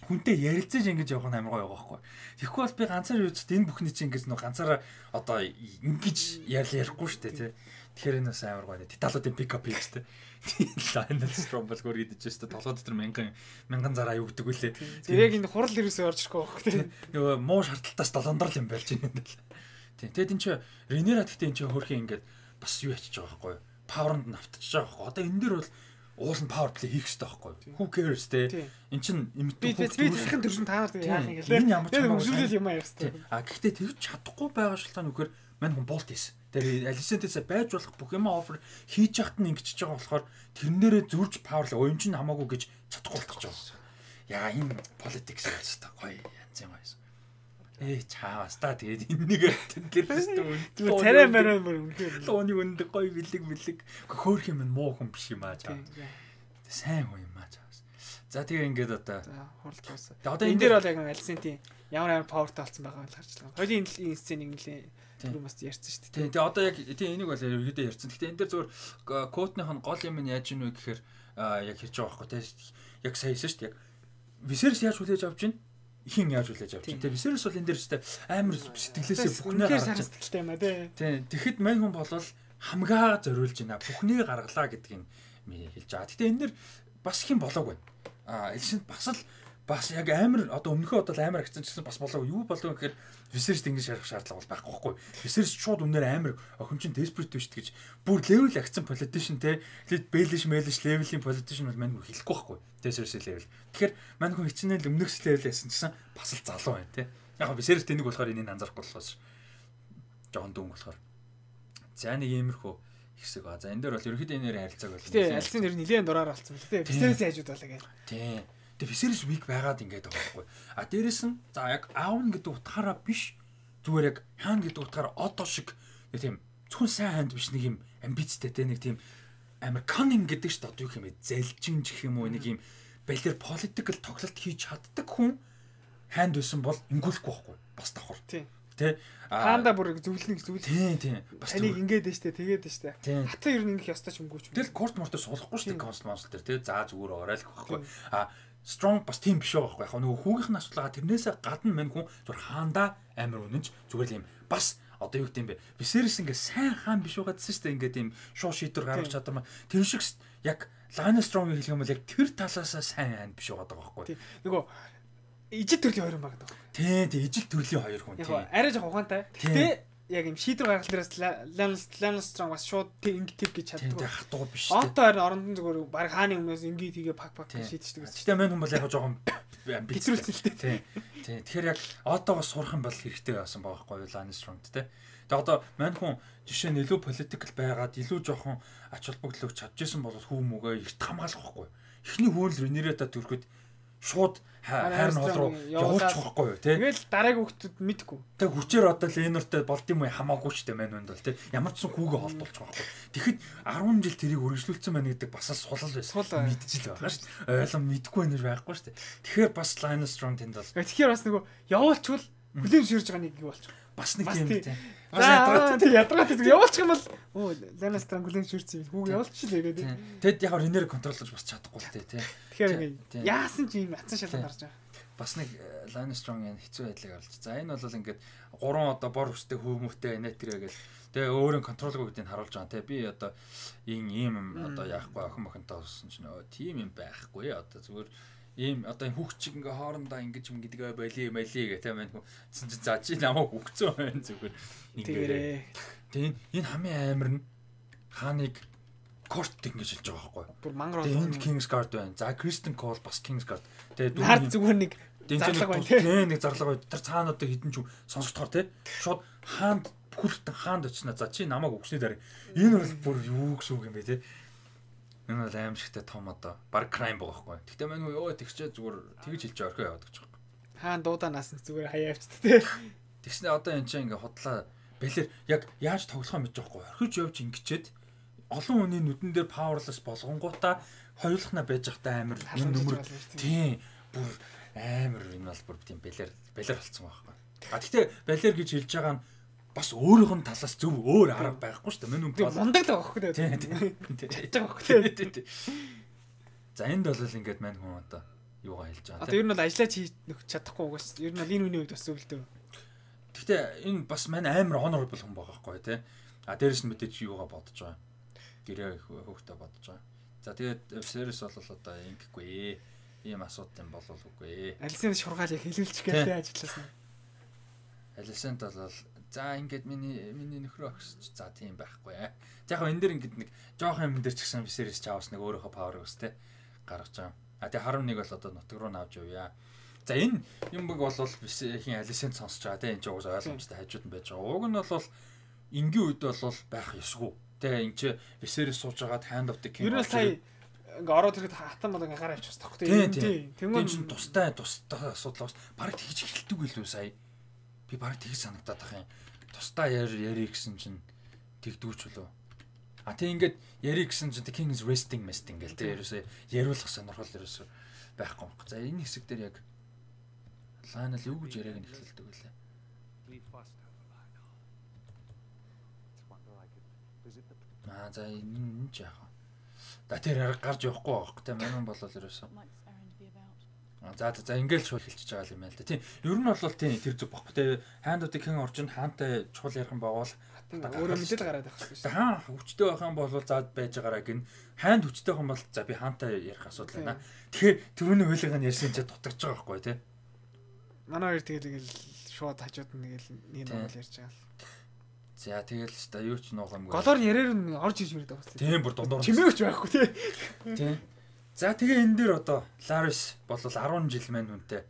хүнтэй ярилцаж ингэж явах нь амар гоё байгаа байхгүй. Тэгэхгүй бол би ганцаар юуч энэ бүхний чи ингэж нэг ганцаараа одоо ингэж ярил ярихгүй шүү дээ тий. Тэгэхээр энэ бас амар гоё. Деталуудын пикап хийж тий. Lionel Stromberg гөр идэж шүү дээ. Толгой дотор мянган мянган зараа юу гэдэг үлээ. Тэр яг энэ хурал ирээсээ орж ирэхгүй байхгүй тий. Нөгөө муу шаардлагатаас долоондрол юм болж байна энэ л. Тий. Тэгэд энэ чи Rhaenyra гэхдээ энэ чи хөрхийн ингэж бас юу ячиж байгаа байхгүй. Power-нд навтчихж байгаа байхгүй. Одоо энэ дэр бол уул нь power play хийх хэрэгтэй байхгүй. Who cares те. Эн чин имитүү би тэрхэн төрсөн та нар яах юм гээл. Энэ ямар ч юм өсвөлөл юм аа хэрэгтэй. А гэхдээ тэгж чадахгүй байгаа шалтгаан үхээр мань хүн болт хийсэн. Тэр Alicent-ээс байж болох бүх юм offer хийж яхад нь ингэчихэж байгаа болохоор тэрнээрээ зурж power play уян чин хамаагүй гэж чадахгүй болчихж байгаа. Яа энэ politics яастаа гоё янз юм байсан. Ээ чаавас та тэгээд энэнийг тэр царай мараа мөр үнэхээр лооны өндөг гоё бэлэг бэлэг хөөх юм муу хүн биш юм аа чаа. Сайн хүн юм аа чаавас. За тэгээ ингээд одоо хурал туусаа. Одоо энэ дээр бол яг Alicent-ийн ямар амар powerтай болсон байгаа л харж байгаа. Хоёрын энэ сценыг нэлээ түрүү бас ярьсан шүү дээ. Тэгээ одоо яг тийм энийг бол ерөөдөө ярьсан. Гэхдээ энэ дээр зөвхөн Coat-ных нь гол юм нь яаж ийнү гэхээр яг хэрж байгаа байхгүй тийм яг сайн хэлсэн шүү дээ. Яг Viserys яаж хүлээж авч байна? Хин яаж хүлээж авч байна? Тэгээ Viserys бол энэ дээр өстэй амар сэтгэлээсээ бүхнээ гаргаж сэтгэлтэй юм аа тий. Тийм тэгэхэд мань хүн болвол хамгаа зориулж байна. Бүхнийг гаргалаа гэдгийг хэлж байгаа. Гэтэ энэ нэр бас их юм болоог байна. А Элисент бас л бас яг амар одоо өмнөхөө одоо амар агцсан гэсэн бас болоо юу болов гэхээр Viserys ингэж шарах шаардлага бол байхгүй байхгүй. Viserys шууд үнээр амар охин чин desperate биш гэж бүр level агцсан politician те лид Baelish Baelish level-ийн politician бол мань хүн хэлэхгүй байхгүй. Viserys level. Тэгэхээр мань хүн хичнээн өмнөхс level ясан гэсэн бас л залуу байна те. Яг Viserys тэнийг болохоор энийг анзаарахгүй болохоос жоохон дүүн болохоор. За нэг иймэрхүү хэсэг ба. За энэ дээр бол ерөөхдөө энэ нэр харилцааг бол. Гэтэ альцын нэр нэлээд дураар болсон байна. Гэтэ Viserys хажууд болоо гэх. Тийм. Тэгээ Viserys weak байгаад ингээд байгаа байхгүй. А дээрэс нь за яг аавн гэдэг утгаараа биш зүгээр яг хаан гэдэг утгаараа одоо шиг нэг тийм зөвхөн сайн ханд биш нэг юм амбицтай те нэг тийм амар cunning гэдэг шүү дээ. Одоо юу юм бэ? Залжин гэх юм уу нэг юм балер political тоглолт хийж чаддаг хүн ханд байсан бол ингүүлэхгүй байхгүй. Бас давхар. Тийм. Тэ хаанда бүр зөвлөнө зөвлөн. Тийм тийм. Бас таныг ингээд дээ штэ тэгээд дээ штэ. Хатаа ер нь ингэх ёстой ч юмгүй ч. Тэгэл корт мортор суулгахгүй штэ конст монстр дээр тэ заа зүгээр оройлох байхгүй. А strong бас тийм биш байгаа байхгүй. Яг нөгөө хүүгийнх нь асуудалгаа тэрнээсээ гадна мань хүн зүгээр хаанда амар үнэнч зүгээр л юм. Бас одоо юу гэдэм бэ? Viserys ингээ сайн хаан биш байгаадсэн штэ ингээд юм шуу шийдвэр гаргах чадвар. Тэр шиг яг Lannister Strong хэлэх юм бол яг тэр талаасаа сайн хаан биш байгаад байгаа байхгүй. Нөгөө ижил төрлийн хоёр юм байгаа даа. Тийм тийм ижил төрлийн хоёр хүн тийм. Арай жоо ухаантай. Гэтэ яг юм шийдвэр гаргах дээрээс Lannister бас шууд ингэ тэг гэж чаддаг. Тийм хатуу биш тийм. Одоо харин орондон зүгээр баг хааны өмнөөс ингэ тгээ пак пак шийдчихдэг. Гэтэ мань хүн бол яг жоохон битрүүлсэн л дээ. Тийм. Тэгэхээр яг Отогоос сурах юм бол хэрэгтэй байсан байгаа байхгүй юу Lannister-д те. Тэгээ одоо мань хүн жишээ нь илүү political байгаад илүү жоохон ач холбогдлог чадчихсан бол хүү мөгөө ихт хамгаалах байхгүй. Эхний хөөл Rhaenyra-та төрөхөд шууд хайр нь хол руу явуулчих واخгүй юу тий. Тэгэл дараагийн хүүхдүүд мэдгүй. Тэг хүчээр одоо Ленортой болд юм уу хамаагүй ч тийм байна бол тий. Ямар ч сан хүүгээ холдуулчих واخгүй. Тэгэхэд арван жил тэрийг үргэлжлүүлсэн байна гэдэг бас л сулал байсан. Мэдчихэл байгаа шүү дээ. Ойлон мэдгүй нэр байхгүй шүү дээ. Тэгэхээр бас Lannister тэнд бол. Тэгэхээр бас нөгөө явуулчвал хүлээн ширж байгаа нэг юу болчих. Бас нэг юм тий. За тий ядаргаад тийм явуулчих юм бол оо Lannister хүлээн ширсэн хүүг явуулчихлаа гэдэг. Тэгэд яг Rhaenyra контроллож бас чадахгүй л тий. Тэгэхээр яасан ч юм ацсан шалгал гарч байгаа. Бас нэг Lannister-ын хэцүү байдлыг орлоо. За энэ бол ингээд гурван одоо бор өстэй хөөмөтэй нэтэрэ гэл. Тэгээ өөрийн контролгүй гэдгийг харуулж байгаа. Тэгээ би одоо ийм ийм одоо яахгүй охин мохинтой болсон чинь өө тийм юм байхгүй. Одоо зүгээр ийм одоо хүүхчиг ингээ хоорондоо ингэж юм гэдгээ боли мали гэх тэ мань хүн за чи намайг үгцэн байна зүгээр ингээ. Тэгээ энэ хамгийн амар нь хааныг корт ингэж хэлж байгаа байхгүй. Бүр мангар бол энд Kingsguard байна. За Kristen Cole бас Kingsguard. Тэгээ дүүний хард зүгээр нэг зарлага байна тий. Нэг зарлага байна. Тэр цаана одоо хідэн ч сонсогдохоор тий. Шууд хаанд бүхэлдэн хаанд очсноо. За чи намайг өгснөө дараа. Энэ бол бүр юу гэсэн үг юм бэ тий. Энэ бол аимшигтай том одоо баг crime байгаа байхгүй. Тэгтээ мань юу тэгчээ зүгээр тэгж хэлж орхио яваад гэж байгаа. Хаан дууданаас зүгээр хаяа явчихд тий. Тэгснэ одоо энэ чинь ингээ худлаа бэлэр яг яаж тоглохоо мэдэж байгаа байхгүй. Орхиж явж ингэчээд олон хүний нүдэн дээр powerless болгонгуудаа хоёулахна байж захтай амар энэ нөмөр тийм бүр амар энэ бол бүр тийм бэлэр бэлэр болцсон байхгүй. А тэгтээ бэлэр гэж хэлж байгаа нь бас өөрийнх нь талаас зөв өөр арга байхгүй шүү дээ. Мөн үнэ мундаг л байхгүй дээ. Тийм тийм. Чадчих байхгүй тийм. За энд бол ингээд мань хүн одоо юугаа хэлж байгаа. Одоо ер нь бол ажиллаж хийж чадахгүй угаас ер нь бол энэ үний үед бас зөвлөдөө. Тэгтээ энэ бас мань амар honorable хүн байгаа байхгүй тий. А дээрэс нь мэдээж юугаа бодож байгаа. Гэрээ хөөхтэй бодож байгаа. За тэгээд Viserys бол одоо ингэхгүй ийм асуудал юм болов үгүй. Алисент шургаал яг хэлүүлчих гэлээ ажилласан. Алисент бол за ингээд миний миний нөхрөө өгсөж за тийм байхгүй. За яг энэ дэр ингээд нэг жоохон юм дээр ч гэсэн Viserys чаавс нэг өөрийнхөө power өстэй гаргаж байгаа. А тэгээд харам нэг бол одоо нутг руу навж явъя. За энэ юм баг бол хин Алисент сонсож байгаа тийм энэ ч уус ойлгомжтой хажууд нь байж байгаа. Уг нь бол энгийн үед бол байх ёсгүй. Тэгээ энэ ч Viserys сууж байгаа Hand of the King. Ер нь сая ингээ ороод ирэхэд хатан бол ингээ гараа авчихсан тохтой. Тийм. Тэгмээ чинь тустай тустай асуудал бас баг тэгж эхэлдэг билүү сая. Би баг тэгж санагдаад байгаа юм. Тустай яар яри гэсэн чинь тэгдүүч болов. А тийм ингээд яри гэсэн чинь the king is resting mesting гэл тэр ерөөсөө яриулах сонирхол ерөөсөө байхгүй юм. За энэ хэсэг дээр яг Lionel юу гэж яриаг нь эхлэлдэг байлаа. Аа за энэ ч яах вэ? Да тэр гарч явахгүй байхгүй те манайхан болол ерөөсөө. За за ингээл шууд хэлчихэж байгаа юм байна л да. Тийм. Ер нь бол тийм тэр зүг баггүй те. Хайндуудыг хэн орж ин хаантай чухал ярих юм бол өөрөө мэдээд гараад байх хэрэгтэй шүү. Хаан хүчтэй байх юм бол заад байж байгаараа гин хайнд хүчтэй байх юм бол за би хаантай ярих асуудал байна. Тэгэхээр түрүүний хуулийг нь ярьсан чинь дутагч байгаа байхгүй те. Манай хоёр тэгэл тэгэл шууд хажууд нь тэгэл нэг нэг ярьж байгаа л. За тэгэл ч та юу ч нуух юмгүй. Голоор ярээр нь орж ирж ирээд байгаа юм. Тийм бүр дундуур. Чимээгч байхгүй те. Тийм. За тэгээ энэ дээр одоо Laris бол арван жил маань үнтэй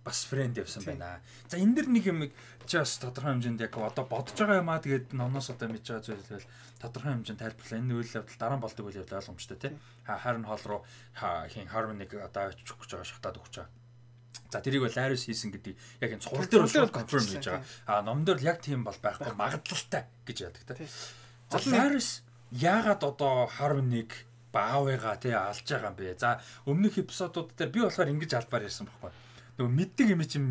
бас фрэнд явсан байна. За энэ дэр нэг юм чи бас тодорхой хэмжээнд яг одоо бодож байгаа юм аа тэгээд номноос одоо мэдж байгаа зүйлэл тодорхой хэмжээнд тайлбарлаа. Энэ үйл явдал дараа нь болдог үйл явдал ойлгомжтой тий. Харин хоол руу хин Harmony-г одоо очих гэж байгаа шатаад өгч байгаа. За тэрийг бол Laris хийсэн гэдэг яг энэ цуврал дээр бол конферм хийж байгаа. А ном дээр л яг тийм бол байхгүй магадлалтай гэж яадаг тий. За Laris яагаад одоо Harmony-г баавыгаа тий алж байгаа юм бэ? За өмнөх эпизодууд дээр би болохоор ингэж албаар ярьсан байхгүй. Нөгөө мэддэг юм чинь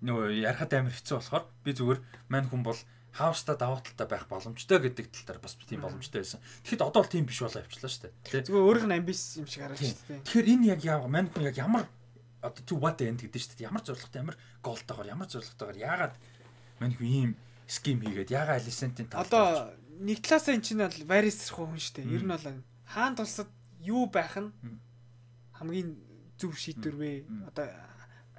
нөгөө ярахад амар хэцүү болохоор би зүгээр мань хүн бол хауста даваа талтай байх боломжтой гэдэг тал дээр бас тийм боломжтой байсан. Тэгэхэд одоо л тийм биш болоо явчлаа шүү дээ. Зүгээр өөрийнх нь амбиц юм шиг харагдаж шүү дээ. Тэгэхээр энэ яг яа мань хүн яг ямар одоо to what end гэдэг шүү дээ. Ямар зорилготой ямар голтойгоор ямар зорилготойгоор яагаад мань хүн ийм ским хийгээд яагаад Alicent-ийн тал одоо нэг талаасаа эн чинь бол Varys хүн шүү дээ. Ер нь бол хаан тулсад юу байх нь хамгийн зөв шийдвэр вэ? Одоо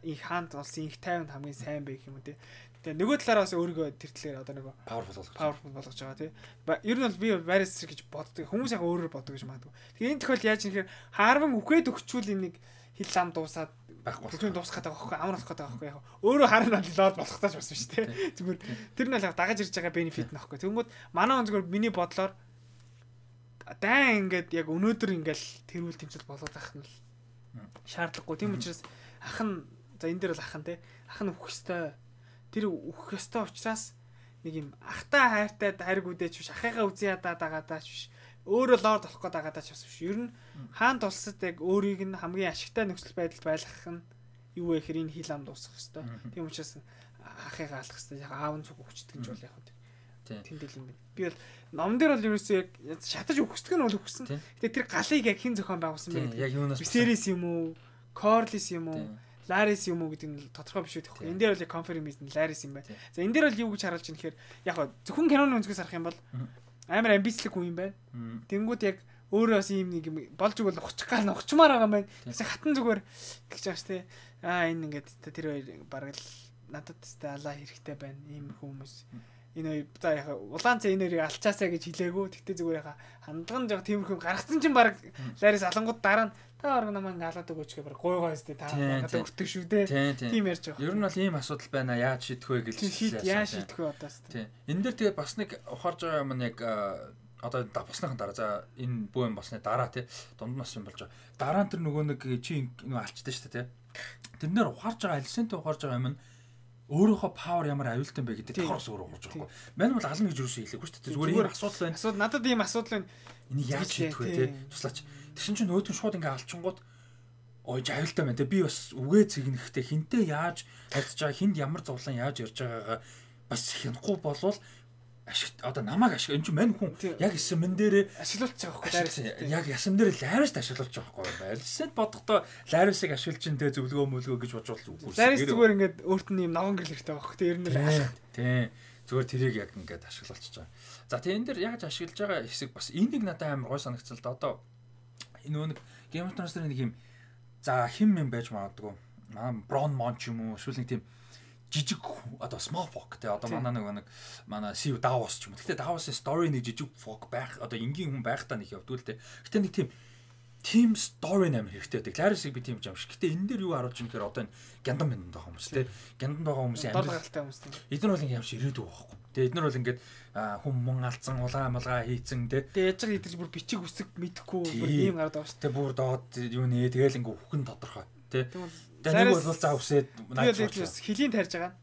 их хаанд болсон их тайван хамгийн сайн байх юм уу те. Тэгээ нөгөө талаараа бас өөрийгөө тэр талаар одоо нөгөө powerful болгож powerful болгож байгаа те. Ер нь бол би Varys гэж боддог. Хүмүүс яг өөрөөр боддог гэж магадгүй. Тэгээ энэ тохиол яаж нэхэр Harwin үхээд өгчүүл энийг хил лам дуусаад байхгүй. Бүхэн дуусах гэдэг байхгүй амар болох гэдэг байхгүй яг. Өөрөө харна лоод болох тааж бас биш те. Зүгээр тэр нь л дагаж ирж байгаа benefit нөхгүй. Тэнгүүд манай хүн зүгээр миний бодлоор дан ингээд яг өнөөдөр ингээл тэрүүл тэмцэл болоод ах нь шаардлагагүй. Тийм учраас ах нь за энэ дээр бол ах нь те ах нь үхэх ёстой. Тэр үхэх ёстой учраас нэг юм ахтай хайртай хайрг үдээч биш ахыгаа үзий ядаа дагаадаач биш өөрөө лорд болох гээд дагаадаач бас биш. Ер нь хаан тулсад яг өөрийг нь хамгийн ашигтай нөхцөл байдалд байлгах нь юу вэ гэхээр энэ хил ам дуусгах ёстой. Тийм учраас ахыгаа алах ёстой. Яг аав нь зүг өгчдөг гэж бол яг хөө. Тэндэл юм байна. Би бол ном дээр бол ерөөсөө яг шатаж өгсдөг нь бол өгсөн. Гэтэ тэр галыг яг хэн зохион байгуулсан бэ? Яг юунаас Viserys юм уу? Corlys юм уу? Laris юм уу гэдэг нь тодорхой биш үү гэхгүй. Энэ дээр бол яг confirm хийсэн Laris юм байна. За энэ дээр бол юу гэж харуулж байна гэхээр яг зөвхөн киноны өнцгөөс харах юм бол амар амбицлэг хүн юм байна. Тэнгүүд яг өөрөө бас ийм нэг болж игэл ухчих гал ухчмаар байгаа юм байна. Тэгсэн хатан зүгээр гэж байгаа ш тэ. Аа энэ ингээд тэр хоёр бараг л надад тест алаа хэрэгтэй байна. Ийм хүмүүс энэ за яха улаан цай энэ хоёрыг алчаасаа гэж хэлээгүү. Тэгтээ зүгээр яха хандлага жоо тиймэрхүү гаргацсан чинь баг Laris алангууд дараа нь та орог намайг алаад өгөөч гэх баг гойгоо өстэй та надад өртөг шүү дээ. Тийм ярьж байгаа. Ер нь бол ийм асуудал байна. Яаж шийдэх вэ гэж хэлсэн. Яаж шийдэх вэ одоос. Тийм. Энэ дээр тэгээ бас нэг ухаарж байгаа юм яг одоо босныхан дараа за энэ бүх юм босны дараа тий дунд нас юм болж байгаа. Дараа нь тэр нөгөө нэг чи нөгөө алчдаг шүү дээ тий. Тэрнэр ухаарж байгаа Alicent ухаарж байгаа юм нь өөрийнхөө power ямар аюултай бэ гэдэг тавхар ус өөрөө ухаарж байгаа байхгүй. Мань бол ална гэж юу ч хэлээгүй шүү дээ. Зүгээр ийм асуудал байна. Асуудал надад ийм асуудал байна. Энийг яаж шийдэх вэ тий туслаач. Тэгсэн чинь өөдөн шууд ингээ алчингууд ой аюултай байна те би бас үгээ цэгнэхтэй хинтээ яаж харьцаж байгаа хинд ямар зовлон яаж ярьж байгаагаа бас хянахгүй болвол ашиг одоо намайг ашиг энэ чинь мань хүн яг эсэмэн дээрээ ашиглуулж байгаа байхгүй яг ясам дээр Laris ашиглуулж байгаа байхгүй Alicent бодохдоо Laris-ыг ашиглаж чинь те зөвлөгөө мөлгөө гэж бодож үгүй Laris зүгээр ингээд өөрт нь юм ногоон гэрэл хэрэгтэй байхгүй те ер нь тийм зүгээр тэрийг яг ингээд ашиглуулчихж байгаа. За тийм энэ дэр яаж ашиглаж байгаа хэсэг бас энийг надад амар гой санагцсан л да одоо энэ нэг Game of Thrones-ийн нэг юм за хим юм байж магадгүй. Аа Bron Mon ч юм уу эсвэл нэг тийм жижиг одоо small folk те одоо манай нэг нэг манай Sea Davos ч юм уу. Гэхдээ Davos-ийн story нэг жижиг folk байх одоо энгийн хүн байх та нэг явдгүй л те. Гэхдээ нэг тийм team story нэмэр хэрэгтэй байдаг. Laris-ыг би тийм юм шиг. Гэхдээ энэ дээр юу харуулж байгаа юм гэхээр одоо энэ гяндан мэндэн байгаа хүмүүс те. Гяндан байгаа хүмүүсийн амьдралтай хүмүүс те. Эдгээр бол юм шиг ирээдүй байхгүй. Тэгээ эдгээр бол ингээд хүм мөн алдсан улаан амалгаа хийцэн те. Тэгээ яж байгаа идэж бүр бичиг үсэг мэдэхгүй бүр ийм гараад байгаа шүү. Тэ бүр доод юу нэ тэгэл ингээ үхэн тодорхой те. Тэгээ нэг бол заа үсээд хилийн тарьж байгаа.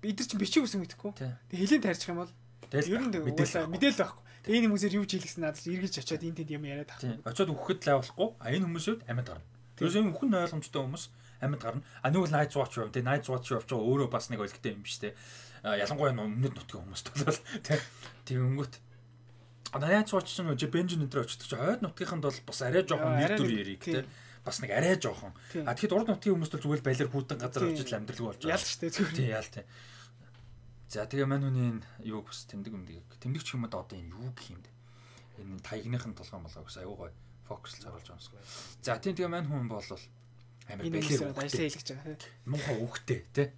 Бид нар чинь бичиг үсэг мэдэхгүй. Тэгээ хилийн тарьчих юм бол ер нь мэдээлэл мэдээлэл байхгүй. Тэгээ энэ хүмүүсээр юу ч хийлгсэн надад эргэж очиод энэ тэнд юм яриад авах. Очиод үхэхэд лайвлахгүй. А энэ хүмүүсүүд амьд гарна. Тэрээс энэ үхэн ойлгомжтой хүмүүс амьд гарна. А нэг бол Night Watch юм. Тэгээ Night Watch явж байгаа өөрөө бас нэг өлгтэй юм биш те. Ялангуяа өмнөд нутгийн хүмүүст бол тийм өнгөт. А Night Watch чинь Benjamin өндөр очдог чи хойд нутгийнханд бол бас арай жоохон нэр төр яриг те. бас нэг арай жоохон. А тэгэхэд урд нутгийн хүмүүс бол зүгээр балер хүүтэн газар очиж амьдралгүй болж байгаа. Ял штэ зүгээр. Тийм ял тийм. За тэгээ мань хүний юу бас тэмдэг юмдаг. Тэмдэг ч юм уу одоо энэ юу гэх юм бэ? Энэ таягныхын толгой молгоо гэсэн аюу гой фокуслж харуулж байгаа юм. За тийм тэгээ мань хүн бол амар балер ажиллаа хийлгэж байгаа. Мунхаа үхтэй тий.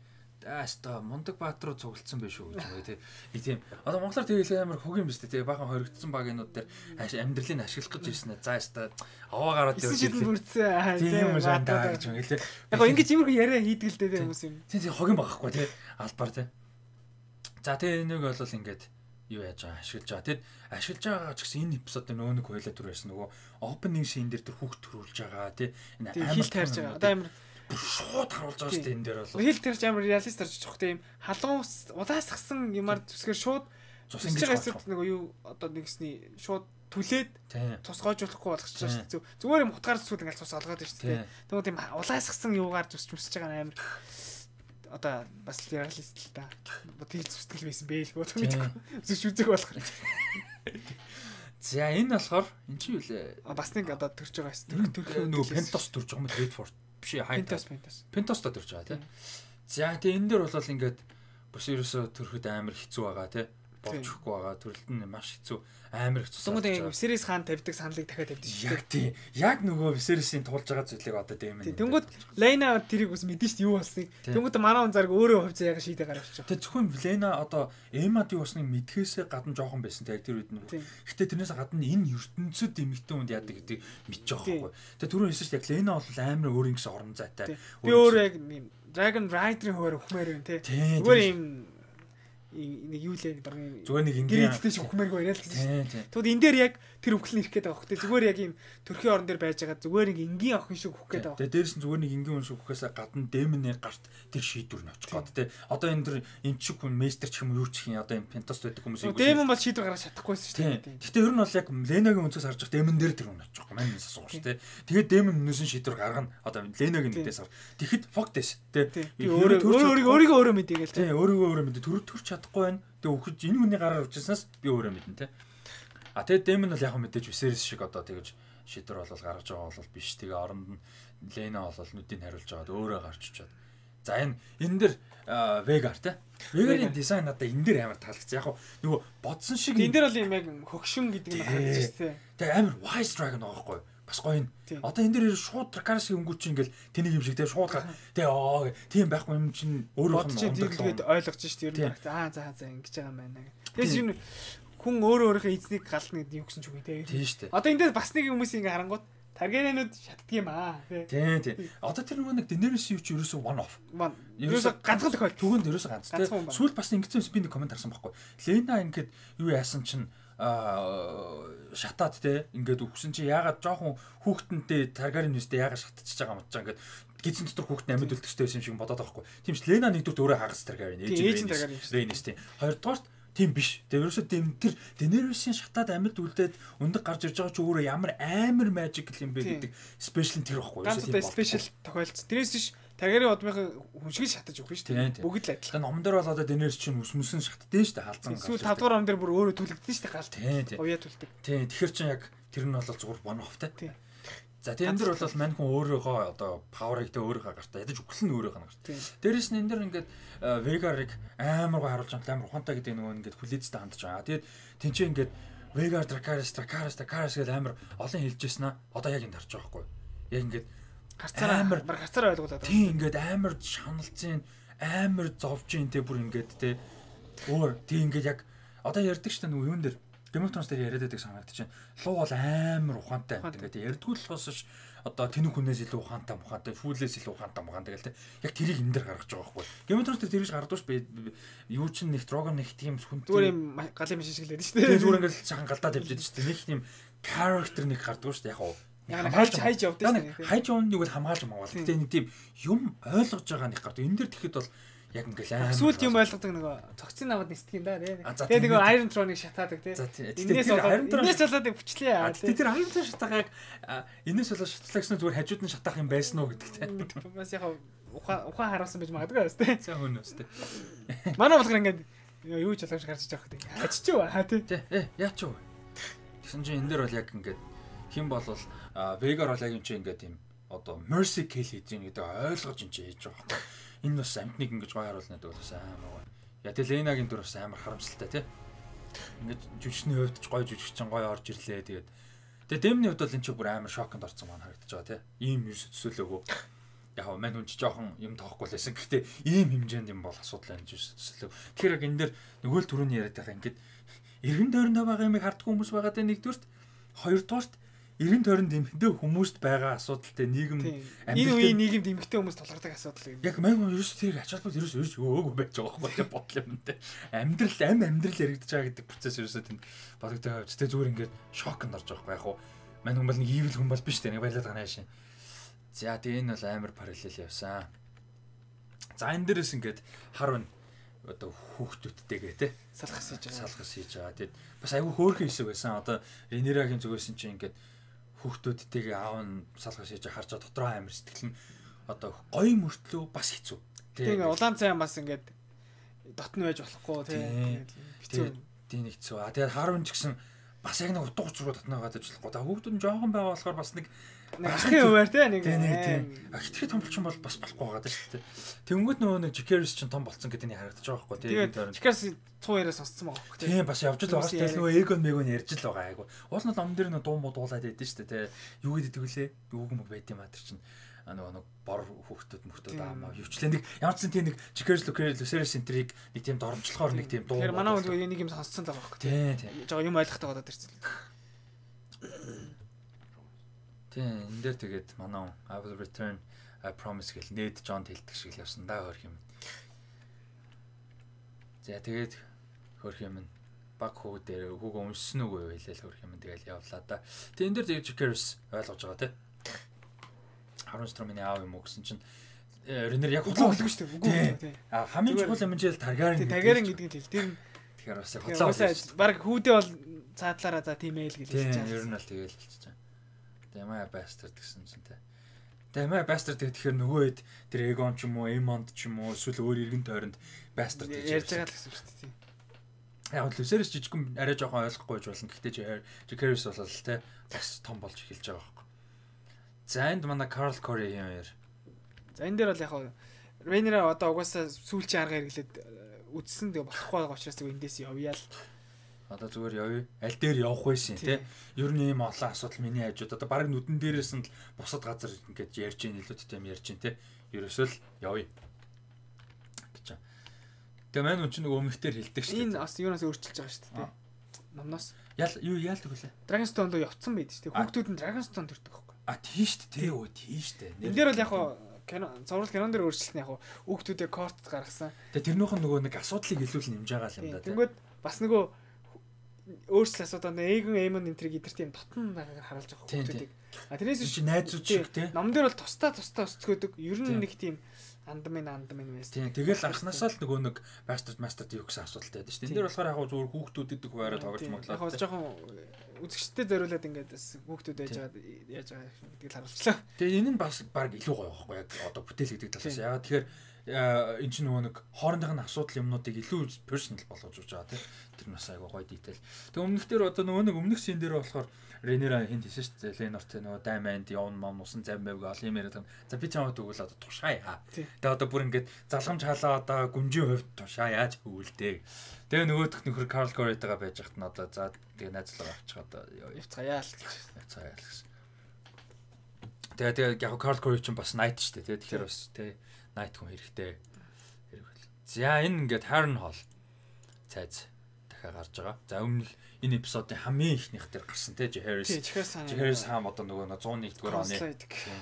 Ааста мундаг баатруу цуглдсан байх шүү гэж байгаа тий. Нэг тийм одоо монголоор тэгээл амар хөг юм биш тий. Бахан хоригдсан багийнууд дээр амьдралыг ашиглах гэж ирсэн ээ. За ааста аваа гараад ирсэн шийдэл бүрдсэн. Тийм юм шандаа гэж юм гэлээ. Яг гоо ингэж иймэрхүү яриа хийдэг л дээ хүмүүс юм. Тий тий хогийн багахгүй тий. Албаар тий. За тэгээ энийг бол ингээд юу яаж байгаа ашиглаж байгаа. Тэгэд ашиглаж байгаа ч гэсэн энэ эпизодын нөө нэг хойлоо төр байсан нөгөө opening scene дээр тэр хүүхд төрүүлж байгаа тий. Энэ амар таарж байгаа. Одоо амар шууд харуулж байгаа шүү дээ энэ дээр бол. Хил тэрч амар реалист тарж очих тийм халуун улаасгсан юмар зүсгээр шууд цусж байгаа хэсэгт нөгөө юу одоо нэгсний шууд түлээд цус гоожуулахгүй болгочихж байгаа шүү дээ. Зүгээр юм хутгаар зүсгүүд ингээл цус олгоод байна шүү дээ. Тэгвэл тийм улаасгсан юугаар зүсч мүсэж байгаа амар одоо бас реалист л та. Тэгэл зүстэл байсан бэ л гоо мэдгүй. Зүсч үзэх болохоор. За энэ болохоор эн чи юу лээ? Бас нэг одоо төрж байгаа хэсэг. Төрх нөгөө Пентос төрж байгаа юм Redford биш ээ Пентос Пентос. Пентос та төрж байгаа тийм. За тэгээ энэ дээр бол ингээд бас ерөөсө төрөхөд амар хэцүү байгаа тийм. Болчихгүй байгаа. Төрөлт нь маш хэцүү амар хэцүү. Тэнгүүд Viserys хаан тавьдаг саналыг дахиад тавьдаг шүү дээ. Яг тийм. Яг нөгөө Viserys-ийн туулж байгаа зүйлийг одоо дэмэн. Тэнгүүд Lena тэрийг бас мэдэн шүү дээ юу болсныг. Тэнгүүд манай хүн зарг өөрөө хувьцаа яг шийдэ гаргаж байгаа. Тэгээ зөвхөн Lena одоо Emma-д юу болсныг мэдхээсээ гадна жоохон байсан тэг тэр үед нь. Гэтэ тэрнээс гадна энэ ертөнцид эмэгтэй хүнд яадаг гэдэг мэдчих жоохгүй. Тэгээ түрүүн хэлсэн шүү дээ Lena бол амар өөр ингэсэн орон зайтай. Би өөрөө яг Dragon Rider-ийн хуваар ухмаар байна те. Зүгээр юм нэг юу лээ баруун зүгээр нэг ингийн гэрээдтэй ч ухмааргүй яриа л гэсэн. Тэгвэл энэ дээр яг тэр өвхлөн ирэх гээд байгаа хөөхтэй зүгээр яг юм төрхийн орон дээр байж байгаа зүгээр нэг ингийн охин шиг ухах гээд байгаа. Тэгээ дээрс нь зүгээр нэг ингийн хүн шиг ухахаас гадна дэмний гарт тэр шийдвэр нь очих гээд те. Одоо энэ тэр эмчиг хүн мейстер ч юм уу юу ч юм одоо энэ Пентос байдаг хүмүүс юм. Дэм бол шийдвэр гаргаж чадахгүйсэн шүү дээ. Гэтэ ер нь бол яг Ленагийн өнцгөөс харж байгаа дэмэн дээр тэр хүн очих юм. Мань нэсээс суух шүү дээ. Тэгээд дэмэн өнөөс нь шийдвэр гаргана. Одоо Ленагийн нэгдээс хар. Тэгэхэд фоктес те. Би өөрөө өөрийгөө өөрөө мэдээгээл те. Өөрийгөө өөрөө мэдээ төр төрч чадахгүй байна. Тэгээ өгч энэ хүний гараар авчихснаас би өөрөө мэднэ те. А тэгээ Дэмэн бол яг мэдээж Viserys шиг одоо тэгэж шийдвэр болол гаргаж байгаа бол биш. Тэгээ оронд нь Lena бол нүдийг хариулж байгаад өөрөө гарч ичээд. За энэ энэ дэр Veigar те. Veigar-ийн дизайн надад энэ дэр амар таалагдсан. Яг нөгөө бодсон шиг энэ дэр бол юм яг хөгшин гэдэг нь харагдаж шүү дээ. Тэгээ амар wise dragon байгаа байхгүй. Бас гоё юм. Одоо энэ дээр шууд Dracarys-ийн өнгөч ингээл тэнийг юм шиг те шууд тэгээ оо тийм байхгүй юм чинь өөрөө нь онцлоод ойлгож шүү дээ. Ер нь аа за за ингэж байгаа юм байна. Тэгээс юм хүн өөрөө өөрийнхөө эзнийг гална гэдэг юу гэсэн ч үгүй те. Тийм шүү дээ. Одоо энэ дээр бас нэг хүмүүс ингээ харангууд Targaryen-ууд шатдаг юм аа тий. Тийм тийм. Одоо тэр нөгөө нэг Daenerys юу ч ерөөсөө one off. Ерөөсөө ганцхан тохиол. Түгэнд ерөөсөө ганц тий. Сүүл бас ингэсэн би нэг комент харсан байхгүй. Lena ингээд юу яасан чинь аа шатаад те ингээд өгсөн чи яагаад жоохон хүүхдэнтэй Targaryen нүстэй яагаад шатчихж байгаа юм чаа ингээд гизэн дотор хүүхдэн амьд үлдэхтэй байсан юм шиг бодоод байгаа байхгүй. Тийм ч Lena нэгдүгээр өөрөө хагас Targaryen ээж Rhaenys тийм. Хоёрдугаар тийм биш. Тэгээ ерөөсөө тэр Daenerys-ийн шатаад амьд үлдээд өндөг гарч ирж байгаа ч өөрөө ямар амар magic юм бэ гэдэг спешиал тэр байхгүй. Ерөөсөө тийм спешиал тохиолдсон. Тэрээс биш Targaryen удмынхаа хүн шиг шатаж өгөх шүү дээ. Бүгд л адилхан. Номон дээр бол одоо Daenerys чинь ус мүсэн шатдээ шүү дээ. Халзан гарч. Эсвэл тавдугаар ном дээр бүр өөрөө түлэгдэн шүү дээ гал. Тийм. Уяа түлдэг. Тийм. Тэгэхээр чинь яг тэр нь бол зүгээр one off те. Тийм. За тийм энэ дэр бол мань хүн өөрөөгөө одоо power-ыг тэ өөрөөгөө гартаа ядаж өглөн өөрөөгөө гарт. Дээрээс нь энэ дэр ингээд Veigar-ыг амар гоо харуулж байгаа амар ухаантай гэдэг нөгөө ингээд хүлээцтэй хандж байгаа. Тэгээд тэнцээ ингээд Veigar Dracarys Dracarys Dracarys гэдэг амар олон хэлжсэн аа. Одоо яг энэ харж байгаа байхгүй. Яг ингээд гарцаараа амар гарцаараа ойлгуулад байгаа. Тийм ингээд амар шаналцын амар зовж ин тэ бүр ингээд тэ өөр тийм ингээд яг одоо ярьдаг шүү дээ нөгөө юун дээр Game of Thrones дээр яриад байдаг санагдаж байна. Луу бол амар ухаантай. Тэгээд ярьдгүй л болохоос одоо тэнэг хүнээс илүү ухаантай мухаантай, фүүлээс илүү ухаантай мухаантай гэл тэ. Яг тэрийг энэ дээр гаргаж байгаа байхгүй. Game of Thrones дээр тэрийг гаргадууш юу ч нэг Drogon нэг тийм хүн зүгээр юм галын машин шиг лээд шүү дээ. Зүгээр ингээд сайхан галдаад явж байдаг шүү дээ. Нэг тийм character нэг гардаг шүү дээ. Яг уу. Хамгаалж хайж явдаг шүү дээ. Хайж явна нэг бол хамгаалж мавал. Гэтэ нэг тийм юм ойлгож байгаа нэг гардаг. Энэ дээр тэгэхэд бол яг ингээл аа сүлд юм ойлгодог нөгөө цогцын навад нисдэг юм да тий. Тэгээ нөгөө Iron Throne-ыг шатаадаг тий. Энээс болоод энээс болоод бүчлээ аа. Тэгээ тэр Iron Throne шатаагааг энээс болоод шатлаа гэсэн зүгээр хажууд нь шатаах юм байсан уу гэдэг тий. Бас яг ухаан ухаан харуулсан байж магадгүй байна тий. За хөнөөс тий. Манай болгор ингээд юу ч ялгаж гарч байгаа тий. Хаччих уу хаа тий. Э яач юу. Тэгсэн чинь энэ дээр бол яг ингээд хэн болвол Veigar бол яг юм чи ингээд юм одоо mercy kill хийж ийн гэдэг ойлгож ин ч хийж байгаа байхгүй. Энэ бас амтныг ингэж гоё харуулна гэдэг бас амар гоё. Я тэ Ленагийн дүр бас амар харамсалтай тий. Ингэж жүжигчний хувьд ч гоё жүжигчин гоё орж ирлээ тэгээд. Тэгээд Дэмний хувьд бол энэ ч бүр амар шоконд орсон маань харагдаж байгаа тий. Ийм юм төсөөлөөгөө. Яг мань хүн ч жоохон юм тоохгүй лсэн. Гэхдээ ийм хэмжээнд юм бол асуудал байна гэж төсөөлөв. Тэгэхээр яг энэ дэр нөгөө л түрүүний яриад байгаа ингээд эргэн тойрондоо байгаа юмыг харддаг хүмүүс байгаа дэ нэгдүгürt, хоёрдугаарт эргэн тойронд эмхтэй хүмүүст байгаа асуудалтай нийгэм энэ үеийн нийгэмд эмхтэй хүмүүс тулгардаг асуудал юм. Яг мань хүн ерөөс тэр ачаалбал ерөөс ерөөс өөг байж байгаа байхгүй бодлоо юм те. Амьдрал ам амьдрал яригдаж байгаа гэдэг процесс ерөөсөө тэнд бодогдоо явж тэ зүгээр ингээд шоконд орж байгаа байхгүй яг хуу. Мань хүн бол нэг evil хүн бол биш те нэг баялаад байгаа шин. За тэгээ энэ бол амар параллел явсан. За энэ дээрээс ингээд хар байна. Одоо хүүхдүүдтэйгээ те салхас хийж байгаа. Салхас хийж байгаа. Тэгэд бас айгүй хөөрхөн хэсэг байсан. Одоо Ренерагийн зүгээс чинь ингээд хүүхдүүдтэйгээ аав нь салхас хийж харж байгаа дотроо амар сэтгэл нь одоо гоё мөртлөө бас хэцүү. Тэгээ улаан цай бас ингээд дотн байж болохгүй те. Хэцүү. Тийм хэцүү. А тэгээд харван ч гэсэн бас яг нэг утга учруу дотноо гадаж болохгүй. Та хүүхдүүд нь жоохон байгаа болохоор бас нэг ахын хуваар те нэг тийм хитрхи том болчихсон бол бас болохгүй байгаа даа шүү дээ. Тэнгүүд нөгөө нэг Jikeris чинь том болцсон гэдэг нь харагдаж байгаа байхгүй тийм тийм. Jikeris цуу яриа сонсцсон байгаа байхгүй тийм. бас явж л байгаа шүү дээ. Нөгөө Egon Megon ярьж л байгаа айгу. Уул нь ном дээр нэг дуу муу дуулаад байдсан шүү дээ. Юу гэдэг вүлээ? Юуг мөг байд юм аа тэр чинь нөгөө нэг бор хүүхдүүд мөхтүүд аамаа юучлээ нэг ямар ч тийм нэг Jikeris Lucerys энтриг нэг тийм доромжлохоор нэг тийм дуу. Тэгэхээр манай хүн нэг юм сонсцсон л байгаа байхгүй тийм тийм. Жоо юм ойлгохтой болоод ирсэн. Тийм энэ дээр тэгээд манай I will return I promise гэл нээд Джон хэлдэг шиг л явсан да хөрх юм. За тэгээд хөрх юм баг хүү дээр хүүгөө уншсан үгүй хэлээл хөрх юм тэгэл явлаа да. Тэгээд энэ дээр тэгээд Jikeris ойлгож байгаа тийм. Харун Стромын аав юм уу гэсэн чинь Ренер яг худлаа болгүй шүү дээ. Үгүй. А хамгийн чухал юм жишээл Targaryen. Targaryen гэдэг нь хэл. Тэр тэгэхээр бас худлаа болгүй. Баг хүүдээ бол цаадлаараа за тийм ээ л гэж хэлж байгаа. Ер нь л тэгэл хэлчихэж байгаа. Дэмай Bastard гэсэн чинь тэ. Дэмай Bastard тэгэхээр нөгөө хэд тэр Egon ч юм уу, Aemond ч юм уу эсвэл өөр иргэн тойронд Bastard гэж ярьж байгаа л гэсэн шүү дээ. Яг л Lucerys жижигхэн арай жоохон ойлгохгүй байж болно. Гэхдээ Jikeris бол тэ бас том болж эхэлж байгаа байхгүй. За энд манай Carl Corey юм яар. За энэ дээр бол яг Rhaenyra одоо угаасаа сүүлчийн арга хэрэглээд үдсэн тэгээ болохгүй байгаа учраас тэгээ эндээс явъя л. Одоо зүгээр явъя. Аль дээр явах байсан те. Ер нь ийм олон асуудал миний хажууд одоо баг нүдэн дээрээс нь л бусад газар ингэж ярьж ийн илүүтэй юм ярьж ийн те. Ерөөсөө л явъя. гэж. Тэгээ маань үн чинь нөгөө өмнөхдөр хэлдэг шүү дээ. Энэ бас юунаас өөрчилж байгаа шүү дээ. Номноос. Ял юу яалдаг вүлээ. Dragonstone руу явцсан байд шүү дээ. Хүүхдүүд нь Dragonstone төрдөг байхгүй. А тийм шүү дээ. Өө тийм шүү дээ. Энд дээр бол яг кино зурвал кинон дээр өөрчлөлт нь яг хүүхдүүдээ корт гаргасан. Тэгээ тэрнийхэн нөгөө нэг асуудлыг илүү нэмж байгаа юм да. Тэнгүүд бас нөгөө өөрчлөлт асуудал Egon Aemon энтриг идэр тийм дотн байгааг харуулж байгаа хүүхдүүдийг. А тэрнээс чи найзууд шиг те. Ном дээр бол тусдаа тусдаа өсцгөөдөг. Ер нь нэг тийм андамын андамын мэс. Тийм тэгэл анханасаа л нөгөө нэг Bastard Master юу гэсэн асуудалтай байдаг шүү дээ. Энд дээр болохоор яг зүгээр хүүхдүүд идэх байраа тоглож моглоо. Яг жоохон үзэгчтэй зориулаад ингээд хүүхдүүд байж байгаа яаж байгаа гэдгийг харуулчлаа. Тэгээ энэ нь бас баг илүү гоё байхгүй яг одоо бүтээл гэдэг талаас. Ягаад тэгэхээр энэ чинь нөгөө нэг хоорондын асуудал юмнуудыг илүү personal болгож өгч байгаа тийм. Тэр нь бас айгаа гоё detail. Тэгээ өмнөхдөр одоо нөгөө нэг өмнөх шин дээр болохоор Rhaenyra хинт хийсэн шүү дээ. Lenor тэ нөгөө Diamond явна мам усан зам байв гал юм яриад. За би чамд өгвөл одоо тушаая. Тэгээ одоо бүр ингээд залхамж халаа одоо гүнжийн хувьд тушаа яаж хөвөлдөө. Тэгээ нөгөөх нөхөр Carl Corey-тагаа байж хат нь одоо за тэгээ найзлага авчих одоо явцгаая л гэж. Явцгаая л гэсэн. Тэгээ тэгээ яг Carl Corey ч бас Knight шүү дээ. Тэгэхээр бас тэ Knight хүн хэрэгтэй. Хэрэг. За энэ ингээд Harrenhal цайз дахиад гарч байгаа. За өмнө энэ эпизодын хамгийн ихнийх дээр гарсан те Jikeris. Jikeris хаан одоо нөгөө one oh one дугаар оны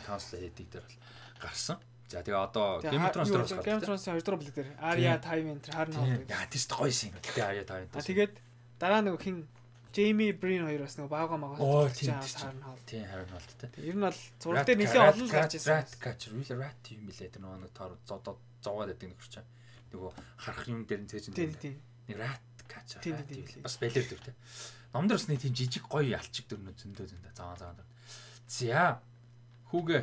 Council хийдэг дээр бол гарсан. За тэгээ одоо Game of Thrones дээр бас Game of Thrones-ийн two дугаар бүлэг дээр Arya Tywin тэр Harrenhal. Яа тийш гоёсэн юм. Тэгээ Arya Tywin. А тэгээд дараа нөгөө хин Jaime Breen хоёр бас нөгөө баага магаа Harrenhal. Тийм Harrenhal те. Ер нь бол зураг дээр нэлээд олон л гарч ирсэн. Rat catcher, real rat юм билээ тэр нөгөө тоор зодод зовоод байдаг нөхөр чинь. Нөгөө харах юм дээр нь цээж тийм тийм. Нэг rat catcher. Бас балер дүр те. Номдор бас нэг тийм жижиг гоё ялчиг дүрнүүд зөндөө зөндөө заваа заваа. За. Хүүгээ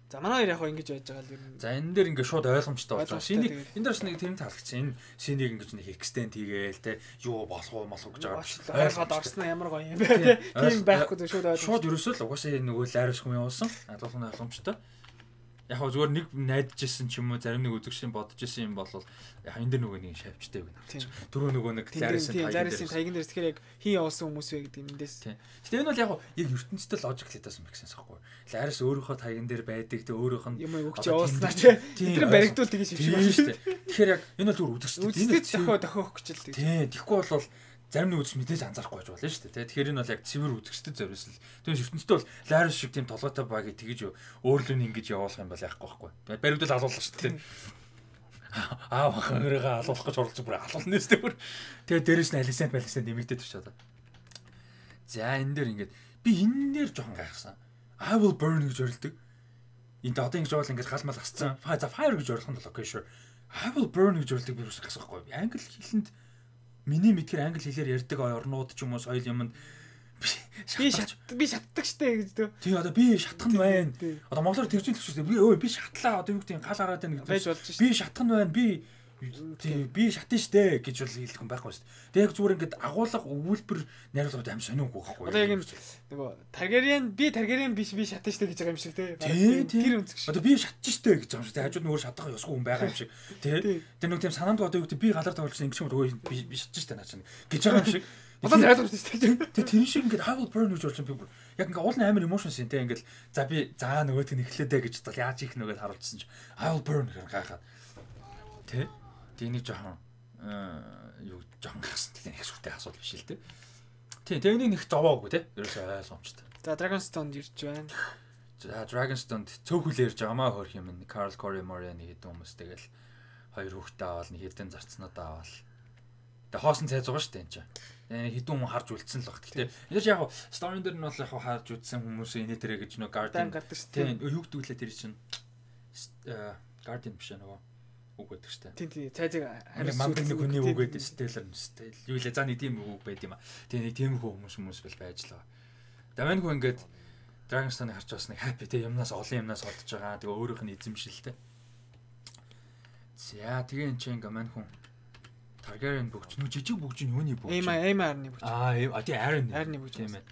За манай хоёр яг хөө ингэж байж байгаа л юм. За энэ дээр ингээд шууд ойлгомжтой болж байгаа. Шинийг энэ дээрс нэг тэрний таалагдсан. Энэ шинийг ингэж нэг extend хийгээл те юу болох уу молох гэж байгаа. Ойлгоод орсон ямар гоё юм бэ те. Тийм байхгүй шууд ойлгоо. Шууд ерөөсөө л угаасаа нөгөө лайрс хүн явуулсан. Адуулхан ойлгомжтой. Яг хөө зүгээр нэг найдажсэн ч юм уу зарим нэг үзэгчийн бодож исэн юм бол яг энэ дэр нөгөө нэг шавьчтай байна. Дөрөв нөгөө нэг лайрсын тайган дээрс тэгэхээр яг хин явуулсан хүмүүс вэ гэдэг юм дэс. Гэтэ энэ бол яг яг ертөнцийн логик хэлээсэн байх гэсэн юм байна. Лайрс өөрийнхөө тайган дээр байдаг те өөрийнх нь юм өгч явуулснаа те. Тэр баригдуул тэгэж шившээ байна шүү дээ. Тэгэхээр яг энэ бол зүгээр үзэгчтэй. Энэ дохио дохиох гэж л тийм. Тэгэхгүй бол зарим нэг үзэж мэдээж анзаарахгүй байж болно шүү дээ. Тэгэхээр энэ бол яг цэвэр үзэгчдэд зориулсан л. Тэгээс ертөнцийн бол лайрс шиг тийм толгойтой багийг тэгэж өөрлөө ингэж явуулах юм бол яахгүй байхгүй. Баригдуул алуулах шүү дээ. Аа хөрөөгөө алуулах гэж оролцож бүр алуулна нэстэй бүр. Тэгээ дээрэс нь алисент балисент нэмэгдээд ирч чадаа. За энэ дээр ингээд би энэ дээр жоохон гайхсан. I will burn гэж орилдог. Энд одоо ингэж бол ингээд галмал гасцсан. За fire гэж орлох нь бол окей sure. I will burn гэж орилдог би бас гайхсан байхгүй. Англи хэлэнд миний мэдхээр англи хэлээр ярьдаг орнууд ч юм уу соёл юмд би шат би шатдаг штэ гэж дөө. Тий одоо би шатах нь байна. Одоо монголоор тэгж хэлэх шүү дээ. Би өө би шатлаа одоо юу гэдэг гал хараад байна гэдэг. Би шатах нь байна. Би тий би шатна штэ гэж бол хэлэх юм байхгүй шүү дээ. Тэг яг зүгээр ингээд агуулга өвүүлбэр найруулгад аим сониугүй байхгүй. Одоо яг юм нөгөө Targaryen би Targaryen биш би шатна штэ гэж байгаа юм шиг тий. Тэр үнцэг шиг. Одоо би шатж штэ гэж байгаа юм шиг. Тэг хажууд нөгөө шатах ёсгүй хүн байгаа юм шиг. Тий. Тэр нэг тийм санаанд одоо юу гэдэг би галаар тавьчихсан ингэ шиг өө би би шатж штэ наа чинь гэж байгаа юм шиг. Одоо ойлгомжтой шүү дээ. Тэгээ тэр шиг ингээд I will burn гэж болж би бүр яг ингээд уулын амар emotions юм те ингээд за би заа нөгөөтг нь эхлээд ээ гэж бодвол яаж их нөгөөд харуулчихсан чи I will burn гэхээр гайхаад тэ тэнийг жоохон юу жоохон гайхсан тийм их шүртэй асуудал биш л те. Тийм тэнийг нэг зовоогүй те ерөөсөө ойлгомжтой. За Dragonstone ирж байна. За Dragonstone цөөхөл ярьж байгаамаа хөрх юм. Carl Corey Moran нэг хэдэн хүмүүс тэгэл хоёр хүүхдээ аваад нэг хэдэн зарцнуудаа аваад тэгээ хоосон цайз байгаа шүү дээ энэ чинь. Хэдэн хүн харж үлдсэн л баг. Гэтэ энэ ч яг story дээр нь бол яг харж үлдсэн хүмүүс энэ дээрэ гэж нөө Guardian гардаг шүү дээ. Тийм юу гэдгүүлээ тэр чинь Guardian биш нөгөө үг байдаг шүү дээ. Тийм тийм цайзыг харьцуулсан манд нэг хүний үг байдаг Stellar Stell. Юу лээ за нэг тийм үг байд юм а. Тэгээ нэг тийм хүмүүс хүмүүс бэл байж л байгаа. Даван хөө ингээд Dragonstone-ыг харж бас нэг happy те юмнаас олон юмнаас олдож байгаа. Тэгээ өөрийнх нь эзэмшилтэй. За тэгээ энэ чинь ингээд мань хүн Targaryen бүгч нүг жижиг бүгч нь юуны бүгч? Эйма Эймарны бүгч. Аа а тий Aaron. Aaron-ны бүгч тийм ээ.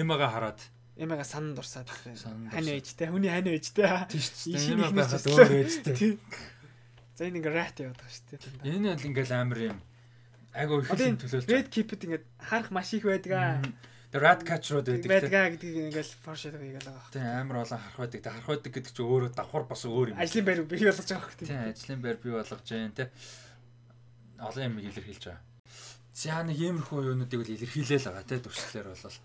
Эймага хараад Эймага санан дурсаад хань ээжтэй хүний хань ээжтэй. Тийм шүү дээ. Эймага байхад өөр ээжтэй. За энэ ингээ rat яваад байгаа шүү дээ. Энэ бол ингээл амар юм. Айгу их юм төлөөлж. Red Keep-д ингээ харах маш их байдаг. The rat catcher-ууд байдаг. Байдаг гэдгийг ингээл foreshadowing хийгээл байгаа. Тийм амар олон харах байдаг. Тэ харах байдаг гэдэг чинь өөрөө давхар бас өөр юм. Ажлын байр бий болгож байгаа хэрэг. Тийм ажлын байр бий болгож जैन тэ. Олон юм илэрхийлж байгаа. За нэг иймэрхүү юунуудыг л илэрхийлээл байгаа те дүрслэлэр бол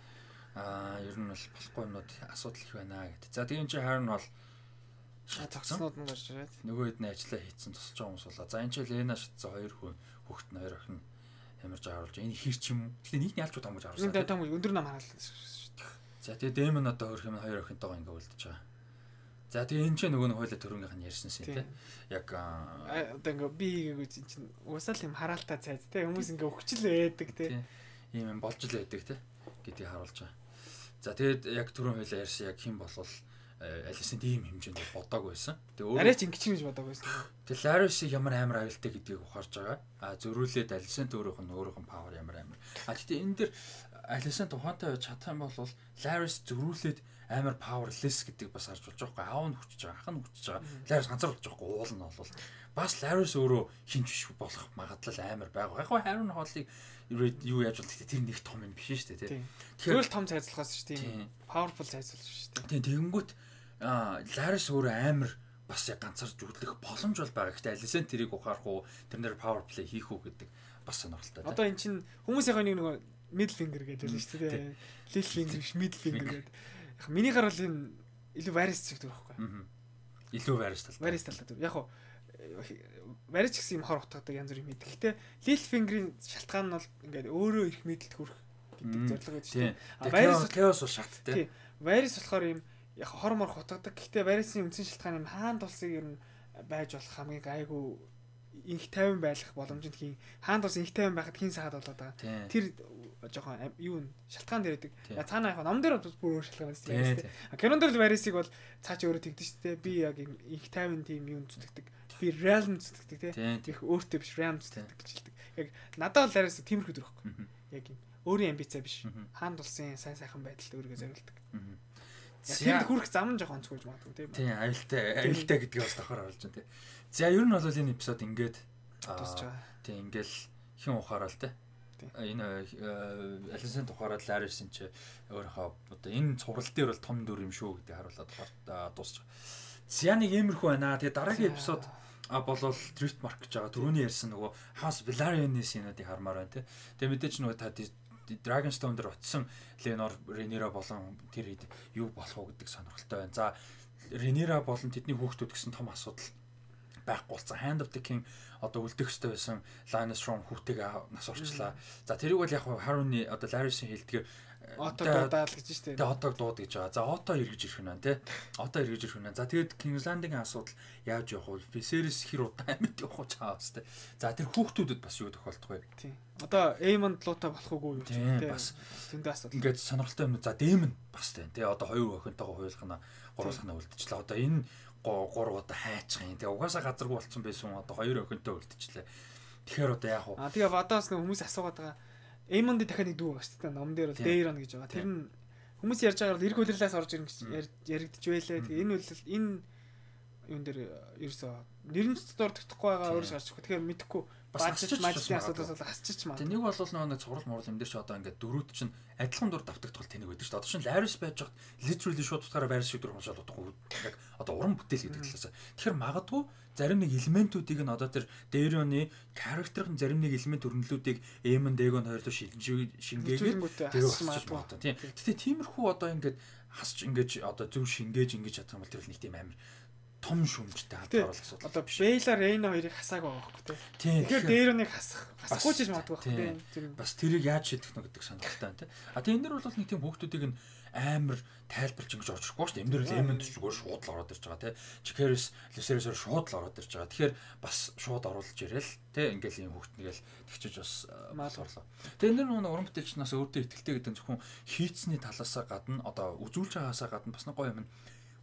аа ер нь бол болохгүй юмнууд асуудал их байна гэдэг. За тийм чи харин бол цогцнууд нь гарч ирээд нөгөө хэд нь ажиллаа хийцэн тусалж байгаа хүмүүс болоо. За энэ чи Лена шатсан хоёр хүн хөхт нь хоёр охин ямарч харуулж энэ хэр ч юм. Гэтэ нийт нь ялч том гэж харуулсан. Энэ том өндөр нам харуулсан шүү дээ. За тэгээ Дэймон одоо хөрх юм хоёр охинтойгоо ингээ үлдэж байгаа. За тэгээ энэ ч нөгөө нэг хойлоо төрөнгийнх нь ярьсан шин тий. Яг одоо ингээ би гэж чинь уусаал юм хараалтаа цайз тий хүмүүс ингээ өгчл байдаг тий. Ийм юм болж л байдаг тий гэдгийг харуулж байгаа. За тэгээд яг түрүүн хойлоо ярьсан яг хэн болвол Алисын ийм хэмжээнд бодоагүй байсан. Тэгээ өөрөө арайч ингээ чинь гэж бодоагүй байсан. Тэгээ Ларис ямар амар аюултай гэдгийг ухаарж байгаа. А зөрүүлээд Алисын өөрийнх нь өөрийнх нь павер ямар амар. А тэгтээ энэ дэр Алисын тухайтай байж чадах юм бол Ларис зөрүүлээд амар powerless гэдэг бас харж болж байгаа. Аав нь хүчж байгаа, ах нь хүчж байгаа. Ларис ганцаар болж байгаа. Уул нь бол бас Ларис өөрөө хинч биш болох магадлал амар байгаа. Яг гоо харин хоолыг юу яаж бол тэр нэг том юм биш шүү дээ, тий. Тэгэхээр том цайзлахаас шүү дээ. Powerful цайзлах шүү Тий, дээ. тэгэнгүүт Ларис өөрөө амар бас яг ганцаарч үлдэх боломж бол байгаа. Гэхдээ Алисэн тэрийг ухаарах уу, тэрнэр power play хийх үү гэдэг бас сонирхолтой. Одоо эн чинь хүмүүсийн нэг нөгөө middle finger гэдэг л шүү дээ. Little finger, middle finger гэдэг. Яг миний гарал энэ илүү Varys зэгдэг байхгүй. Аа. Илүү Varys талтай. Varys талтай. Яг хоо Varys гэсэн юм хор утгадаг янз бүр юм хийдэг. Гэтэ Little finger-ийн шалтгаан нь бол ингээд өөрөө их мэдлэлд хүрэх гэдэг зорилго байдаг шүү дээ. Varys chaos бол шат тий. Varys болохоор юм яг хор мор хутгадаг. Гэтэ Varys-ийн үндсэн шалтгаан юм хаан тулсыг ер нь байж болох хамгийн гайгүй инх тайван байх боломжтой хийн хаан тус инх тайван байхад хин сахад болоод байгаа. Тэр жоохон юу шалтгаан дээр байдаг. Цаана яг ном дээр бүр өөр шалтгаан байсан. Кинон дээр л Varys-ыг бол цаа чи өөрөө тэгдэж штэ. Би яг их тайван тим юм зүтгэдэг. Би realm зүтгэдэг тий. Их өөртөө биш realm зүтгэдэг гэж хэлдэг. Яг надад бол Varys тиймэрхүү дөрөв байхгүй. Яг юм өөрийн амбицаа биш. Хаан тулсын сайн сайхан байдалд өөрийгөө зориулдаг. Яг хүрх зам жоохон онцгойж магадгүй тийм. Тийм, аюултай, аюултай гэдгийг бас давхар оруулж байна тийм. За ер нь бол энэ эпизод ингээд дуусч байгаа. Тийм, ингээл хин ухаарал тийм. Энэ Алисын тухаарал Varys-ийн ч өөрийнхөө одоо энэ цуврал дээр бол том дүр юм шүү гэдгийг харуулад дуусч байгаа. За нэг иймэрхүү байна. Тэгээ дараагийн эпизод а болвол Driftmark гэж байгаа. Түрүүний ярьсан нөгөө House Velaryon-ийн сценуудыг хармаар байна тийм. Тэгээ мэдээч нөгөө та Dragonstone дээр утсан Lenor, Rhaenyra болон тэр хэд юу болох уу гэдэг сонирхолтой байна. За Rhaenyra болон тэдний хүүхдүүд гэсэн том асуудал байхгүй болсон. Hand of the King одоо үлдэх ёстой байсан Lyanna Storm хүүтэйгээ нас орчлаа. За тэрийг бол яг Harry-ны одоо Larys-ийн хэлдгээр Ото дуудаал гэж штэ. Тэгээ отог дууд гэж байгаа. За ото эргэж ирэх нь байна тий. Ото эргэж ирэх нь байна. За тэгээд King's Landing-ийн асуудал яаж явах вэ? Viserys хэр удаа амьд явах уу чаавс тий. За тэр хүүхдүүдэд бас юу тохиолдох вэ? Тий. Одоо Aemon луутай болох уу юу тий. Бас зөндөө асуудал. Ингээд сонирхолтой юм. За Daemon бас тий. Тэгээ одоо хоёр охинтойгоо хуйлахна, гуруулахна үлдчихлээ. Одоо энэ гурав удаа хайчих юм. Тэгээ угаасаа газаргүй болцсон байсан. Одоо хоёр охинтой үлдчихлээ. Тэгэхээр одоо яах вэ? А тэгээ Vadаас нэг хүмүүс асуугаад байгаа. Aemon-д дахиад нэг дүү байгаа шүү дээ. Ном дээр бол Daeron гэж байгаа. Тэр нь хүмүүс ярьж байгаа бол эрг хөлрлөөс орж ирнэ гэж яригдчих байлээ. Тэгээ энэ үйл энэ юун дээр ерөөсөө нэрнч дурдахгүй байгаа өөрөөс гарч ирэх. Тэгэхээр мэдэхгүй баажч мажлын асуудаас бол хасчих маа. Тэг нэг бол нэг цуврал муурал юм дээр ч одоо ингээд дөрүүд чинь адилхан дур давтагдтал тэнэг байдаг шүү дээ. Одоо чинь Larys байж хад literally шууд утгаараа Varys шиг дүр хоншоод удахгүй яг одоо уран бүтээл гэдэг талаас. Тэгэхээр магадгүй зарим нэг элементүүдийг нь одоо тэр Daeron-ы character-ын зарим нэг элемент өрнөлүүдийг Aemon Daegon хоёр руу шингээгээд тэр хасчих магадгүй. Тийм. Гэтэ тиймэрхүү одоо ингээд хасч ингэж одоо зөв шингээж ингэж чадах юм бол тэр нэг тийм амар том шүмжтэй хадгалах асуудал. Одоо Baelor Rhaena хоёрыг хасаагүй байхгүй тий. Тэгэхээр Daeron-ыг хасах хасахгүй ч магадгүй байхгүй тий. Бас тэрийг яаж шийдэх нь гэдэг сонирхолтой байна тий. А тэгээ энэ дэр бол нэг тийм хүүхдүүдийг нь амар тайлбарч ингэж орчихгүй шүү дээ. Эм дээр л Aemon зүгээр шууд л ороод ирж байгаа тий. Jaehaerys, Lucerys шууд л ороод ирж байгаа. Тэгэхээр бас шууд оруулж ирээл тий. Ингээл юм хүүхднийгээл тэгчиж бас маалгарлаа. Тэгээ энэ нэг уран бүтээлчнээс өөртөө ихтэй гэдэг нь зөвхөн хийцний талаасаа гадна одоо үзүүлж байгаасаа гадна бас нэг гоё юм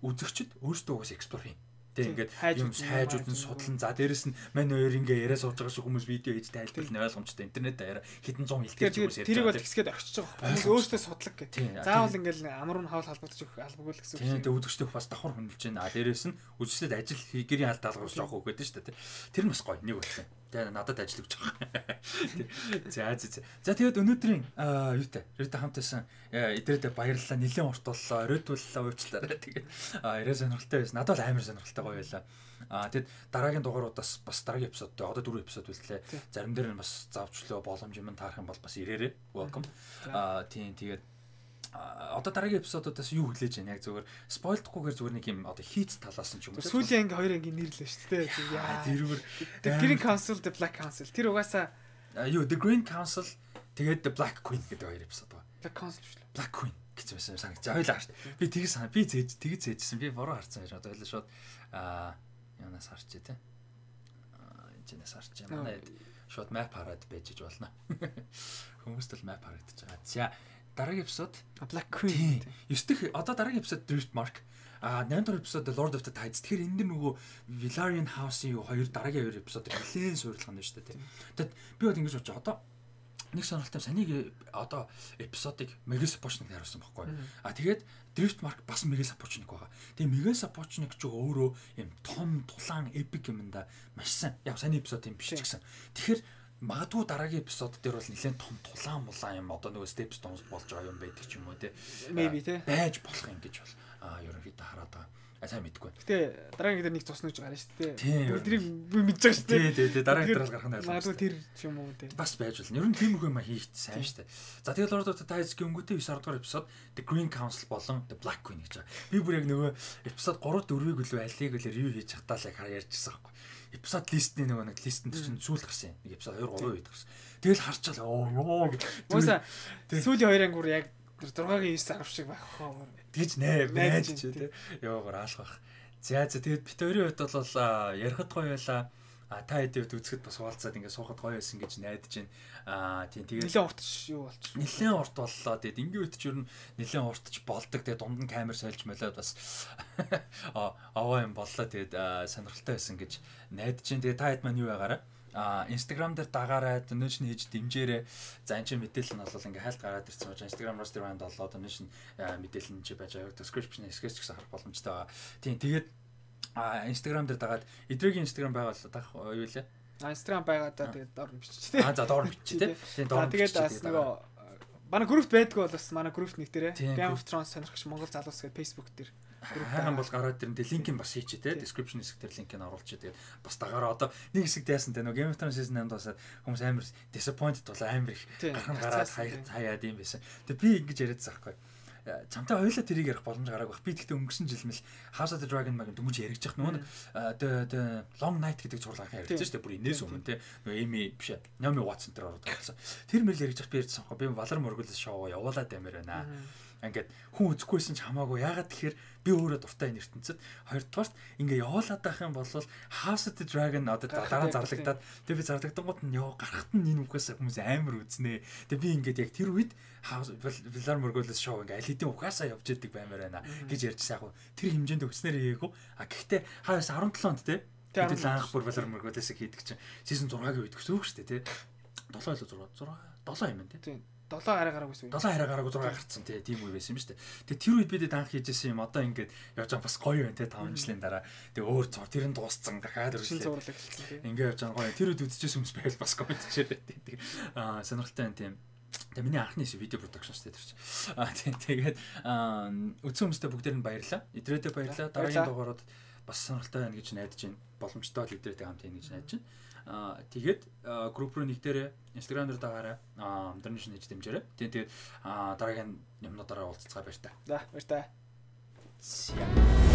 үзэгчд өөрсдөө угс эксплор хийн. Тэг ингээд юм хайж үзэн судлан за дээрэс нь мань хоёр ингээ яриа сууж байгаа шиг хүмүүс видео хийж тайлбарлана ойлгомжтой интернет даяараа хэдэн зуун хэлтгэж хүмүүс ярьж байгаа. Тэрийг бол тэгсгээд орчиж байгаа. Хүмүүс өөрсдөө судлаг гэх. Заавал ингээл амар нь хаал халбагдаж өгөх албагүй л гэсэн үг. Тийм тэг үзэгчдээ бас давхар хөндлөж байна. А дээрэс нь үзэгчдэд ажил гэрийн аль даалгавар жоох өгöd нь шүү дээ. Тэр нь бас гоё нэг үлээ. Тэгээ надад ажил өгч байгаа. За за за. За тэгээд өнөөдрийн юутай Rita хамтасан эдрэдэ баярлалаа. Нилээн урт боллоо. Оройдууллаа уучлаарай. Тэгээд яриа сонирхолтой байсан. Надад бол амар сонирхолтой гоё байлаа. Аа тэгэд дараагийн дугааруудаас бас дараагийн эпизодтой одоо дөрөв эпизод үлдлээ. Зарим дээр нь бас завчлаа боломж юм таарах юм бол бас ирээрээ. Welcome. Аа тийм тэгээд одоо дараагийн эпизодуудаас юу хүлээж байна яг зүгээр спойлдохгүйгээр зүгээр нэг юм одоо хийц талаас нь ч юм уу сүүлийн анги хоёр анги нэрлээ шүү дээ яа тэрүүр The Green Council, The Black Council тэр угаасаа юу The Green Council тэгээд The Black Queen гэдэг хоёр эпизод байна. Black Council шүү дээ. Black Queen гэж байсан санагч. Ойлаа шүү дээ. Би тгий сан би зээж тгий зээжсэн би бороо харсан байж одоо шууд аа юунаас харчээ те аа энэс харчээ манай шууд map хараад байж болно. Хүмүүст л map харагдаж байгаа. За дараагийн эпизод Black Queen. ёс дэх одоо дараагийн эпизод Driftmark. А наймд дахь эпизод Lord of the Tides. Тэгэхээр энэ дэр нөгөө Velaryon House-ийн юу хоёр дараагийн хоёр эпизод нэлээд суйрлах нь шүү дээ. Тэгэд би бол ингэж бодож одоо нэг сонирхолтой санийг одоо эпизодыг Mega Sapochnik харуулсан байхгүй. А тэгээд Driftmark бас Mega Sapochnik байгаа. Тэгээ Mega Sapochnik ч өөрөө юм том тулаан epic юм да маш сайн. Яг саний эпизод юм биш ч гэсэн. Тэгэхээр магадгүй дараагийн эпизод дээр бол нэлээд том тулаан мулаан юм одоо нөгөө step stones болж байгаа юм байдаг ч юм уу те. Maybe те. Байж болох юм гэж бол аа ерөнхийдөө хараад байгаа. А сайн мэдгүй. Гэтэ дараагийн дээр нэг цус нэж гарна шүү дээ. Тэрийг би мэдэж байгаа шүү дээ. Тий, тий, тий. Дараагийн дээр гарах нь ойлгомжтой. Магадгүй тэр юм уу те. Бас байж болно. Ер нь тиймэрхүү юм хийх сайн шүү дээ. За тэгээд Lord of the Tides гингүүтэй девять дугаар эпизод The Green Council болон The Black Queen гэж байгаа. Би бүр яг нөгөө эпизод три дөрвийг үлээ алийг үлээ ревю хийж хатаа л яг ярьжсэн байхгүй. Эпизод листний нөгөө нэг листэн дээр чинь сүүл гарсан. Нэг эпизод two three үед гарсан. Тэгэл харчаал оо ёо. Уусаа сүүлийн хоёр ангуур яг сixteen-гийн nine авах шиг байх хоо. Тэгж нэ байж ч тий. Ёогоор аалах байх. За за тэгээд бит хоёрын хувьд бол ярихад гоё байла. А та хэдийд үзэхэд бас уулзаад ингээд суухад гоё байсан гэж найдаж байна. Аа тийм тэгээд нэлээд урт юу болчих. Нэлээд урт боллоо. Тэгээд ингээд үтч ер нь нэлээд уртч болдог. Тэгээд дунд нь камер сольж молоод бас аваа юм боллоо. Тэгээд сонирхолтой байсан гэж найдаж байна. Тэгээд та хэд маань юу байгаараа а Instagram дээр дагаарай, donation хийж дэмжээрэй. За энэ чинь мэдээлэл нь бол ингээ хайлт гараад ирсэн учраас Instagram roster band болоо donation мэдээлэл нь чи байж байгаа. Description хэсгээс ч гэсэн харах боломжтой байгаа. Тийм тэгээд а Instagram дээр дагаад эдрийн Instagram байгаа л дах юу лээ. А Instagram байгаа да тэгээд доор нь бичиж тээ. А за доор нь бичиж тээ. Тийм доор. Тэгээд бас нөгөө манай группт байдгүй бол бас манай групп нэг дээрээ Game of Thrones сонирхч Монгол залуус гэдэг Facebook дээр хайхан бол гараад ирэн тэ линкийг бас хийчих те description хэсэг дээр линкийг оруулчих. Тэгээд бас дагаараа одоо нэг хэсэг дайсан те нөгөө Game of Thrones season eight дуусаад хүмүүс амар disappointed болоо амар их гархан гараад хаяад юм байсан. Тэгээд би ингэж яриадсан байхгүй. Чамтай хоёулаа тэрийг ярих боломж гараагүй бах. Би тэгтээ өнгөрсөн жил мэл House of the Dragon маяг дөнгөж яригдчих нөгөө the Long Night гэдэг зурлаахан яригдсан шүү дээ. Бүр инээс өмнө те нөгөө Amy биш Naomi Watson тэр ороод байсан. Тэр мэл яригдчих би ярьсан байхгүй. Би Valor Morghulis шоу явуулаад амир байна. Ингээд хүн үзэхгүйсэн ч хамаагүй. Ягаад тэгэхээр би өөрөө дуртай энэ ертөнцид. Хоёрдугаарт ингээ явуулаад байх юм бол House of the Dragon одоо дараа зарлагдаад тэг би зарлагдангууд нь яа гарахт нь энэ үхээс хүмүүс амар үзнэ. Тэг би ингээд яг тэр үед Valor Morghulis шоу ингээ аль хэдийн ухаасаа явж идэг баймаар байна гэж ярьжсэн яг. Тэр хэмжээнд өгснээр хийгээгүй. А гэхдээ хаас seventeen онд те хэдүүл анх бүр Valor Morghulis-ыг хийдэг чинь season six-гийн үед өсөв шүү дээ те. seven илүү six seven юм байна те. долоо арай гараагүйсэн. долоо арай гараагүй six гарцсан тий тийм үе байсан юм шүү дээ. Тэгээ тэр үед бидэд анх хийжсэн юм одоо ингээд явж байгаа бас гоё байна тий five жилийн дараа. Тэгээ өөр зур тэр нь дууссан дахиад шин зурлаг эхэлсэн тий. Ингээд явж байгаа гоё. Тэр үед үзчихсэн хүмүүс байвал бас комент хийшээ тий. Аа сонирхолтой байна тийм. Тэгээ миний анхны видео production шүү дээ тэр чинь. Аа тий тэгээд үзсэн хүмүүстээ бүгдээр нь баярлалаа. Идрээдээ баярлалаа. Дараагийн дугаарууд бас сонирхолтой байна гэж найдаж байна. Боломжтой л идрээдээ хамт хийнэ гэж найдаж байна. Аа тэгээд групп руу нэгдээрээ Instagram дээр дагаарай. Аа donation хийж дэмжээрэй. Тэгээд дараагийн юмнуудаараа уулзцгаа баяр та. За баяр та. За